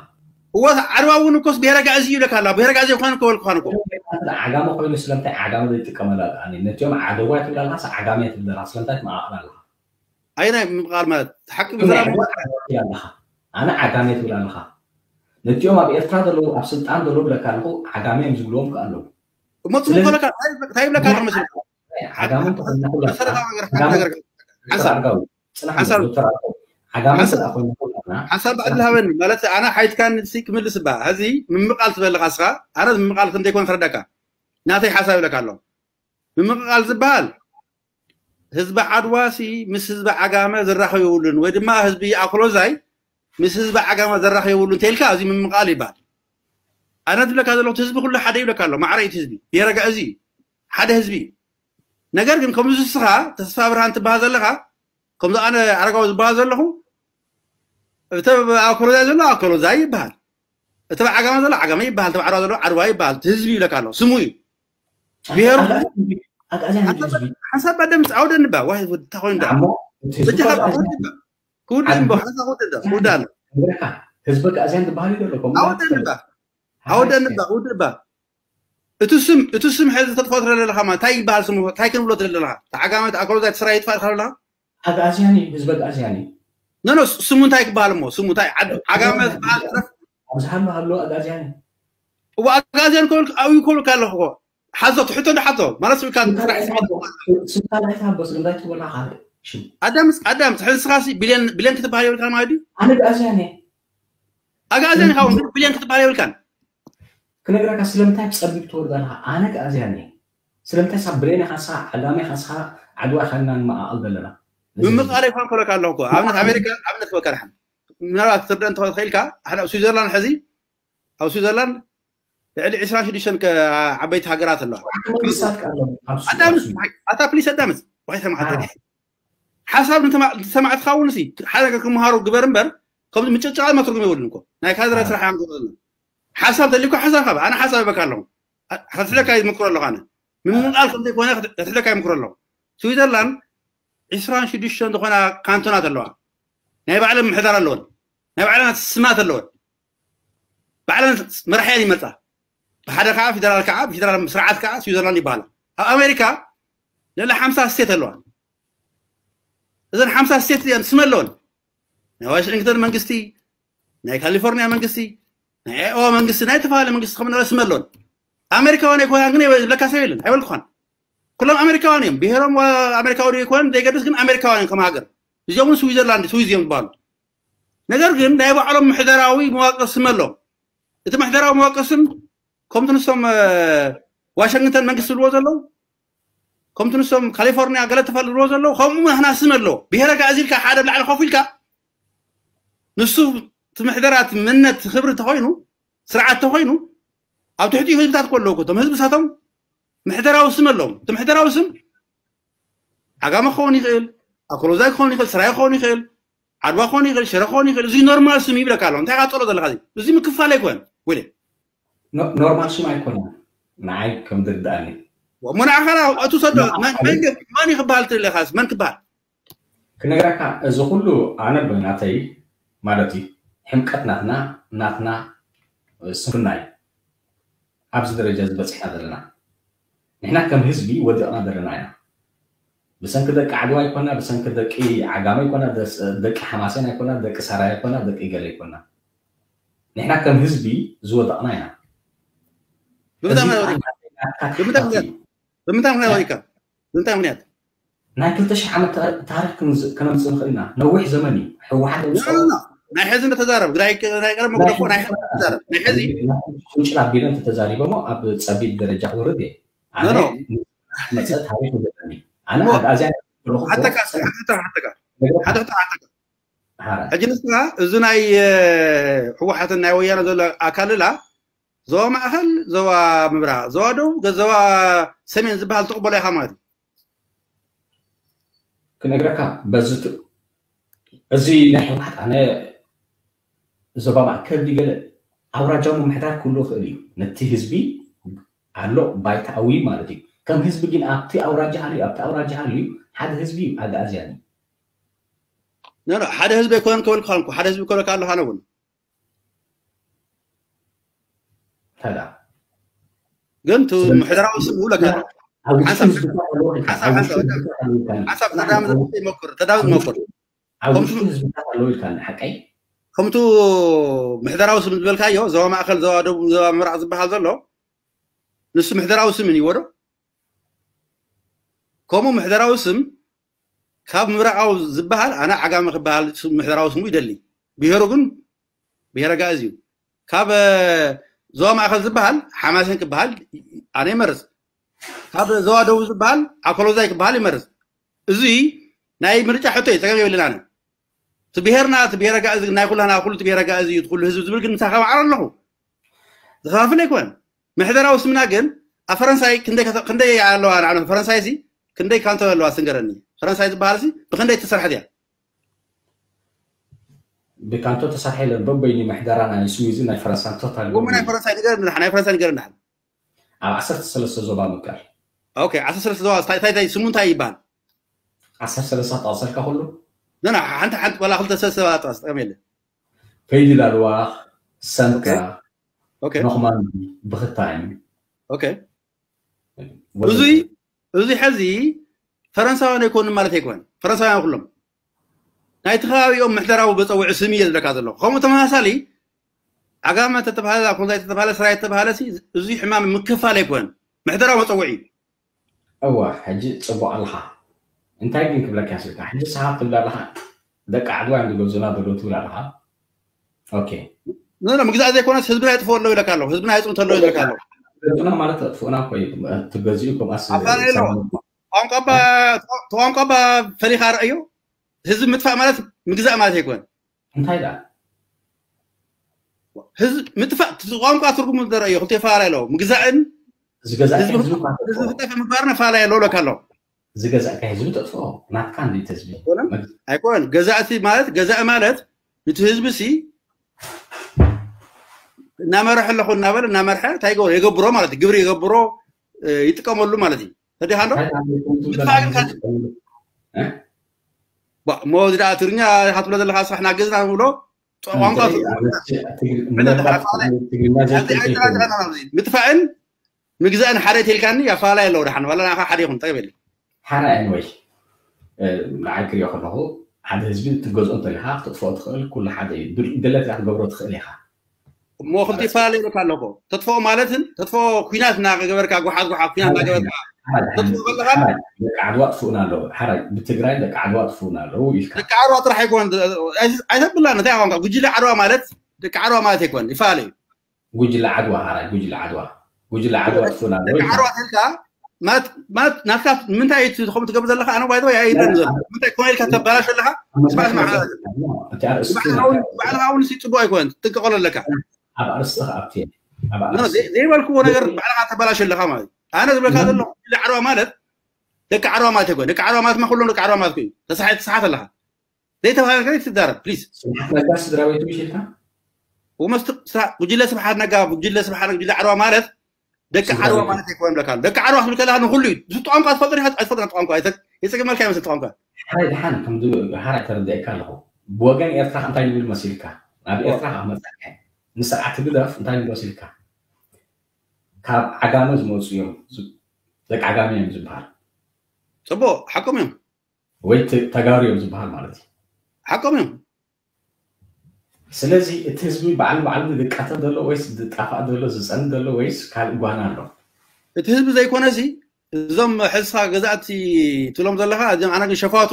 እዋ ዓድዋ እውን እኮስ ብሄረ ጋእዚ ይብለካ ኣላ። ብሄረ ጋእዚ ይኳን እኮ በልኩኻን እኮ። ዓጋመ ኮይኑ ስለምንታይ ዓጋመ ዘይጥቀመላ ከኣ ነቲኦም ዓደዋ ትብል ኣለኻ ዓጋመ ትብል ኣለኻ ስለምንታይ ትመቃቅል ኣለኻ ኣይ ናይ ምቃል ማለት ሓቂ ብዘላ ኣለኻ ኣነ ዓጋመ ትብል ኣለኻ ነቲኦም ኣብ ኤርትራ ዘለዉ ኣብ ስልጣን ዘለዉ ብለካ ኣለኹ ዓጋመ እዮም ዝብልዎም ከ ኣለዉ እሞ ጽቡቅ ከለካ እንታይ ይብለካ ኣለኹ መስለካ ዓጋመ ተኾይና ኩላትና መሰረታዊ ነገር ሓንቲ ነገር ሓንሳብ ኣርጋዊ ጽናሕ ሓንሳብ ዶክተር ኣርጋዊ ዓጋመ ስለ ኮይና ኩላትና ሓንሳብ ባዕዲ ሃበኒ ማለት ኣነ ሓይትካ ንሲ ክምልስ ባ ሕዚ ምምቃል ትበለካ እስኻ ኣነ ምምቃል ከም ዘይኮነ ክረዳካ ናተይ ሓሳብ ይብለካ ኣሎ ምምቃል ዝበሃል ህዝቢ ዓድዋ ሲ ምስ ህዝቢ ዓጋመ ዝራኸብ የብሉን ወይ ድማ ህዝቢ ኣኮሎዛይ ምስ ህዝቢ ዓጋመ ዘራኸብ የብሉን ተልካ እዚ ምምቃል ይበሃል ኣነ ዝብለካ ዘለኹ ህዝቢ ኩሉ ሓደ ይብለካ ኣሎ ማዕረ እቲ ህዝቢ የረጋ እዚ ሓደ ህዝቢ እዩ ነገር ግን ከምዚ እስኻ ተስፋ ብርሃን ትበሃል ዘለኻ ከምዚ ኣነ ኣረጋዊ ዝበሃል ዘለኹ እቲ ኣኮሎዛይ ዘሎ ኣኮሎዛይ ይበሃል እቲ ዓጋመ ዘሎ ዓጋመ ይበሃል እቲ ዓድዋ ዘሎ ዓድዋ ይበሃል እቲ ህዝቢ ይብለካ ኣሎ ስሙ እዩ ብሄሩ ሓንሳብ ኣደምፅ ኣውደ ንባ ዋይ እንታይ ኮይኑ ዳ በጃኻ ክውድእ እምቦ ሓንሳብ ክውድእ ዳ ክውድእ ኣሎ ህዝቢ ጋእዝያን ዝበሃል እዩ ዘሎ ከምኡ ኣውደ ንባ ኣውደ ንባ ክውድእ ባ እቲ ስም እቲ ስም ሕዚ ተጥፋኦ ትረለ ኣለኻ ማለት እንታይ ይበሃል ስሙ እንታይ ክንብሎ ትረለ ኣለኻ ተዓጋመ ተኣከሎ እንታይ ትስራ ይጥፋእ ትኸል ኣለኻ ኣግኣዝያን እዩ ህዝቢ ኣግኣዝያን እዩ ኖ ኖ ስሙ እንታይ ክበሃል እሞ ስሙ እንታይ ዓድ- ዓጋመ ዝበሃል ጥረፍ ኣብዚ ሃሎ ሃሎ ኣግኣዝያን እዩ እዋ ኣግኣዝያን ከብል ኣብዩ ከብልካ ኣለኹ እኮ ሓዞ ትሕቶ ዶ ሓዞ ማለት ስብካ ጥራሕ ስምካ ናይ ትሃቦ ስለምንታይ ትብላ ካልእ ሽም ኣዳምስ ኣዳምስ ሕዚ ስኻሲ ቢልዮን ቢልዮን ክትበሃል የብልካ ማለት እዩ ኣነ ኣግኣዝያን እየ ኣግኣዝያን ኢኻ እውን ግን ቢልዮን ክትበሃል የብልካን ክነግረካ ስለምንታይ ብፀቢብ ትወርድ ኣለካ ኣነ ኣግኣዝያን እየ ስለምንታይ ሳብ ብሌን ኢኻ ንስኻ ዓጋመ ኢኻ ንስኻ ዓድዋ ኢኻ ኢና ንመዓቐል ዘለና ምምቃል ይኳን ከለካ ኣለኹ እኮ ኣብነት ኣሜሪካ ኣብነት ክበካ ድሓን ምናልባት ክትርደ እንተኾን ትኽእልካ ሓደ ኣብ ስዊዘርላንድ ሕዚ ኣብ ስዊዘርላንድ ልዕሊ ዕስራን ሽዱሽተን ዓበይቲ ሃገራት ኣለዋ መንግስታት ከ ኣለዉ ኣብ ሱ- ኣዳምስ ኣታ ፕሊስ ኣዳምስ ዋይ ሰማዕት ሓሳብ ንተማ- ንሰማዕትኻ እውን ሲ ሓደ ነገር ክምሃሩ ግበር እምበር ከምዚ ምጭጭቓ መትርጉም የብሉን እኮ ናይ ካድረ ስራሕ እዮም ዝብሉ ሓሳብ ተሊኮ ሓሳብ ካብ ኣነ ሓሳብ ይበካ ኣለኹ ከትሕደካ ይምክሮ ኣለኹ ኣነ ምምቃል ከም ዘይኮነ ከትሕደካ ይምክሮ ኣለኹ ስዊዘርላንድ ዕስራን ሽዱሽተን ዝኾና ካንቶናት ኣለዋ ናይ ባዕለን ምሕዳር ኣለወን ናይ ባዕለን ስማት ኣለወን ባዕለን መራሕያን ይመርፃ ብሓደ ከዓ ፌደራል ከዓ ፌደራል ስርዓት ከዓ ስዊዘርላንድ ይበሃላ ኣብ ኣሜሪካ ልዕሊ ሓምሳ ስቴት ኣለዋ እዘን ሓምሳ ስቴት እዚኣን ስም ኣለወን ናይ ዋሽንግተን መንግስቲ ናይ ካሊፎርኒያ መንግስቲ ናይ ኦዋ መንግስቲ ናይ ተፈላለየ መንግስቲ ከም ስም ኣለወን ኣሜሪካውያን ኣይኮናን ግን ዝብለካ ሰብ የለን ኣይበልኩኻን ኩሎም ኣሜሪካውያን እዮም ብሄሮም ኣሜሪካዊ ይኮን ዘይገድስ ግን ኣሜሪካውያን እዮም ከም ሃገር እዚኦም እውን ስዊዘርላንድ ስዊዝ እዮም ዝበሃሉ ነገር ግን ናይ ባዕሎም ምሕደራዊ መዋቅር ስም ኣለዎም እቲ ምሕደራዊ መዋቅር ስም ከምቲ ንሶም ዋሽንግተን መንግስቲ ዝብልዎ ዘለዉ ከምቲ ንሶም ካሊፎርኒያ ገለ ተፈል ዝብልዎ ዘለዉ ከምኡ ናህና ስም ኣለዎ ብሄረ ጋእዚ ኢልካ ሓደ ብላዕሊ ኮፍ ኢልካ ንሱ እቲ ምሕደራት ምነት ክብሪ ተኮይኑ ስርዓት ተኮይኑ ኣብ ትሕቲኡ ህዝብታት ኮ ኣለዉ እቶም ህዝብታቶም ምሕደራዊ ስም ኣለዎም እቲ ምሕደራዊ ስም ዓጋመ ክኸውን ይኽእል ኣኮሎዛይ ክኸውን ይኽእል ስራይ ክኸውን ይኽእል ዓድዋ ክኾን ይኽእል ሽረ ክኾን ይኽእል እዚ ኖርማል ስም ይብለካ ኣሎ እንታይ ቃጠሎ ዘለካ እዚ እዚ ምክፋል ኣይኮን ወደ ኖርማል ስም ኣይኮነን ንዓይ ከም ዝርድኣኒ እሞ ንዓኻ እቲ ሰዶ መን ክበሃል ትለካ መን ክበሃል ክነግረካ እዚ ኩሉ ኣነ ብናተይ ማለት እዩ ሕምቀት ናትና ናትና ስንፍና እዩ ኣብዚ ደረጃ ዝበፅሕና ዘለና ንሕና ከም ህዝቢ ወዲቕና ዘለና ኢና ብሰንኪ ደቂ ዓድዋ ኣይኮና፣ ብሰንኪ ደቂ ዓጋመ ኣይኮና፣ ደቂ ሓማሴን ኣይኮና፣ ደቂ ሰራይ ኣይኮና፣ ደቂ ገለ ኣይኮና። ንሕና ከም ህዝቢ ዝወደቕና ኢና። ብምንታይ ምክንያት ወዲቕካ? ብምንታይ ምክንያት ወዲቕካ? ብምንታይ ምክንያት? ናይ ክልተ ሽሕ ዓመት ታሪክ ከነምፅእ ንኽእል ኢና። ነዊሕ ዘመን እዩ። ህወሓት ናይ ሕዚ እንተተዛረብ ናይ ቀደም መግደፎ ናይ ሕዚ ተዛረብ ናይ ሕዚ ቁንጭል ኣቢለ እንተተዛሪበሞ ኣብ ፀቢብ ደረጃ ክወርድ እየ። ኣነ መፀ ታሪክ ዘለኒ ኣነ ኣዚያ ሕጂ ንስኻ እዚ ናይ ህወሓትን ናይ ወያነ ዘሎ ኣካልላ ዞባ ማእኸል፣ ዞባ ምብራቕ፣ ዞባ ደቡብ፣ ዞባ ሰሜን ዝበሃል ትቕበሎ ኢኻ ማለት እዩ። ክነግረካ በዚ እዚ ናይ ህወሓት ኣነ ዞባ ማእከል ድገለ ኣውራጃዊ ምምሕዳር ክህሉ ይኽእል እዩ። ነቲ ህዝቢ ኣሎ ባይታዊ ማለት እዩ። ከም ህዝቢ ግን ኣብቲ ኣውራጃ ሃልዩ ኣብቲ ኣውራጃ ሃልዩ ሓደ ህዝቢ እዩ ኣግኣዝያን እዩ። ሓደ ህዝቢ ኣይኮነን ክበልካ ሓደ ህዝቢ ክበልካ ኣለካ ነውን ተዳ ግን ቱ ምሕደራዊ ስም ውለካ ሓሳብ ተዳምፅ ይመክር ተዳምፅ ይመክር ኣብ ውሽጡ ህዝብታት ኣለዉ ኢልካ ሓቀይ ከምቱ ምሕደራዊ ስም ዝበልካዮ ዞባ ማእከል ዞባ ደቡብ ዞባ ምብራቕ ዝበሃል ዘሎ ንሱ ምሕደራዊ ስም እዩ ወዶ ከምኡ ምሕደራዊ ስም ካብ ምብራቓዊ ዝበሃል ኣነ ዓጋመ ክበሃል ምሕደራዊ ስሙ ይደሊ ብሄሩ ግን ብሄረ ጋእዝ እዩ ካብ ዞባ ማእከል ዝበሃል ሓማሴን ክበሃል ኣነ ይመርፅ ካብ ዞባ ደቡብ ዝበሃል ኣኮሎዛይ ክበሃል ይመርፅ እዚ ናይ ምርጫ ሕቶ እዩ ፀገም የብልን ኣነ እቲ ብሄርና እቲ ብሄረ ጋእዝ ናይ ኩላና ኩሉ እቲ ብሄረ ጋእዝ እዩ ኩሉ ህዝቢ ዝብል ግን ምሳኻ ማዕረ ኣለኹ ዝኸፋፍል ኣይኮነን ምሕደራዊ ስምና ግን ኣብ ፈረንሳይ ክንደይ ኣለዋ ንዓነ ፈረንሳይ ሲ ክንደይ ካንቶ ኣለዋ ስንገረኒ ፈረንሳይ ዝበሃል ሲ ብክንደይ ተሰርሐት እያ ብካንቶ ተሰርሐ የለን በበይኒ ምሕደራ ናይ ስዊዝን ናይ ፈረንሳን ቶታል ናይ ፈረንሳይ ንገር ናይ ፈረንሳይ ንገር ንሓል ኣብ ዓሰርተ ሰለስተ ዞባ ምቃር ኦኬ ዓሰርተ ሰለስተ ዞባ እንታይ እንታይ ስሙ እንታይ ይበሃል ዓሰርተ ሰለስተ ጠቕሰልካ ኩሉ ና ሓንቲ ሓንቲ ዋላ ክልተ ሰለስተ ዞባ ጠቕስ ጠቀም የለ ፈይዲ ላልዋ ሰምካ ኖክማን ብክታኝ እዙይ እዙይ ሕዚ ፈረንሳውያን ኣይኮኑ ማለት ኣይኮን ፈረንሳውያን ኩሎም ናይቲ ከባቢኦም ምሕደራዊ መፀውዒ ስም እየ ዝብለካ ዘለኹ ከምኡ ተመሳሳሊ ዓጋመ ተተባሃለ ኣኮንዛይ ተተባሃለ ስራይ ተተባሃለ እዙይ ሕማም ምክፋል ኣይኮን ምሕደራዊ መፀውዒ እዩ እዋ ሕጂ ፅቡቅ ኣለካ እንታይ ግን ክብለካ ስልካ ሕጂ ሰሓብ ትብል ኣለካ ደቂ ዓድዋ እዮም ዝገዙና ዘለዉ ትብል ኣለካ ኦኬ ኖ ምግዛእ ዘይኮነስ ህዝብና የጥፍኦ ኣለዉ ኢለካ ኣለዉ ህዝብና የፅምቶ ኣለዉ ኢለካ ኣለዉ ገዙና ማለት ኣጥፍኡና እኮ እዩ ትገዚኡ ከምኣስ ቋንቋ ባ ፈሊኻ ረእዮ ህዝቢ ምጥፋእ ማለት ምግዛእ ማለት ኣይኮን እንታይ ዳ ህዝቢ ምጥፋእ ቋንቋ ትርጉሙ ዘረእዮ ክልተ ይፈላለ ኣለዎ ምግዛእን ዝገዛእካ ህዝቢ ዝጠፈ ምግባርና ፈላለ ኣለዎ ለካ ኣለዎ ዝገዛእካ ህዝቢ ተጥፍኦ ናትካ እንዴት ህዝቢ ኣይኮን ገዛእቲ ማለት ገዛእ ማለት ነቲ ህዝቢ ሲ እናመርሐ ኣለኹ እናበለ እናመርሐ እንታይ ይገብሮ የገብሮ ማለት እዩ ግብሪ የገብሮ ይጥቀመሉ ማለት እዩ ተዲኻ ዶ ምጥፋእ ግን እሞ እዚ ደኣ ትግርኛ ኢኻ ትብሎ ዘለኻ ስራሕ ናገዝና ንብሎ ቋንቋ ምጥፋእን ምግዛእን ሓደ ተልካኒ ኣፈላለየ ኣለዎ ደሓን ዋላ ንዓኻ ሓደ ይኹን ጠገብ የለ ሓራይ ወይ ንዓይ ክሪኦ ከለኹ ሓደ ህዝቢ ትገዝኦ እንተሊኻ ክትጥፍኦ ትኽእል ኩሉ ሓደ እዩ ድለት ክትገብሮ ትኽእል ኢኻ እሞ ክልተ ይፈላለየ ኢለካ ኣለኮ ተጥፍኦ ማለትን ተጥፍኦ ኩናት እናገበርካ ጓሓት ጓሓት ኩናት እናገበርካ ተጥፍኦ ከለኻ ደቂ ዓድዋ ጥፍኡና ኣለዉ ሓራይ ብትግራይ ደቂ ዓድዋ ጥፍኡና ኣለዉ ኢልካ ደቂ ዓድዋ ጥራሕ ኣይኮን ኣይተብላ እንታይ ቋንቋ ጉጅለ ዓድዋ ማለት ደቂ ዓድዋ ማለት ኣይኮን ይፈላለዩ ጉጅለ ዓድዋ ሓራይ ጉጅለ ዓድዋ ጉጅለ ዓድዋ ጥፍኡና ኣለዉ ደቂ ዓድዋ ተልካ ማለት ማለት ናትካ ንምንታይ እዩ ትኸም ትገብር ዘለካ ኣነ ባይዘ ኣይረን ዘሎ ምንታይ ኮነ ኢልካ ተባላሽ ኣለካ ስማዕ ስማዕ ባዕልኻ እውን ሲ ፅቡቅ ኣይኮነን ትጥቀቀሎ ኣለካ ኣብ ኣርስቲ ከኣብቲ ዘይበልክዎ ነገር ባዕልኻ ተባላሽ ኣለካ ማለት ኣነ ዝብለካ ዘሎ ዓርባ ማለት ደቂ ዓርባ ማለት ኣይኮን ደቂ ዓርባ ማለት ማ ኩሎም ደቂ ዓርባ ማለት እዩ ተሳሓት ኣለካ ዘይተባሃለ ነገር ትዛረብ ፕሊዝ ስብሓት ነጋ ስድራ ቤቱ ምሽ ኢልካ ወመስት ጉጅለ ስብሓት ነጋ ጉጅለ ስብሓት ጉጅለ ዓርባ ማለት ደቂ ዓርባ ማለት ኣይኮን ብለካ ደቂ ዓርባ ክብል ከለካ ንኩሉ እዩ እዚ ቋንቋ ትፈልጦ ዲኻ ኣይትፈልጦ ቋንቋ የፀገመልካ ይመስል ቋንቋ ሓራይ ድሓን ከም ሓራይ ተረዲእካ ኣለኹ ብወገን ኤርትራ እንታይ ንብል መሲልካ ናብ ኤርትራ ካብ መፅካ ንስርዓት ህግደፍ እንታይ ንብል መሲልካ ካብ ዓጋመ ዝመፁ እዮም ደቂ ዓጋመ እዮም ዝበሃል ጽቡቕ፣ ሓቆም እዮም። ወይ ተ- ተጋሩ እዮም ዝበሃል ማለት እዩ። ሓቆም እዮም። ስለዚ እቲ ህዝቢ ባዕሉ ባዕሉ ዝቃተል ዘሎ ወይስ ዝጣፋእ ዘሎ ዝፀንት ዘሎ ወይስ ካልእ ጓና ኣሎ? እቲ ህዝቢ ዘይኮነሲ እዞም ሕዝኻ ገዛእቲ ትብሎም ዘለኻ እዞም ኣነ ግን ሸፋቱ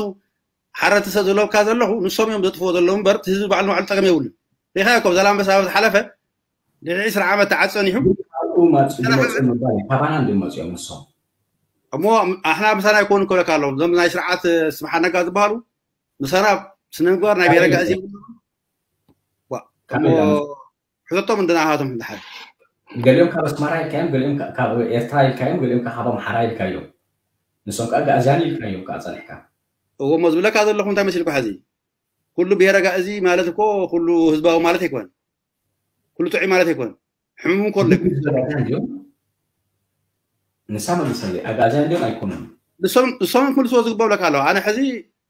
ሓረቲ ሰብ ዝብለካ ዘለኹ ንሶም እዮም ዘጥፍዎ ዘለዉ እምበር እቲ ህዝቢ ባዕሉ ንባዕሉ ጠቀም የብሉን። ሪኢኻዮ እኮ ዛላምበሳ ኣብ ዝሓለፈ ድሕሪ ዕስራ ዓመት ተዓፀኒሑ ካብኡ ማፁ ዝመፁ ምባል እዩ። ካባና እንዲም መፅኦም ንሶም። እሞ ኣሕና ምሳና ኣይኮኑ ክብለካ ኣለዎም እዞም ናይ ስርዓት ስብሓት ነጋ ዝበሃሉ ምሳና ስነ ምግባር ናይ ብሄረ ጋእዚ የብሎም። ዋ፣ ካበይ እሞ ዳመፁ? ሕተቶም እንድና ሃቶም ድሓር ገሊኦም ካብ ኣስመራ ኢልካዮም፣ ገሊኦም ካ- ካብ ኤርትራ ኢልካዮም፣ ገሊኦም ካ- ካብ ኣምሓራ ኢልካዮም። ንሶም ከዓ ጋእዝያን ኢልካዮም ከዓ ፀኒሕካ። እዎ እሞ ዝብለካ ዘለኹ እንታይ መሲልኩ ሕዚ ኩሉ ብሄረ ጋእዚ ማለት እኮ ኩሉ ህዝባዊ ማለት ኣይኮን፣ ኩሉ ጥዑይ ማለት ኣይኮን። ሕሙም ከሎ ኣይኮን። ኣጋዝያን ድዮም? ንሳ መልሰለይ፣ ኣጋዝያን ድዮም ኣይኮኑን? ንሶም ንሶም ክምልስዎ ዝግበኦ ብለካ ኣለዋ። ኣነ ሕዚ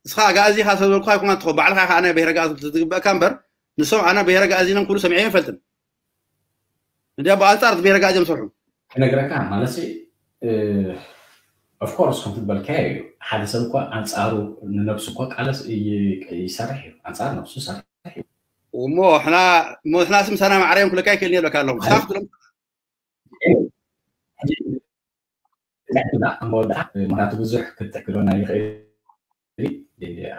እስኻ ኣጋእዚ ኢኻ ሰብ ዝበልኩኻ ኣይኮና ትኾ ባዕልኻ ኢኻ ኣነ ብሄረ ጋእዚ ትግበእካ እምበር ንሶም ኣነ ብሄረ ጋእዚ ኢሎም ክብሉ ሰሚዐ ይፈልጥን። እንዲያ ብኣንጻር እቲ ብሄረ ጋእዚ እዮም ዝሰርሑ። ክነግረካ ማለት ኦፍኮርስ ከምቲ ዝበልካዮ እዩ። ሓደ ሰብ እኳ ኣንፃሩ ንነብሱ እኳ ቃለስ ይሰርሕ እዩ፣ ኣንፃር ነብሱ ይሰርሕ እዩ። እሞ ሕና እሞ ሕና ስም ሰና ማዕረዮም ክለካ ይክእል የለካ ኣለኹም ሳፍ ትሎም መወዳእታ ምክንያቱ ብዙሕ ክትሕክሎና ይኽእል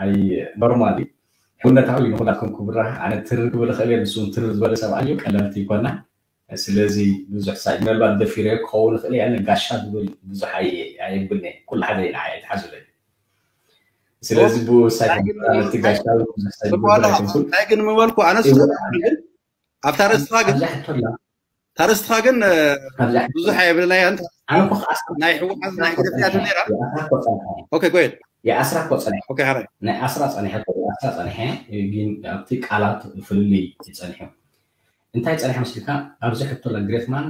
ኣይ ኖርማል እዩ። ሕውነታዊ እዩ ንኹላትኩም ክብራ ኣነ ትር ክብል እኽእል እየ ንሱ ትር ዝበለ ሰብኣይ እዩ ቀለልቲ ይኮና። ስለዚ ብዙሕ ሳይ ምናልባት ደፊረ ክኸውን እኽእል እየ ኣነ ጋሻ ዝብል ብዙሕ ኣየብልኒ ኩሉ ሓደ ኢና ኣይትሓዙለይ። ስለዚ ብሳይ ነቲ ጋሻ ብዙሕ ሳይ ዝብል ኣይኮንኩን። እንታይ ግን ምበልኩ ኣነስ ግን ኣብታ ርእስኻ ግን ታረስትኻ ግን ብዙሕ የብልናያን ናይ ህወሓት ናይ ግደፍያት ነራ ኦኬ ጎየድ የኣስራ እኮ ፀኒሐ ኦኬ ሓራይ ናይ ኣስራ ፀኒሐ እኮ የኣስራ ፀኒሐ ግን ኣብቲ ቃላት ፍልልይ ይፀኒሑ እንታይ ፀኒሐ መስልካ ኣብዚ ሕቶ ለግሬትማን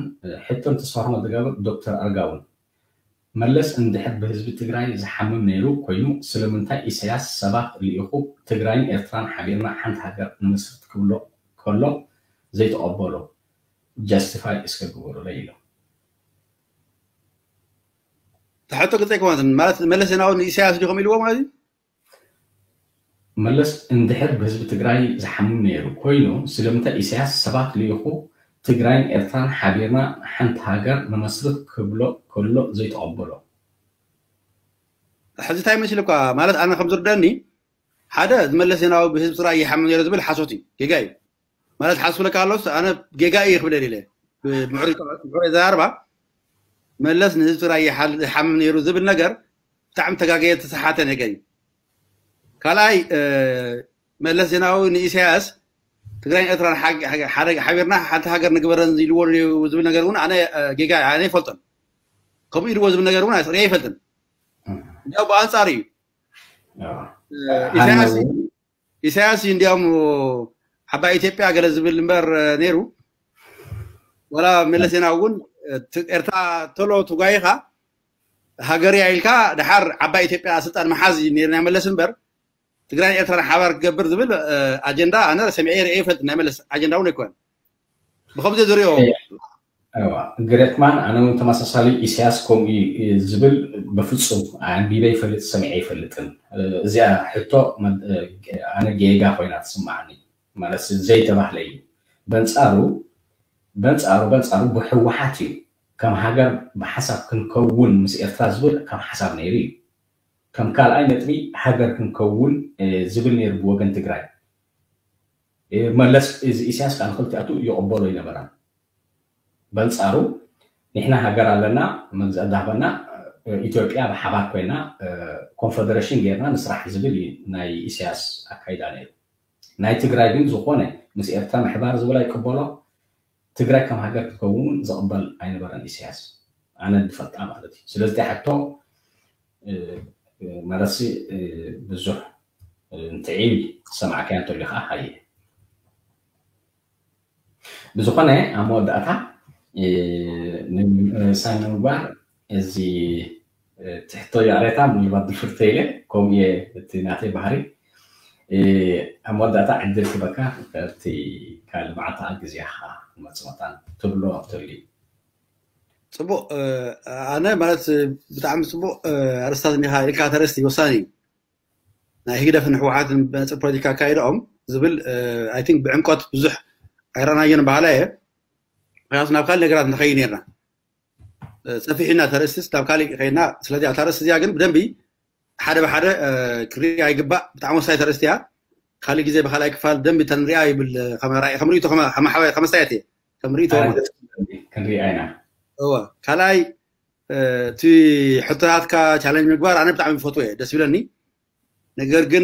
ሕቶን ተስፋ መደጋብር ዶክተር ኣርጋውን መለስ እንድሕር ብህዝቢ ትግራይ ዝሓምም ነይሩ ኮይኑ ስለምንታይ ኢሳያስ ሰባት ልኢኹ ትግራይን ኤርትራን ሓቢርና ሓንቲ ሃገር ንምስርት ክብሎ ከሎ ዘይተቐበሎ ጃስቲፋይ እስከ ግበሩለይ ኢሎም። ተሕቶ ግልፂ ኣይኮነትን ማለት መለስ ዜናዊ ንኢሳያስ ዲኹም ኢልዎ ማለት እዩ? መለስ እንድሕር ብህዝቢ ትግራይ ዝሓምም ነይሩ ኮይኑ ስለምንታይ ኢሳያስ ሰባት ልኢኹ ትግራይን ኤርትራን ሓቢርና ሓንቲ ሃገር ንመስርት ክብሎ ከሎ ዘይተቐበሎ። ሕዚ እንታይ መሲልኳ ማለት ኣነ ከም ዝርደኒ ሓደ ዝመለስ ዜናዊ ብህዝቢ ትግራይ ይሓምም ነይሩ ዝብል ሓሶት እዩ፣ ጌጋ እዩ። ማለት ሓስብለካ ኣሎስ ኣነ ጌጋ እዩ ክብል ኢለ ምዕሩይ ዘራርባ መለስ ንህዝቢ ትግራይ ይሓምም ነይሩ ዝብል ነገር ብጣዕሚ ተጋገየ ተሰሓተ ነገር እዩ። ካልኣይ መለስ ዜናዊ ንኢሳያስ ትግራይን ኤርትራን ሓቢርና ሓንቲ ሃገር ንግበረን ኢልዎ ዝብል ነገር እውን ኣነ ጌጋ ኣነ ይፈልጦን ከምኡ ኢልዎ ዝብል ነገር እውን ሪአ ይፈልጥን። እንዲያው ብኣንፃር እዩ ኢሳያስ ኢሳያስ እንዲያውም ዓባይ ኢትዮጵያ ገለ ዝብል እምበር ነይሩ። ወላ መለስ ዜናዊ እውን ኤርትራ ተሎ ትጓይኻ ሃገርያ ኢልካ ድሓር ዓባይ ኢትዮጵያ ስልጣን መሓዝ እዩ ነይሩ ናይ መለስ እምበር ትግራይን ኤርትራን ሓባር ክገብር ዝብል ኣጀንዳ ኣነ ሰሚዐ ርእየ ይፈልጥ ናይ መለስ ኣጀንዳ እውን ኣይኮነን። ብከምዚ ዝሪኦ ግሬትማን ኣነ እውን ተመሳሳሊ ኢሳያስ ከምኡ ዝብል በፍፁም ኣንቢበ ይፈልጥ ሰሚዐ ይፈልጥን። እዚኣ ሕቶ ኣነ ጌጋ ኮይና ትስማዓኒ ማለት ዘይተባህለ እዩ። በንፃሩ በንፃሩ በንፃሩ ብህወሓት እዩ ከም ሃገር ብሓሳብ ክንከውን ምስ ኤርትራ ዝብል ከም ሓሳብ ነይሩ እዩ። ከም ካልኣይ ነጥቢ ሃገር ክንከውን ዝብል ነይሩ ብወገን ትግራይ። መለስ እዚ ኢሳያስ ከዓ ንክልቲኣቱ ይቕበሎ ኣይነበረን። በንፃሩ ንሕና ሃገር ኣለና መግዛእ ዳህበና ኢትዮጵያ ብሓባር ኮይና ኮንፈደሬሽን ጌርና ንስራሕ ዝብል እዩ ናይ ኢሳያስ ኣካይዳ ነይሩ። ናይ ትግራይ ግን ዝኾነ ምስ ኤርትራ ምሕባር ዝብል ኣይቅበሎ ትግራይ ከም ሃገር ክትከውን እውን ዝቕበል ኣይነበረን ኢሳያስ ኣነ ዝፈልጣ ማለት እዩ። ስለዚ ሕቶ መለሲ ብዙሕ እንትዒብ ዝሰማዕካዮ እንተልዩ ከዓ ሃየ። ብዝኾነ ኣብ መወዳእታ ሳይ ንምግባር እዚ ትሕቶ ይቕሬታ ምናልባት ድፍርተ ኢለ ከምኡ እየ እቲ ናተይ ባህሪ ኣብ መወዳእታ ዕድል ክበካ እቲ ካልእ መዓልቲ ግዜኻ መፅመታን ትብሎ ተልዩ ጽቡቕ። ኣነ ማለት ብጣዕሚ ጽቡቕ ኣርስታት እንዲኻ ኢልካ፣ ተረስቲ ወሳኒ እዩ። ናይ ህግደፍን ህወሓትን ብመንፅር ፖለቲካ ኣካይዳኦም ዝብል ኣይን ብዕምቆት ብዙሕ ኣይረኣናዮን በሃላ እየ። ምክንያቱ ናብ ካልእ ነገራት ንኸይድ ነርና፣ ሰፊሕና ተርእስትስ ናብ ካልእ ከይድና። ስለዚ ኣብታ ርእስቲ እዚኣ ግን ብደንቢ ሓደ ብሓደ ክርኣ ይግባእ። ብጣዕሚ ወሳኝ ተርእስቲ እያ። ካልእ ግዜ ብካልኣይ ክፋል ደንቢ ተንሪኣ ይብል። ከም ርእይቶ ከመ ኣስተያየት እየ፣ ከም ርእይቶ ማለት። ክንሪኣ ኢና። እወ፣ ካልኣይ እቲ ሕቶታትካ ቻለንጅ ምግባር ኣነ ብጣዕሚ ይፈትዎ እየ፣ ደስ ይብለኒ። ነገር ግን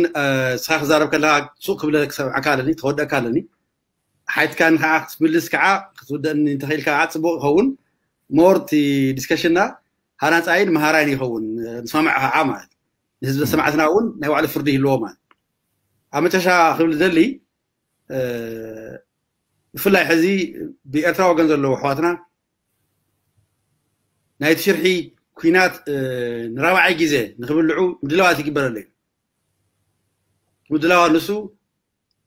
ንስኻ ክዛረብ ከለካ ሱቕ ክብለ ክሰምዓካ ኣለኒ፣ ክወደካ ኣለኒ። ሓይትካን ከዓ ክትምልስ ከዓ ክትውደእኒ እንተኽኢልካ ከዓ ፅቡቕ ይኸውን። ሞር እቲ ዲስከሽንና ሃናፃይን መሃራይን ይኸውን። ንሰማዕ ከዓ ማለት ንህዝቢ ሰማዕትና እውን ናይ ባዕሉ ፍርዲ ይህልዎ ማለት። ኣብ መጨረሻ ክብል ዝደሊ ብፍላይ ሕዚ ብኤርትራ ወገን ዘለዉ ኣሕዋትና ናይቲ ሽርሒ ኲናት ንራብዓይ ግዜ ንክብልዑ ምድላዋት ይግበረሉ እዩ። ምድላዋ ንሱ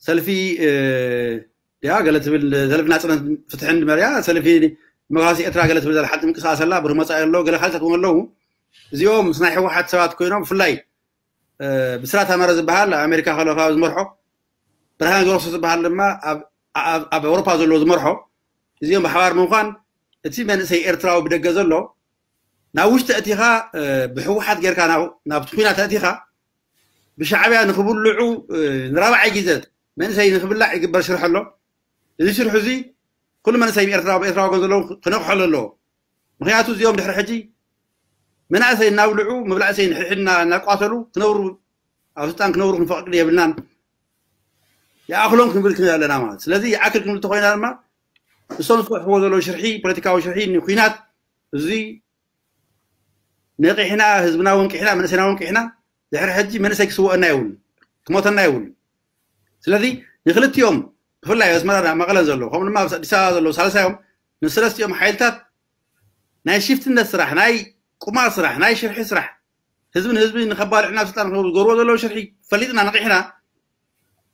ሰልፊ ድያ ገለ ትብል፣ ሰልፊ ናፅነት ፍትሕን መርያ ሰልፊ ዲሞክራሲ ኤርትራ ገለ ትብል ዘላ ሓንቲ ምንቅስቃስ ኣላ። ብርመፃ ኣሎ ገለ ካልታት እውን ኣለዉ። እዚኦም ምስ ናይ ህወሓት ሰባት ኮይኖም ብፍላይ ብስራት ኣመረ ዝበሃል ኣብ ኣሜሪካ ከሎ ካብ ዝመርሖ ብርሃን ገብረክርስቶስ ዝበሃል ድማ ኣብ ኣውሮፓ ዘለዎ ዝመርሖ እዚኦም ብሓባር ምኳን እቲ መንእሰይ ኤርትራዊ ብደገ ዘሎ ናብ ውሽጢ ኣእቲኻ ብህወሓት ጌርካ ናብቲ ኩናት ኣእቲኻ ብሻዕብያ ንክብልዑ ንራብዓይ ግዜ መንእሰይ ንክብላዕ ይግበር ሽርሒ ኣሎ። እዚ ሽርሒ እዚ ኩሉ መንእሰይ ኤርትራ ኤርትራ ወገን ዘለዉ ክነቅሖሉ ኣለዎ። ምክንያቱ እዚኦም ድሕሪ ሕጂ መናእሰይ እናብልዑ መብላእሰይ ንሕድሕድና እናቋተሉ ክነብሩ ኣብ ስልጣን ክነብሩ ክንፈቅድ የብልናን። ይኣክሎም ክንብል ክንብል ኣለና ማለት። ስለዚ ይኣክል ክንብል ተኮይና ድማ እሶም ዝፈትሕዎ ዘለዉ ሽርሒ ፖለቲካዊ ሽርሒ ንኩናት እዚ ነቂሕና ህዝብና ወንቂሕና መንእሰይና ወንቂሕና ድሕሪ ሕጂ መንእሰይ ክስወአና የብሉ ክሞተና የብሉ። ስለዚ ንክልቲኦም ብፍላይ ኣስመራ መቐለን ዘለዉ ከምኡ ድማ ኣብ ኣዲስ ኣበባ ዘለዉ ሳልሳዮም ንሰለስቲኦም ሓይልታት ናይ ሽፍትነት ስራሕ ናይ ቁማር ስራሕ ናይ ሽርሒ ስራሕ ህዝቢ ንህዝቢ ንከባልዑና ስልጣን ዝገብርዎ ዘለዉ ሽርሒ ፈሊጥና ነቂሕና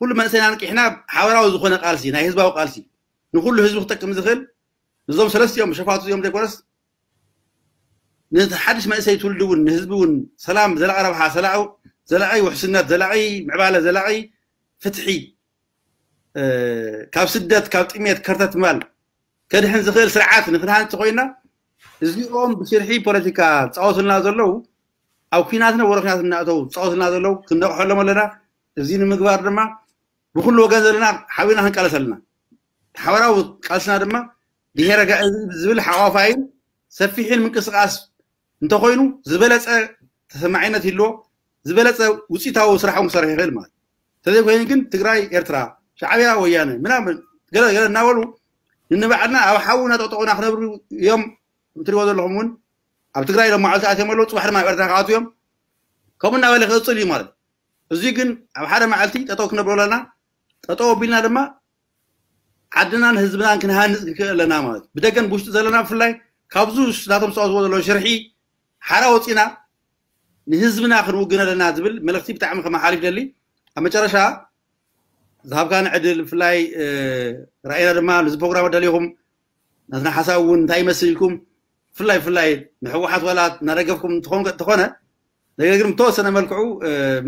ኩሉ መንእሰይና ነቂሕና ሓበራዊ ዝኾነ ቃልሲ ናይ ህዝባዊ ቃልሲ ንኩሉ ህዝቢ ክጠቅም ዝኽእል ንዞም ሰለስቲኦም ሸፋቱ እዚኦም ዘይኮነስ ነቲ ሓድሽ መንእሰይ ትውልዲ እውን ንህዝቢ እውን ሰላም ዘላቂ ረብሓ ዘላቂ ውሕስነት ዘላቂ ምዕባለ ዘላቂ ፍትሒ ካብ ስደት ካብ ጥሜት ከርተት ምባል ከድሕን ዝኽእል ስርዓት ንክንሃንፅ ኮይና እዚኦም ብሽርሒ ፖለቲካ ዝፃወቱልና ዘለዉ ኣብ ኩናት ነበረ ኩናት እናእተው ዝፃወቱልና ዘለዉ ክንነቕሐሎም ኣለና። እዚ ንምግባር ድማ ብኩሉ ወገን ዘለና ሓቢርና ክንቃለስ ኣለና። ሓበራዊ ቃልስና ድማ ድሄረ ጋእዚ ዝብል ሓቋፋይን ሰፊሕን ምንቅስቃስ እንተኮይኑ ዝበለፀ ተሰማዒነት ይህልዎ፣ ዝበለፀ ውፅኢታዊ ስራሕ እውን ክሰርሕ ይኽእል ማለት። እንተዘይኮይኑ ግን ትግራይ ኤርትራ ሻዕብያ ወያነ ምናምን ገለ ገለ እናበሉ ንንባዕልና ኣብ ሓዊ እናጠጠቑና ክነብሩ እዮም። ትሪዎ ዘለኹም እውን ኣብ ትግራይ ሎም መዓልቲ ኣትዮም ኣለዉ፣ ፅባሕ ድማ ኣብ ኤርትራ ክኣትዉ እዮም። ከምኡ እናበለ ክቕፅል እዩ ማለት። እዚ ግን ኣብ ሓደ መዓልቲ ጠጠው ክነብሎ ኣለና። ጠጠው ኣቢልና ድማ ዓድናን ህዝብናን ክንሃንፅ ክንክእል ኣለና ማለት ብደገን ብውሽጢ ዘለና ብፍላይ ካብዚ ናቶም ዝፃወትዎ ዘለዉ ሽርሒ ሓራ ወፂና ንህዝብና ክንውግን ኣለና ዝብል መልእክቲ ብጣዕሚ ከመሓሊፍ ደሊ። ኣብ መጨረሻ ዝሃብካኒ ዕድል ብፍላይ ራእይና ድማ ነዚ ፕሮግራም ኣዳሊኹም ናትና ሓሳብ እውን እንታይ ይመስል ኢልኩም ብፍላይ ብፍላይ ንሕወሓት ዋላ እናደገፍኩም እንተኾነ ነገር ግን ብተወሰነ መልክዑ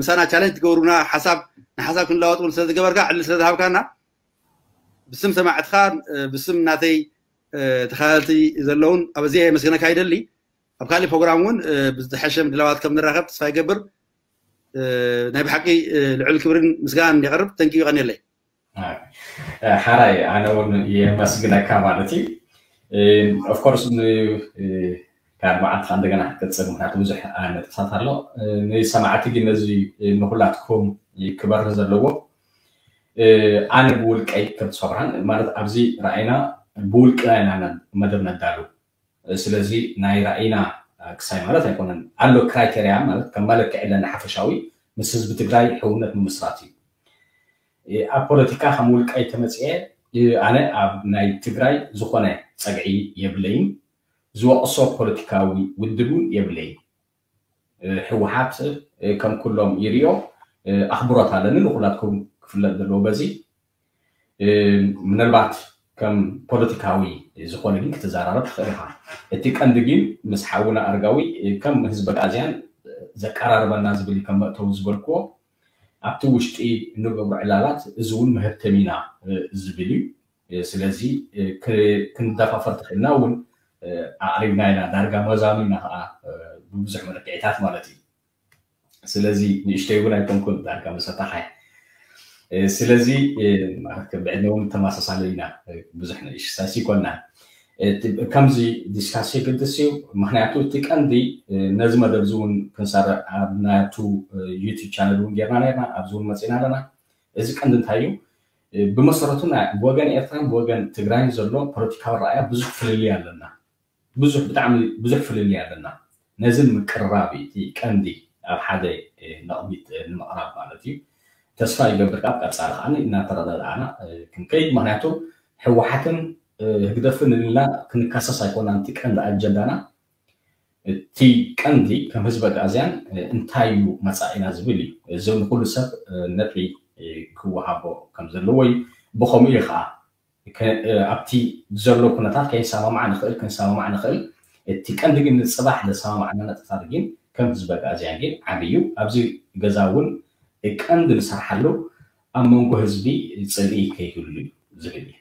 ምሳና ቻለንጅ ትገብሩና ሓሳብ ንሓሳብ ክንለዋወጥ እውን ስለዝገበርካ ዕድል ስለዝሃብካና ብስም ሰማዕትኻ ብስም ናተይ ተኻታተልቲ ዘለውን ኣበዚኣ የመስግነካ ይደሊ። ኣብ ካሊእ ፕሮግራም እውን ብዝተሐሸ ምድላዋት ከም ንራኸብ ተስፋ ይገብር። ናይ ብሓቂ ልዑል ክብርን ምስጋናን የቕርብ። ተንኪዩ ቀኒለይ። ሓራይ ኣነ እውን የመስግነካ ማለት እዩ። ኦፍኮርስ ካልእ መዓልቲ ከዓ እንደገና ክትቅፅል ምክንያቱ ብዙሕ ነጥብታት ኣሎ። ንሰማዕቲ ግን ነዚ ንኩላትኩም ክበርህ ዘለዎ ኣነ ብውልቀይ ከም ተስፋ ብርሃን ማለት ኣብዚ ረኣይና ብውልቅና ኢና መደብ ነዳሉ። ስለዚ ናይ ራእይና ክሳይ ማለት ኣይኮነን ኣሎ ክራይቴርያ ማለት ከም መለክዒ ኣለና ሓፈሻዊ ምስ ህዝቢ ትግራይ ሕውነት ምምስራት እዩ። ኣብ ፖለቲካ ከም ውልቀይ ተመፅኤ ኣነ ኣብ ናይ ትግራይ ዝኾነ ፀግዒ የብለይን። ዝወቕሶ ፖለቲካዊ ውድብ እውን የብለይን። ህወሓት ከም ኩሎም ይርዮ ኣኽብሮት ኣለኒ ንኩላትኩም ክፍለጥ ዘለዎ በዚ ምናልባት ከም ፖለቲካዊ ዝኾነ ግን ክትዘራረብ ትኽእል ኢኻ። እቲ ቀንዲ ግን ምስ ሓውና ኣርጋዊ ከም ህዝቢ ኣግኣዝያን ዘቀራርበና ዝብል እዩ፣ ከም መእተዊ ዝበልክዎ ኣብቲ ውሽጢ እንገብሮ ዕላላት እዚ እውን መሀብተሚና ዝብል እዩ። ስለዚ ክንደፋፈር ተኽእልና እውን ኣቕሪብና ኢና፣ ዳርጋ መዛኑ ኢና ከዓ ብብዙሕ መለክዒታት ማለት እዩ። ስለዚ ንእሽተይ እውን ኣይኮንኩን ዳርጋ መሰታኻይ። ስለዚ ብዕድመ እውን ተመሳሳሊ ኢና፣ ብዙሕ ንእሽሳስ ይኮና። ከምዚ ዲስካስ የገድስ እዩ። ምክንያቱ እቲ ቀንዲ ነዚ መደብ እዚ እውን ክንሰርዕ ኣብ ናቱ ዩቱብ ቻነል እውን ጌርና ነርና፣ ኣብዚ እውን መፂና ኣለና። እዚ ቀንዲ እንታይ እዩ? ብመሰረቱ ብወገን ኤርትራን ብወገን ትግራይን ዘሎ ፖለቲካዊ ረኣያ ብዙሕ ፍልልይ ኣለና። ብዙሕ፣ ብጣዕሚ ብዙሕ ፍልልይ ኣለና። ነዚ ንምቅርራብ እዩ እቲ ቀንዲ ኣብ ሓደ ነቕቢት ንምቕራብ ማለት እዩ። ተስፋ ይገብር ካብ ቀፃሊ ከዓ እናተረዳዳእና ክንከይድ። ምክንያቱ ህወሓትን ህግደፍን ኢልና ክንካሰስ ኣይኮናን እቲ ቀንዲ ኣጀንዳና። እቲ ቀንዲ ከም ህዝቢ ኣግኣዝያን እንታይ እዩ መፃኢና ዝብል እዩ። እዚ ንኩሉ ሰብ ነጥቢ ክወሃቦ ከም ዘለዎ እዩ። ብኸምኡ እዩ ከዓ ኣብቲ ዘሎ ኩነታት ከይሰማማዕ ንኽእል፣ ክንሰማማዕ ንኽእል። እቲ ቀንዲ ግን ንፅባሕ ዘሰማማዕና ነጥብታት ግን ከም ህዝቢ ኣግኣዝያን ግን ዓብዪ እዩ። ኣብዚ ገዛ እውን ቀንዲ ንሰርሓሉ ኣብ መንጎ ህዝቢ ፅልኢ ከይህሉ እዩ ዝብል እዩ።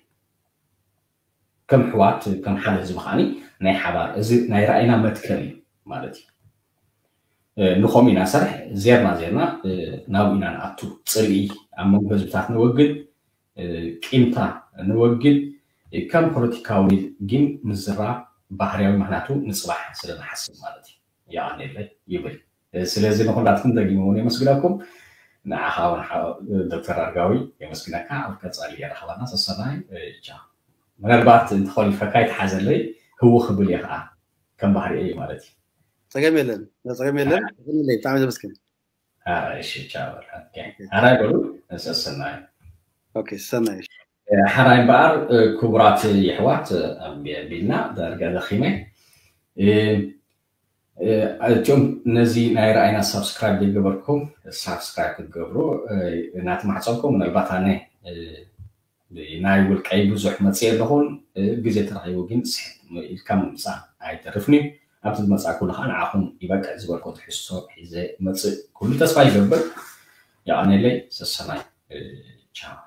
ከም ኣሕዋት ከም ሓደ ህዝቢ ከዓኒ ናይ ሓባር እዚ ናይ ራእይና መትከል እዩ ማለት እዩ። ንኸምኡ ኢና ሰርሕ ዜርና ዜርና ናብኡ ኢና ንኣቱ። ፅልኢ ኣብ መንጎ ህዝብታት ነወግድ፣ ቂምታ ነወግድ፣ ከም ፖለቲካዊ ግን ምዝራብ ባህርያዊ፣ ምክንያቱ ንፅባሕ ስለ ንሓስብ ማለት እዩ። የቐንየለይ ይብል። ስለዚ ንኹላትኩም ደጊመ እውን የመስግነኩም። ንዓኻ እውን ዶክተር ኣርጋዊ የመስግነካ። ኣብ ቀፃሊ የራኸባና። ሰሰናይ። ቻው። ምናልባት እንተኾሊፈካ ይተሓዘለይ፣ ህው ክብል እየ ከዓ ከም ባህሪ እዩ ማለት እዩ። ፀገም የለን፣ ፀገም የለን። ብጣዕሚ ዘመስግን። እሺ፣ ቻው። ሓራይ በሉ። ሰሰናይ። ኦኬ፣ ሰናይ። ሓራይ እምበኣር ክቡራት የሕዋት፣ ኣቢልና ዳርጋ ደኺመ። እቶም ነዚ ናይ ረኣይና ሳብስክራይብ ዘይገበርኩም ሳብስክራይብ ክትገብሩ እናተማሕፀንኩም፣ ምናልባት ኣነ ናይ ውልቀይ ብዙሕ መፅእ ኣለኹን፣ ግዜ ተረኺቡ ግን ስሕት ኢልካ ምምፃእ ኣይተርፍን እዩ። ኣብቲ ዝመፃእ ኩሉ ከዓ ንዓኹም ይበቅዕ ዝበልኮ ትሕዝቶ ሒዘ መፅእ ኩሉ ተስፋ ይገብር። የቐንየለይ። ሰሰናይ። ቻው።